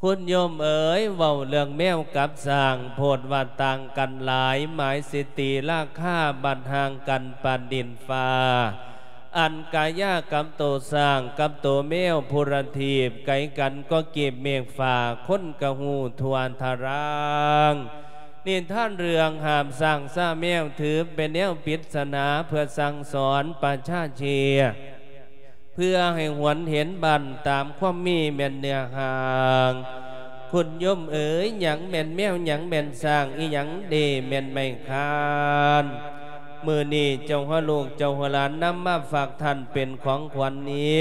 ຄຸນໂຍມເອີຍ ເວົ້າເລື່ອງແມວກັບຊ້າງ ໂພດວ່າຕ່າງກັນຫຼາຍ ໝາຍສະຕິລາຄາ ບັດຫ່າງກັນປານດິນຟ້າ ອັນກາຍາກັບໂຕຊ້າງ ກັບໂຕແມວ ຜູ້ລະທີບ ໄກກັນກໍກີບເມກຟ້າ ຄົນກະຮູ້ທົ່ວທາລາງ. ນິທານເລື່ອງຫາບຊ້າງຊາແມວ ຖືເປັນແນວປິດສະໜາ ເພື່ອສັ່ງສອນປະຊາເຊຍ ເພື່ອໃຫ້ຫວນເຫັນບັ້ນຕາມຄວາມມີແມ່ນເນື້ອຫາງ. ຄຸນໂຍມເອີຍ ຫຍັງແມ່ນແມວ ຫຍັງແມ່ນຊ້າງ ອີຫຍັງເດແມ່ນໄມ້ຄານ? ມື້ນີ້ເຈົ້າຫົວລູກເຈົ້າຫົວຫຼານນຳມາຝາກທ່ານເປັນຂອງຂວັນນີ້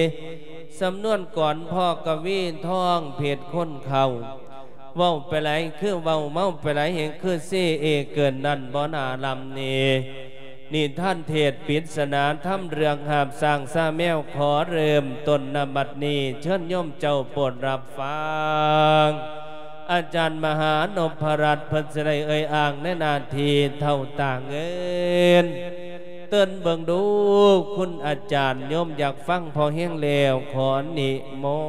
ສຳນວນກອນພໍ່ກະວີທອງເພັດຄົນເຖົ້າ ເວົ້າໄປຫຼາຍຄືເວົ້າ ເມົາໄປຫຼາຍແຮງຄືເຊເອເກີນນັ້ນບໍ່ໜ້າລຳນີ້. ນິທານເທດປິດສະໜາທຳເລື່ອງຫາບຊ້າງຊາແມວ ຂໍເລີ່ມຕົ້ນນະບັດນີ້ ເຊີນໂຍມເຈົ້າໂປດຮັບຟັງ. ອາຈານມະຫານົບພະລັດ ເພິ່ນຊິໄດ້ເອີ່ຍອ້າງໃນໜ້າທີ່ເຖົ້າຕ່າງເອີນ ເຕີນເບິ່ງດູ ຄຸນອາຈານ ໂຍມຢາກຟັງພໍແຮງແລ້ວ ຂໍນິມົ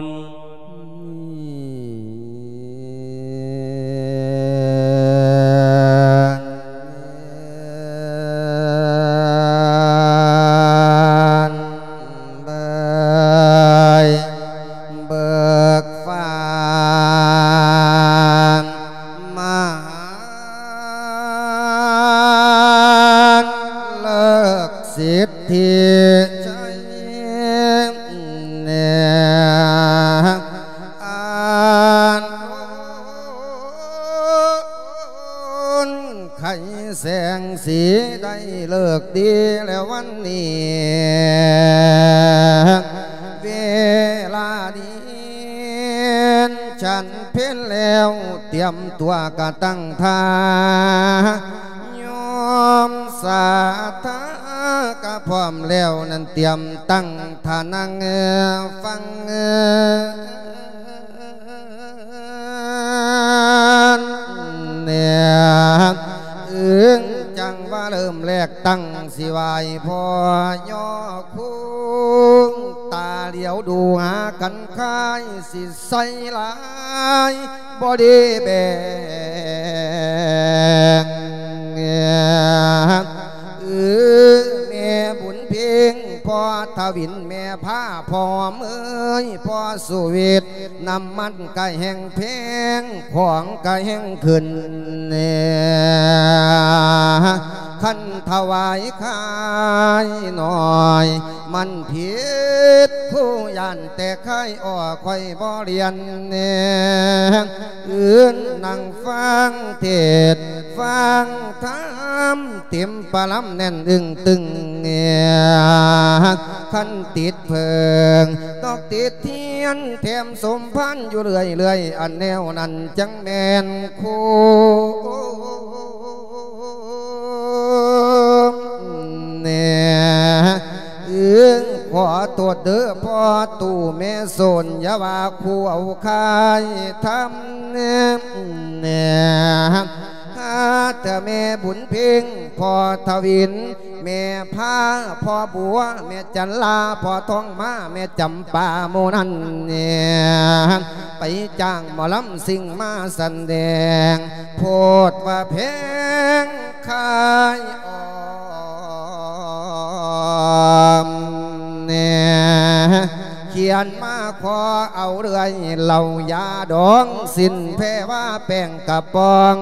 ນ. ເບີຍເບີກຟ້າມະຫານເລີກສິດທິໄຊ ອັນໂອນໄຂແສງສີໄດ້ເລີກດີແລ້ວວັນນີ້ ເວລາດີ ສັນເພັນແລ້ວ ຕຽມຕົວກະຕັ້ງທ່າ ໂຍມສາທາກະພ້ອມແລ້ວນັ້ນ ຕຽມຕັ້ງທ່ານັ່ງຟັງ ເອີ ອຶງຈັ່ງວ່າເລີ່ມແລກຕັ້ງ ຊິໄຫວ້ພໍ່ຍໍຄູ ຕາຫຼຽວດູຫາກັນຄ້າຍ ຊິໃສ່ຫຼາຍບໍ່ດີແບ່ງ ເອີ ແມ່ບຸນເພັງ ພໍ່ທະວິນ ແມ່ພາ ພໍ່ເມີຍ ພໍ່ສຸວິດ ນ້ຳມັນກະແຮ່ງແພງ ຂອງກະແຮ່ງຂຶ້ນ ຄັນຖວາຍຂາຍໜ້ອຍ ມັນຜິດຜູ້ຢ້ານແຕ່ຂາຍ ອ້ອ ຂ້ອຍບໍ່ລຽນ ອືນນັ່ງຟັງເທດ ຟັງທຳ ເຕັມປະລຳແໜ້ນອຶ້ງຕຶງ ຄັນຕິດເຜິ້ງ ດອກຕິດທຽນ ແຖມສົມພັນຢູ່ເລື້ອຍໆ ອັນແນວນັ້ນຈັ່ງແມ່ນຄູ່ ເອີ ຂໍໂທດເດີພໍ່ຕູ້ແມ່ໂສນ ຢ່າວ່າຄູ່ເອົາຂາຍທຳ ຫາແຕ່ແມ່ບຸນເພັງ ພໍ່ທະວິນ ແມ່ພາ ພໍ່ບົວ ແມ່ຈັນລາ ພໍ່ທອງມາ ແມ່ຈຳປາ ໝູ່ນັ້ນ ໄປຈ້າງໝໍລຳຊິງມາສະແດງ ໂພດວ່າແພງຂາຍອອມ ຂຽນມາຂໍເອົາເລື້ອຍ ເຫຼົ້າຢາດອງ ສິ້ນແພວ່າແປ້ງກະປອງ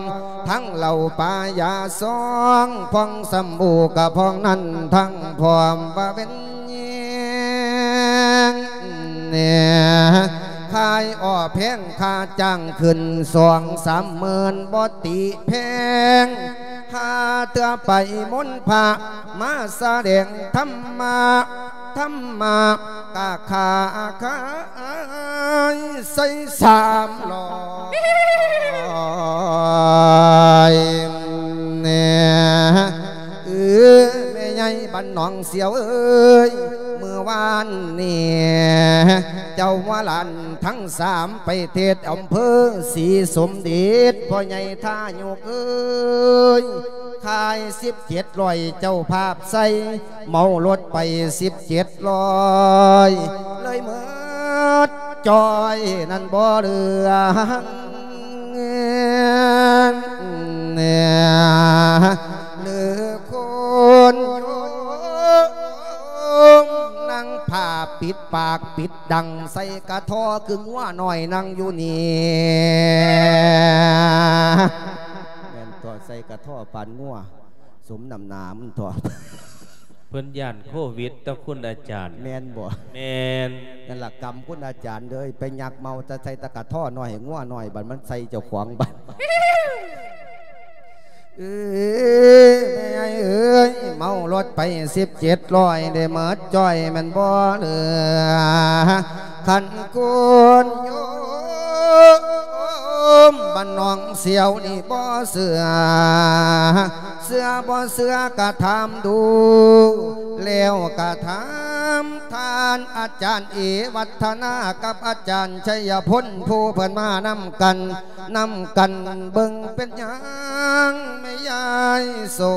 ທັງເຫຼົ້າປາຢາຊອງ ພອງສຳບູກະພອງນັ້ນ ທັງພ້ອມວ່າເປັນ ແນ່ ຂາຍອ້ອແພງ ຄ່າຈ້າງຂຶ້ນສອງສາມໝື່ນ ບໍ່ຕິແພງ ຫາເທື່ອໄປມົນພະ ມາສະແດງທຳມະ ທຳມະກະຄ່າຂາຍໃສ່ສາມຮ້ອຍ ແນ່ ເອີ ແມ່ໃຫຍ່ບ້ານໜອງສຽວເອີຍ ມື້ວານນີ້ ເຈົ້າວ່າຫຼານທັງສາມໄປເທດອຳເພີສີສົມເດັດ ພໍ່ໃຫຍ່ທາຍຸກເອີຍ ຂາຍສິບເຈັດຮ້ອຍ ເຈົ້າພາບໃສ່ ເມົາລົດໄປສິບເຈັດຮ້ອຍ ເລີຍໝົດ ຈອຍນັ້ນບໍ່ເຫຼືອ ຫຼືຄົນໂຍມ ນັ່ງຜ້າປິດປາກປິດດັງ ໃສ່ກະທໍຄືງົວນ້ອຍນັ່ງຢູ່ນີ້ ແມ່ນຕົວະ ໃສ່ກະທໍປານງົວ ສົມນ້ຳໜ້າມັນຕົວະ. ເພິ່ນຢ້ານໂຄວິດຕົວະ ຄຸນອາຈານ. ແມ່ນບໍ່? ແມ່ນ. ນັ້ນລະກຳຄຸນອາຈານເດີ ໄປຍັກເມົາແຕ່ໃສ່ຕະກະທໍນ້ອຍໃຫ້ງົວນ້ອຍ ບັດມັນໃສ່ເຈົ້າຂອງບັດ. ເອີ ແມ່ໃຫຍ່ເອີຍ ເມົາລົດໄປສິບເຈັດຮ້ອຍ ໄດ້ໝົດຈ້ອຍແມ່ນບໍ່ເຫຼືອ ຄັນຄົນໂຍມບ້ານໜອງສຽວນີ້ບໍ່ເຊື່ອ ເຊື່ອບໍ່ເຊື່ອກະຖາມດູ ແລ້ວກະຖາມທ່ານອາຈານເອວັດທະນາ ກັບອາຈານໄຊຍະພົນ ຜູ້ເພິ່ນມານຳກັນ ນຳກັນເບິ່ງເປັນຫຍັງແມ່ຍາຍສົ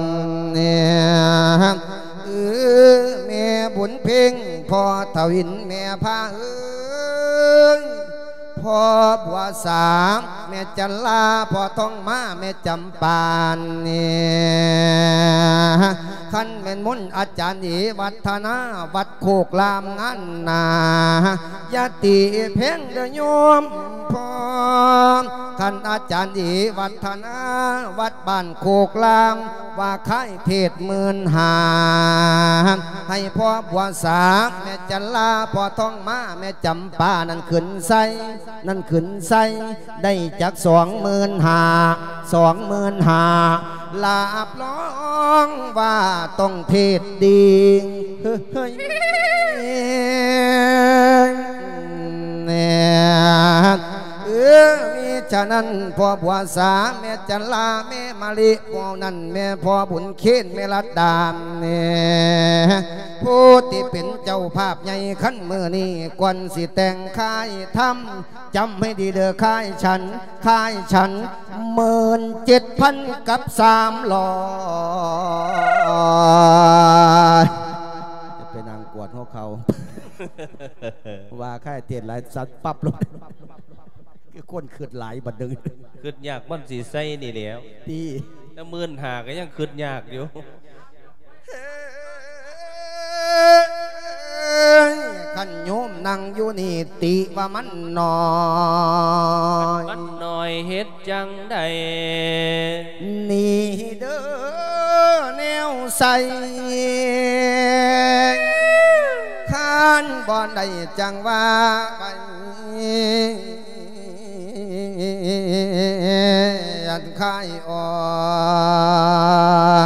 ນ ເອີ ແມ່ບຸນເພັງ ພໍ່ທະວິນ ແມ່ພາເອີຍ ພໍ່ບົວສາ ແມ່ຈັນລາ ພໍ່ທອງມາ ແມ່ຈຳປານີ້ ຄັນແມ່ນມົນອາຈານເອວັດທະນາ ວັດໂຄກລາມງານໜ້າ ຢ່າຕີແພງເດີໂຍມພໍ່ ຄັນອາຈານເອວັດທະນາ ວັດບ້ານໂຄກລາມ ວ່າຂາຍເທດໝື່ນຫ້າ ໃຫ້ພໍ່ບົວສາ ແມ່ຈັນລາ ພໍ່ທອງມາ ແມ່ຈຳປາ ນັ້ນຂຶ້ນໃສ່ ນັ້ນຂຶ້ນໃສ່ ໄດ້ຈັກສອງໝື່ນຫ້າ ສອງໝື່ນຫ້າ ຮັບຮອງວ່າຕ້ອງເທດດີ ເຮີ້ຍ ເອີ ມີສະນັ້ນ ພໍ່ບົວສາ ແມ່ຈັນລາ ແມ່ມະລິ ຜູ້ນັ້ນແມ່ພໍ່ບຸນເຄນ ແມ່ລັດດາ ແນ່ ຜູ້ທີ່ເປັນເຈົ້າພາບໃຫຍ່ ຄັນມື້ນີ້ກ່ອນຊິແຕ່ງຄາຍທຳ ຈຳໃຫ້ດີເດີ ຄາຍສັນ ຄາຍສັນ ໝື່ນເຈັດພັນກັບສາມຮ້ອຍ ຈະໄປນັ່ງກວດຫົວເຂົ່າ ວ່າຄາຍເທດຫຼາຍ ສັນປັບໂລດ ຄືຄົນຄຶດຫຼາຍບັດໜຶ່ງ ຄຶດຍາກມັນຊິໃສ່ນີ້ແຫຼ້ວ ຕິ ແຕ່ໝື່ນຫ້າກະຍັງຄຶດຍາກຢູ່. ເອີຍ ຄັນໂຍມນັ່ງຢູ່ນີ້ ຕິວ່າມັນໜ້ອຍ ມັນໜ້ອຍເຮັດຈັ່ງໃດ ນີ້ເດີແນວໃສ່ ຄັນບໍ່ໄດ້ຈັ່ງວ່າໄປ ອັນຄາຍອອ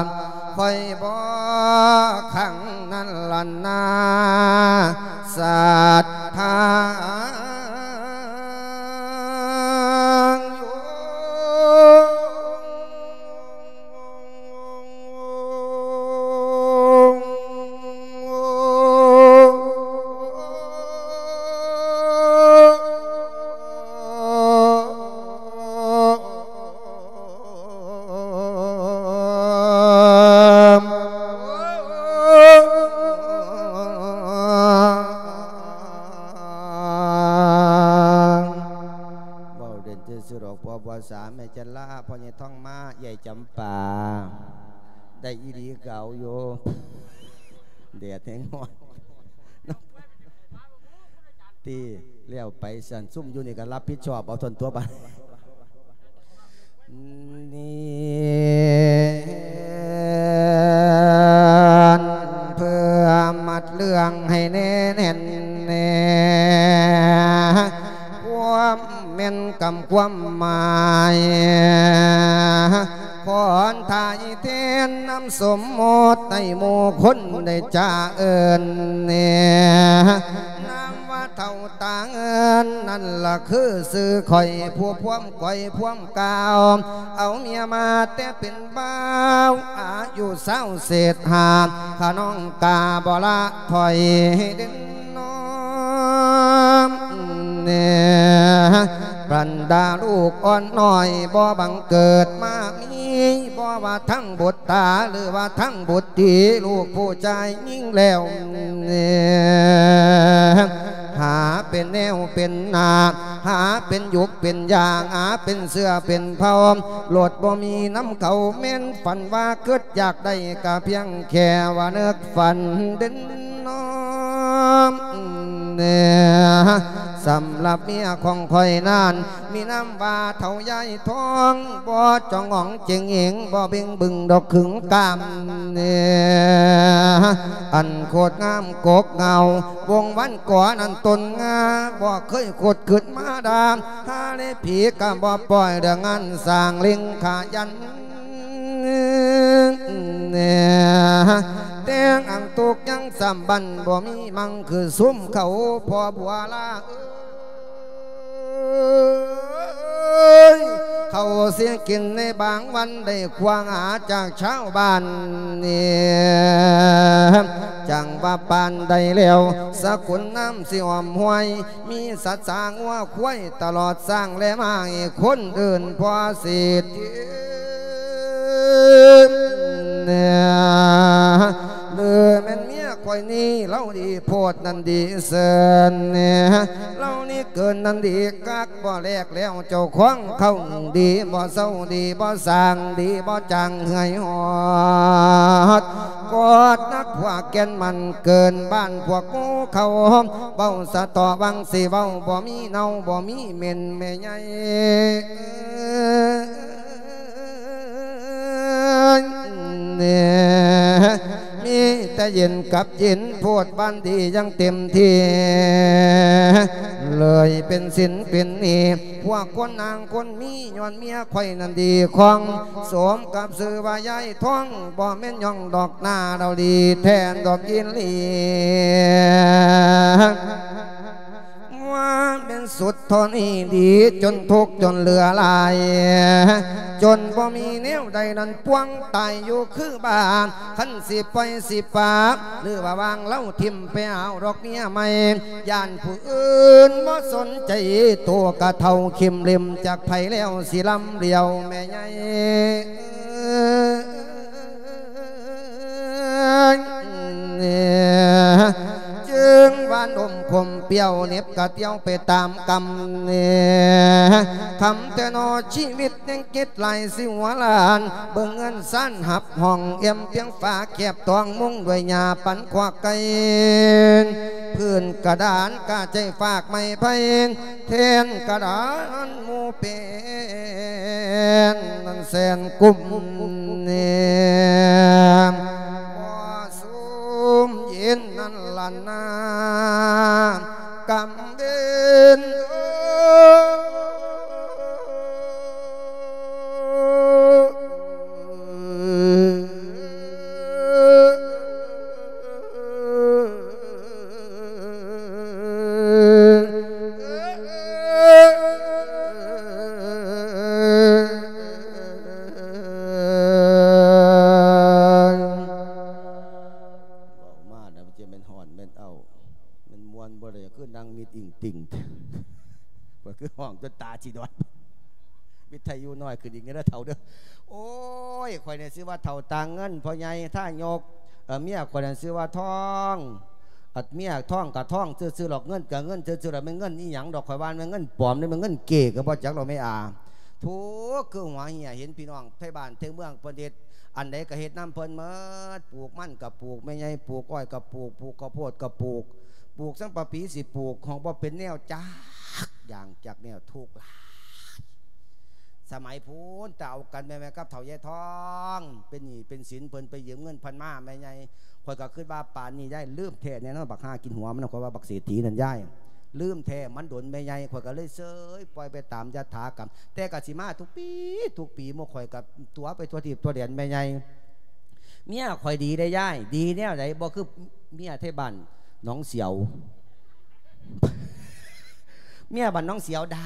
ກ ຂ້ອຍບໍ່ຂັງນັ້ນລະນາ ສັດທາ. ເວົ້າເດັ່ນຊື່ໆດອກ ພໍ່ບົວສາ ແມ່ຈັນລາ ພໍ່ໃຫຍ່ທອງມາ ເອື້ອຍຈຳປາ ໄດ້ອີ່ຫຼີເກົ່າຢູ່ ແດດແຮງຮ້ອນ ຕິ ແລ້ວໄປຊັ້ນ ຊຸມຢູ່ນີ້ກໍຮັບຜິດຊອບເອົາທົ່ວນຕົວບາດ ນີ້ ເພື່ອມັດເລື່ອງໃຫ້ແນ່ແໜ້ນແນ່ ຄວາມແມ່ນກຳຄວາມໝາຍ ຂໍອັນຖ່າຍແທນນຳສົມມຸດໃຫ້ໝູ່ຄົນໄດ້ຈາເອີ້ນແນ່ ນາມວ່າເຖົ້າຕາເງິນ ນັ້ນລະຄືຊື່ຂ້ອຍ ຜູ້ພວມກ້ອຍພວມກາວ ເອົາເມຍມາແຕ່ເປັນບ່າວ ອາຍຸຊາວເສດຫາ ຂະນ້ອງກາບໍ່ລະຖອຍເດັ່ນນ້ອມແນ່ ບັນດາລູກອ່ອນນ້ອຍ ບໍ່ບັງເກີດມາມີ ບໍ່ວ່າທັງບຸດຕາ ຫຼືວ່າທັງບຸດຕີ ລູກຜູ້ຊາຍຍິງແລ້ວແນ່ ປັນໜ້າ ຫາເປັນຢຸກເປັນຢາງ ຫາເປັນເຊື້ອເປັນເຜົ່າ ໂລດບໍ່ມີນຳເຂົາ ແມ່ນຝັນວ່າຄິດຢາກໄດ້ ກະພຽງແຄ່ວ່ານຶກຝັນເດັ່ນນອນ. ສຳລັບເມຍຂອງຂ້ອຍນັ້ນ ມີນາມວ່າເຖົ້າຍາຍທອງ ບໍ່ຈອງອອງເຈັງເອງ ບໍ່ເບັງບຶງດອກຂຶງກາມ ອັນໂຄດງາມກົກເຫງົາ ວົງວັນກໍອັນຕົ້ນງາ ບໍ່ເຄີຍຂຸດຂຶ້ນມາດາມ ຫາເລຜີກະບໍ່ປ່ອຍ ເລື່ອງງານສ້າງເລັງຂະຫຍັນ ແຕ່ງອັງຕຸກຍັງສຳບັນ ບໍ່ມີມັງຄືຊຸມເຂົາພໍ່ບົວລາເອີຍ ເຂົາຊິກິນໃນບາງວັນ ໄດ້ຄວາງຫາຈາກຊາວບ້ານນີ້ ຈັ່ງວ່າປານໃດແລ້ວ ສະກຸນນ້ຳຊິອ້ອມຫ້ວຍ ມີສັດສາງົວຄວາຍ ຕະຫຼອດຊ້າງແລະມ້າ ໃຫ້ຄົນອື່ນພໍເສດ ຫຼືແມ່ນເມຍຂ້ອຍນີ້ ລາວດີໂພດນັ້ນດີເຊີນ ລາວນີ້ເກີນນັ້ນດີຄັກ ບໍ່ແລກແລ້ວເຈົ້າຂອງເຂົາ ດີບໍ່ເຊົາ ດີບໍ່ສ້າງ ດີບໍ່ຈາງເຫື່ອຍຫອດ ກອດນັກພວກແກ່ນມັນເກີນບ້ານພວກໝູ່ເຂົາ ເວົ້າສະເຕາະຫວັງຊິເວົ້າ ບໍ່ມີເນົ່າບໍ່ມີເໝັນແມ່ໃຫຍ່ ມີແຕ່ເຢັນກັບເຢັນ ໂພດບ້ານດີຢ່າງເຕັມທີ່ ເລີຍເປັນສິນເປັນໜີ້ ພວກຄົນນາງຄົນມີ ຍ້ອນເມຍຂ້ອຍນັ້ນດີຄອງ ສົມກັບຊື່ວ່າຍາຍທອງ ບໍ່ແມ່ນຍ່ອງດອກໜ້າ ລາວດີແທ້ດອກອີ່ຫຼີ ວ່າແມ່ນສຸດເທົ່ານີ້ ດີຈົນທຸກຈົນເຫຼືອຫຼາຍ ຈົນບໍ່ມີແນວໃດນັ້ນ ປວງຕາຍຢູ່ຄືບ້າ ຄັນຊິປ່ອຍຊິປາ ຫຼືວ່າວາງລາວຖິ້ມໄປເອົາດອກເມຍໃໝ່ ຢ້ານຜູ້ອື່ນບໍ່ສົນໃຈ ໂຕກະເຖົ້າເຂັມເຫຼັ້ມຈັກໃຜແລ້ວ ຊິລຳຫຼຽວແມ່ໃຫຍ່ ຈຶ່ງວ່ານົມຂົມປ່ຽວ ເໜັບກະຕຽວໄປຕາມກຳ ຄຳແຕ່ໜໍ່ຊີວິດ ຍັງຄິດຫຼາຍຊິຫົວລ້ານ ເບິ່ງເຮືອນຊານຮັບຫ້ອງ ແອ້ມພຽງຝາແຄບຕອງ ມຸງດ້ວຍຫຍ້າປັນຄອກໄກ່ ພື້ນກະດານກະໃຈຟາກໄມ້ໄຜ່ ແທ່ນກະດານໝູ່ເປັນ ນັ້ນແສນກຸມ ບໍ່ຊຸ່ມເຢັນນັ້ນລະນາ ກຳເວັນ ເວົ້າມາແລ້ວມັນຈະແມ່ນຮ້ອນແມ່ນເອົ້າ ແມ່ນມ່ວນບໍ່ໄດ້ ຄືນັ່ງມິດອີ່ງຕິ່ງ ເພິ່ນຄືຮ້ອງຈົນຕາຊິດອດ ວິທະຍຸນ້ອຍຂຶ້ນອີກແດ່ເດີເຖົ້າເດີ. ໂອ້ຍ ຂ້ອຍນີ້ຊື່ວ່າເຖົ້າຕາເງິນ ພໍ່ໃຫຍ່ທາຍົກ ເອີ ເມຍຂ້ອຍນັ້ນຊື່ວ່າທອງ ອັດ ເມຍທອງກະທອງຊື່ໆດອກ ເງິນກະເງິນຊື່ໆດອກ ແມ່ນເງິນອີ່ຫຍັງດອກ ຂ້ອຍວ່າແມ່ນເງິນປອມເດ້ ແມ່ນເງິນເກກະບໍ່ຈັກດອກແມ່ອາ. ທຸກ ຄືຫົວເຫ່ຍ ເຫັນພີ່ນ້ອງໄທບ້ານໄທເມືອງເພິ່ນເຮັດ ອັນໃດກະເຮັດນຳເພິ່ນໝົດ ປູກມັນກະປູກ ແມ່ໃຫຍ່ປູກອ້ອຍກະປູກ ປູກເຂົ້າໂພດກະປູກ ປູກສັງປະປີຊິປູກ ຂອງບໍ່ເປັນແນວຈັກຢ່າງຈັກແນວ ທຸກຫຼາຍ. ສະໄໝພຸ້ນ ແຕ່ເອົາກັນແມ່ນກັບເຖົ້າຍາຍທອງ ເປັນໜີ້ເປັນສິນ ເພິ່ນໄປຢືມເງິນເພິ່ນມາ ແມ່ໃຫຍ່ ຂ້ອຍກໍຄິດວ່າປານນີ້ຍາຍລືມແທ້ແນ່ນອນ ບັກຫາກິນຫົວມັນ ຂ້ອຍວ່າບັກເສດຖີນັ້ນຍາຍ ລືມແທ້ ມັນດົນແມ່ໃຫຍ່ ຂ້ອຍກໍເລີຍເຊີຍປ່ອຍໄປຕາມຍະຖາກຳ ແຕ່ກໍຊິມາທຸກປີ ທຸກປີ ໝູ່ຂ້ອຍກໍຕົວະໄປທົ່ວທີບທົ່ວແດນແມ່ໃຫຍ່. ເມຍຂ້ອຍດີເດ້ຍາຍ. ດີແນວໃດ? ບໍ່ຄືເມຍໄທບ້ານໜອງສຽວ. ເມຍບ້ານໜອງສຽວດ່າ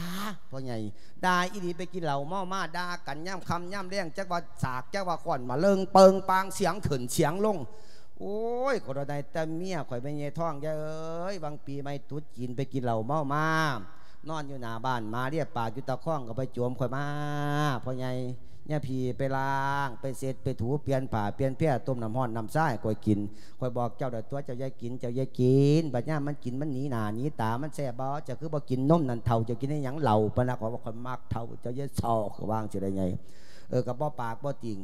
ພໍ່ໃຫຍ່ ດ່າອີ່ຫຼີ. ໄປກິນເຫຼົ້າເມົາມາ ດ່າກັນຍາມຄ່ຳຍາມແລງ ຈັກວ່າສາກ ຈັກວ່າຄ້ອນ ມາເລິງເປິງປາງ ສຽງຂຶ້ນສຽງລົງ. ໂອ້ຍ ຂໍໂທດນາຍ ແຕ່ເມຍຂ້ອຍແມ່ນຍາຍທອງ ຍາຍເອີຍ. ຫວ່າງປີໃໝ່ຕຸດຈີນ ໄປກິນເຫຼົ້າເມົາມາ ນອນຢູ່ໜ້າບ້ານ ໝາເລຍປາກຢູ່ຕາຄອງ ກໍໄປໂຈມຂ້ອຍມາ ພໍ່ໃຫຍ່ ຍາພີ່ໄປລ້າງ ໄປເຊັດ ໄປຖູ ປ່ຽນຜ້າ ປ່ຽນແພ ຕົ້ມນ້ຳຮ້ອນນ້ຳຊາໃຫ້ຂ້ອຍກິນ. ຂ້ອຍບອກເຈົ້າແລ້ວຕົວະ ເຈົ້າຢ່າກິນ ເຈົ້າຢ່າກິນ. ບັດຍາມມັນກິນ ມັນໜີໜ້າໜີຕາ ມັນແຊບບໍ່? ເຈົ້າຄືບໍ່ກິນນົມນັ້ນເຖົ້າ? ເຈົ້າກິນໄດ້ຫຍັງເຫຼົ້າ? ປານນັ້ນ ຂ້ອຍວ່າຂ້ອຍມັກເຖົ້າ ເຈົ້າຢ່າຊອກ ຂ້ອຍວ່າຈັ່ງໃດໃຫຍ່. ເອີ ກໍບໍ່ປາກບໍ່ຕິງ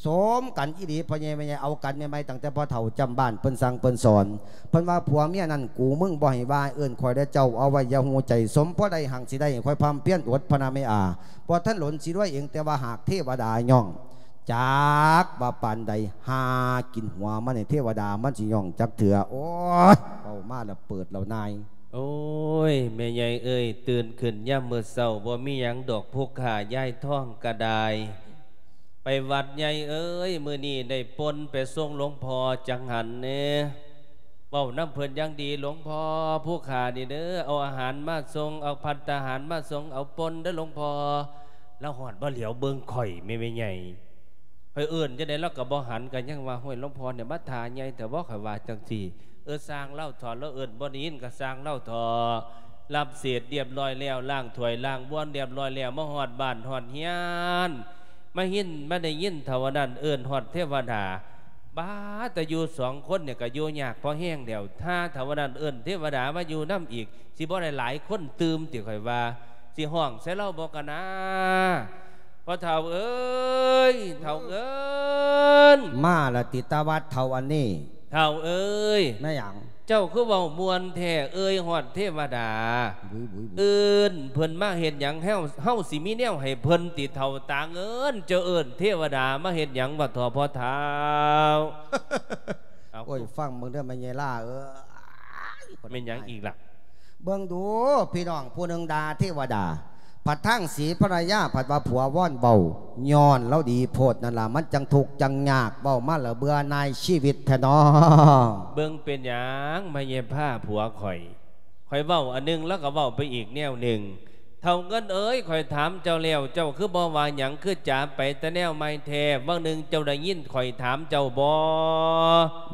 ສົມກັນອີ່ຫຼີ ພໍ່ໃຫຍ່ແມ່ໃຫຍ່ ເອົາກັນໃໝ່ໆ ຕັ້ງແຕ່ພໍ່ເຖົ້າຈຳບ້ານ ເພິ່ນສັ່ງເພິ່ນສອນ ເພິ່ນວ່າ ຜົວເມຍນັ້ນ ກູມຶງບໍ່ໃຫ້ວ່າ ເອີ້ນຂ້ອຍແດ່ເຈົ້າ ເອົາໄວ້ຢ່າຮູ້ໃຈ. ສົມພໍໄດ້ຮັ່ງຊິໄດ້ ຂ້ອຍພຳພຽນອົດ ພະນະແມ່ອາ ບໍ່ທັນດົນຊິລວຍເອງ ແຕ່ວ່າຫາກເທວະດາຍ້ອງ ຈັກວ່າປານໃດ ຫາກິນຫົວມັນໃຫ້ເທວະດາ ມັນຊິຍ້ອງຈັກເທື່ອ. ໂອ້ຍ ເວົ້າມາແລ້ວເປີດແລ້ວນາຍ. ໂອ້ຍ ແມ່ໃຫຍ່ເອີຍ ຕື່ນຂຶ້ນຍາມມື້ເຊົ້າ ບໍ່ມີຫຍັງດອກ ຜູ້ຂ້າຍາຍທອງກະໄດ້ ໄປວັດໃຫຍ່ເອີຍ ມື້ນີ້ໄດ້ປົ່ນໄປສົ່ງຫຼວງພໍ່ຈັກຫັນແດ່. ເວົ້ານຳເພິ່ນຢ່າງດີ ຫຼວງພໍ່ ຜູ້ຂ້ານີ້ເດີ ເອົາອາຫານມາສົ່ງ ເອົາພັດຕາຫານມາສົ່ງ ເອົາປົ່ນເດີຫຼວງພໍ່. ລາວຮອດມາຫຼຽວເບິ່ງຂ້ອຍ ແມ່ ແມ່ໃຫຍ່ ຂ້ອຍເອີ້ນຈັ່ງໃດລາວກໍບໍ່ຫັນ ກໍຍັງວ່າ ໂອ້ຍ ຫຼວງພໍ່ນີ້ມາທ່າໃຫຍ່ແທ້ບໍ ຂ້ອຍວ່າຈັ່ງຊີ້. ເອີ ຊ່າງລາວເຖາະ ລາວເອີ້ນບໍ່ໄດ້ຍິນກໍຊ່າງລາວເຖາະ. ຮັບເສດລຽບຮ້ອຍແລ້ວ ລ້າງຖ້ວຍລ້າງບ່ວນລຽບຮ້ອຍແລ້ວ ມາຮອດບ້ານຮອດເຮືອນ ມາເຫັນ ມາໄດ້ຍິນເຖົ້າອັນນັ້ນເອີ້ນຮອດເທວະດາ. ບາດ ແຕ່ຢູ່ສອງຄົນນີ້ກໍຢູ່ຍາກພໍແຮງແລ້ວ ຖ້າເຖົ້າອັນນັ້ນເອີ້ນເທວະດາມາຢູ່ນຳອີກ ຊິບໍ່ໄດ້ຫຼາຍຄົນຕື່ມຕິ ຂ້ອຍວ່າ. ຊິຮ້ອງໃສ່ລາວບໍ່ກະນາ ພໍ່ເຖົ້າເອີຍ ເຖົ້າເອີຍ. ມາລະຕິຕາວັດເຖົ້າອັນນີ້. ເຖົ້າເອີຍ. ແມ່ນຫຍັງ? ເຈົ້າຄືເວົ້າມ່ວນແທ້ເອີຍ ຮອດເທວະດາ. ບຸຍໆໆ ເອີ້ນເພິ່ນມາເຮັດຫຍັງ? ເຮົາ ເຮົາຊິມີແນວໃຫ້ເພິ່ນຕິ ເຖົ້າຕາເງິນ? ເຈົ້າເອີ້ນເທວະດາມາເຮັດຫຍັງວະ ທໍ່ພໍ່ທ້າວ? ເອົາ ໂອ້ຍ ຟັງເບິ່ງເດີແມ່ໃຫຍ່ລາເອີຍ. ແມ່ນຫຍັງອີກລະ? ເບິ່ງດູພີ່ນ້ອງ ຜູ້ໜຶ່ງດ່າເທວະດາ ພັດທາງສີພະລະຍາ ພັດວ່າຜົວວອນເວົ້າ ຍ້ອນລາວດີໂພດນັ້ນລະ ມັນຈັ່ງທຸກຈັ່ງຍາກ ເວົ້າມາແລ້ວເບື່ອໜ່າຍຊີວິດແທ້ນໍ. ເບິ່ງເປັນຫຍັງມາແຍ່ພາຜົວຂ້ອຍ? ຂ້ອຍເວົ້າອັນໜຶ່ງ ລາວກໍເວົ້າໄປອີກແນວໜຶ່ງ. ເຖົ້າເງິນເອີຍ ຂ້ອຍຖາມເຈົ້າແລ້ວ ເຈົ້າຄືບໍ່ວ່າຫຍັງ? ຄືຈາໄປແຕ່ແນວໃໝ່ແທ້? ຫວ່າງໜຶ່ງເຈົ້າໄດ້ຍິນຂ້ອຍຖາມເຈົ້າບໍ່?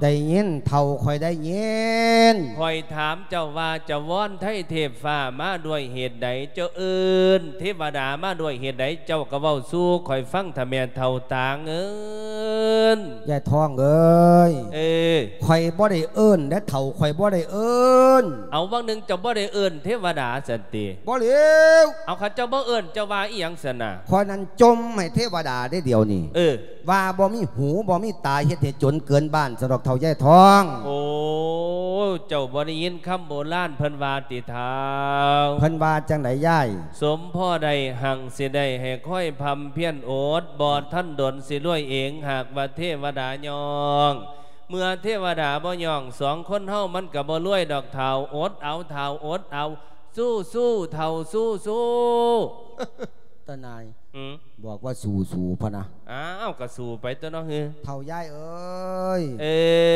ໄດ້ຍິນເຖົ້າ ຂ້ອຍໄດ້ຍິນ. ຂ້ອຍຖາມເຈົ້າວ່າ ຈະວອນໄທເທບຟ້າມາດ້ວຍເຫດໃດ? ເຈົ້າເອີ້ນເທວະດາມາດ້ວຍເຫດໃດ? ເຈົ້າກໍເວົ້າສູ່ຂ້ອຍຟັງເຖາະແມ່ເຖົ້າຕາເງິນ. ຍາຍທອງເອີຍ. ເອີ. ຂ້ອຍບໍ່ໄດ້ເອີ້ນເດ້ເຖົ້າ ຂ້ອຍບໍ່ໄດ້ເອີ້ນ. ເອົາ ຫວ່າງໜຶ່ງເຈົ້າບໍ່ໄດ້ເອີ້ນເທວະດາຊັ້ນຕິ? ບໍ່ແລ້ວ. ເອົາ ຄັນເຈົ້າບໍ່ເອີ້ນ ເຈົ້າວ່າອີ່ຫຍັງຊັ້ນນະ? ຂ້ອຍນັ້ນຈົ່ມໃຫ້ເທວະດາເດ້ດຽວນີ້. ເອີ. ວ່າບໍ່ມີຫູບໍ່ມີຕາ ເຮັດໃຫ້ຈົນເກີນບ້ານຊັ້ນດອກເຖົ້າຍາຍທອງ. ໂອ້ ເຈົ້າບໍ່ໄດ້ຍິນຄຳໂບລານເພິ່ນວ່າຕິເຖົ້າ? ເພິ່ນວ່າຈັ່ງໃດຍາຍ? ສົມພໍໄດ້ຮັ່ງຊິໄດ້ ໃຫ້ຄອຍພຳພຽນອົດ ບໍ່ທັນດົນຊິລວຍເອງ ຫາກວ່າເທວະດາຍ້ອງ. ເມື່ອເທວະດາບໍ່ຍ້ອງ ສອງຄົນເຮົາມັນກໍບໍ່ລວຍດອກເຖົ້າ. ອົດເອົາເຖົ້າ ອົດເອົາ. ສູ້ໆ ເຖົ້າ ສູ້ໆ. ຕານາຍ. ຫືມ? ບອກວ່າສູ້ໆ ພະນະ. ອ້າວ ກໍສູ້ໄປຕົວະເນາະ. ເອີ ເຖົ້າຍາຍເອີຍ. ເອ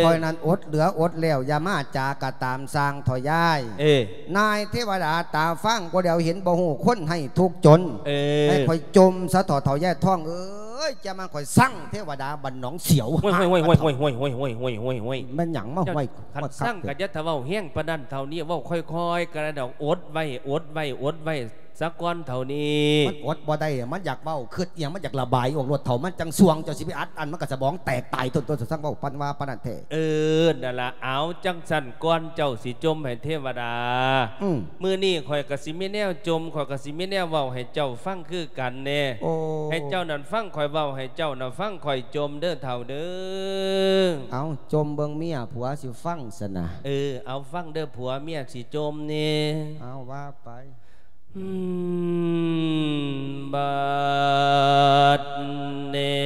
ີ. ຂ້ອຍນັ້ນອົດເຫຼືອອົດແລ້ວ ຢ່າມາຈາກະຕາມຊ່າງເຖົ້າຍາຍ. ເອີ. ນາຍເທວະດາຕາຟາງບໍ່ແລ້ວ ເຫັນບໍ່ຮູ້ຄົນໃຫ້ທຸກຈົນ. ເອີ. ໃຫ້ຂ້ອຍຈົ່ມຊະເຖາະ ເຖົ້າຍາຍທອງເອີຍ. ຈະມາຂ້ອຍຊັງເທວະດາບ້ານໜອງສຽວ. ໂອ້ຍ ໂອ້ຍ ໂອ້ຍ ໂອ້ຍ. ແມ່ນຫຍັງມາຫ້ອຍ? ຄັນຊັງກໍຢ່າຖ້າເວົ້າແຮງປານນັ້ນເຖົ້ານີ້ ເວົ້າຄ່ອຍໆກໍໄດ້ດອກ. ອົດໄວ້ ອົດໄວ້ ອົດໄວ້ ສາກ່ອນເຖົ້ານີ້. ມັນອົດບໍ່ໄດ້ ມັນຢາກເວົ້າ ຄຶດອີ່ຫຍັງ ມັນຢາກລະບາຍອອກໂລດເຖົ້າ. ມັນຈັ່ງຊ່ວງ ເຈົ້າຊິໄປອັດອັ້ນ ມັນກໍສະໝອງແຕກຕາຍໂຕນໆ. ສະສັ່ງເວົ້າປານວ່າປານນັ້ນແທ້. ເອີ ນັ້ນລະ. ເອົາ ຈັ່ງຊັ້ນ ກ່ອນເຈົ້າຊິຈົ່ມໃຫ້ເທວະດາ ອືມ ມື້ນີ້ຂ້ອຍກໍຊິມີແນວຈົ່ມ ຂ້ອຍກໍຊິມີແນວເວົ້າໃຫ້ເຈົ້າຟັງຄືກັນແດ່. ໂອ້ ໃຫ້ເຈົ້ານັ້ນຟັງຂ້ອຍເວົ້າ ໃຫ້ເຈົ້ານັ້ນຟັງຂ້ອຍຈົ່ມເດີເຖົ້າເດີ. ເອົາ ຈົ່ມເບິ່ງເມຍຜົວຊິຟັງຊັ້ນນະ. ເອີ ເອົາ ຟັງເດີ ຜົວເມຍຊິຈົ່ມນີ້. ເອົາ ວ່າໄປ. ບາດນີ້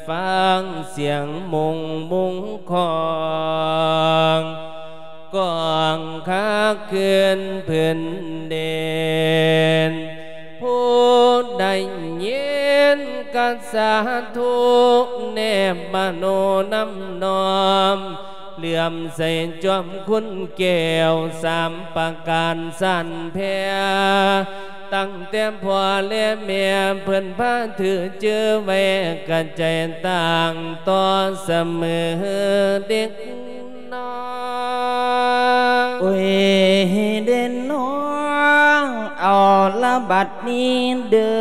ຟັງສຽງມຸງມຸງຂອງ ກ້ອງຄັກຄືນພື້ນດິນ. ຜູ້ໃດຍິນກໍສາທຸ ແນບມະໂນນຳນ້ອມ ເຫຼື້ອມໃສຈອມຄຸນແກ້ວ ສາມປະການສັນແຜ່. ຕັ້ງແຕ່ພໍ່ແລະແມ່ເພິ່ນພາຖືຈື່ໄວ້ ກະໃຈຕ່າງຕໍ່ສະເໝີເດັກນ້ອຍ. ບັດນີ້ເດີ້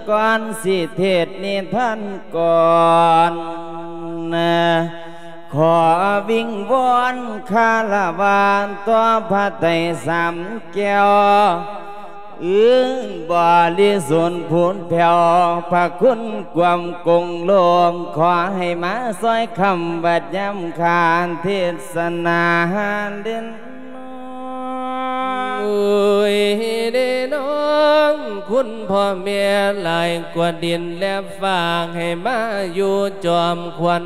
ກ່ອນຊິເທດນິທານກ່ອນ ຂໍວິງວອນຄາລະວະຕໍ່ພະໄຕສາມແກ້ວ ອື ບໍລິສຸດຜຸດແຜ່ວ ພະຄຸນກວ້າງໂກງໂລກ ຂໍໃຫ້ມາຊ່ອຍຄ້ຳວັດຍາມຂ້າເທດສະໜາເດັ່ນ. ໂອ້ຍເດ້ນ້ອງ ຄຸນພໍ່ແມ່ຫຼາຍກວ່າດິນແລະຟ້າ ໃຫ້ມາຢູ່ຈອມຂວັນ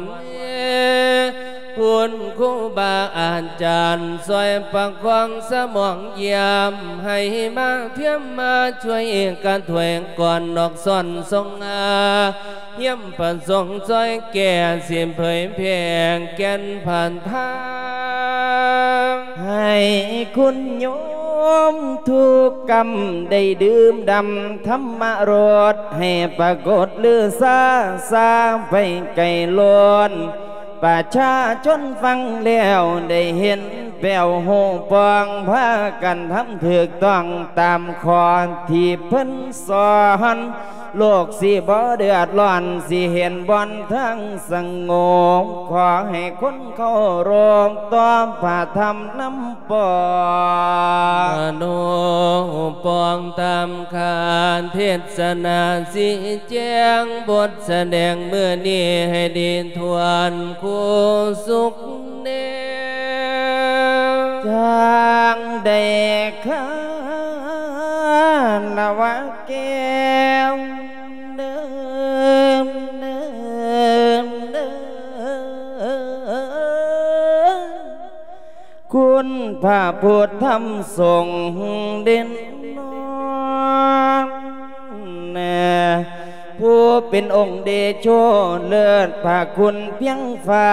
ຄຸນຄູບາອາຈານ ຊ່ອຍປະຄອງສະໝອງຢ້ຽມ ໃຫ້ມາພຽມມາຊ່ວຍກະຖ້ວຍກ່ອນນອກສ້ອນຊົງອາ ຮຽມປະສົງຊ່ອຍແກ່ ຊິເຜີຍແຜ່ແກ່ນພັນທາ ໃຫ້ຄຸນໂຍມທຸກກຳໄດ້ດື່ມດຳທຳມະລົດ ໃຫ້ປາກົດລືຊາຊາໄປໄກໂລນ ປະຊາຊົນຟັງແລ້ວໄດ້ເຫັນແປ້ວຮູ້ປ່ອງ ພາກັນທຳຖືກຕ້ອງຕາມຂໍ້ທີ່ເພິ່ນ ສອນ ໂລກຊິບໍ່ເດືອດຮ້ອນ ຊິເຫັນບ່ອນທາງສະຫງົບ ຂໍໃຫ້ຄົນເຄົາລົບຕໍ່ພະທຳນຳປອງ ມະໂນປ່ອງຕາມຄາເທດສະໜາ ຊິແຈ້ງບົດສະແດງມື້ນີ້ ໃຫ້ດີທວນຄູ່ສຸກແນ ຈັ່ງໄດ້ຄາລະວະແກ້ວ ເດີມ ເດີມ ເດີມ ຄຸນພະພຸດທຳສົງເດັ່ນນອນ ຜູ້ເປັນອົງເດໂຊເລີດພະຄຸນພຽງຟ້າ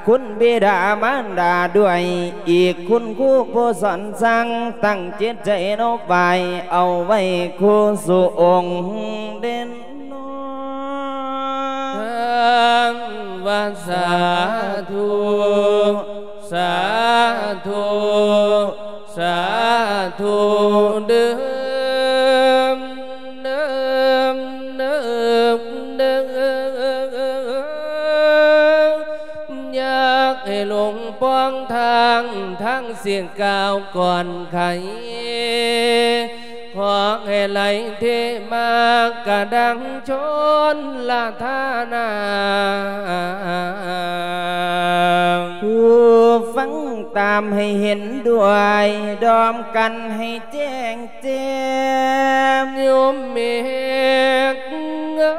ຄຸນບິດາມານດາດ້ວຍ ອີກຄຸນຄູຜູ້ສອນສັ່ງ ຕັ້ງຈິດໃຈນົບໄຫວ້ ເອົາໄວ້ຄູ່ສູ່ອົງເດັ່ນນອນ ທັງວ່າສາທຸ ສາທຸ ສາທຸ ເດີມ ເດີມ ເດີມ ເດີມ ຢາກໃຫ້ຫຼົງປ່ອງທາງ ທາງຊິກ້າວກ່ອນໄຂ ຂໍໃຫ້ໄຫຼເທມາກະດັງຊົນລະທານາ ຜູ້ຟັງຕາມໃຫ້ເຫັນດ້ວຍ ດອມກັນໃຫ້ແຈ້ງແຈ້ມ ໂຍມເມກເອີ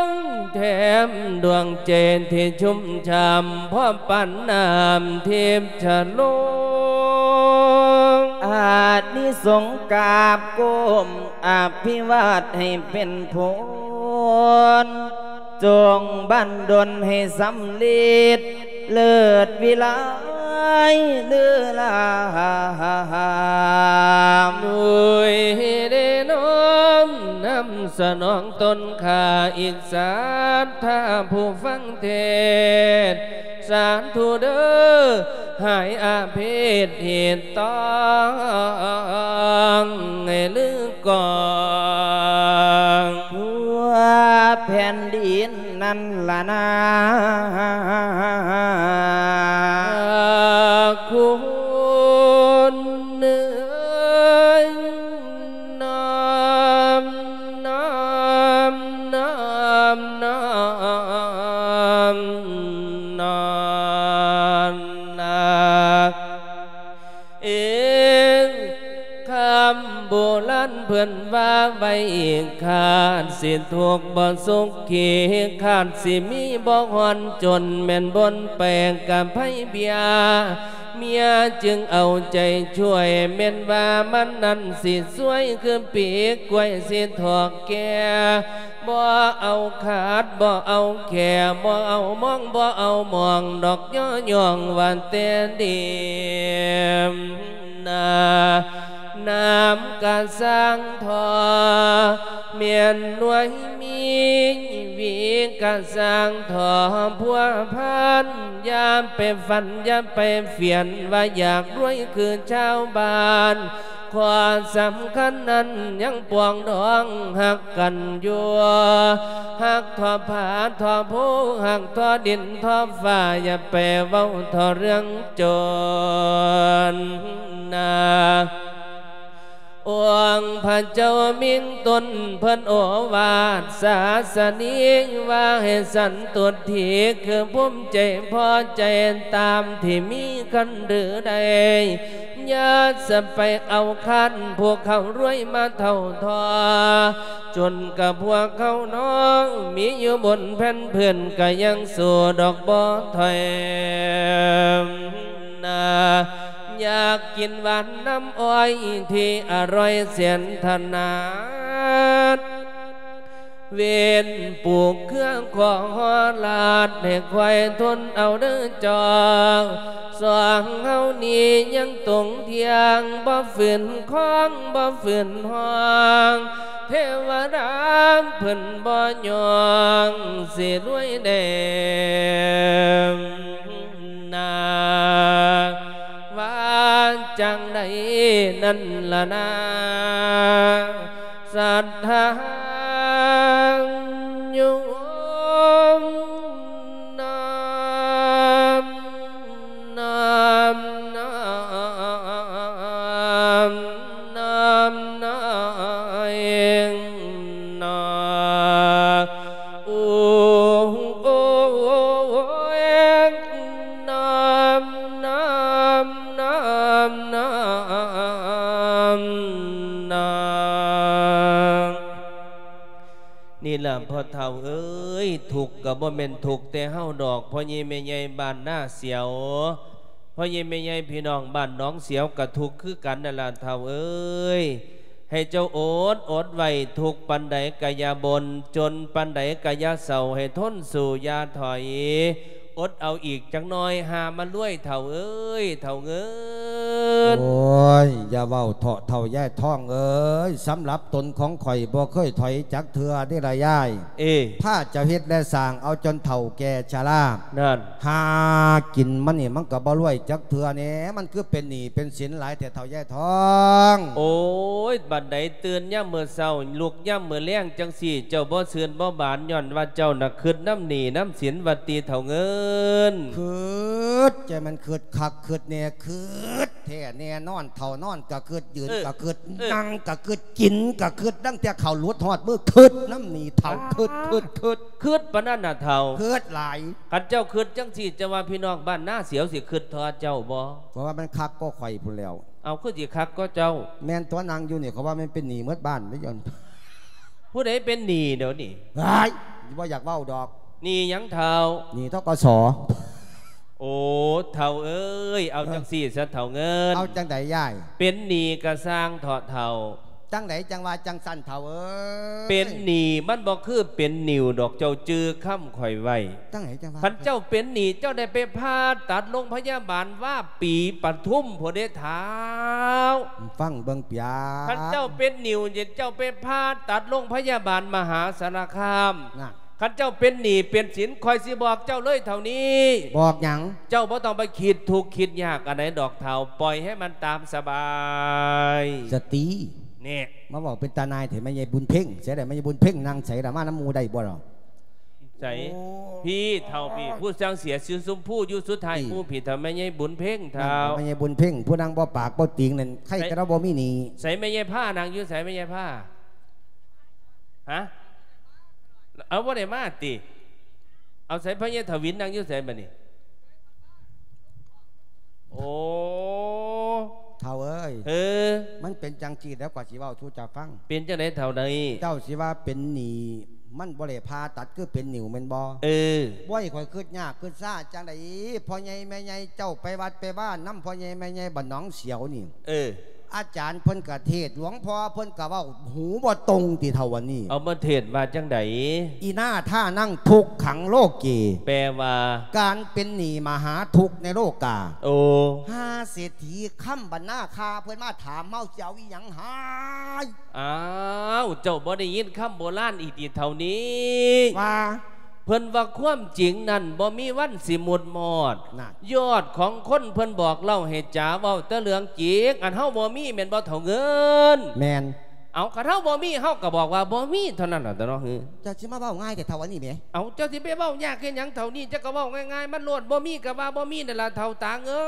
ຍ ແຖມດວງໃຈທີ່ຊຸ່ມຊ່ຳ ພໍປານນ້ຳທິບຊະໂລງ ອານິສົງກາບກົ້ມ ອະພິວາດໃຫ້ເປັນຜົນ ຈົ່ງບັນດົນໃຫ້ສຳເລັດ ເລີດວິໄລເລີລາມ ໂດຍເດນ້ອມນຳສະໜອງຕົນຂ້າ ອີກສັດທາຜູ້ຟັງເທດ ສາທຸເດີ ຫາຍອາເພດເຫດຕ້ອງໃຫ້ລືກອງ ທົ່ວແຜ່ນດິນນັ້ນລະນາ ຄຸນເອີຍ ນ້ອມ ນ້ອມ ນ້ອມ ນ້ອມ ນ້ອມ ນາ ເອ ຄຳໂບລານເພິ່ນວ່າໄວ້ ຄາດຊິທຸກບໍ່ສຸກຂີ ຄາດຊິມີບໍ່ຮ້ອນຈົນ ແມ່ນບົນແປກກັບໄພເບຍ ເມຍຈຶ່ງເອົາໃຈຊ່ວຍ ແມ່ນວ່າມັນນັ້ນຊິຊ່ວຍ ຄືປີກກ້ວຍຊິຖອກແກ່ ບໍ່ເອົາຂາດ ບໍ່ເອົາແຂ ບໍ່ເອົາມອງ ບໍ່ເອົາມອງດອກ ຍໍຍ້ອງວ່າແຕ່ດີມນາ ນ້ຳກະສ້າງທໍ່ ແມ່ນໜ່ວຍມີຫວີກະສ້າງທໍ່ພົວພັນ ຢ່າໄປຝັນ ຢ່າໄປຝຽນ ວ່າຢາກລວຍຄືຊາວບ້ານ ຂໍ້ສຳຄັນນັ້ນຍັງປອງດອງຮັກກັນຢູ່ ຮັກທົ່ວຟ້າທົ່ວພູ ຮັກທົ່ວດິນທົ່ວຟ້າ ຢ່າໄປເວົ້າທົ່ວເລື່ອງຈົນນາ. ອົງພະເຈົ້າມິງຕົນເພິ່ນໂອວາດສາສະໜີ ວ່າໃຫ້ສັນຕຸດຖີ ຄືພູມໃຈພໍໃຈຕາມທີ່ມີຄັນຫຼືໄດ້ ຢ່າສະໄປເອົາຄັນ ພວກເຂົາລວຍມາເທົ່າທໍ່ ຈົນກະພວກເຮົານ້ອງ ມີຢູ່ບົນແຜ່ນພື້ນກະຍັງສູ້ດອກບໍ່ຖອຍນາ. ຢາກກິນຫວານນ້ຳອ້ອຍທີ່ອະຮ່ອຍແສນຖະໜາດ ເວນປູກເຄືອຂໍຮອດລາດ ໃຫ້ຄວາຍທົນເອົາເດີຈອງ ສອງເຮົານີ້ຍັງຕົງທ່ຽງ ບໍ່ຝືນຄອງ ບໍ່ຝືນຫ້ອງ ເທວະດາເພິ່ນບໍ່ຍອງ ຊິລວຍແດ່ນາ ວ່າຈັ່ງໃດນັ້ນລະນາ. ສັດທາໂຍມ ນ້ອມ ນ້ອມ ນ້ອມ ນ້ອມ ນ້ອມ ນ້ອມ ໂອ ໂອ ໂອ ນ້ອມ ນ້ອມ ນ້ອມ ນ້ອມ ນ້ອມ ນ້ອມ. ນີ້ລະພໍ່ເຖົ້າເອີຍ ທຸກກະບໍ່ແມ່ນທຸກແຕ່ເຮົາດອກ ພໍ່ໃຫຍ່ແມ່ໃຫຍ່ບ້ານນາສຽວ ພໍ່ໃຫຍ່ແມ່ໃຫຍ່ພີ່ນ້ອງບ້ານໜອງສຽວກະທຸກຄືກັນນັ້ນລະເຖົ້າເອີຍ ໃຫ້ເຈົ້າອົດ ອົດໄວ້ ທຸກປານໃດກະຢ່າບົ່ນ ຈົນປານໃດກະຢ່າເສົ້າ ໃຫ້ທົນສູ້ຢ່າຖອຍ ອົດເອົາອີກຈັກໜ້ອຍ ຫາມາລວຍເຖົ້າເອີຍ ເຖົ້າເງິນ. ໂອ້ຍ ຢ່າເວົ້າເຖາະເຖົ້າຍາຍທອງເອີຍ ສຳລັບຕົນຂອງຂ້ອຍບໍ່ເຄີຍຖອຍຈັກເທື່ອເດ້ລະຍາຍ ເອີ ພາເຈົ້າເຮັດແລະສ້າງເອົາຈົນເຖົ້າແກ່ຊະລາ ນັ້ນ ຫາກິນມານີ້ມັນກະບໍ່ລວຍຈັກເທື່ອແນ່ ມັນຄືເປັນໜີ້ເປັນສິນຫຼາຍແທ້ເຖົ້າຍາຍທອງ. ໂອ້ຍ ບັດໃດຕື່ນຍາມມື້ເຊົ້າ ລຸກຍາມມື້ແລງຈັ່ງຊີ້ ເຈົ້າບໍ່ຊື່ນບໍ່ບານ ຍ້ອນວ່າເຈົ້ານະຄຶດນຳໜີ້ນຳສິນວ່າຕິເຖົ້າເງິນ. ຄຶດ ໃຈມັນຄຶດຄັກຄຶດແນ່ ຄຶດແທ້ແນ່ນອນ ເຖົ້ານອນກະຄຶດ ຢືນ ເອີ ກະຄຶດ ເອີ ນັ່ງກະຄຶດ ກິນກະຄຶດ ຕັ້ງແຕ່ເຂົ້າຫຼຸດຮອດມື້ ຄຶດນຳໜີ້ເຖົ້າ ຄຶດ ຄຶດ ຄຶດ ຄຶດປານນັ້ນນະເຖົ້າ ຄຶດຫຼາຍ. ຄັນເຈົ້າຄຶດຈັ່ງຊີ້ ເຈົ້າວ່າພີ່ນ້ອງບ້ານນາສຽວຊິຄຶດທໍ່ເຈົ້າບໍ່? ເພາະວ່າມັນຄັກກວ່າຂ້ອຍພຸ້ນແລ້ວ. ເອົາ ຄືຊິຄັກກວ່າເຈົ້າ? ແມ່ນຕົວະ ນັ່ງຢູ່ນີ້ ເຂົາວ່າແມ່ນເປັນໜີ້ໝົດບ້ານເດ້ ຢ້ອນ ຜູ້ໃດເປັນໜີ້ດຽວນີ້? ຫາຍ ບໍ່ຢາກເວົ້າດອກ. ໜີ້ຫຍັງເຖົ້າ? ໜີ້ ທກສ. ໂອ້ ເຖົ້າເອີຍ ເອົາ ເອີ ຈັ່ງຊີ້ຊະເຖົ້າເງິນ. ເອົາຈັ່ງໃດຍາຍ? ເປັນໜີ້ກະຊ່າງເຖາະເຖົ້າ. ຈັ່ງໃດຈັ່ງວ່າຈັ່ງຊັ້ນເຖົ້າເອີຍ? ເປັນໜີ້ມັນບໍ່ຄືເປັນໜິ້ວດອກ ເຈົ້າຈື່ຄຳຂ້ອຍໄວ້. ຈັ່ງໃດຈັ່ງວ່າ? ຄັນເຈົ້າເປັນໜີ້ ເຈົ້າໄດ້ໄປຜ່າຕັດໂລງພະຍາບານວາປີປະທຸມພຸ້ນເດ້ທ້າວ. ຟັງເບິ່ງປຽກ ຄັນເຈົ້າເປັນໜິ້ວ ເຈົ້າໄປຜ່າຕັດໂລງພະຍາບານມະຫາສາລະຄາມ. ນະ ຄັນເຈົ້າເປັນໜີ້ເປັນສິນ ຂ້ອຍຊິບອກເຈົ້າເລີຍເທົ່ານີ້. ບອກຫຍັງ? ເຈົ້າບໍ່ຕ້ອງໄປຄິດທຸກຄິດຍາກອັນໃດດອກເຖົ້າ ປ່ອຍໃຫ້ມັນຕາມສະບາຍ. ສະຕີ ແນ່ ມາເວົ້າເປັນຕານາຍແທ້ ແມ່ໃຫຍ່ບຸນເພັງ. ໃສລະແມ່ໃຫຍ່ບຸນເພັງ? ນັ່ງໃສລະ? ມານຳໝູ່ໄດ້ບໍ່ລະ? ໃສ? ໂອ້ ພີ້ເຖົ້າ ພີ້ ຜູ້ຊ່າງເສຍສີຊົມພູຢູ່ສຸດທ້າຍ ພີ້ ໝູ່ພີ້ເຖົ້າ ແມ່ໃຫຍ່ບຸນເພັງເຖົ້າ. ແມ່ໃຫຍ່ບຸນເພັງ ຜູ້ນັ່ງບໍ່ປາກບໍ່ຕີງນັ້ນ ໃຄແຕ່ລາວບໍ່ມີໜີ້. ໃສແມ່ໃຫຍ່ພາ? ນັ່ງຢູ່ໃສແມ່ໃຫຍ່ພາ? ຮະ? ເອົາ ບໍ່ໄດ້ມາຕິ? ເອົາ ໃສພໍ່ໃຫຍ່ທະວິນນັ່ງຢູ່ໃສບັດນີ້? ໂອ້ ເຖົ້າເອີຍ ເອີ ມັນເປັນຈັ່ງຊີ້ແລ້ວ ຂ້ອຍຊິເວົ້າສູ່ເຈົ້າຟັງ. ເປັນຈັ່ງໃດເຖົ້າໃດ? ເຈົ້າຊິວ່າເປັນໜີ້ ມັນບໍ່ໄດ້ຜ່າຕັດ ຄືເປັນໜິ້ວແມ່ນບໍ່? ເອີ ບໍ່ໃຫ້ຂ້ອຍຄຶດຍາກຄຶດຊ້າຈັ່ງໃດ? ພໍ່ໃຫຍ່ແມ່ໃຫຍ່ ເຈົ້າໄປວັດໄປວານຳພໍ່ໃຫຍ່ແມ່ໃຫຍ່ບ້ານໜອງສຽວນີ້ ເອີ ອາຈານເພິ່ນກະເທດ ຫຼວງພໍ່ເພິ່ນກະເວົ້າ ຫູບໍ່ຕົງຕິເຖົ້າອັນນີ້. ເອົາມາເທດວ່າຈັ່ງໃດ? ອີນາທານັງທຸກຂັງໂລເກ ແປວ່າ ການເປັນໜີ້ມະຫາທຸກໃນໂລກາ. ໂອ້ ຫາເສດຖີຄຳບັນນາ ຂ້າເພິ່ນມາຖາມເຮົາ ຊິເອົາອີ່ຫຍັງໃຫ້? ອ້າວ ເຈົ້າບໍ່ໄດ້ຍິນຄຳໂບລານອີກຕິເຖົ້ານີ້? ວ່າ ເພິ່ນວ່າຄວາມຈິງນັ້ນບໍ່ມີວັນຊິໝຸດມອດ. ນັ້ນ ຍອດຂອງຄົນເພິ່ນບອກເລົ່າໃຫ້ຈາເວົ້າແຕ່ເລື່ອງຈິງ, ອັນເຮົາບໍ່ມີແມ່ນບໍ່ເຖົ້າເງິນ? ແມ່ນ. ເອົາ ຄັນເຮົາບໍ່ມີ ເຮົາກໍບອກວ່າບໍ່ມີເທົ່ານັ້ນລະຕົວະເນາະ. ເຈົ້າຊິມາເວົ້າງ່າຍແຕ່ເຖົ້າອັນນີ້ແໝ. ເອົາ ເຈົ້າຊິໄປເວົ້າຍາກເຮັດຫຍັງເທົ່ານີ້? ເຈົ້າກໍເວົ້າງ່າຍໆມັນໂລດ, ບໍ່ມີກໍວ່າບໍ່ມີນັ້ນລະເຖົ້າຕາເງິ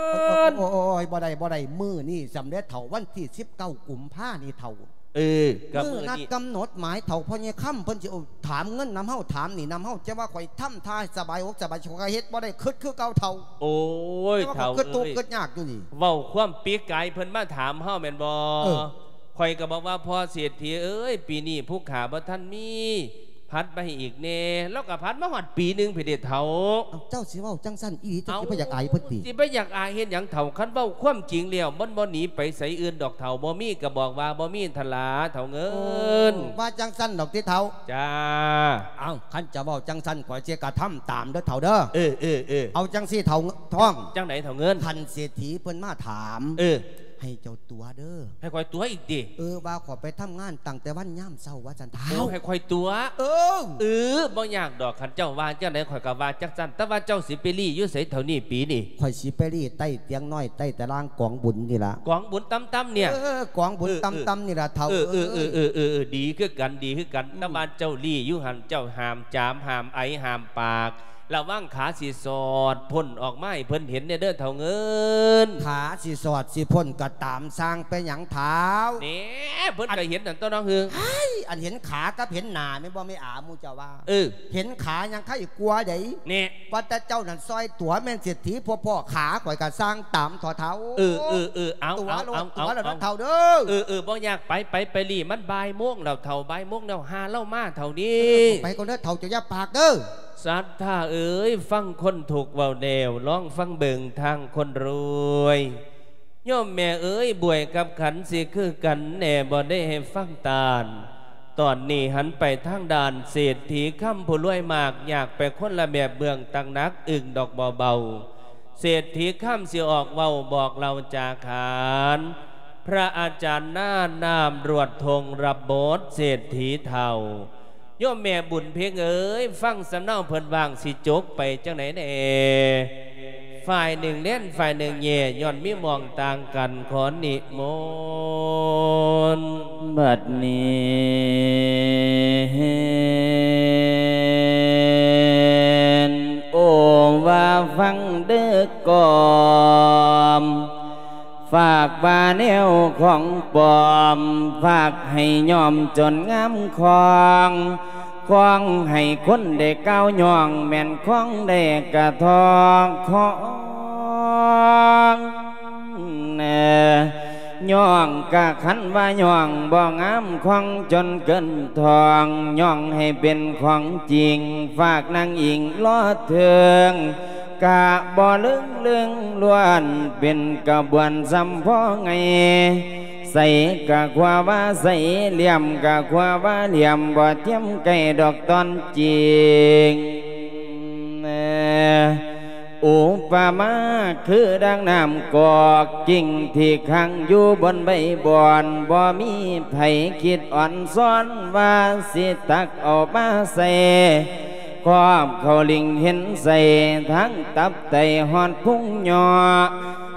ນ. ໂອ້ຍ ບໍ່ໄດ້ ບໍ່ໄດ້ ມື້ນີ້ສ່ຳເດເຖົ້າ, ວັນທີສິບເກົ້າກຸມພານີ້ເຖົ້າ. ເອີ ກໍມື້ນັ້ນ ມື້ນັດກຳນົດໝາຍເຖົ້າ, ພໍ່ໃຫຍ່ຄຳເພິ່ນຊິເອົາ ຖາມເງິນນຳເຮົາ ຖາມໜີ້ນຳເຮົາ, ຈະວ່າຂ້ອຍທຳທ່າສະບາຍອົກສະບາຍໃຈ ຂ້ອຍກໍເຮັດບໍ່ໄດ້, ຄຶດຄືເກົ່າເຖົ້າ. ໂອ້ຍ ແຕ່ວ່າຂ້ອຍ ເຖົ້າ ຄຶດທຸກ ເອີຍ ຄຶດຍາກຢູ່ນີ້. ເວົ້າຄວາມປີກາຍເພິ່ນມາຖາມເຮົາແມ່ນບໍ່? ເອີ ຂ້ອຍກໍບອກວ່າ ພໍ່ເສດຖີເອີຍ ປີນີ້ພູຂາບໍ່ທັນມີ ຜັດມາໃຫ້ອີກແດ່. ລາວກໍຜັດມາຮອດປີໜຶ່ງພຸ້ນເດເຖົ້າ. ເອົ້າ ເຈົ້າຊິເວົ້າຈັ່ງຊັ້ນອີ່ຫຼີ ເຈົ້າຊິບໍ່ຢາກອາຍເພິ່ນຕິ? ເອົ້າ ຊິໄປຢາກອາຍເຮັດຫຍັງເຖົ້າ? ຄັນເວົ້າຄວາມຈິງແລ້ວ ມັນບໍ່ໜີໄປໃສອື່ນດອກເຖົ້າ, ບໍ່ມີກໍບອກວ່າບໍ່ມີຫັ້ນລະເຖົ້າເງິນ. ໂອ້ ວ່າຈັ່ງຊັ້ນດອກຕິເຖົ້າ? ຈ້າ. ເອົ້າ ຄັນຈະເວົ້າຈັ່ງຊັ້ນ ຂ້ອຍຊິກະທຳຕາມເດີເຖົ້າເດີ. ເອີ ເອີ ເອີ ເອົາຈັ່ງຊີ້ເຖົ້າທອງ. ຈັ່ງໃດເຖົ້າເງິນ? ທ່ານເສດຖີເພິ່ນມາຖາມ ເອີ ໃຫ້ເຈົ້າຕົວະເດີ. ໃຫ້ຂ້ອຍຕົວະອີກຕິ? ເອີ ວ່າຂ້ອຍໄປທຳງານຕັ້ງແຕ່ວັນຍາມເຊົ້າວ່າຊັ້ນເຖົ້າ. ໂອ້ ໃຫ້ຂ້ອຍຕົວະ? ເອີ ເອີ ບໍ່ຍາກດອກ, ຄັນເຈົ້າວ່າຈັ່ງໃດຂ້ອຍກໍວ່າຈັ່ງຊັ້ນ. ແຕ່ວ່າເຈົ້າຊິໄປລີ້ຢູ່ໃສເທົ່ານີ້ປີນີ້? ຂ້ອຍຊິໄປລີ້ໃຕ້ຕຽງນ້ອຍ ໃຕ້ຕາລາງກອງບຸນນີ້ລະ. ກອງບຸນຕ່ຳໆນີ້? ເອີ ກອງບຸນ ເອີ ຕ່ຳໆນີ້ລະເຖົ້າ. ເອີ ເອີ ເອີ ເອີ ເອີ ເອີ ເອີ ດີຄືກັນ ດີຄືກັນ. ອືມ ແຕ່ວ່າເຈົ້າລີ້ຢູ່ຫັ້ນ ເຈົ້າຫ້າມຈາມ ຫ້າມໄອ ຫ້າມປາກ. ລະວັງຂາຊິສອດພົ້ນອອກມາໃຫ້ເພິ່ນເຫັນແດ່ເດີເຖົ້າເງິນ. ຂາຊິສອດຊິພົ້ນກໍຕາມຊ່າງ ເປັນຫຍັງເຖົ້າ? ແນ່ ເພິ່ນກໍເຫັນນັ້ນຕົວະເນາະ. ຫື ໄອ້ ອັນເຫັນຂາກັບເຫັນໜ້າແມ່ນບໍ່ແມ່ອາ ໝູ່ເຈົ້າວ່າ? ເອີ ເຫັນຂາຍັງໄຄກວ່າໃດ໋. ແນ່ ວ່າແຕ່ເຈົ້ານັ້ນຊ່ອຍຕົວະແມ່ນເສດຖີ ພວກພໍ່ຂາຂ້ອຍກໍຊ່າງຕາມເຖາະເຖົ້າ. ເອີ ເອີ ເອີ ເອົາ ຕົວະໂລດ ເອົາ ຕົວະໂລດເຖົ້າເດີ. ເອີ ເອີ ບໍ່ຍາກ ໄປ ໄປ ໄປລີ້ ມັນບ່າຍໂມງແລ້ວເຖົ້າ ບ່າຍໂມງແລ້ວ ຫາລາວມາເທົ່ານີ້. ເອີ ຂ້ອຍໄປກ່ອນເດີເຖົ້າ ເຈົ້າຢ່າປາກເດີ. ສັດທາເອີຍ ຟັງຄົນທຸກເວົ້າແລ້ວ ລອງຟັງເບິ່ງທາງຄົນລວຍ. ໂຍມແມ່ເອີຍ ບວຍກັບຂັນຊິຄືກັນແດ່ ບໍ່ໄດ້ໃຫ້ຟັງຕານ. ຕອນນີ້ຫັນໄປທາງດ້ານເສດຖີຄຳ ຜູ້ລວຍມາກຍາກໄປຄົນລະແບບ ເບື້ອງຕັກໜັກອຶ້ງດອກບໍ່ເບົາ. ເສດຖີຄຳຊິອອກເວົ້າບອກເລົ່າຈາຂານ ພະອາຈານນານາມ ລວດທົ່ງ ຮັບບົດເສດຖີເຖົ້າ. ໂຍມແມ່ບຸນເພັງເອີຍ ຟັງສຳເນົາເພິ່ນວ່າງຊິຈົບໄປຈັ່ງໃດແດ່? ຝ່າຍໜຶ່ງແລ່ນ ຝ່າຍໜຶ່ງແຍ່ ຍ້ອນມີໝ່ອງຕ່າງກັນ ຂໍນິມົນ. ບັດນີ້ ໂອ້ ວ່າຟັງເດີກອມ ຝາກວ່າແນວຂອງປອມ ຝາກໃຫ້ຍ້ອມຈົນງາມຄອງ ຄອງໃຫ້ຄົນໄດ້ກ່າວຍ້ອງ ແມ່ນຄອງໄດ້ກະທອງ ຍ້ອງກະຄັນວ່າຍ້ອງບໍ່ງາມ ຄອງຈົນເກີນທອງ ຍ້ອງໃຫ້ເປັນຂອງຈິງ ຝາກນາງອີງລໍເທິງ ກະບໍ່ເລິງເລິງລ້ວນ ເປັນກະບວນສ່ຳພໍໄງ ໃສກະຂົວວ່າໃສ ຫຼ່ຽມກະຂົວວ່າຫຼ່ຽມ ບໍ່ທຽມໃກ້ດອກຕອນຈິງ. ອຸປະມາຄືດັ່ງນ້ຳກອກ ກິ່ງທີ່ຄ້າງຢູ່ບົນໃບບອນ ບໍ່ມີໃຜຄິດອ່ອນຊ້ອນວ່າຊິຕັກເອົາມາໃສ່ ຄອບເຂົ້າລິງເຫັນໃສ່ ທັງຕັບໄຕຮອດພຸງຍໍ້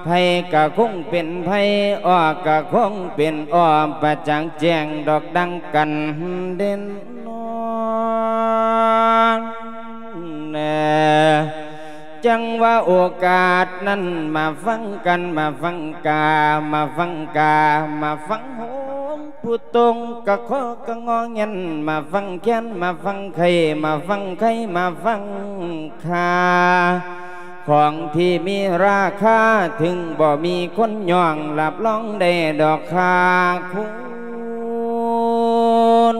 ໃຜກະຄົງເປັນໃຜ ອອກກະຄົງເປັນອອກ ປະຈັກແຈ້ງດອກດັ່ງກັນເດັ່ນນອນແລ. ຈັ່ງວ່າໂອກາດນັ້ນ ມາຟັງກັນ ມາຟັງກາ ມາຟັງກາ ມາຟັງໂຮງ ຜູ້ຕົງກະຂໍກະງໍແງນ ມາຟັງແຄນ ມາຟັງໄຄ ມາຟັງໄຄ ມາຟັງຄ່າ ຂອງທີ່ມີລາຄາ ເຖິງບໍ່ມີຄົນຍ້ອງ ຮັບຮອງໄດ້ດອກຄ່າຄຸນ.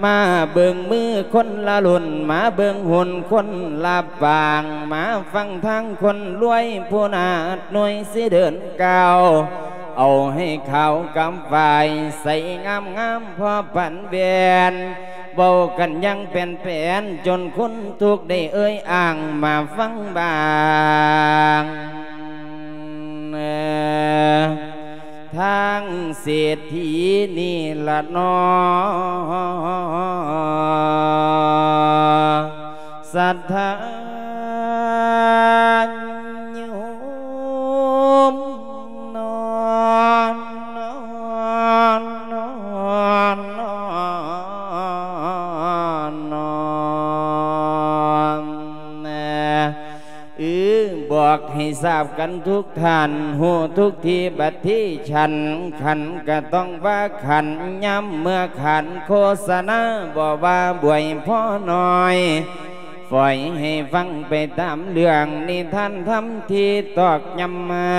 ມາເບິ່ງມືຄົນລະລຸ້ນ ມາເບິ່ງຫຸ່ນຄົນລະປາງ ມາຟັງທາງຄົນລວຍ ຜູ້ໜາດໜ່ວຍຊິເດີນກ້າວ ເອົາໃຫ້ຂາວກຳຝ້າຍ ໃສງາມໆພໍປານແວ່ນ ເວົ້າກັນຢ່າງແປນໆ ຈົນຄົນທຸກໄດ້ເອີ່ຍອ້າງ ມາຟັງບາງ. ທາງເສດຖີນີ້ລະນໍ ສັດທາໂຍມນອນ ເອີ ບອກໃຫ້ຊາບກັນທຸກທ່ານ ຮູ້ທຸກທີ່ບັດທີ່ສັນ ຂັນກະຕ້ອງວ່າຂັນ ຍາມເມື່ອຂານໂຄສະນາ ບໍ່ວ່າບວຍພໍນ້ອຍ ຝອຍໃຫ້ຟັງໄປຕາມເລື່ອງນິທານທຳທີ່ຕອກຢ້ຳມາ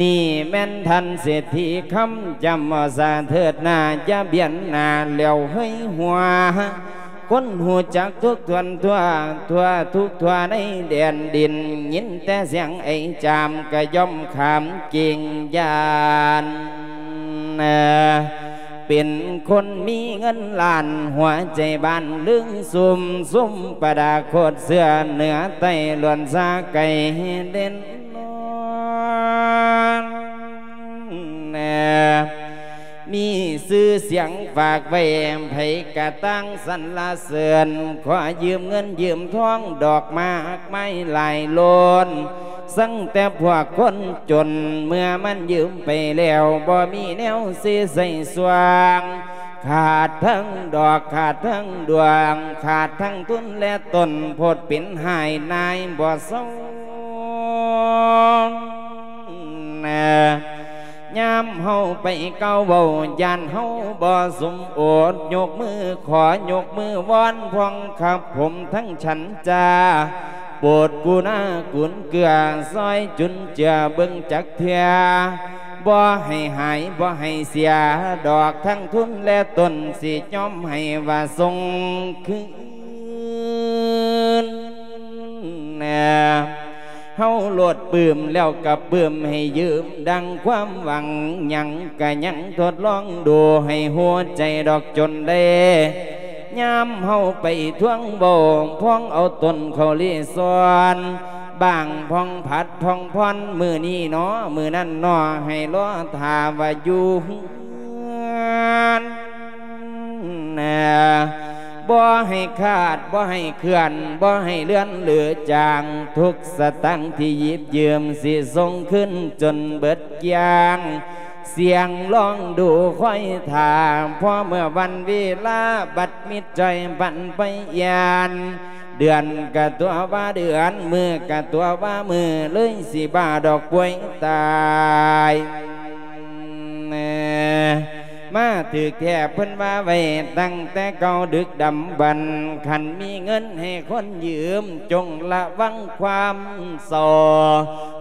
ນີ້ແມ່ນທ່ານເສດຖີຄຳຈຳ ສາເທີດໜ້າ ຢ່າບຽນໜ້າແລ້ວເຮີຍຫົວ ຄົນຮູ້ຈັກທຸກທ່ວນທົ່ວ ທົ່ວທຸກທົ່ວໃນແດນດິນ ຍິນແຕ່ສຽງໄອຈາມກະຍ່ອມຂາມເກງຢ້ານ ເປັນຄົນມີເງິນລ້ານ ຫົວໃຈບານລຶ້ງຊຸ່ມ ຊຸ່ມປະດາໂຄດເສື້ອເໜືອໃຕ້ລ້ວນສາໄກເດັ່ນນອນ ມີຊື່ສຽງຝາກໄວ້ ໃຜກະຕ່າງສັນລະເສີນ ຂໍຢືມເງິນຢືມທອງ ດອກໝາກໄມ້ຫຼາຍໂລນ ສັງແຕ່ພວກຄົນຈົນ ເມື່ອມັນຢືມໄປແລ້ວ ບໍ່ມີແນວຊິໃຊ້ສວາງ ຂາດທັງດອກ ຂາດທັງດວງ ຂາດທັງທຶນແລະຕົ້ນ ໂພດເປັນຫາຍນາຍບໍ່ເຊົາ. ຍາມເຮົາໄປກ່າວເວົ້າ ຢ້ານເຮົາບໍ່ສົມໂອດ ຍົກມືຂໍ ຍົກມືວອນ ພອງຄັບຜົມທັງສັນຈາ ໂປດກະລຸນາກຸນເກືອ ຊ່ອຍຈຸນເຈືອເບິ່ງຈັກເທື່ອ ບໍ່ໃຫ້ຫາຍ ບໍ່ໃຫ້ເສຍ ດອກທັງທຶນແລະຕົ້ນ ຊິຍອມໃຫ້ວ່າສົ່ງຄືນ. ເຮົາໂລດປຶ້ມແລ້ວກະປຶ້ມໃຫ້ຢືມ ດັ່ງຄວາມຫວັງ ຫຍັງກະຍັງທົດລອງດູ ໃຫ້ຫົວໃຈດອກຈົນໄດ້ ຍາມເຮົາໄປທວງເວົ້າ ພອງເອົາຕົ້ນເຂົ້າລີສອນ ບາງພອງຜັດພອງຜ່ອນ ມື້ນີ້ໜໍ ມື້ນັ້ນໜໍ ໃຫ້ລໍຖ້າວ່າຢູ່ເຮືອນ ບໍ່ໃຫ້ຂາດ ບໍ່ໃຫ້ເຄື່ອນ ບໍ່ໃຫ້ເລື່ອນຫຼືຈາງ ທຸກສະຕາງທີ່ຢິບຢືມ ຊິສົ່ງຄືນຈົນເບິດກຽງ ສຽງລອງດູຄອຍຖ້າ ພໍເມື່ອວັນເວລາ ບັດມິດຈ່ອຍບັນໄປຢ້ານ ເດືອນກະຕົວະວ່າເດືອນ ມື້ກະຕົວະວ່າມື້ ເລີຍຊິບ້າດອກປ່ວຍຕາຍ ມາຖືກແທ້ເພິ່ນວ່າໄວ້ຕັ້ງແຕ່ເກົ່າດຶກດຳບັນ ຄັນມີເງິນໃຫ້ຄົນຢືມ ຈົ່ງລະວັງຄວາມສໍ້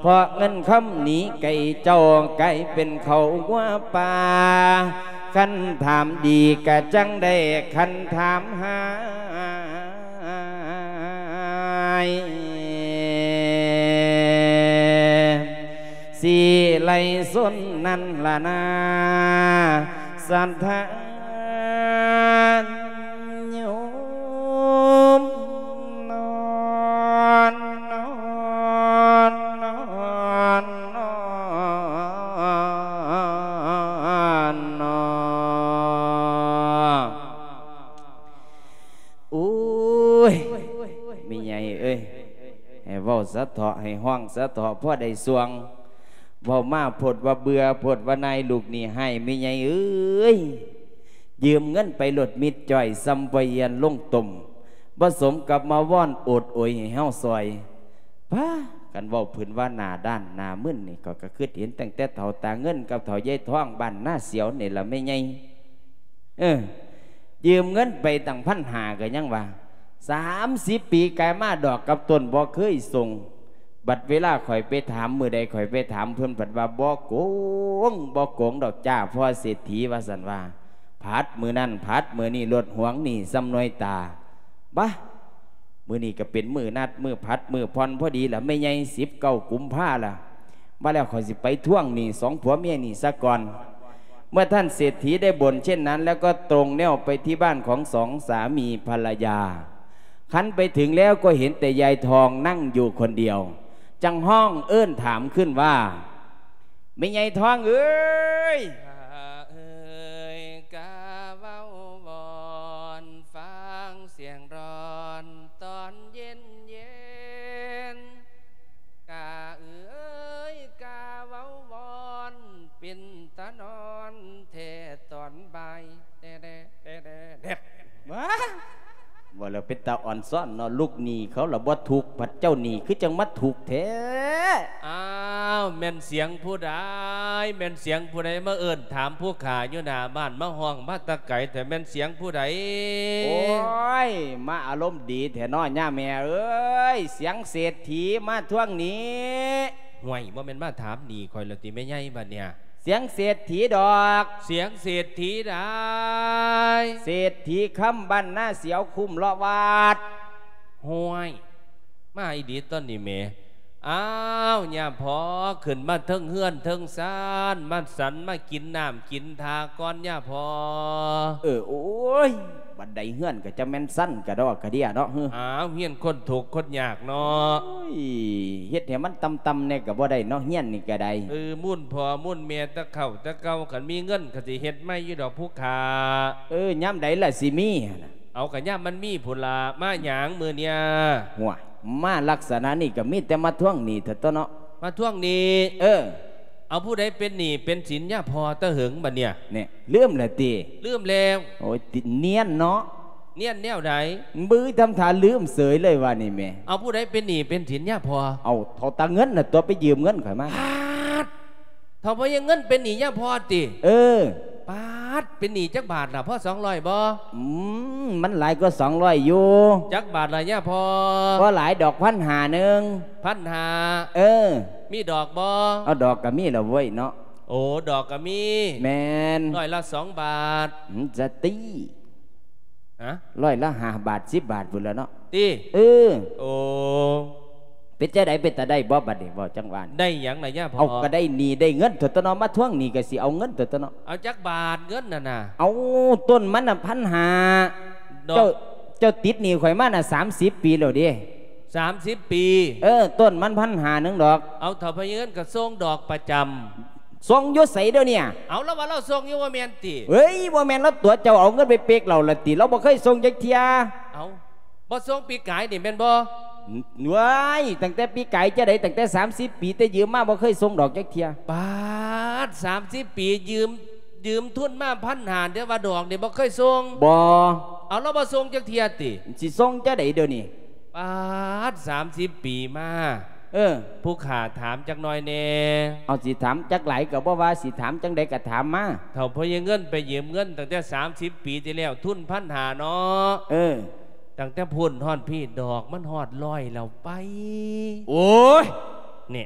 ເພາະເງິນຄຳໜີໄກເຈົ້າ ກາຍເປັນເຂົ້າງົວປ່າ ຄັນຖາມດີກະຈັ່ງໄດ້ ຄັນຖາມຮ້າຍ ຊິໄລ່ຊົນນັ້ນລະນາ ສັດທາໂຍມນອນ ນອນ ນອນ ນອນ ນອນ. ໂອ້ຍ ແມ່ໃຫຍ່ເອີຍ ໃຫ້ເວົ້າສະເທາະ ໃຫ້ຮ້ອງສະເທາະ ພໍໄດ້ສ່ວງ ເວົ້າມາໂພດວ່າເບື່ອ ໂພດວ່ານາຍ ລູກນີ້ຮ້າຍ ແມ່ໃຫຍ່ເອີຍ ຢືມເງິນໄປໂລດມິດຈ້ອຍ ສ່ຳປ່ອຍອຽນລົງຕົ້ມ ບໍ່ສົມກັບມາວອນໂອດໂອຍໃຫ້ເຮົາຊ່ອຍ ພາກັນເວົ້າພື້ນວ່າໜ້າດ້ານໜ້າມຶນນີ້ ຂ້ອຍກະຄຶດເຫັນຕັ້ງແຕ່ເຖົ້າຕາເງິນກັບເຖົ້າຍາຍທອງບ້ານນາສຽວນີ້ລະແມ່ໃຫຍ່ ເອີ ຢືມເງິນໄປຕັ້ງພັນຫ້າກະຍັງວ່າ ສາມສິບປີກາຍມາດອກກັບຕົ້ນບໍ່ເຄີຍສົ່ງ ບັດເວລາຂ້ອຍໄປຖາມ ມື້ໃດຂ້ອຍໄປຖາມເພິ່ນພັດວ່າບໍ່ໂກງ ບໍ່ໂກງດອກຈ້າພໍ່ເສດຖີ ວ່າຊັ້ນວ່າ ຜັດມື້ນັ້ນຜັດມື້ນີ້ ລົດຫວງໜີ້ສ່ຳໜ່ວຍຕາ ບາ ມື້ນີ້ກະເປັນມື້ນັດ ມື້ຜັດ ມື້ຜ່ອນພໍດີລະແມ່ໃຫຍ່ ສິບເກົ້າກຸມພາລະ ມາແລ້ວຂ້ອຍຊິໄປທວງໜີ້ສອງຜົວເມຍນີ້ສາກ່ອນ. ເມື່ອທ່ານເສດຖີໄດ້ບົ່ນເຊັ່ນນັ້ນແລ້ວ ກໍຕົງແນວໄປທີ່ບ້ານຂອງສອງສາມີພັນລະຍາ. ຄັນໄປເຖິງແລ້ວກໍເຫັນແຕ່ຍາຍທອງນັ່ງຢູ່ຄົນດຽວ, ຈັ່ງຮ້ອງເອີ້ນຖາມຂຶ້ນວ່າ, ແມ່ໃຫຍ່ທອງເອີຍ ກະເອີຍ ກະເວົ້າວອນ ຟັງສຽງຮ້ອນຕອນເຢັນໆ ກະເອີຍ ກະເວົ້າວອນ ເປັນຕານອນແທ້ຕອນບ່າຍ ແດ່ໆ ແດ່ໆ ແດ່ໆ ວ້າ ວ່າແລ້ວເປັນຕາອ່ອນຊ້ອນເນາະ ລູກໜີ້ເຂົາລະບໍ່ທຸກ ພັດເຈົ້າໜີ້ຄືຈັ່ງມາທຸກແທ້. ອ້າວ ແມ່ນສຽງຜູ້ໃດ ແມ່ນສຽງຜູ້ໃດມາເອີ້ນຖາມຜູ້ຂ້າຢູ່ໜ້າບ້ານ ມາຮ້ອງມາແຕ່ໄກແທ້ ແມ່ນສຽງຜູ້ໃດ? ໂອ້ຍ ມາອາລົມດີແທ້ເນາະ ຍາແມ່ເອີຍ ສຽງເສດຖີມາທວງໜີ້. ຫ້ວຍ ບໍ່ແມ່ນມາຖາມໜີ້ຂ້ອຍແລ້ວຕິແມ່ໃຫຍ່ ບັດເນີ້ຍ? ສຽງເສດຖີດອກ ສຽງເສດຖີໄດ໋ ເສດຖີຄຳບ້ານນາສຽວຄຸ້ມເລາະວັດ. ໂຫຍ ມາອີ່ຫຼີຕອນນີ້ແໝ. ອ້າວ ຍາພໍ່ ຂຶ້ນມາເທິງເຮືອນເທິງຊານ ມາສັນມາກິນນ້ຳກິນທ່າກ່ອນ ຍາພໍ່. ເອີ ໂອ້ຍ ບັນໄດເຮືອນກໍຈະແມ່ນຊັນກະດອກກະເດຍເນາະ. ອ້າວ ເຮືອນຄົນທຸກຄົນຍາກເນາະ. ໂອ້ຍ ເຮັດໃຫ້ມັນຕ່ຳໆແດ່ກໍບໍ່ໄດ້ເນາະ ເຮືອນນີ້ກໍໄດ້. ເອີ ມູນພໍ່ມູນແມ່ແຕ່ເກົ່າແຕ່ເກົ່າ ຄັນມີເງິນກໍຊິເຮັດໃໝ່ຢູ່ດອກຜູ້ຂ້າ. ເອີ ຍາມໃດລະຊິມີຫັ້ນນະ? ເອົາ ກະຍາມມັນມີພຸ້ນລະ. ມາຫຍັງມື້ເນີ້ຍ? ໂຫຍ ມາລັກສະນະນີ້ກໍມີແຕ່ມາທວງໜີ້ເທົ່າຕົວເນາະ. ມາທວງໜີ້? ເອີ. ເອົາ ຜູ້ໃດເປັນໜີ້ເປັນສິນຍາພໍ່ແຕ່ເຫິງບັດເນີ້ຍ? ແນ່ ລືມແລ້ວຕິ? ລືມແລ້ວ. ໂອ້ຍ ຕິ ນຽນເນາະ. ນຽນແນວໃດ? ບື ທຳທ່າລືມເສີຍເລີຍວ່ານີ້ແໝ. ເອົາ ຜູ້ໃດເປັນໜີ້ເປັນສິນຍາພໍ່? ເອົາ ເຖົ້າຕາເງິນນະຕົວະ ໄປຢືມເງິນຂ້ອຍມາ. ປາດ ເຖົ້າພໍ່ໃຫຍ່ເງິນເປັນໜີ້ຍາພໍ່ຕິ? ເອີ. ປາດ ເປັນໜີ້ຈັກບາດລະ? ພໍສອງຮ້ອຍບໍ່? ອືມ ມັນຫຼາຍກວ່າສອງຮ້ອຍຢູ່. ຈັກບາດລະຍາພໍ່? ບໍ່ຫຼາຍດອກ ພັນຫ້າໜຶ່ງ. ພັນຫ້າ? ເອີ. ມີດອກບໍ່? ເອົາ ດອກກໍມີລະເວີຍເນາະ. ໂອ້ ດອກກໍມີ. ແມ່ນ. ຮ້ອຍລະສອງບາດ. ຫືມ ຈະຕີ. ຮະ? ຮ້ອຍລະຫ້າບາດ ສິບບາດພຸ້ນລະເນາະ. ຕິ? ເອີ. ໂອ້ ເປັນຈັ່ງໃດ ເປັນຕາໄດ້ບໍ່ບັດນີ້? ເວົ້າຈັ່ງວ່າ ໄດ້ຫຍັງລະຍາພໍ່? ເອົາ ກໍໄດ້ໜີ້ໄດ້ເງິນຕົວະເນາະ ມາທວງໜີ້ກໍຊິເອົາເງິນຕົວະເນາະ. ເອົາຈັກບາດເງິນນັ້ນນະ? ເອົາ ຕົ້ນມັນນະ ພັນຫ້າ. ດອກ ເຈົ້າ ເຈົ້າຕິດໜີ້ຂ້ອຍມານະ ສາມສິບປີແລ້ວເດ້. ສາມສິບປີ? ເອີ ຕົ້ນມັນ ພັນຫ້າໜຶ່ງດອກ. ເອົາ ເຖົ້າພະຍາເງິນກໍສົ່ງດອກປະຈຳ. ສົ່ງຢູ່ໃສດຽວນີ້? ເອົາ ລາວວ່າລາວສົ່ງຢູ່ ບໍ່ແມ່ນຕິ? ເອີຍ ບໍ່ແມ່ນ ລາວຕົວະເຈົ້າເອົາເງິນໄປເປັກເຫຼົ້າລະຕິ? ລາວບໍ່ເຄີຍສົ່ງຈັກເທື່ອ. ເອົາ ບໍ່ສົ່ງປີກາຍນີ້ແມ່ນບໍ່? ເວີຍ ຕັ້ງແຕ່ປີກາຍຈັ່ງໃດ? ຕັ້ງແຕ່ສາມສິບປີ ແຕ່ຢືມມາບໍ່ເຄີຍສົ່ງດອກຈັກເທື່ອ. ປາດ ສາມສິບປີ ຢືມ ຢືມທຶນມາພັນຫ້າ ແຕ່ວ່າດອກນີ້ບໍ່ເຄີຍສົ່ງ? ບໍ່. ເອົາ ລາວບໍ່ສົ່ງຈັກເທື່ອຕິ? ຊິສົ່ງຈັ່ງໃດດຽວນີ້? ປາດ ສາມສິບປີມາ. ເອີ. ຜູ້ຂ້າຖາມຈັກໜ້ອຍແດ່. ເອົາ ຊິຖາມຈັກຫຼາຍກໍບໍ່ວ່າ ຊິຖາມຈັ່ງໃດກໍຖາມມາ. ເຖົ້າພະຍາເງິນໄປຢືມເງິນຕັ້ງແຕ່ສາມສິບປີທີ່ແລ້ວ ທຶນພັນຫ້າເນາະ. ເອີ. ຕັ້ງແຕ່ພຸ້ນຮອດພີ້ ດອກມັນຮອດຮ້ອຍແລ້ວໄປ. ໂອ້ຍ ນີ້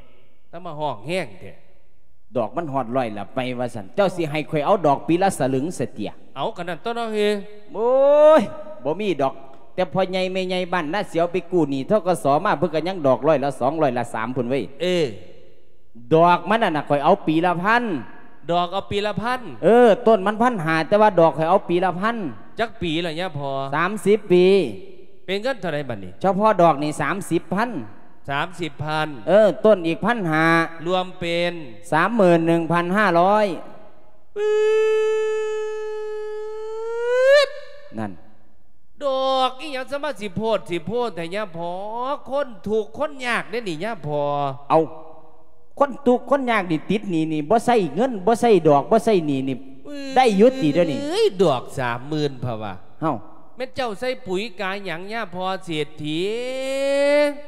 ຕ້ອງມາຮ້ອງແຮງແທ້. ດອກມັນຮອດຮ້ອຍລະໄປວ່າຊັ້ນ ເຈົ້າຊິໃຫ້ຂ້ອຍເອົາດອກປີລະສະລຶງຊະເຕຍ? ເອົາ ກະນັ້ນຕົວະເນາະເຮີ. ໂອ້ຍ ບໍ່ມີດອກ ແຕ່ພໍ່ໃຫຍ່ແມ່ໃຫຍ່ບ້ານນາສຽວໄປກູ້ໜີ້ ທກສ ມາ ເພິ່ນກະຍັງດອກຮ້ອຍລະສອງ ຮ້ອຍລະສາມພຸ້ນເວີຍ. ເອີ ດອກມັນນັ້ນນະ ຂ້ອຍເອົາປີລະພັນ. ດອກເອົາປີລະພັນ? ເອີ ຕົ້ນມັນພັນຫ້າ ແຕ່ວ່າດອກຂ້ອຍເອົາປີລະພັນ. ຈັກປີລະຍາພໍ່? ສາມສິບປີ. ເປັນເງິນເທົ່າໃດບັດນີ້? ສະເພາະດອກນີ້ສາມສິບພັນ. ສາມສິບພັນ. ເອີ ຕົ້ນອີກພັນຫ້າ ລວມເປັນ ສາມໝື່ນໜຶ່ງພັນຫ້າຮ້ອຍ. ປຶດ ນັ້ນ ດອກອີ່ຫຍັງສະມາຊິໂພດຊິໂພນແທ້ຍາພໍ່? ຄົນທຸກຄົນຍາກເດ້ນີ້ຍາພໍ່. ເອົາ ຄົນທຸກຄົນຍາກນີ້ ຕິດໜີ້ນີ້ ບໍ່ໃຊ້ເງິນ ບໍ່ໃຊ້ດອກ ບໍ່ໃຊ້ໜີ້ນີ້ ໄດ້ຢູ່ຕິດຽວນີ້? ເອີຍ ດອກສາມໝື່ນພະວ່າ. ເອົ້າ ແມ່ນເຈົ້າໃສ່ປຸ໋ຍກາຫຍັງຍາພໍ່ເສດຖີ?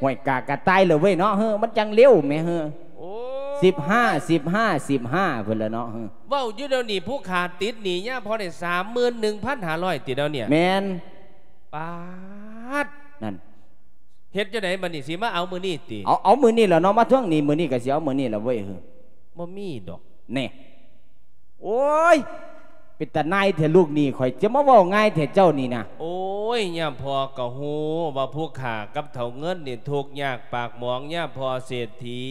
ຫ້ວຍ ກາກະຕ່າຍແລ້ວເວີຍເນາະ ເຮີ ມັນຈັ່ງເລັວແໝ ເຮີ. ໂອ້ຍ ສິບຫ້າ ສິບຫ້າ ສິບຫ້າ ພຸ້ນລະເນາະ ເຮີ. ເວົ້າຢູ່ດຽວນີ້ ຜູ້ຂ້າຕິດໜີ້ຍາພໍ່ໄດ້ສາມໝື່ນໜຶ່ງພັນຫ້າຮ້ອຍຕິດຽວນີ້? ແມ່ນ. ປາດ ນັ້ນ ເຮັດຈັ່ງໃດບັດນີ້ ຊິມາເອົາມື້ນີ້ຕິ? ເອົາ ເອົາມື້ນີ້ລະເນາະ ມາທວງໜີ້ມື້ນີ້ກະຊິເອົາມື້ນີ້ລະເວີຍ ເຮີ. ບໍ່ມີດອກ ແນ່. ໂອ້ຍ ເປັນຕານາຍແທ້ລູກໜີ້ຂ້ອຍ ຈະມາເວົ້າງ່າຍແທ້ເຈົ້ານີ້ນະ. ໂອ້ຍ ຍາພໍ່ກະຮູ້ວ່າຜູ້ຂ້າກັບເຖົ້າເງິນນີ້ທຸກຍາກປາກໝອງ ຍາພໍ່ເສດຖີ.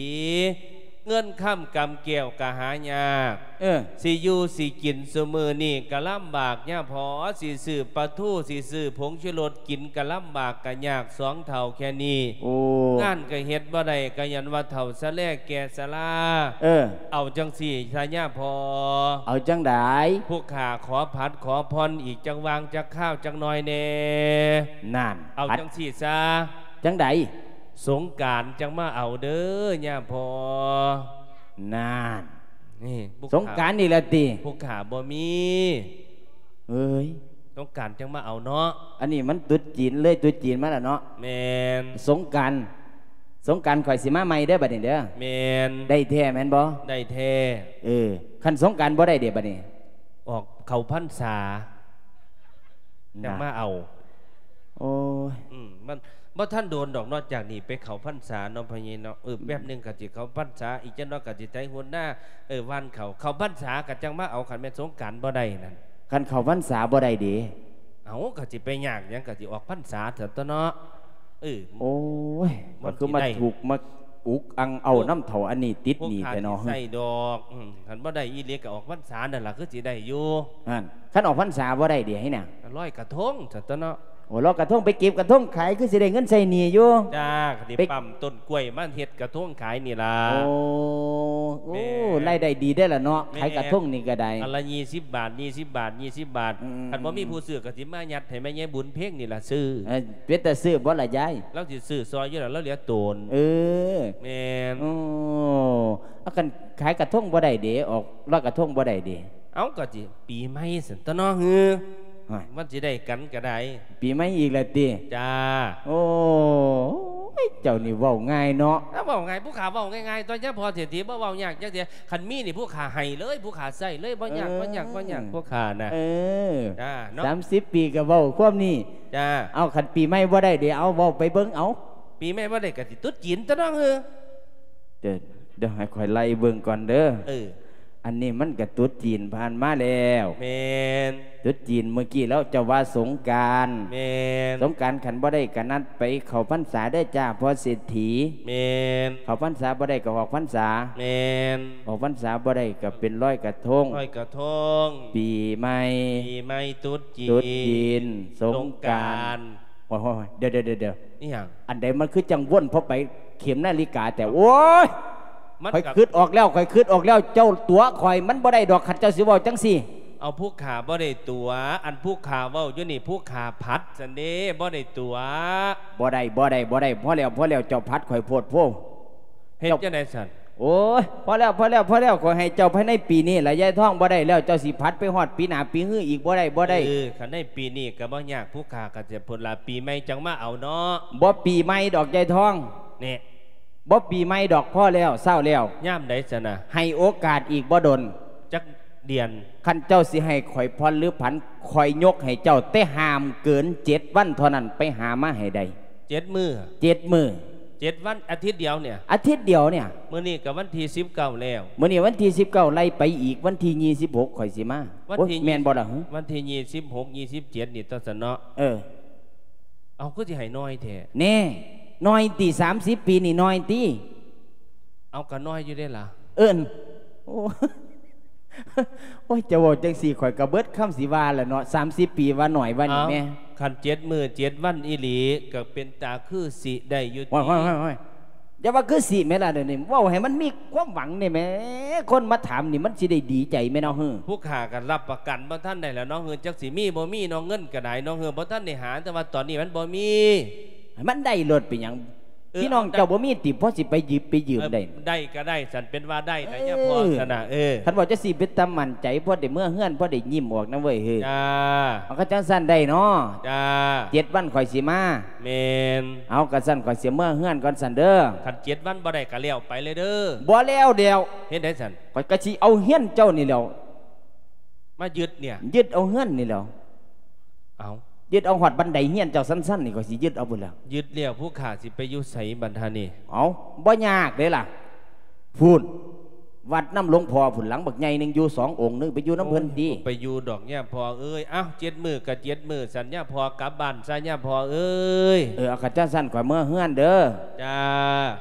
ເງິນຄຳກຳແກ້ວກໍຫາຍາກ ເອີ ຊິຢູ່ຊິກິນຊຸມື້ນີ້ກໍລຳບາກຍາພໍ ຊິຊື້ປາທູ ຊິຊື້ຜົງຊູລົດກິນກໍລຳບາກກໍຍາກ ສອງເຖົ້າແຄ່ນີ້ ໂອ້ ງານກໍເຮັດບໍ່ໄດ້ ກໍຍ້ອນວ່າເຖົ້າຊະແລແກ່ຊະລາ ເອີ ເອົາຈັ່ງຊີ້ຊະຍາພໍ ເອົາຈັ່ງໃດ ຜູ້ຂ້າຂໍຜັດຂໍຜ່ອນອີກຈັກຫວ່າງຈັກຄາວຈັກໜ່ອຍແດ່ ນັ້ນ ເອົາ ຜັດ ຈັ່ງຊີ້ຊະ ຈັ່ງໃດ ສົງການຈັ່ງມາເອົາເດີຍາພໍ ນັ້ນ ນີ້ ສົງການນີ້ລະຕິ ຜູ້ຂ້າບໍ່ມີ ເອີຍ ສົງການຈັ່ງມາເອົາເນາະ ອັນນີ້ມັນຕຸດຈີນເລີຍ ຕຸດຈີນມາລະເນາະ ແມ່ນ ສົງການ ສົງການຂ້ອຍຊິມາໃໝ່ເດີບັດນີ້ເດີ ແມ່ນ ໄດ້ແທ້ແມ່ນບໍ່ ໄດ້ແທ້ ເອີ ຄັນສົງການບໍ່ໄດ້ເດບັດນີ້ ອອກເຂົ້າພັນສາ ຈັ່ງມາເອົາ ໂອ້ຍ ອືມ ມັນບໍ່ທັນໂດນດອກເນາະ ຈາກນີ້ໄປເຂົ້າພັນສາເນາະ ພໍ່ໃຫຍ່ເນາະ ເອີ ອືມ ແປັບໜຶ່ງກໍຊິເຂົ້າພັນສາ ອີກຈັກໜ້ອຍກໍຊິໄຖຫົວນາ ເອີ ຫວ່ານເຂົ້າ ເຂົ້າພັນສາກໍຈັ່ງມາເອົາ ຄັນແມ່ນສົງການບໍ່ໄດ້ນັ້ນ ຄັນເຂົ້າພັນສາບໍ່ໄດ້ເດ ເອົາ ກໍຊິໄປຍາກຫຍັງ ກໍຊິອອກພັນສາຊັ້ນຕົວເນາະ ເອີ ໂອ້ຍ ມັນຄືມາທຸກມາອຸກອັ່ງເອົານຳເຖົ້າອັນນີ້ຕິດໜີ້ແທ້ເນາະ ໃຊ້ດອກ ອືມ ຄັນບໍ່ໄດ້ອີ່ຫຼີກໍອອກພັນສານັ້ນລະ ຄືຊິໄດ້ຢູ່ ຫັ້ນ ຄັນອອກພັນສາບໍ່ໄດ້ເດໃຫ້ນະ ລອຍກະທົງຊັ້ນຕົວເນາະ ໂອ້ ລອຍກະທົງ ໄປເກັບກະທົງຂາຍ ຄືຊິໄດ້ເງິນໃຊ້ໜີ້ຢູ່ ຈ້າ ກໍຊິໄປປ້ຳຕົ້ນກ້ວຍມາເຮັດກະທົງຂາຍນີ້ລະ ໂອ້ ໂອ້ ແມ່ນ ລາຍໄດ້ດີເດ້ລະເນາະ ແມ່ນ ຂາຍກະທົງນີ້ກໍໄດ້ ອັນລະຍີ່ສິບບາດ ຍີ່ສິບບາດ ຍີ່ສິບບາດ ອືມ ຄັນບໍ່ມີຜູ້ຊື້ກໍຊິມາຍັດໃຫ້ແມ່ໃຫຍ່ບຸນເພັງນີ້ລະຊື້ ເອີ ເປັນຕາຊື້ບໍ່ລະຍາຍ ລາວຊິຊື້ຊ່ອຍຢູ່ລະ ລາວເຫຼືອໂຕນ ເອີ ແມ່ນ ໂອ້ ເອົາ ຄັນຂາຍກະທົງບໍ່ໄດ້ເດ ອອກລອຍກະທົງບໍ່ໄດ້ເດ ເອົາ ກໍຊິປີໃໝ່ຊັ້ນຕົວເນາະ ເອີ ໂອ້ຍ ມັນຊິໄດ້ກັນກໍໄດ້ ປີໃໝ່ອີກແລ້ວຕິ ຈ້າ ໂອ້ຍ ເຈົ້ານີ້ເວົ້າງ່າຍເນາະ ເວົ້າງ່າຍ ຜູ້ຂ້າເວົ້າງ່າຍໆ ຕົວະຍາພໍ່ເສດຖີ ບໍ່ເວົ້າຍາກຈັກເທື່ອ ຄັນມີນີ້ຜູ້ຂ້າໃຫ້ເລີຍ ຜູ້ຂ້າໃຊ້ເລີຍ ບໍ່ຍາກ ເອີ ບໍ່ຍາກ ບໍ່ຍາກ ຜູ້ຂ້ານະ ເອີ ຈ້າ ເນາະ ສາມສິບປີກໍເວົ້າຄວາມນີ້ ຈ້າ ເອົາ ຄັນປີໃໝ່ບໍ່ໄດ້ເດ ເອົາ ເວົ້າໄປເບິ່ງ ເອົາ ປີໃໝ່ບໍ່ໄດ້ກໍຊິຕຸດຈີນຕົວະເນາະ ເອີ ດ- ດຽວໃຫ້ຂ້ອຍໄລ່ເບິ່ງກ່ອນເດີ ເອີ ອັນນີ້ມັນກະຕຸດຈີນຜ່ານມາແລ້ວ ແມ່ນ ຕຸດຈີນມື້ກີ້ແລ້ວ ເຈົ້າວ່າສົງການ ແມ່ນ ສົງການຄັນບໍ່ໄດ້ກະນັດໄປເຂົ້າພັນສາເດີຈ້າພໍ່ເສດຖີ ແມ່ນ ເຂົ້າພັນສາບໍ່ໄດ້ກະອອກພັນສາ ແມ່ນ ອອກພັນສາບໍ່ໄດ້ກະເປັນລອຍກະທົງ ລອຍກະທົງ ປີໃໝ່ ປີໃໝ່ ຕຸດຈີນ ຕຸດຈີນ ສົງການ ສົງການ ໂອ້ຍ ໂອ້ຍ ໂອ້ຍ ດຽວ ດຽວ ດຽວ ດຽວ ອີຫຍັງ ອັນໃດມັນຄືຈັ່ງວົນພໍໄປເຂັມນາລິກາແທ້ ໂອ້ຍ ມັນ ຂ້ອຍຄຶດອອກແລ້ວ ຂ້ອຍຄຶດອອກແລ້ວ ເຈົ້າຕົວະຂ້ອຍ ມັນບໍ່ໄດ້ດອກ ຄັນເຈົ້າຊິເວົ້າຈັ່ງຊີ້ ເອົາ ຜູ້ຂ້າບໍ່ໄດ້ຕົວະ ອັນຜູ້ຂ້າເວົ້າຢູ່ນີ້ ຜູ້ຂ້າຜັດຊັ້ນເດ້ ບໍ່ໄດ້ຕົວະ ບໍ່ໄດ້ ບໍ່ໄດ້ ບໍ່ໄດ້ ພໍແລ້ວ ພໍແລ້ວ ເຈົ້າຜັດຂ້ອຍໂພດໂພ ເຮັດຈັ່ງໃດຊັ້ນ ໂອ້ຍ ພໍແລ້ວ ພໍແລ້ວ ພໍແລ້ວ ຂ້ອຍໃຫ້ເຈົ້າພາຍໃນປີນີ້ລະ ຍາຍທອງ ບໍ່ໄດ້ແລ້ວ ເຈົ້າຊິຜັດໄປຮອດປີໜ້າປີຮືອີກ ບໍ່ໄດ້ ບໍ່ໄດ້ ເອີ ຄັນໃນປີນີ້ກໍບໍ່ຍາກ ຜູ້ຂ້າກໍຊິພຸ້ນລະ ປີໃໝ່ຈັ່ງມາເອົາເນາະ ບໍ່ປີໃໝ່ດອກ ຍາຍທອງ ນີ້ ບໍ່ປີໃໝ່ດອກ ພໍແລ້ວ ເຊົາແລ້ວ ຍາມໃດຊັ້ນນະ ໃຫ້ໂອກາດອີກບໍ່ດົນ ຈັກເດືອນ ຄັນເຈົ້າຊິໃຫ້ຂ້ອຍຜ່ອນຫຼືຜັນ ຂ້ອຍຍົກໃຫ້ເຈົ້າ ແຕ່ຫ້າມເກີນເຈັດວັນເທົ່ານັ້ນ ໄປຫາມາໃຫ້ໄດ້ ເຈັດມື້ ເຈັດມື້ ເຈັດວັນ ອາທິດດຽວນີ້ ອາທິດດຽວນີ້ ມື້ນີ້ກໍວັນທີສິບເກົ້າແລ້ວ ມື້ນີ້ວັນທີສິບເກົ້າ ໄລ່ໄປອີກ ວັນທີຍີ່ສິບຫົກ ຂ້ອຍຊິມາ ວັນທີ ໂອ້ຍ ແມ່ນບໍ່ລະ ວັນທີຍີ່ສິບຫົກ ຍີ່ສິບເຈັດນີ້ຕົວະຊັ້ນເນາະ ເອີ ເອົາ ຄືຊິໃຫ້ໜ້ອຍແທ້ ແນ່ ໜ້ອຍຕິ ສາມສິບປີນີ້ໜ້ອຍຕິ ເອົາ ກໍໜ້ອຍຢູ່ເດ້ລະ ເອີ້ນ ໂອ້ ໂອ້ຍ ເຈົ້າເວົ້າຈັ່ງຊີ້ ຂ້ອຍກໍເບິດຄຳຊິວ່າລະເນາະ ສາມສິບປີວ່າໜ້ອຍວ່ານີ້ແມ້ ເອົ້າ ຄັນເຈັດມື້ເຈັດວັນອີ່ຫຼີ ກໍເປັນຕາຄືຊິໄດ້ຢູ່ຕິ ໂອ້ຍ ໂອ້ຍ ໂອ້ຍ ຢ່າວ່າຄືຊິແມ້ລະ ດຽວນີ້ເວົ້າໃຫ້ມັນມີຄວາມຫວັງແດ່ແມ້ ຄົນມາຖາມນີ້ມັນຊິໄດ້ດີໃຈແມ້ເນາະ ເຮີ ຜູ້ຂ້າກໍຮັບປະກັນບໍ່ທັນໄດ້ແລ້ວເນາະ ເຮີ ຈັກຊິມີບໍ່ມີເນາະ ເງິນກໍໄດ້ເນາະ ເຮີ ບໍ່ທັນໄດ້ຫາ ແຕ່ວ່າຕອນນີ້ມັນບໍ່ມີ ໃຫ້ມັນໄດ້ໂລດ ເປັນຫຍັງ ເອີ ພີ່ນ້ອງເຈົ້າບໍ່ມີຕິ ພໍຊິໄປຢືມ ໄປຢືມໄດ້ ເອີ ໄດ້ກໍໄດ້ ສັນເປັນວ່າໄດ້ນະ ເອີ ຍາພໍ່ຊັ້ນນະ ເອີ ຄັນເວົ້າຈັ່ງຊີ້ເປັນຕາໝັ້ນໃຈ ພໍໄດ້ເມືອເຮືອນ ພໍໄດ້ຍິ້ມອອກນຳເວີຍ ເຮີ ຈ້າ ເອົາ ຄັນຈັ່ງຊັ້ນໄດ້ເນາະ ຈ້າ ເຈັດວັນຂ້ອຍຊິມາ ແມ່ນ ເອົາ ຄັນຊັ້ນຂ້ອຍຊິເມືອເຮືອນກ່ອນຊັ້ນເດີ ຄັນເຈັດວັນບໍ່ໄດ້ກໍແລ້ວໄປເລີຍເດີ ບໍ່ແລ້ວແລ້ວ ເຮັດໃດຊັ້ນ ຂ້ອຍກໍຊິເອົາເຮືອນເຈົ້ານີ້ແຫຼ້ວ ມາຍຶດເນຍ ຍຶດເອົາເຮືອນນີ້ແຫຼ້ວ ເອົ້າ ຍຶດເອົາຮອດບັນໄດເຮືອນເຈົ້າຊັ້ນໆນີ້ ຂ້ອຍຊິຍຶດເອົາພຸ້ນແຫຼ້ວ ຍຶດແລ້ວຜູ້ຂ້າຊິໄປຢູ່ໃສບັດຫານີ້ ເອົ້າ ບໍ່ຍາກເດ້ລະ ພຸ້ນ ວັດນຳຫຼວງພໍ່ພຸ້ນ ຫຼັງບັກໃຫຍ່ໜຶ່ງ ຢູ່ສອງອົງ ໜຶ່ງໄປຢູ່ນຳເພິ່ນຕິ. ໂອ້ຍ ບໍ່ໄປຢູ່ດອກຍາພໍ່ເອີຍ. ເອົ້າ ເຈັດມື້ກໍເຈັດມື້ຊັ້ນ ຍາພໍ່ກັບບ້ານຊະ ຍາພໍ່ເອີຍ. ເອີ ເອົາ ຄັນຈັ່ງຊັ້ນຂ້ອຍເມືອເຮືອນເດີ. ຈ້າ.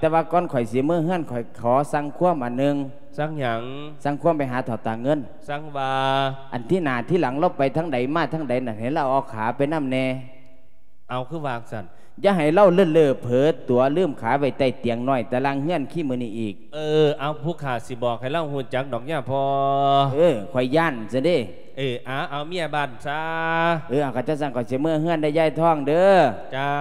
ແຕ່ວ່າກ່ອນຂ້ອຍຊິເມືອເຮືອນ ຂ້ອຍຂໍສັ່ງຄວາມອັນໜຶ່ງ. ສັ່ງຫຍັງ? ສັ່ງຄວາມໄປຫາເຖົ້າຕາເງິນ. ສັ່ງວ່າ? ອັນທີໜ້າທີຫຼັງລາວໄປທາງໃດມາທາງໃດນັ້ນ ໃຫ້ລາວເອົາຂາໄປນຳແດ່. ເອົາ ຄືວ່າຈັ່ງຊັ້ນ? ຢ່າໃຫ້ລາວເລີ້ເລີເຜີຕົວ ລືມຂາໄວ້ໃຕ້ຕຽງນ້ອຍຕາລ່າງເຮືອນຄືມື້ນີ້ອີກ. ເອີ ເອົາ ຜູ້ຂ້າຊິບອກໃຫ້ລາວຮູ້ຈັກດອກຍາພໍ່. ເອີ ຂ້ອຍຢ້ານຊະເດ້. ເອີ ເອົາ ເອົາເມຍບ້ານຊະ. ເອີ ເອົາ ຄັນຈັ່ງຊັ້ນຂ້ອຍຊິເມືອເຮືອນເດີ ຍາຍທອງເດີ. ຈ້າ.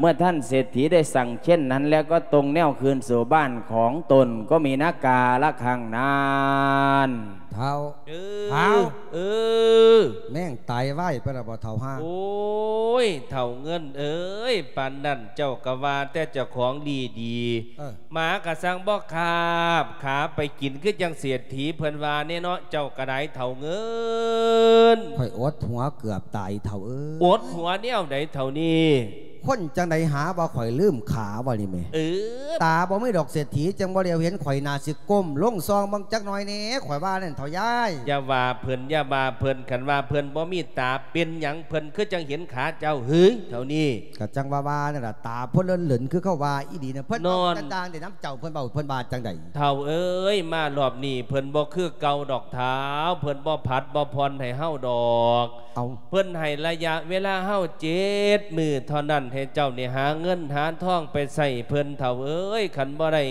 ເມື່ອທ່ານເສດຖີໄດ້ສັ່ງເຊັ່ນນັ້ນແລ້ວ ກໍຕົງແນວຄືນສູ່ບ້ານຂອງຕົນ ກໍມີນາກາລະຄັ້ງນັ້ນ. ເຖົ້າ ເອີ ເຖົ້າ ເອີ ແມ່ງຕາຍໄວໄປແລ້ວບໍ່ເຖົ້າຫາ? ໂອ້ຍ ເຖົ້າເງິນເອີຍ ປານນັ້ນເຈົ້າກໍວ່າແຕ່ເຈົ້າຂອງດີດີ ເອີ ໝາກໍຊ່າງບໍ່ຄາບຂາໄປກິນ ຄືຈັ່ງເສດຖີເພິ່ນວ່າແນ່ເນາະ. ເຈົ້າກໍໄດ້ເຖົ້າເງິນ ຂ້ອຍອົດຫົວເກືອບຕາຍເຖົ້າເອີຍ. ອົດຫົວແນວໃດເຖົ້ານີ້? ຄົນຈັ່ງໃດຫາວ່າຂ້ອຍລືມຂາວ່ານີ້ແໝ່. ເອີ ຕາບໍ່ມີດອກເສດຖີ ຈັ່ງບໍ່ຫຼຽວເຫັນຂ້ອຍ ໜ້າຊິກົ້ມລົງສ່ອງເບິ່ງຈັກໜ້ອຍແດ່ ຂ້ອຍວ່ານັ້ນເຖົ້າຍາຍ. ຢ່າວ່າເພິ່ນ ຢ່າວ່າເພິ່ນ ຄັນວ່າເພິ່ນບໍ່ມີຕາ ເປັນຫຍັງເພິ່ນຄືຈັ່ງເຫັນຂາເຈົ້າ ເຮີ ເຖົ້ານີ້? ກໍຈັ່ງວ່າວ່ານັ້ນລະ ຕາເພິ່ນເຫຼີນໆ ຄືເຂົາວ່າອີ່ຫຼີນະ. ເພິ່ນເວົ້າຕ່າງໆ ໄດ້ນຳເຈົ້າ ເພິ່ນເວົ້າ ເພິ່ນວ່າຈັ່ງໃດ? ເຖົ້າເອີຍ ມາລອບນີ້ເພິ່ນບໍ່ຄືເກົ່າດອກເຖົ້າ ເພິ່ນບໍ່ຜັດບໍ່ຜ່ອນໃຫ້ເຮົາດອກ. ເອົາ ເພິ່ນໃຫ້ໄລຍະເວລາເຮົາເຈັດມື້ເທົ່ານັ້ນ ໃຫ້ເຈົ້ານີ້ຫາເງິນຫາທອງໄປໃຊ້ເພິ່ນ ເຖົ້າເອີຍ. ຄັນບໍ່ໄດ້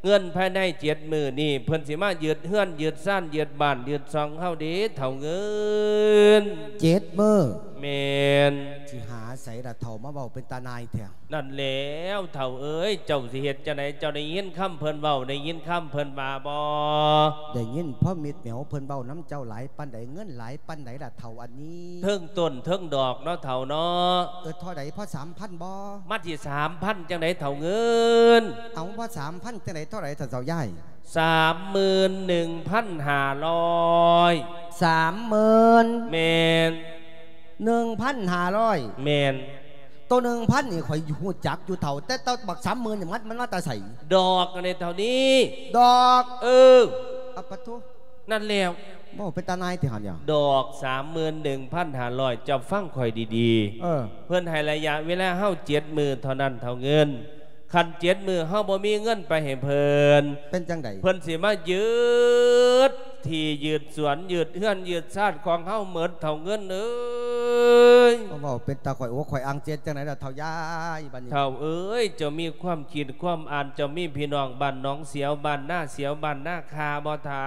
ເງິນພາຍໃນເຈັດມື້ນີ້ ເພິ່ນຊິມາຍຶດເຮືອນ ຍຶດຊານ ຍຶດບ້ານ ຍຶດຊ່ອງເຮົາເດ້ ເຖົ້າເງິນ. ເຈັດມື້? ແມ່ນ. ຊິຫາໃສລະເຖົ້າ ມາເວົ້າເປັນຕານາຍແທ້? ນັ້ນແລ້ວເຖົ້າເອີຍ ເຈົ້າຊິເຮັດຈັ່ງໃດ? ເຈົ້າໄດ້ຍິນຄຳເພິ່ນເວົ້າ ໄດ້ຍິນຄຳເພິ່ນວ່າບໍ່? ໄດ້ຍິນພໍມິດແໝວເພິ່ນເວົ້ານຳເຈົ້າຫຼາຍປານໃດ? ເງິນຫຼາຍປານໃດລະເຖົ້າອັນນີ້? ເທິງຕົ້ນເທິງດອກເນາະເຖົ້າເນາະ. ເອີ ເທົ່າໃດ? ພໍສາມພັນບໍ່? ມັນຊິສາມພັນຈັ່ງໃດເຖົ້າເງິນ? ເອົາ ພໍສາມພັນຈັ່ງໃດ? ເທົ່າໃດທ່ານເຖົ້າຍາຍ? ສາມໝື່ນໜຶ່ງພັນຫ້າຮ້ອຍ. ສາມໝື່ນ? ແມ່ນ. ໜຶ່ງພັນຫ້າຮ້ອຍ? ແມ່ນ. ໂຕໜຶ່ງພັນນີ້ຂ້ອຍຮູ້ຈັກຢູ່ເຖົ້າ ແຕ່ໂຕບັກສາມໝື່ນນີ້ມັນ ມັນມາແຕ່ໃສ? ດອກອັນນີ້ເທົ່ານີ້. ດອກ? ເອີ. ອະປະໂທ. ນັ້ນແລ້ວ. ເວົ້າເປັນຕານາຍຕິຫັ້ນຍາ. ດອກສາມໝື່ນໜຶ່ງພັນຫ້າຮ້ອຍ ເຈົ້າຟັງຂ້ອຍດີໆ. ເອີ. ເພິ່ນໃຫ້ໄລຍະເວລາເຮົາເຈັດມື້ເທົ່ານັ້ນເຖົ້າເງິນ. ຄັນເຈັດມື້ເຮົາບໍ່ມີເງິນໄປໃຫ້ເພິ່ນ ເປັນຈັ່ງໃດ? ເພິ່ນຊິມາຍຶດທີ່ຍຶດສວນ ຍຶດເຮືອນ ຍຶດຊານຂອງເຮົາໝົດ ເຖົ້າເງິນເອີຍ. ເວົ້າເປັນຕາຂ້ອຍອົກຂ້ອຍອັ່ງ ເຈັດຈັ່ງໃດລະເຖົ້າຍາຍ ບັດນີ້? ເຖົ້າເອີຍ ເຈົ້າມີຄວາມຄິດຄວາມອ່ານ ເຈົ້າມີພີ່ນ້ອງບ້ານໜອງສຽວ ບ້ານນາສຽວ ບ້ານນາຄາບໍ່ເຖົ້າ?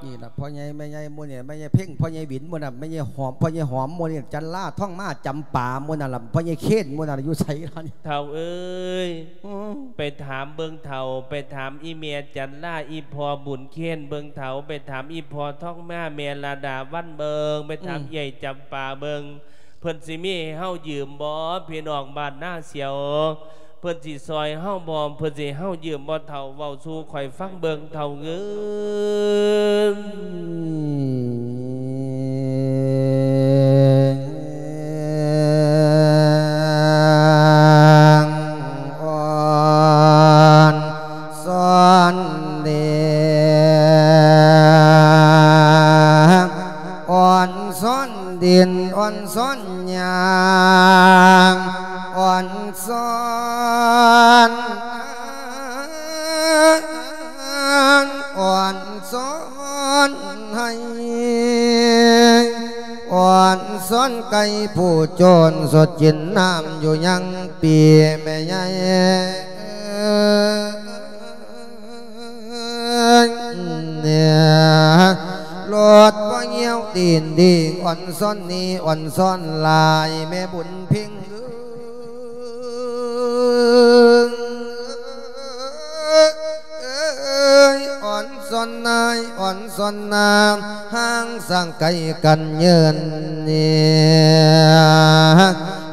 ນີ້ລະ ພໍ່ໃຫຍ່ແມ່ໃຫຍ່ໝູ່ນີ້ ແມ່ໃຫຍ່ເພັງ ພໍ່ໃຫຍ່ຫວິນໝູ່ນັ້ນ ແມ່ໃຫຍ່ຫອມ ພໍ່ໃຫຍ່ຫອມໝູ່ນີ້ ຈັນລາ ທອງມາ ຈຳປາໝູ່ນັ້ນລະ ພໍ່ໃຫຍ່ເຄນໝູ່ນັ້ນລະ ຢູ່ໃສລະນີ້? ເຖົ້າເອີຍ ອືມ ໄປຖາມເບິ່ງເຖົ້າ ໄປຖາມອີ່ແມ່ຈັນລາ ອີ່ພໍ່ບຸນເຄນເບິ່ງເຖົ້າ ໄປຖາມອີ່ພໍ່ທອງມາ ແມ່ລະດາວັນເບິ່ງ ໄປຖາມ ອືມ ເອື້ອຍຈຳປາເບິ່ງ ເພິ່ນຊິມີໃຫ້ເຮົາຢືມບໍ່? ພີ່ນ້ອງບ້ານນາສຽວ ເພິ່ນຊິຊ່ອຍເຮົາບໍ່? ເພິ່ນຊິໃຫ້ເຮົາຢືມບໍ່ເຖົ້າ? ເວົ້າສູ່ຂ້ອຍຟັງເບິ່ງເຖົ້າເອີຍ. ອ່ອນຊອນເດ ອ່ອນຊອນດິນ ອ່ອນຊອນຫຍ້າ ອ່ອນຊອນ ອ່ອນຊອນໄຮ່ ອ່ອນຊອນໄກ່ ຜູ້ໂຈນສົດກິນນ້ຳຢູ່ຍັງປີ ແມ່ໃຫຍ່ ເອີຍ ລົດບໍ່ຫ່ຽວຕີນດີ ອ່ອນຊອນນີ້ ອ່ອນຊອນຫຼາຍ ແມ່ບຸນເພັງເອີຍ ອ່ອນຊອນນາຍ ອ່ອນຊອນນາ ຫ່າງສາງໄກກັນເຍີນເນຍ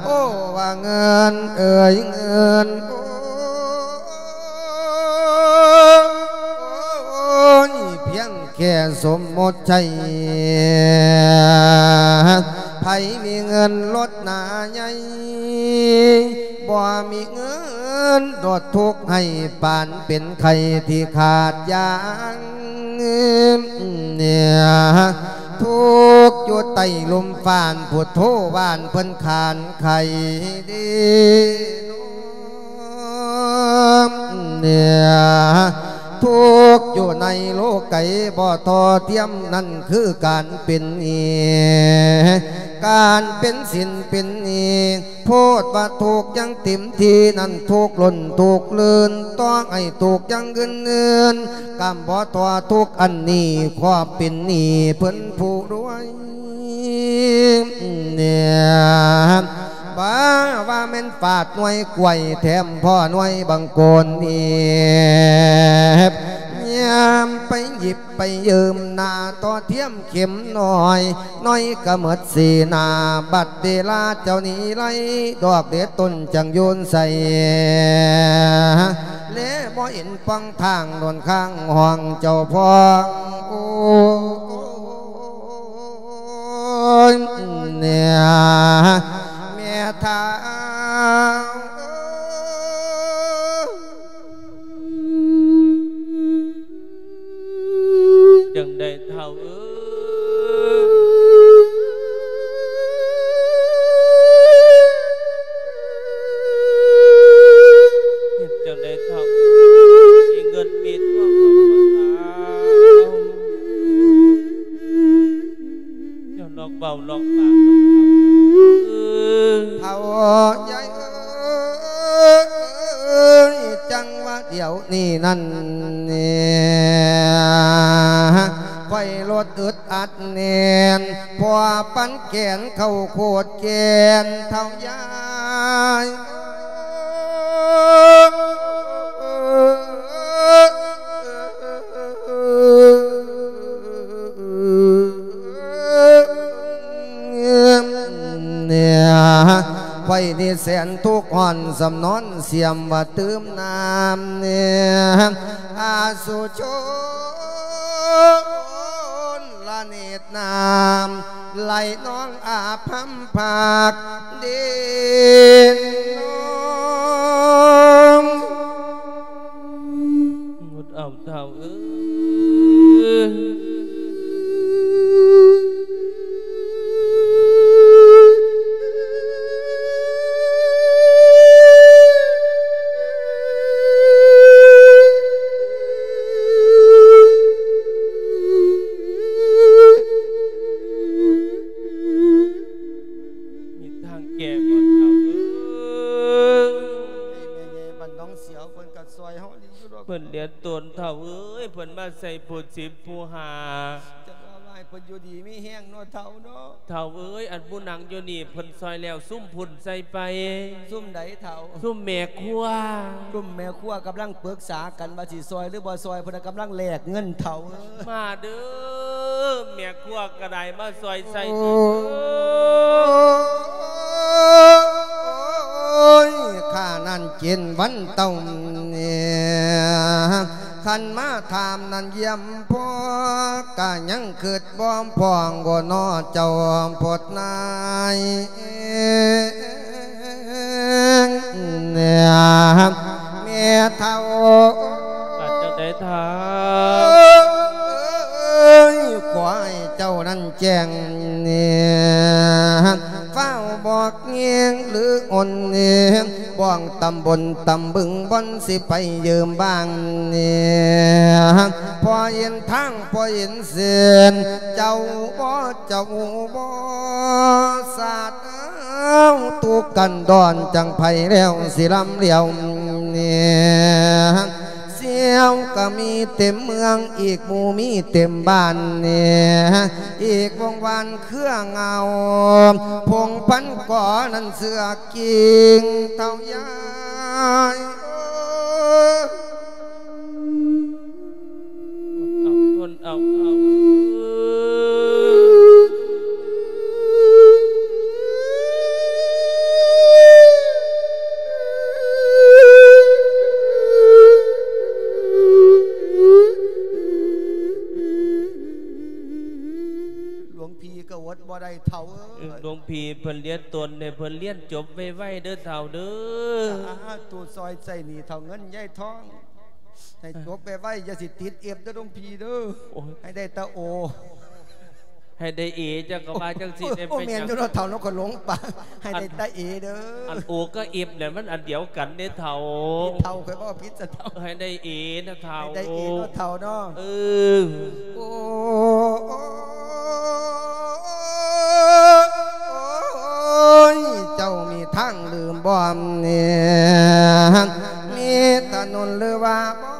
ໂອ້ ວ່າເງິນເອີຍ ເງິນ ໂອ້ຍ ພຽງແຄ່ສົມມຸດໃຊ້ ໃຜມີເງິນລົດໜ້າໃຫຍ່ ບໍ່ມີເງິນ ໂດດທຸກໃຫ້ປານເປັນໄຂ້ທີ່ຂາດຢາງ ເນຍ ທຸກຢູ່ໃຕ້ລົມຟ້າ ພຸດໂທວ່ານເພິ່ນຂານໄຂ້ເດ ເນຍ ທຸກຢູ່ໃນໂລກໄກບໍ່ທໍ່ທຽມ ນັ້ນຄືການເປັນໜີ້ ການເປັນສິນເປັນໜີ້ ໂພດວ່າທຸກຢ່າງເຕັມທີ່ ນັ້ນທຸກລົ້ນທຸກເລີນ ຕ້ອງໃຫ້ທຸກຢ່າງອື່ນໆ ກຳບໍ່ທໍ່ທຸກອັນນີ້ ຄວາມເປັນໜີ້ເພິ່ນຜູ້ລວຍ ເນຍ ວ່າ ວ່າແມ່ນຟາດໜ່ວຍກ້ວຍ ແຖມພໍໜ່ວຍບັງໂກນອີບ ຍາມໄປຫຍິບໄປຢືມ ໜ້າຕໍ່ທຽມເຂັມນ້ອຍ ໜ້ອຍກະໝົດສີໜ້າ ບັດເວລາເຈົ້ານີ້ໄລ່ ດອກເດັດຕົ້ນຈັງໂຍນໃສ່ ແລບໍ່ເຫັນປ່ອງທາງ ໂດນຂ້າງຫ້ອງເຈົ້າພໍ່ ໂອ້ຍ ເນຍ ແມ່ທ້າວ ຈັ່ງໃດທ້າວເອີຍ ເຮັດຈັ່ງໃດທ້າວ ມີເງິນມີທອງ ເຈົ້ານອກເວົ້ານອກປາກ ເຖົ້າໃຫຍ່ເອີຍ ຈັ່ງວ່າດຽວນີ້ນັ້ນ ຂ້ອຍລົດອຶດອັດແໜ້ນ ເພາະປັນແກນເຂົ້າໂຄດແກນເຖົ້າຍາຍ ເນຍ ຂ້ອຍນີ້ແສນທຸກຮ້ອນ ສຳນອນສຽມວ່າຕື່ມນ້ຳ ເນຍ ອາສຸຊົນລະເນດນ້ຳ ໄຫຼນອງອາພຳພາກ ເດນນອງ ອດເອົາເຖົ້າເອີຍ ມີທາງແກ້ບໍ່ເຖົ້າເອີຍ ໃຫ້ແມ່ໃຫຍ່ບ້ານໜອງສຽວເພິ່ນກໍຊ່ອຍເຮົາດີຢູ່ດອກ ເພິ່ນເດືອດຮ້ອນເຖົ້າເອີຍ ເພິ່ນມາໃສ່ຜູ້ສິບຜູ້ຫ້າ ຈັກວ່າໃຫ້ເພິ່ນຢູ່ດີມີແຮງເນາະເຖົ້າເນາະ ເຖົ້າເອີຍ ອັນຜູ້ນັ່ງຢູ່ນີ້ເພິ່ນຊ່ອຍແລ້ວ ຊຸມພຸ້ນໃສ່ໄປ ຊຸມໃດເຖົ້າ ຊຸມແມ່ຄົວ ຊຸມແມ່ຄົວກຳລັງປຶກສາກັນວ່າຊິຊ່ອຍຫຼືບໍ່ຊ່ອຍ ເພິ່ນກຳລັງແລກເງິນເຖົ້າເອີຍ ມາເດີ ແມ່ຄົວກໍໄດ້ມາຊ່ອຍໃສ່ ໂອ້ຍ ຂ້ານັ້ນເຈັນວັນເຕົາ ຄັນມາຖາມນັ້ນຢ້ຽມພໍ່ ກະຍັງຄິດບໍ່ພ້ອງ ໂອ້ ເນາະເຈົ້າໂພດນາຍ ແມ່ເຖົ້າ ວ່າຈັ່ງໃດທ້າວ ຂໍໃຫ້ເຈົ້ານັ້ນແຈ້ງ ຟ້າວບອກແຍງຫຼືອົນ ບ້ອງຕຳບົນຕຳບຶງ ບ່ອນຊິໄປຢືມບ້າງ ພໍເຫັນທາງ ພໍເຫັນເສັ້ນ ເຈົ້າບໍ່ ເຈົ້າບໍ່ ຊາດເອົາ ທຸກກັນດອນ ຈັ່ງໃຜແລ້ວຊິລຳລຽວ ສ່ຽວກໍມີເຕັມເມືອງ ອີກໝູ່ມີເຕັມບ້ານ ອີກວົງວານເຄືອເຫງົາ ພົງພັນກໍນັ້ນເສືອ ກິ່ງເຖົ້າຍາຍ ເອົາ ທົນເອົາ ເອົາ ຫຼວງ ພີ່ກໍອົດບໍ່ໄດ້ເຖົ້າເອີຍ ເອີ ຫຼວງ ພີ່ເພິ່ນຮຽນຕົນໃຫ້ເພິ່ນຮຽນຈົບໄວໆເດີເຖົ້າເດີ. ສາທຸ ຊ່ອຍໃຊ້ໜີ້ເຖົ້າເງິນຍາຍທອງ ໃຫ້ຈົບໄວໆ ຢ່າຊິຕິດເອັບເດີຫຼວງພີ່ເດີ. ໂອ້ຍ ໃຫ້ໄດ້ແຕ່ໂອ ໃຫ້ໄດ້ເອ ເຈົ້າກໍວ່າຈັ່ງຊີ້ແດ່. ໂອ້ ແມ່ນຢູ່ເນາະເຖົ້າເນາະ ຂ້ອຍຫຼົງປາກ ໃຫ້ໄດ້ແຕ່ເອເດີ. ອັນໂອກັບເອັບນັ້ນມັນອັນດຽວກັນເດ້ເຖົ້າ. ເຖົ້າ ຂ້ອຍເວົ້າຜິດຊະເຖົ້າ. ໃຫ້ໄດ້ເອນະເຖົ້າ ໃຫ້ໄດ້ເອເນາະເຖົ້າເນາະ. ເອີ ໂອ້ ຍ ເຈົ້າມີທາງຫຼືບໍ່ນີ້ ມີຖະໜົນຫຼືວ່າບໍ່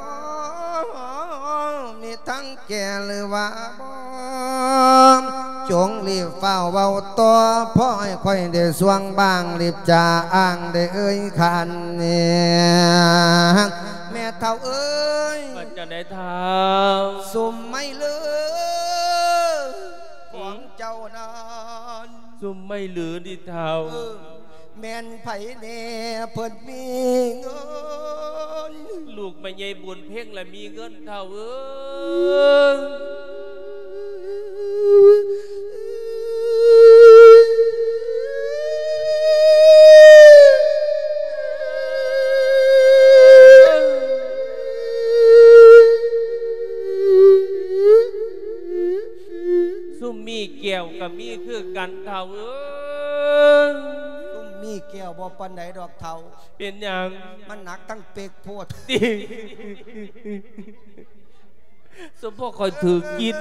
ມີທາງແກ້ຫຼືວ່າບໍ່ ຈົ່ງລີບຟ້າວເວົ້າຕໍ່ ພໍໃຫ້ຂ້ອຍໄດ້ສ່ວງບາງ ລີບຈາອ້າງໄດ້ເອີ່ຍຂານນີ້ ແມ່ເຖົ້າເອີຍ. ວ່າຈັ່ງໃດເຖົ້າ? ຊຸມໄມ້ເຫຼືອຂອງເຈົ້ານັ້ນ ຊຸມໄມ້ເຫຼືອນີ້ເຖົ້າ ເອີ ແມ່ນໃຜແດ່ເພິ່ນມີເງິນ? ລູກແມ່ໃຫຍ່ບຸນເພັງລະມີເງິນເຖົ້າເອີຍ. ຊຸມມີແກ້ວກໍມີຄືກັນເຖົ້າເອີຍ. ຊຸມມີແກ້ວບໍ່ປານໃດດອກເຖົ້າ. ເປັນຫຍັງ? ມັນໜັກທັງເປັກໂພດ. ສົມພໍຂ້ອຍຖືກກິນ.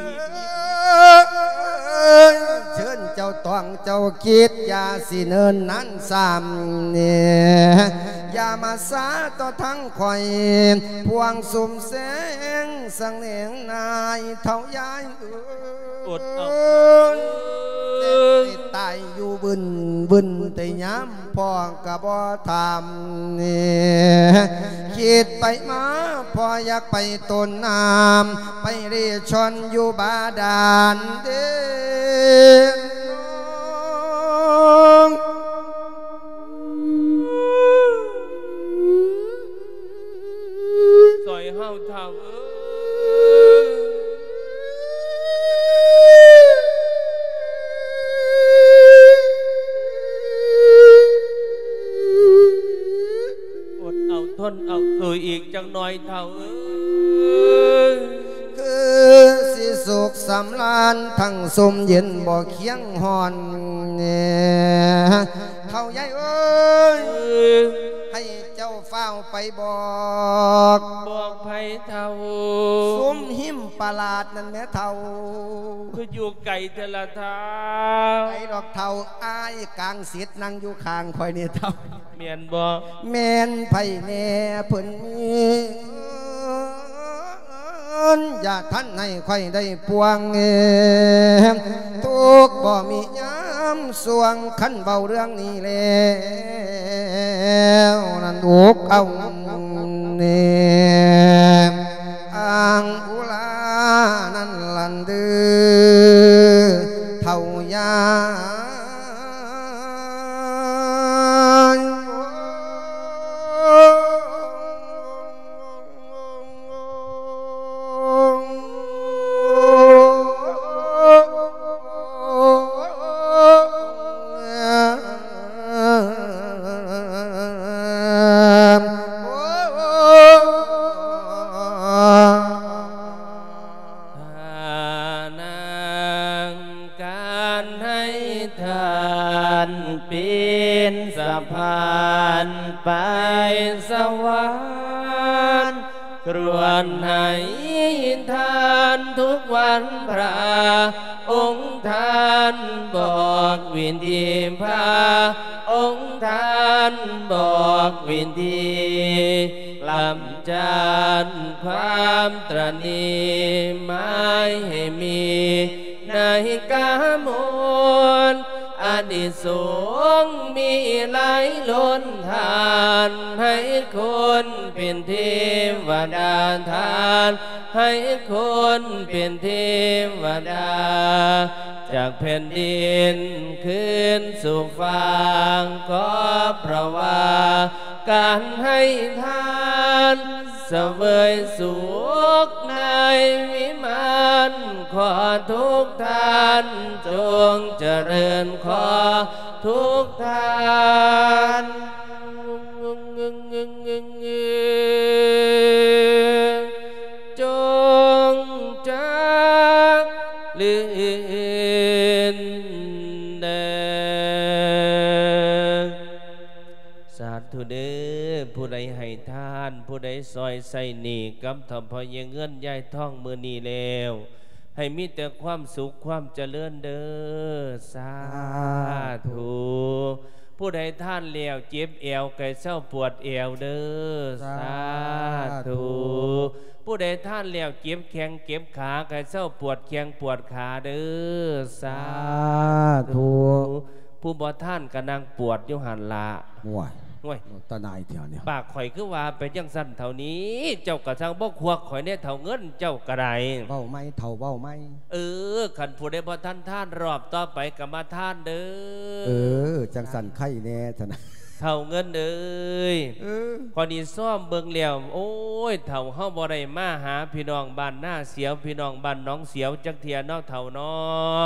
ເຊີນເຈົ້າຕ້ອງເຈົ້າຄິດ ຢ່າຊິເນີນນານຊ້ຳນີ້ ຢ່າມາຊ້າຕໍ່ທາງຂ້ອຍ ພວງຊຸມແສງສັງເໜງນາຍເຖົ້າຍາຍເອີຍ. ອົດເອົາ ເອີຍ ຕາຍຢູ່ບຶນບຶນ ແຕ່ຍາມພໍ່ກໍບໍ່ຖາມ ຄິດໄປມາ ພໍ່ຢາກໄປຕົ້ນນ້ຳ ໄປເລ່ຊ່ອນຢູ່ບາດານເດ້. ຊ່ອຍເຮົາເຖົ້າເອີຍ. ອົດເອົາທົນເອົາ ເອີຍ ອີກຈັກໜ່ອຍເຖົ້າເອີຍ. ຄືຊິສຸກສຳລານທັງຊຸ່ມເຢັນບໍ່ຄຽງຮ້ອນແດ່ ເຖົ້າໃຫຍ່ເອີຍ. ໃຫ້ເຈົ້າຟ້າວໄປບອກ ບອກໃຜເຖົ້າ? ຊຸ່ມຮິມປະຫຼາດນັ້ນແໝ່ເຖົ້າ. ຄືຢູ່ໄກແທ້ລະເຖົ້າ? ໄກດອກເຖົ້າ ອ້າຍກາງສິດນັ່ງຢູ່ຂ້າງຂ້ອຍນີ້ເຖົ້າ. ແມ່ນບໍ່? ແມ່ນໃຜແດ່ເພິ່ນມີເງິນ ຢ່າທັນໃຫ້ຂ້ອຍໄດ້ປວງ ທຸກບໍ່ມີຍາມຊ່ວງ ຄັນເວົ້າເລື່ອງນີ້ແລ້ວນັ້ນ ອົກເອົາແດ່ ອ່າງອຸລານັ້ນຫັ້ນເດີ ເຖົ້າຍາຍ. ທ່ານນາງ ການໃຫ້ທານເປັນສະພານໄປສະຫວັນ ຄວນໃຫ້ທານທຸກວັນພະ ອົງທ່ານບອກວິທີ ພະອົງທ່ານບອກວິທີ ລຳຈານຄວາມຕຣະໜີ ໝາຍໃຫ້ມີໃນກາມົນ ອານິສົງມີຫຼາຍລົ້ນທານ ໃຫ້ຄົນເປັນເທວະດາ ທ່ານໃຫ້ຄົນເປັນເທວະດາ ຈາກແຜ່ນດິນຄືນສູ່ຝັ່ງ ກໍເພາະວ່າການໃຫ້ທານ ສະເຫວີຍສຸກໃນວິມານ ຂໍທຸກທ່ານຈົ່ງຈະເລີນ, ຂໍທຸກທ່ານຈົ່ງຈະເລີນເດີ. ສາທຸເດີ. ຜູ້ໃດໃຫ້ທານ, ຜູ້ໃດຊ່ອຍໃຊ້ໜີ້ກັບເຖົ້າພໍ່ໃຫຍ່ເງິນຍາຍທອງມື້ນີ້ແລ້ວ, ໃຫ້ມີແຕ່ຄວາມສຸກຄວາມຈະເລີນເດີ. ສາທຸ. ສາທຸ. ຜູ້ໃດທານແລ້ວເຈັບແອວ ໃຫ້ເຊົາປວດແອວເດີ. ສາທຸ. ສາທຸ. ຜູ້ໃດທານແລ້ວເຈັບແຂ້ງເຈັບຂາ ໃຫ້ເຊົາປວດແຂ້ງປວດຂາເດີ. ສາທຸ. ສາທຸ. ຜູ້ບໍ່ທານກໍນັ່ງປວດຢູ່ຫັ້ນລະ. ໂອ້ຍ ໂອ້ຍ ຕາໜ່າຍແທ້ນີ້. ປາກຂ້ອຍຄືວ່າໄປຈັ່ງຊັ້ນເຖົ້ານີ້, ເຈົ້າກໍຊ່າງບໍ່ຄວັກຂ້ອຍແດ່ເຖົ້າເງິນ ເຈົ້າກໍໄດ້. ເວົ້າໃໝ່ເຖົ້າ ເວົ້າໃໝ່. ເອີ ຄັນຜູ້ໃດບໍ່ທັນທານ ຮອບຕໍ່ໄປກໍມາທານເດີ. ເອີ ຈັ່ງຊັ້ນໄຄແດ່ຊັ້ນນະ ເຖົ້າເງິນເອີຍ. ເອີ ຂ້ອຍນີ້ຊອມເບິ່ງແລ້ວ ໂອ້ຍ ເຖົ້າເຮົາບໍ່ໄດ້ມາຫາພີ່ນ້ອງບ້ານນາສຽວ ພີ່ນ້ອງບ້ານໜອງສຽວຈັກເທື່ອເນາະ ເຖົ້າເນາ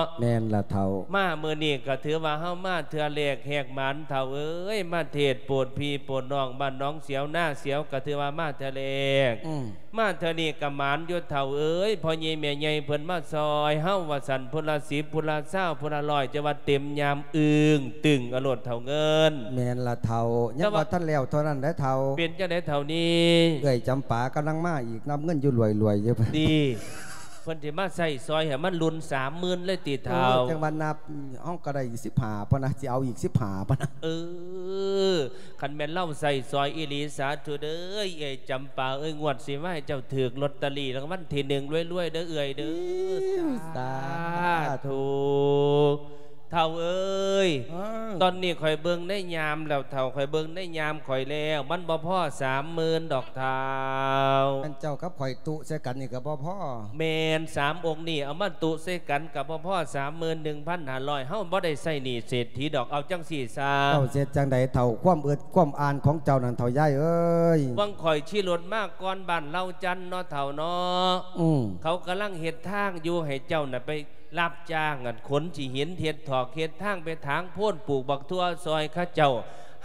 ະ. ແມ່ນລະເຖົ້າ. ມາມື້ນີ້ກໍຖືວ່າເຮົາມາເທື່ອແລກແຫກໝານ ເຖົ້າເອີຍ. ມາເທດໂປດພີ່ໂປດນ້ອງບ້ານໜອງສຽວນາສຽວ ກໍຖືວ່າມາເທື່ອແລກ. ອືມ. ມາເທື່ອນີ້ກໍໝານຢູ່ ເຖົ້າເອີຍ. ພໍ່ໃຫຍ່ແມ່ໃຫຍ່ເພິ່ນມາຊ່ອຍເຮົາວ່າຊັ້ນ, ຜູ້ລະສິບ ຜູ້ລະຊາວ ຜູ້ລະຮ້ອຍ ຈະວ່າເຕັມຍາມອຶ້ງຕຶງເອົາໂລດ ເຖົ້າເງິນ. ແມ່ນລະເຖົ້າ. ຍັງບໍ່ທັນແລ້ວເທົ່ານັ້ນເດີເຖົ້າ. ເປັນຈັ່ງໃດເຖົ້ານີ້? ເອື້ອຍຈຳປາກຳລັງມາອີກ ນັບເງິນຢູ່ລວຍໆຢູ່. ດີ. ເພິ່ນຊິມາໃຊ້ຊ່ອຍໃຫ້ມັນລຸນສາມໝື່ນເລີຍຕິເຖົ້າ? ໂອ້ ຈັ່ງວ່ານັບ ເຮົາກໍໄດ້ອີກສິບຫ້າພຸ້ນນະ, ຊິເອົາອີກສິບຫ້າພຸ້ນນະ. ເອີ ຄັນແມ່ນລາວໃຊ້ຊ່ອຍອີ່ຫຼີ ສາທຸເດີ. ເອື້ອຍຈຳປາເອີຍ ງວດຊິມາໃຫ້ເຈົ້າຖືກລອດຕະລີລາງວັນທີໜຶ່ງລວຍໆເດີເອື້ອຍເດີ. ສາທຸ. ເຖົ້າເອີຍ ເອີ ຕອນນີ້ຂ້ອຍເບິ່ງໃນຍາມແລ້ວເຖົ້າ, ຂ້ອຍເບິ່ງໃນຍາມຂ້ອຍແລ້ວ ມັນບໍ່ພໍສາມໝື່ນດອກເຖົ້າ. ອັນເຈົ້າກັບຂ້ອຍຕຸໃສ່ກັນນີ້ກໍບໍ່ພໍ. ແມ່ນ, ສາມອົງນີ້ເອົາມາຕຸໃສ່ກັນກໍບໍ່ພໍສາມໝື່ນໜຶ່ງພັນຫ້າຮ້ອຍ. ເຮົາບໍ່ໄດ້ໃຊ້ໜີ້ເສດຖີດອກ. ເອົາຈັ່ງຊີ້ຊະ. ເຈົ້າເຮັດຈັ່ງໃດເຖົ້າ? ຄວາມອຶດຄວາມອ່ານຂອງເຈົ້ານັ້ນເຖົ້າຍາຍເອີຍ. ຫວ່າງຂ້ອຍຂີ່ລົດມາກ່ອນບ້ານເລົ່າຈັນເນາະເຖົ້າເນາະ. ອືມ. ເຂົາກຳລັງເຮັດທາງຢູ່ໃຫ້ເຈົ້ານະໄປ ຮັບຈ້າງອັນຂົນຂີ້ຫີນ ເຮັດຖອກເຮັດທາງ ໄປຖາງໂພນ ປູກບັກຖົ່ວຊ່ອຍເຂົາເຈົ້າ,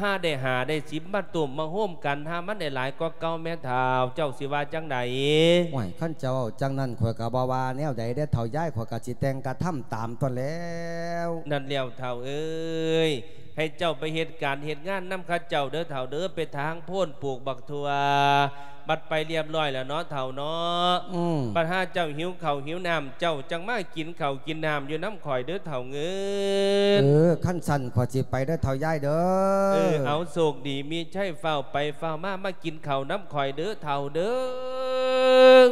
ຫາໄດ້ຫ້າໄດ້ສິບມາຕຸ້ມມາໂຮມກັນ ຫາມັນໄດ້ຫຼາຍກວ່າເກົ່າແມ້ເຖົ້າ. ເຈົ້າຊິວ່າຈັ່ງໃດ? ໂອ້ຍ ຄັນເຈົ້າເວົ້າຈັ່ງນັ້ນ ຂ້ອຍກໍບໍ່ວ່າແນວໃດເດ້ເຖົ້າຍາຍ, ຂ້ອຍກໍຊິແຕ່ງກະທຳຕາມຕົນແລ້ວ. ນັ້ນແລ້ວເຖົ້າເອີຍ, ໃຫ້ເຈົ້າໄປເຮັດການເຮັດງານນຳເຂົາເຈົ້າເດີເຖົ້າເດີ, ໄປຖາງໂພນ ປູກບັກຖົ່ວ ບັດໄປລຽບລ້ອຍແລ້ວເນາະເຖົ້າເນາະ. ອືມ. ບັດຫາເຈົ້າຫິວເຂົ້າຫິວນ້ຳ ເຈົ້າຈັ່ງມາກິນເຂົ້າກິນນ້ຳຢູ່ນຳຂ້ອຍເດີເຖົ້າເງິນ. ເອີ ຄັນຊັ້ນຂ້ອຍຊິໄປເດີເຖົ້າຍາຍເດີ. ເອີ ເອົາ ໂຊກດີມີໄຊ ຟ້າວໄປຟ້າວມາ ມາກິນເຂົ້ານຳຂ້ອຍເດີເຖົ້າເດີ.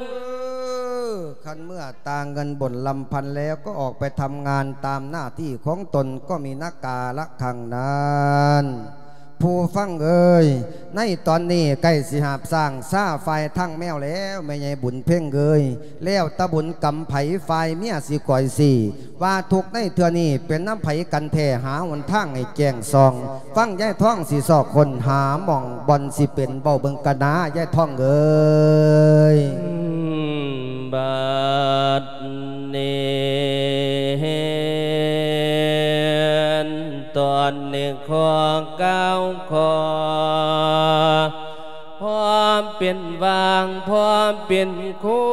ເອີ ຄັນເມື່ອຕາເງິນບົນລຳພັນແລ້ວ ກໍອອກໄປທຳງານຕາມໜ້າທີ່ຂອງຕົນ ກໍມີນະກາລະຄັງນັ້ນ. ຜູ້ຟັງເອີຍ, ໃນຕອນນີ້ໃກ້ຊິຫາບຊ້າງຊາຝ່າຍທາງແມວແລ້ວ ແມ່ໃຫຍ່ບຸນເພັງເອີຍ. ແລ້ວແຕ່ບຸນກຳໃຜຝ່າຍເມຍຊິກອຍຊີ້ ວ່າທຸກໃນເທື່ອນີ້ເປັນນຳໃຜກັນແທ້ ຫາຫົນທາງໃຫ້ແຈ້ງສ່ອງ. ຟັງຍາຍທອງຊິຊອກຄົ້ນຫາໝ່ອງບ່ອນຊິເປັນ ເວົ້າເບິ່ງກະນາຍາຍທອງເອີຍ. ບັດນີ້ ຕອນນີ້ຂໍກ່າວຂໍ ພໍເປັນຫວ່າງ ພໍເປັນໂຄ້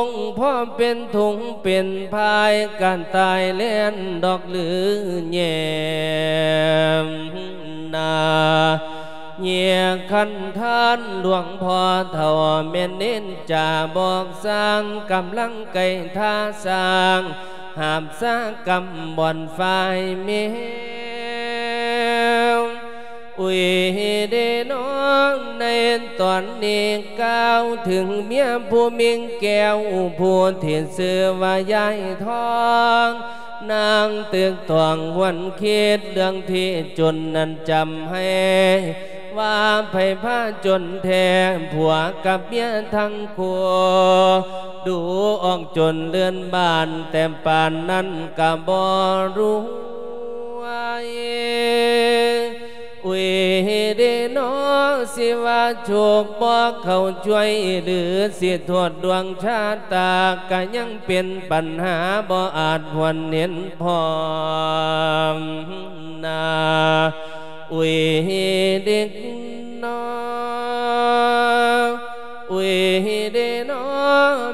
ງ ພໍເປັນທຸງເປັນພາຍ ກະຕ່າຍແລ່ນດອກລືແຍມໜ້າ ແຍກຄັນທານຫຼວງພໍ່ເຖົ້າ ແມ່ນເນັ້ນຈາບອກສ້າງ ກຳລັງໄກ່ທ່າສ້າງ ຫາບສາກຳບ່ອນຝ່າຍແມວ. ອຸຍເດນ້ອງ ໃນຕອນນີ້ກ່າວເຖິງເມຍຜູ້ມິ່ງແກ້ວ ຜູ້ທີ່ຊື່ວ່າຍາຍທອງ ນາງຕຶກຕອງຫວນຄິດເລື່ອງທີ່ຈົນນັ້ນຈຳໃຫ້ ວ່າໃຜພາຈົນແທ້ ຜົວກັບເມຍທັງຄູ່ ດູອອກຈົນເລື່ອນບ້ານ ແຕ່ປານນັ້ນກະບໍ່ລວຍ. ອຸຍເດນໍ ຊິວ່າໂຊກບໍ່ເຂົ້າຊ່ວຍ ຫຼື ຊິໂທດດວງຊະຕາ ກະຍັງເປັນປັນຫາ ບໍ່ອາດຫວນເຫັນພ້ອມນາ. ອຸຍເດນໍ ອຸຍເດນໍ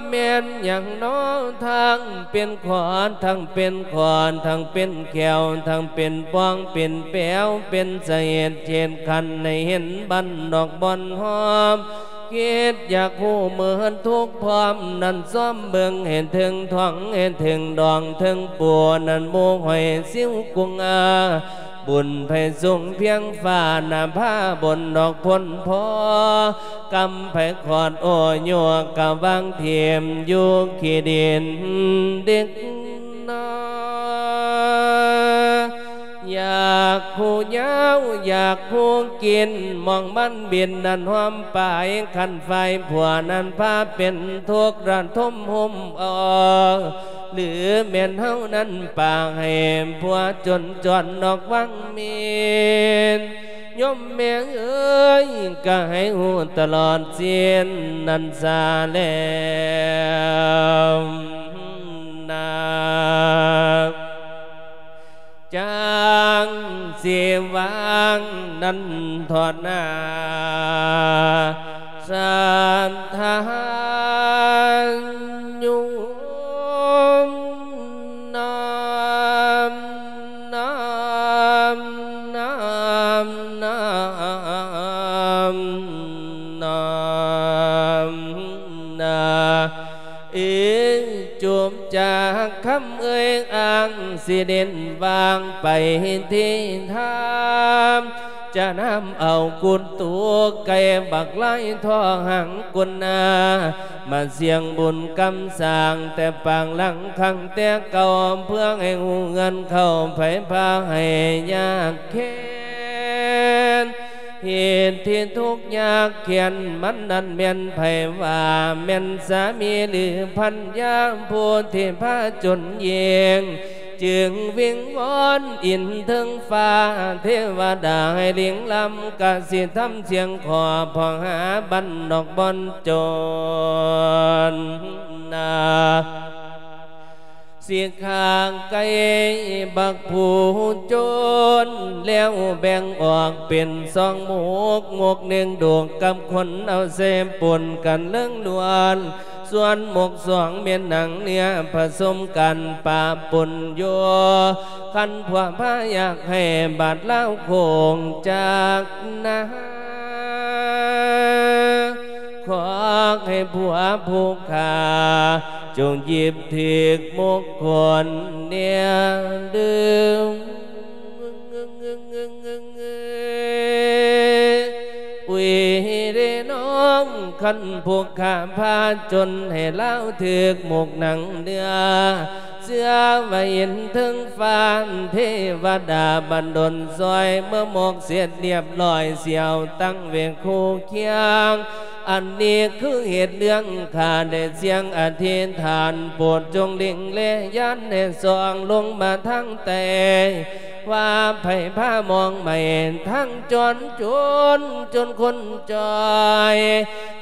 ແມ່ນຫຍັງນໍ ທັງເປັນຂອນ ທັງເປັນຂອນ ທັງເປັນແຂ້ວ ທັງເປັນປ່ອງ ເປັນແປວ ເປັນສະເຫດເຂດຂັນ ໃຫ້ເຫັນບ້ານນອກບ່ອນຮອມ ຄິດຢາກຮູ້ເມີດທຸກພ້ອມ ນັ້ນຊອມເບິ່ງໃຫ້ເຖິງທ້ອງ ໃຫ້ເຖິງດອງເຖິງປູ ນັ້ນໝູ່ຫອຍຊິວກຸງອາ ບຸນໃຜສູງພຽງຟ້າ ໜ້າຜາບົນດອກພົ້ນພໍ ກຳໃຜຂອດໂອໂຍກ ກະວາງຖິ້ມຢູ່ຂີ້ດິນເດັກນ້ອຍ. ຢາກຮູ້ຍາວ ຢາກຮູ້ກິນ ມອງມັນບິນນັ້ນຫອມປາຍ ຄັນຝ່າຍຜົວນັ້ນພາເປັນທຸກ ລະທົມໂຮມເອົາ ຫຼືແມ່ນເຮົານັ້ນປາກໃຫ້ຜົວຈົນຈອນນອກວັງເມນ ໂຍມແມ່ເອີຍ ກະໃຫ້ຮູ້ຕະຫຼອດສິ້ນນັ້ນຊະແລ້ວນາ. ຈັ່ງຊິວາງນັ້ນເທາະນາ ສັດທາໂຍມນາ ນາ ນາ ນາ ນາ ນາ. ເອີ ຈົບຈາກຄຳເອີ່ຍອ້າງ ຊິເດັ່ນວາງໄປທີ່ທາງ ຈະນຳເອົາກຸດຕູໄກ່ບັກລາຍທອງຫາງກຸນນາ ມາສ່ຽງບຸນກຳສ້າງແຕ່ປາງຫຼັງຄັ້ງແຕ່ເກົ່າ ເພື່ອໃຫ້ຮູ້ເຮືອນເຂົ້າໄພພາໃຫ້ຍາກແຄ້ນ ເຫດທີ່ທຸກຍາກແຄ້ນ ມັນນັ້ນແມ່ນໃຜວ່າ ແມ່ນສາມີ ຫຼືພັນຍາ ຜູ້ທີ່ພາຈົນເຢງ ຈຶ່ງວິງວອນອິນເທິງຟ້າ ເທວະດາໃຫ້ລິງລຳ ກະຊິທຳສຽງຂໍ ເພາະຫາບ້ານນອກບ່ອນຈົນນາ. ຊິຂ້າໄກ່ບັກຜູ້ຈົນ ແລ້ວແບ່ງອອກເປັນສອງໝົກ ໝົກໜຶ່ງໂດກກັບຄົນເອົາໃສ່ປົນກັນເລີງລ້ວນ ສ່ວນໝົກສອງແມ່ນໜັງເນື້ອປະສົມກັນປະປົນຢູ່ ຄັນພວກພາຢາກໃຫ້ບາດລາວໂຄ້ງຈັກນາ ຂໍໃຫ້ຜົວຜູ້ຂ້າ ຈົ່ງຫຍິບຖືກມົງກົນແດ່ເດີ. ອຸຍເດນ້ອງ ຄັນຜູ້ຂ້າພາຈົນໃຫ້ລາວຖືກໝົກໜັງເນື້ອ ເຊື່ອວ່າເຫັນເທິງຟ້າ ເທວະດາບັນດົນຊ່ອຍ ເມື່ອໝົກເສັດລຽບລ້ອຍ ຊິເອົາຕັ້ງໄວ້ຄູ່ຄຽງ ອັນນີ້ຄືເຫດເລື່ອງ ຂ້າໄດ້ສຽງອະທິຖານ ໂປດຈົ່ງເລັງແລຍານໃຫ້ສ່ອງລົງມາທາງໃຕ້ ວ່າໃຜພາມອງໄໝ້ ທັງຈອນຈົນ ຈົນຄົນຈ່ອຍ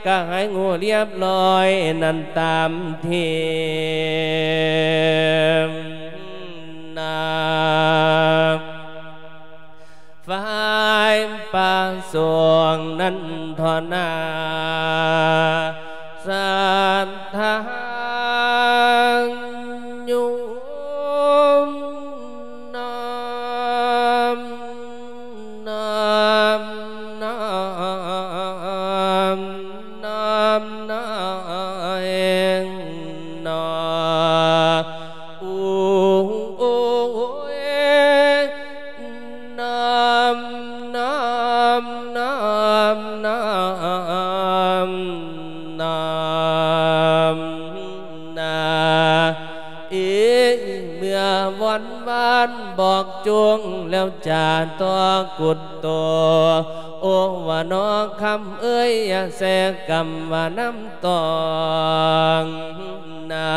ກະໃຫ້ຮູ້ລຽບລ້ອຍນັ້ນຕາມທີນາ. ຝ່າຍປະສົງນັ້ນເທາະນາ ສັດທາໂຍມນາ ນາ ນາ ນາ ນາ ເອງ ນາ ໂອ ໂອ ເອ ນາ ນາ ນາ ນາ ນາ ນາ ເອ ເມື່ອວອນວານບອກຈົງແລ້ວຈາຕໍ່ກຸດໂຕ ໂອ ວ່ານອຄຳເອີຍ ຢ່າແຊກຳວ່ານຳຕອງນາ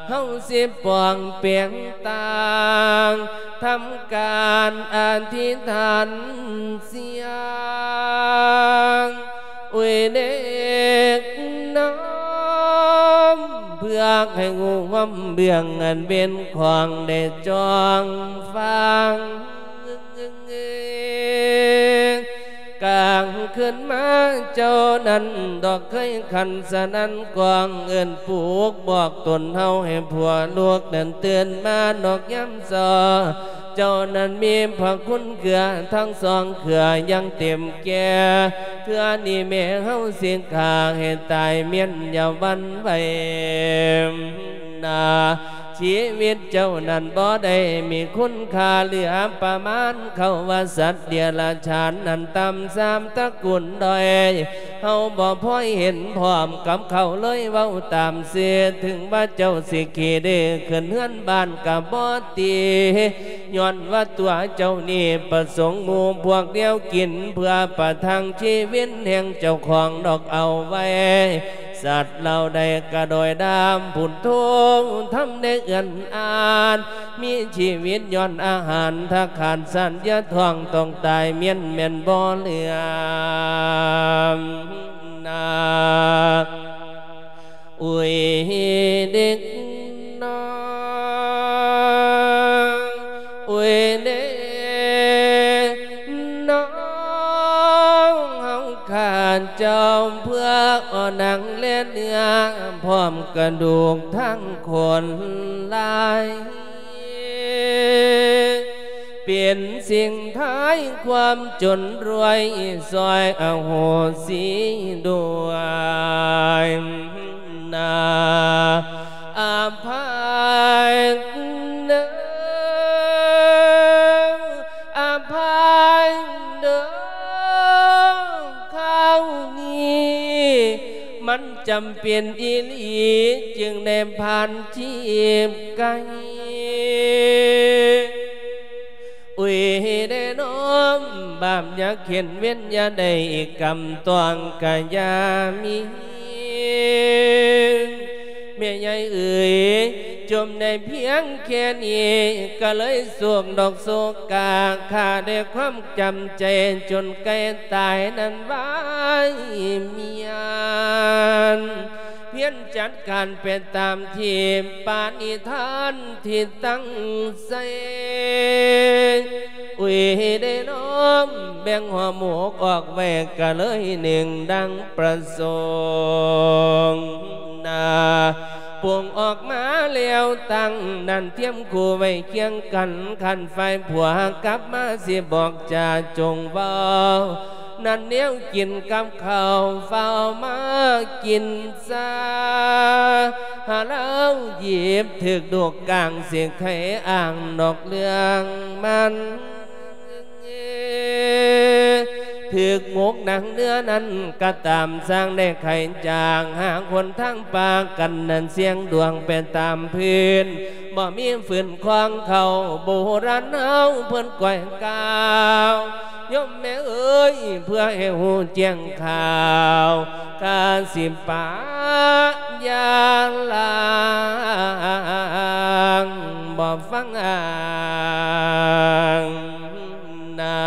ເຮົາຊິປ່ອງແປງຕ່າງ ທຳການອະທິຖານສຽງ ອຸຍເດັກນ້ອມ ເພື່ອໃຫ້ຮູ້ຄວາມເບື້ອງອັນເປັນຂອງໄດ້ຈ້ອງຟັງ. ກາງຄືນມາເຈົ້ານັ້ນດອກເຄີຍຂັນສະນັ້ນກອງ ເອີ້ນປຸກບອກຕົນເຮົາໃຫ້ພວກລູກນັ້ນຕື່ນມານອກຍາມເຊົ້າ. ເຈົ້ານັ້ນມີພະຄຸນເກືອທັງສອງເກືອຢ່າງເຕັມແກ່ ເທື່ອນີ້ແມ່ເຮົາຊິຂ້າໃຫ້ຕາຍມ້ຽນຢ່າຫວັ່ນໄຫວ. ນາ ຊີວິດເຈົ້ານັ້ນບໍ່ໄດ້ມີຄຸນຄ່າເຫຼືອປະມານ ເຂົາວ່າສັດເດຍລະສານນັ້ນຕ່ຳສາມຕະກຸນດ້ອຍ ເຮົາບໍ່ພໍເຫັນພ້ອມກັບເຂົາເລີຍເວົ້າຕາມຊື່. ເຖິງວ່າເຈົ້າຊິຂີ້ດື້ຂຶ້ນເຮືອນບ້ານກະບໍ່ຕີ ຍ້ອນວ່າຕົວເຈົ້ານີ້ປະສົງໝູ່ພວກດຽວກິນ ເພື່ອປະທັງຊີວິດແຫ່ງເຈົ້າຂອງດອກເອົາໄວ້. ສັດເຫຼົ່າໃດກະໂດຍດຳພຸ້ນໂທ ທຳໄດ້ເອື້ອນອານ ມີຊີວິດຍ້ອນອາຫານ ຖ້າຂາດສັນຢາທ້ອງຕ້ອງຕາຍມ້ຽນແມ່ນບໍ່ເຫຼືອ. ນາ ອຸຍເດັກນ້ອຍ ອຸຍເດັກນ້ອຍ ເຮົາຂ້າເຈົ້າເພື່ອອອກໜັງແລະເນື້ອ ພ້ອມກະດູກທັງຄົນລາຍ ເປັນສິ່ງທ້າຍຄວາມຈົນລວຍ ຊ່ອຍອະໂຫສິດ້ວຍ ນາ ອະໄພເດີ ອະໄພເດີ ຄາວນີ້ມັນຈຳເປັນອີ່ຫຼີ ຈຶ່ງໄດ້ຜ່ານຈີບໄກ່. ອຸຍເດນ້ອມ ບາບຢ່າເຂັນ ເວັນຢ່າໄດ້ອີກກຳຕ້ອງກະຢ່າມີ. ແມ່ໃຫຍ່ເອີຍ ຈົ່ມໄດ້ພຽງແຄ່ນີ້ ກະເລີຍໂສກດອກໂສກາ ຂ້າໄດ້ຄວາມຈຳໃຈ ຈົນໃກ້ຕາຍນັ້ນວາຍມຽນ ພຽນຈັດການໄປຕາມທີ່ປະນິທານທີ່ຕັ້ງໃສ່. ອຸຍເດນ້ອມ ແບ່ງຫົວໝູກອອກໄວ້ກະເລີຍໜຶ່ງດັ່ງປະສົງ ນາ ປຸງອອກມາແລ້ວຕັ້ງນັ້ນ ທຽມຄູ່ໄວ້ຄຽງກັນ ຄັນຝ່າຍຜົວກັບມາຊິບອກຈາຈົ່ງເວົ້າ ນັ້ນແນວກິນກັບເຂົ້າ ຟ້າວມາກິນຊາ ຫາລາວຢິບຖືກດູກກາງ ຊິໄຂອ້າງນອກເລື່ອງມັນ ຖືກໝົກໜັງເນື້ອນັ້ນກະຕາມ ຊ່າງໄດ້ໄຂຈາງ ຫາຄົນທາງປາກັນນັ້ນ ສ່ຽງດວງໄປຕາມພື້ນ ບໍ່ມີຝືນຄວາງເຂົາ ໂບລານເຮົາເພິ່ນກ່ອຍກ່າວ ໂຍມແມ່ເອີຍ ເພື່ອໃຫ້ຮູ້ແຈ້ງຂ່າວ ກະຊິປະຢ່າລາງ ບໍ່ຟັງອ້າງນາ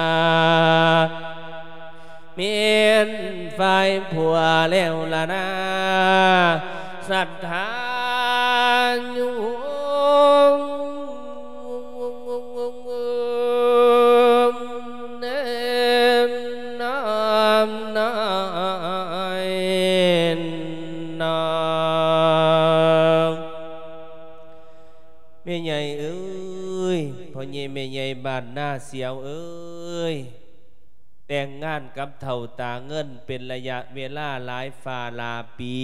ແມ່ນຝ່າຍຜົວແລ້ວລະນາ ສັດທາໂຍມ ແມ່ນນ້ອມນ້ອຍນອງ ແມ່ໃຫຍ່ເອີຍ ພໍ່ໃຫຍ່ແມ່ໃຫຍ່ບ້ານນາສຽວເອີຍ ແຕ່ງງານກັບເຖົ້າຕາເງິນເປັນໄລຍະເວລາຫຼາຍຟ້າຫຼາຍປີ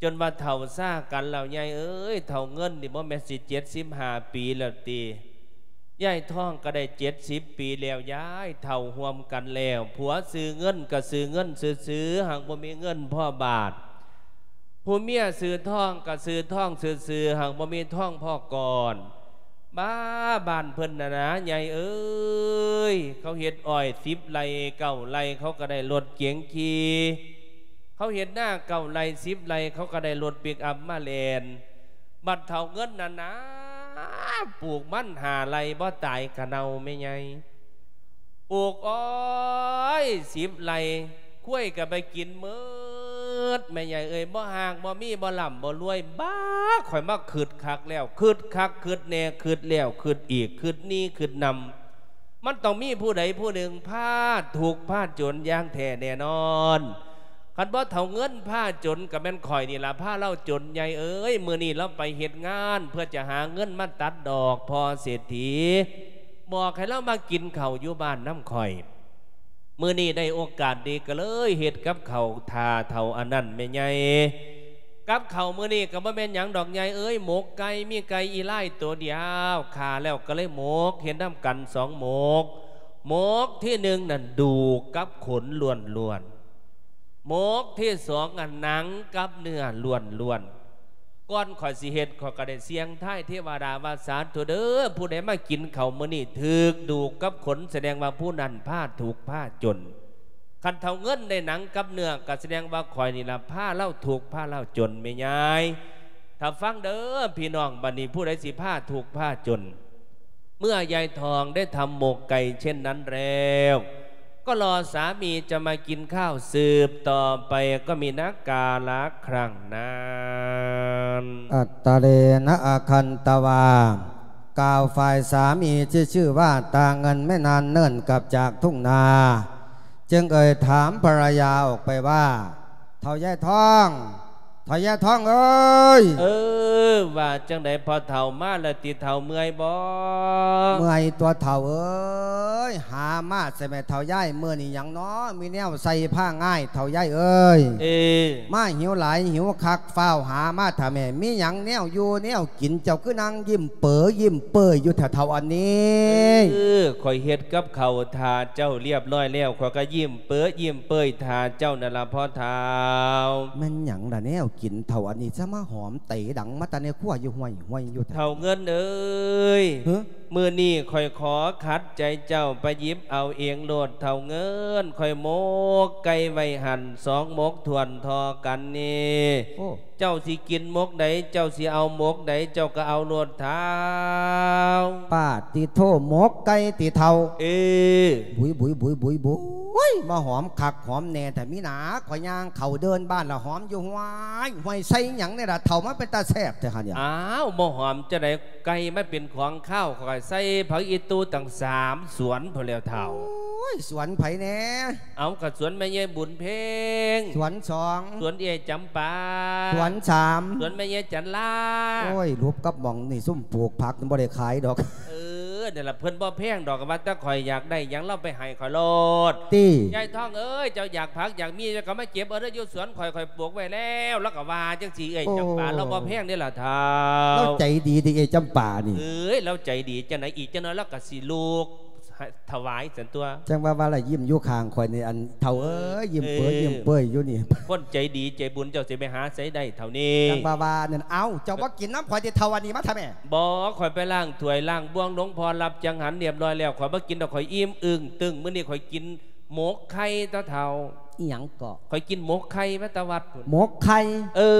ຈົນວ່າເຖົ້າຊາກັນແລ້ວ ຍາຍເອີຍ ເຖົ້າເງິນນີ້ບໍ່ແມ່ນຊິເຈັດສິບຫ້າປີແລ້ວຕິ? ຍາຍທອງກໍໄດ້ເຈັດສິບປີແລ້ວ ຍາຍເຖົ້າຮ່ວມກັນແລ້ວ ຜົວຊື່ເງິນກໍຊື່ເງິນຊື່ໆ ຫາກບໍ່ມີເງິນພໍບາດ ຜູ້ເມຍຊື່ທອງກໍຊື່ທອງຊື່ໆ ຫາກບໍ່ມີທອງພໍກ່ອນ. ບ້າ ບ້ານເພິ່ນນະນາ ຍາຍເອີຍ ເຂົາເຮັດອ້ອຍສິບໄຮ່ເກົ້າໄຮ່ ເຂົາກໍໄດ້ລົດເກັງຂີ່ ເຂົາເຮັດນາເກົ້າໄຮ່ສິບໄຮ່ ເຂົາກໍໄດ້ລົດປິກອັບມາແລ່ນ ບັດເຖົ້າເງິນນະນາ ປູກມັນຫ້າໄຮ່ບໍ່ຕາຍກະເນົ່າແມ່ໃຫຍ່ ປູກອ້ອຍສິບໄຮ່ ຄວາຍກະໄປກິນໝົດ ແມ່ໃຫຍ່ເອີຍ ບໍ່ຮາກບໍ່ມີ ບໍ່ລ່ຳບໍ່ລວຍ ບ້າ ຂ້ອຍມາຄຶດຄັກແລ້ວ ຄຶດຄັກຄຶດແນ່ ຄຶດແລ້ວຄຶດອີກ ຄຶດນີ້ຄຶດນຳ ມັນຕ້ອງມີຜູ້ໃດຜູ້ໜຶ່ງພາທຸກພາຈົນຢ່າງແທ້ແນ່ນອນ. ຄັນບໍ່ເຖົ້າເງິນພາຈົນກະແມ່ນຂ້ອຍນີ້ລະພາລາວຈົນ ໃຫຍ່ເອີຍ. ມື້ນີ້ລາວໄປເຮັດງານເພື່ອຈະຫາເງິນມາຕັດດອກພໍ່ເສດຖີ ບອກໃຫ້ລາວມາກິນເຂົ້າຢູ່ບ້ານນຳຂ້ອຍ. ມື້ນີ້ໄດ້ໂອກາດດີກະເລີຍເຮັດກັບເຂົ້າຖ້າເຖົ້າອັນນັ້ນແມ່ໃຫຍ່. ກັບເຂົ້າມື້ນີ້ກະບໍ່ແມ່ນຫຍັງດອກໃຫຍ່ເອີຍ ໝົກໄກ່ ມີໄກ່ອີ່ລາຍໂຕດຽວ ຂ້າແລ້ວກະເລີຍໝົກ ເຮັດນຳກັນສອງໝົກ. ໝົກທີໜຶ່ງນັ້ນດູກກັບຂົນລ້ວນໆ ໝົກທີສອງນັ້ນໜັງກັບເນື້ອລ້ວນໆ. ກ່ອນຂ້ອຍຊິເຮັດ ຂ້ອຍກະໄດ້ສ່ຽງທາຍເທວະດາວ່າ ສາທຸເດີ ຜູ້ໃດມາກິນເຂົ້າມື້ນີ້ຖືກດູກກັບຂົນ ສະແດງວ່າຜູ້ນັ້ນພາທຸກພາຈົນ. ຄັນເຖົ້າເງິນໄດ້ໜັງກັບເນື້ອ ກະສະແດງວ່າຂ້ອຍນີ້ລະພາລາວທຸກພາລາວຈົນແມ່ຍາຍ. ຖ້າຟັງເດີພີ່ນ້ອງ ບາດນີ້ຜູ້ໃດຊິພາທຸກພາຈົນ ເມື່ອຍາຍທອງໄດ້ທຳໝົກໄກ່ເຊັ່ນນັ້ນແລ້ວ ກໍລໍສາມີຈະມາກິນຂ້າວສືບຕໍ່ໄປ ກໍມີນາກາລະຄັ້ງນັ້ນ. ອັດຕະເລນະອະຄັນຕະວາ ກ່າວຝ່າຍສາມີທີ່ຊື່ວ່າ ຕາເງິນ ແມ່ນານເນີນກັບຈາກທົ່ງນາ ຈຶ່ງເອີ່ຍຖາມພັນລະຍາອອກໄປວ່າ ເຖົ້າຍາຍທອງ ເຖົ້າຍາຍທອງເອີຍ. ເອີ ວ່າຈັ່ງໃດພໍ່ເຖົ້າ ມາແລ້ວຕິເຖົ້າ ເມື່ອຍບໍ່? ເມື່ອຍຕົວະເຖົ້າເອີຍ ຫາມາໃສ່ແມ່ເຖົ້າຍາຍ ມື້ນີ້ຫຍັງນໍ ມີແນວໃສ່ພາງ່າຍເຖົ້າຍາຍເອີຍ. ເອີ ມາຫິວຫຼາຍຫິວຄັກ ຟ້າວຫາມາຖ້າແມ່ ມີຫຍັງແນວຢູ່ແນວກິນ ເຈົ້າຄືນັ່ງຍິ້ມເປີຍິ້ມເປີຍຢູ່ແທ້ເຖົ້າອັນນີ້? ເອີ ຂ້ອຍເຮັດກັບເຂົ້າຖ້າເຈົ້າລຽບຮ້ອຍແລ້ວ ຂ້ອຍກະຍິ້ມເປີຍິ້ມເປີຍຖ້າເຈົ້ານັ້ນລະພໍ່ເຖົ້າ. ແມ່ນຫຍັງລະແນວກິນເຖົ້າອັນນີ້ ຊະມາຫອມເຕດັງມາແຕ່ໃນຄົວຢູ່ຫ້ວຍໆຢູ່ແທ້? ເຖົ້າເງິນເອີຍ ມື້ນີ້ຂ້ອຍຂໍຂັດໃຈເຈົ້າ ໄປຫຍິບເອົາເອງໂລດເຖົ້າເງິນ ຂ້ອຍໝົກໄກ່ໄວ້ຫັ້ນສອງໝົກຖ້ວນທໍ່ກັນນີ້. ໂອ້ ເຈົ້າຊິກິນໝົກໃດ ເຈົ້າຊິເອົາໝົກໃດ ເຈົ້າກະເອົາໂລດເຖົ້າ. ປາດຕິໂທ ໝົກໄກ່ຕິເຖົ້າ? ເອີ ບຸຍໆໆໆ ໂອ້ຍ ມາຫອມຄັກຫອມແນ່ແທ້ ມີໜາ ຂ້ອຍຍ່າງເຂົ້າເດີ່ນບ້ານລະຫອມຢູ່ຫ້ວຍ ຫ້ວຍໃສ່ຫຍັງນີ້ລະເຖົ້າ ມັນເປັນຕາແຊບແທ້ຫັ້ນ. ອ້າວ ບໍ່ຫອມຈັ່ງໃດ ໄກ່ມັນເປັນຂອງຄາວ ຂ້ອຍໃສ່ຜັກອີ່ຕູ່ຕັ້ງສາມສວນພຸ້ນແລ້ວເຖົ້າ. ໂອ້ຍ ສວນໃຜແນ່? ເອົາ ກະສວນແມ່ໃຫຍ່ບຸນເພັງ ສວນສອງ ສວນເອື້ອຍຈຳປາ ສວນສາມ ສວນແມ່ໃຫຍ່ຈັນລາ. ໂອ້ຍ ຫຼຸບກັບໝ່ອງນີ້ ຊຸມປູກຜັກບໍ່ໄດ້ຂາຍດອກ. ເອີ ນັ້ນລະ ເພິ່ນບໍ່ແພງດອກ ວ່າແຕ່ຂ້ອຍຢາກໄດ້ຫຍັງລາວໄປໃຫ້ຂ້ອຍໂລດ ຕິ. ຍາຍທອງເອີຍ ເຈົ້າຢາກຜັກຢາກມີ ເຈົ້າກະມາເກັບເອົາເດີ ຢູ່ສວນຂ້ອຍ ຂ້ອຍປູກໄວ້ແລ້ວ ລາວກະວ່າຈັ່ງຊີ້ ເອື້ອຍຈຳປາ. ໂອ້ ລາວບໍ່ແພງເດ້ລະເຖົ້າ ລາວໃຈດີຕິ ເອື້ອຍຈຳປານີ້. ເອີຍ ລາວໃຈດີຈັ່ງໃດ ອີກຈັກໜ່ອຍລາວກະຊິລູກ ຖວາຍຊັ້ນຕົວະ. ຈັ່ງວ່າວ່າລະຍິ້ມຢູ່ຂ້າງຂ້ອຍນີ້ ອັນເຖົ້າເອີຍ ຍິ້ມເປີຍ ເອີ ຍິ້ມເປີຍຢູ່ນີ້. ຄົນໃຈດີໃຈບຸນເຈົ້າຊິໄປຫາໃສໄດ້ເຖົ້ານີ້? ຈັ່ງວ່າວ່ານັ້ນ. ເອົ້າ ເຈົ້າບໍ່ກິນນຳຂ້ອຍຕິເຖົ້າ ອັນນີ້ມາທຳແມ່? ບໍ່ ຂ້ອຍໄປລ້າງຖ້ວຍລ້າງບ່ວງ ຫຼວງພໍ່ຮັບຈັງຫັນລຽບຮ້ອຍແລ້ວ ຂ້ອຍບໍ່ກິນດອກ ຂ້ອຍອີ່ມອຶ້ງຕຶ້ງ. ມື້ນີ້ຂ້ອຍກິນໝົກໄຂ່ຕົວະເຖົ້າ. ອີ່ຫຍັງເກາະ? ຂ້ອຍກິນໝົກໄຂ່ມາແຕ່ວັດພຸ້ນ. ໝົກໄຂ່? ເອີ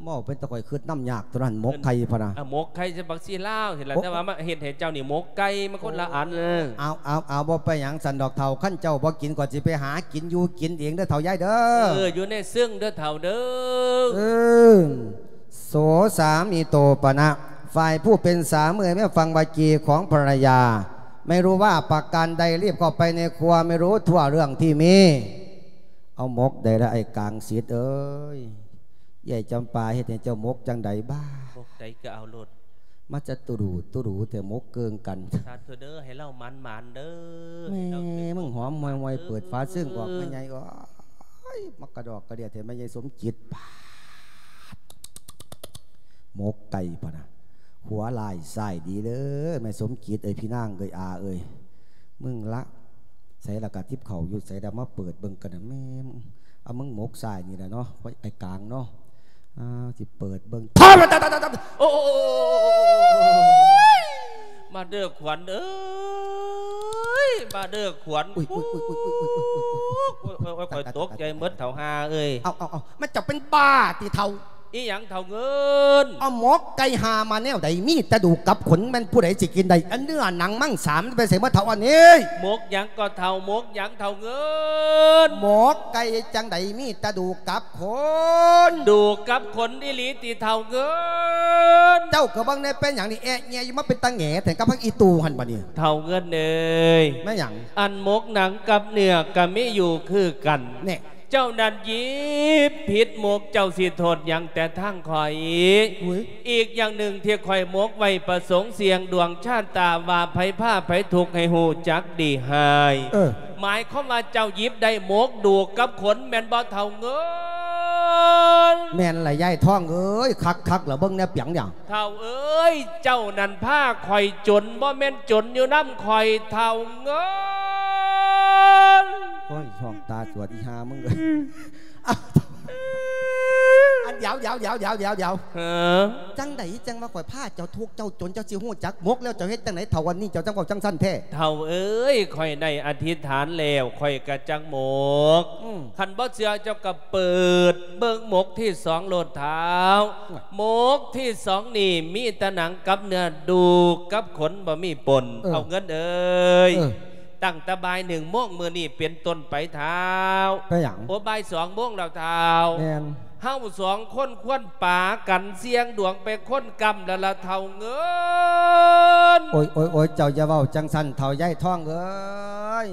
ເວົ້າເປັນຕາຂ້ອຍຄຶດນຳຍາກຕົວນັ້ນ ໝົກໄຂ່ພະນະ. ເອີ ໝົກໄຂ່ໃສ່ບັກຊີລາວຫັ້ນລະ. ໂອ້ ແຕ່ວ່າມາເຮັດໃຫ້ເຈົ້ານີ້ໝົກໄກ່ ມັນຄົນລະອັນ. ເອີ ເອົາ ເອົາ ເອົາ ບໍ່ເປັນຫຍັງຊັ້ນດອກເຖົ້າ ຄັນເຈົ້າບໍ່ກິນ ຂ້ອຍຊິໄປຫາກິນຢູ່ກິນເອງເດີເຖົ້າຍາຍເດີ. ເອີ ຢູ່ໃນເຊິ່ງເດີເຖົ້າເດີ. ເອີ ໂສສາມີໂຕປະນະ ຝ່າຍຜູ້ເປັນສາມີ ແມ່ນຟັງວາຈີຂອງພັນລະຍາ ໄມ່ຮູ້ວ່າປະການໃດ ຣີບເຂົ້າໄປໃນຄົວ ໄມ່ຮູ້ທົ່ວເລື່ອງທີ່ມີ. ເອົາໝົກໃດລະ ໄອ້ກາງສິດເອີຍ? ຍາຍຈຳປາເຮັດໃຫ້ເຈົ້າໝົກຈັ່ງໃດບ້າ? ໝົກໃດກະເອົາໂລດ. ມາຈະຕຸດູຕຸດູແຕ່ໝົກເກີ່ງກັນ. ສາທຸເດີ ໃຫ້ລາວໝານໆເດີ. ແມ່ ມຶງຫອມຫ່ວຍໆ ເປີດຝາເຊິ່ງອອກ ແມ່ໃຫຍ່ເອີຍ. ໂອ້ຍ ມັກກະດອກກະເດຍແທ້ແມ່ໃຫຍ່ສົມຈິດ. ປາດ ໝົກໄກ່ພະນະ ຂົວລ້າຍຊ້າຍດີເດີ ແມ່ສົມຈິດເອີຍ ພີ່ນາງເອີຍ ອາເອີຍ. ມຶງລະ ໃສລະກະຕິບເຂົ້າຢູ່ໃສລະ ມາເປີດເບິ່ງກັນນະ. ແມ່ ເອົາ ມຶງໝົກຊ້າຍນີ້ລະເນາະ ໄອ້ກາງເນາະ. ອ້າວ ຊິເປີດເບິ່ງ. ໂອ້ ມາເດີຂວັນເອີຍ ມາເດີຂວັນ. ໂອ້ຍ ຂ້ອຍຕົກໃຈໝົດເຖົ້າຫ່າເອີຍ. ເອົາ ເອົາ ເອົາ ມັນເຈົ້າເປັນບ້າຕິເຖົ້າ? ອີ່ຫຍັງເຖົ້າເງິນ? ເອົາໝົກໄກ່ຫາມາແນວໃດ? ມີແຕ່ດູກກັບຂົນ ແມ່ນຜູ້ໃດຊິກິນໄດ້? ອັນເນື້ອໜັງມັງສາ ມັນໄປໃສໝົດເຖົ້າອັນນີ້? ໝົກຫຍັງກໍເຖົ້າ? ໝົກຫຍັງເຖົ້າເງິນ? ໝົກໄກ່ຈັ່ງໃດ ມີແຕ່ດູກກັບຂົນ? ດູກກັບຂົນອີ່ຫຼີຕິເຖົ້າເງິນ? ເຈົ້າກໍເບິ່ງແດ່ ເປັນຫຍັງນີ້ ແອະແຍະຢູ່ ມາເປັນຕາແຫງແທ້ ກັບພັກອີ່ຕູຫັ້ນບັດນີ້? ເຖົ້າເງິນເອີຍ ແມ່ນຫຍັງ? ອັນໝົກໜັງກັບເນື້ອກໍມີຢູ່ຄືກັນ ແນ່ ເຈົ້ານັ້ນຫຍິບຜິດໝົກ ເຈົ້າຊິໂທດຫຍັງແຕ່ທາງຂ້ອຍ? ອຸ້ຍ ອີກຢ່າງໜຶ່ງທີ່ຂ້ອຍໝົກໄວ້ ປະສົງສ່ຽງດວງຊະຕາ ວ່າໃຜພາໃຜທຸກໃຫ້ຮູ້ຈັກດີຮ້າຍ ເອີ ໝາຍຄວາມວ່າເຈົ້າຫຍິບໄດ້ໝົກດູກກັບຂົນແມ່ນບໍ່ ເຖົ້າເງິນ? ແມ່ນລະຍາຍທອງເອີຍ ຄັກໆ ລະເບິ່ງແນ່ ປຽງຫຍັງ? ເຖົ້າເອີຍ ເຈົ້ານັ້ນພາຂ້ອຍຈົນ ບໍ່ແມ່ນຈົນຢູ່ນຳຂ້ອຍ ເຖົ້າເງິນ. ໂອ້ຍ ຊ່ອງຕາສວດອີ່ຫ່າມຶງເອີຍ. ອັນ ດຽວໆໆໆໆ ຫື ຈັ່ງໃດຈັ່ງວ່າຂ້ອຍພາເຈົ້າທຸກເຈົ້າຈົນ ເຈົ້າຊິຮູ້ຈັກໝົກແລ້ວ ເຈົ້າເຮັດຈັ່ງໃດເຖົ້າ ອັນນີ້ເຈົ້າຈັ່ງເວົ້າຈັ່ງຊັ້ນແທ້? ເຖົ້າເອີຍ ຂ້ອຍໄດ້ອະທິດຖານແລ້ວ ຂ້ອຍກະຈັກໝົກ ອືມ ຄັນບໍ່ເຊື່ອເຈົ້າກໍເປີດເບິ່ງໝົກທີສອງໂລດທ້າວ ໂອ້ຍ ໝົກທີສອງນີ້ມີແຕ່ໜັງກັບເນື້ອ ດູກກັບຂົນບໍ່ມີປົນ ເອີ ເຖົ້າເງິນເອີຍ ເອີ ຕັ້ງແຕ່ບ່າຍໜຶ່ງໂມງມື້ນີ້ເປັນຕົ້ນໄປທ້າວ ເປັນຫຍັງ? ໂອ້ ບ່າຍສອງໂມງແລ້ວທ້າວ ແມ່ນ ເຮົາສອງຄົນຄວນປາກັນສ່ຽງດວງໄປຄົນກຳແລ້ວລະເຖົ້າເງິນ. ໂອ້ຍໆໆ ເຈົ້າຢ່າເວົ້າຈັ່ງຊັ້ນເຖົ້າຍາຍທອງເອີຍ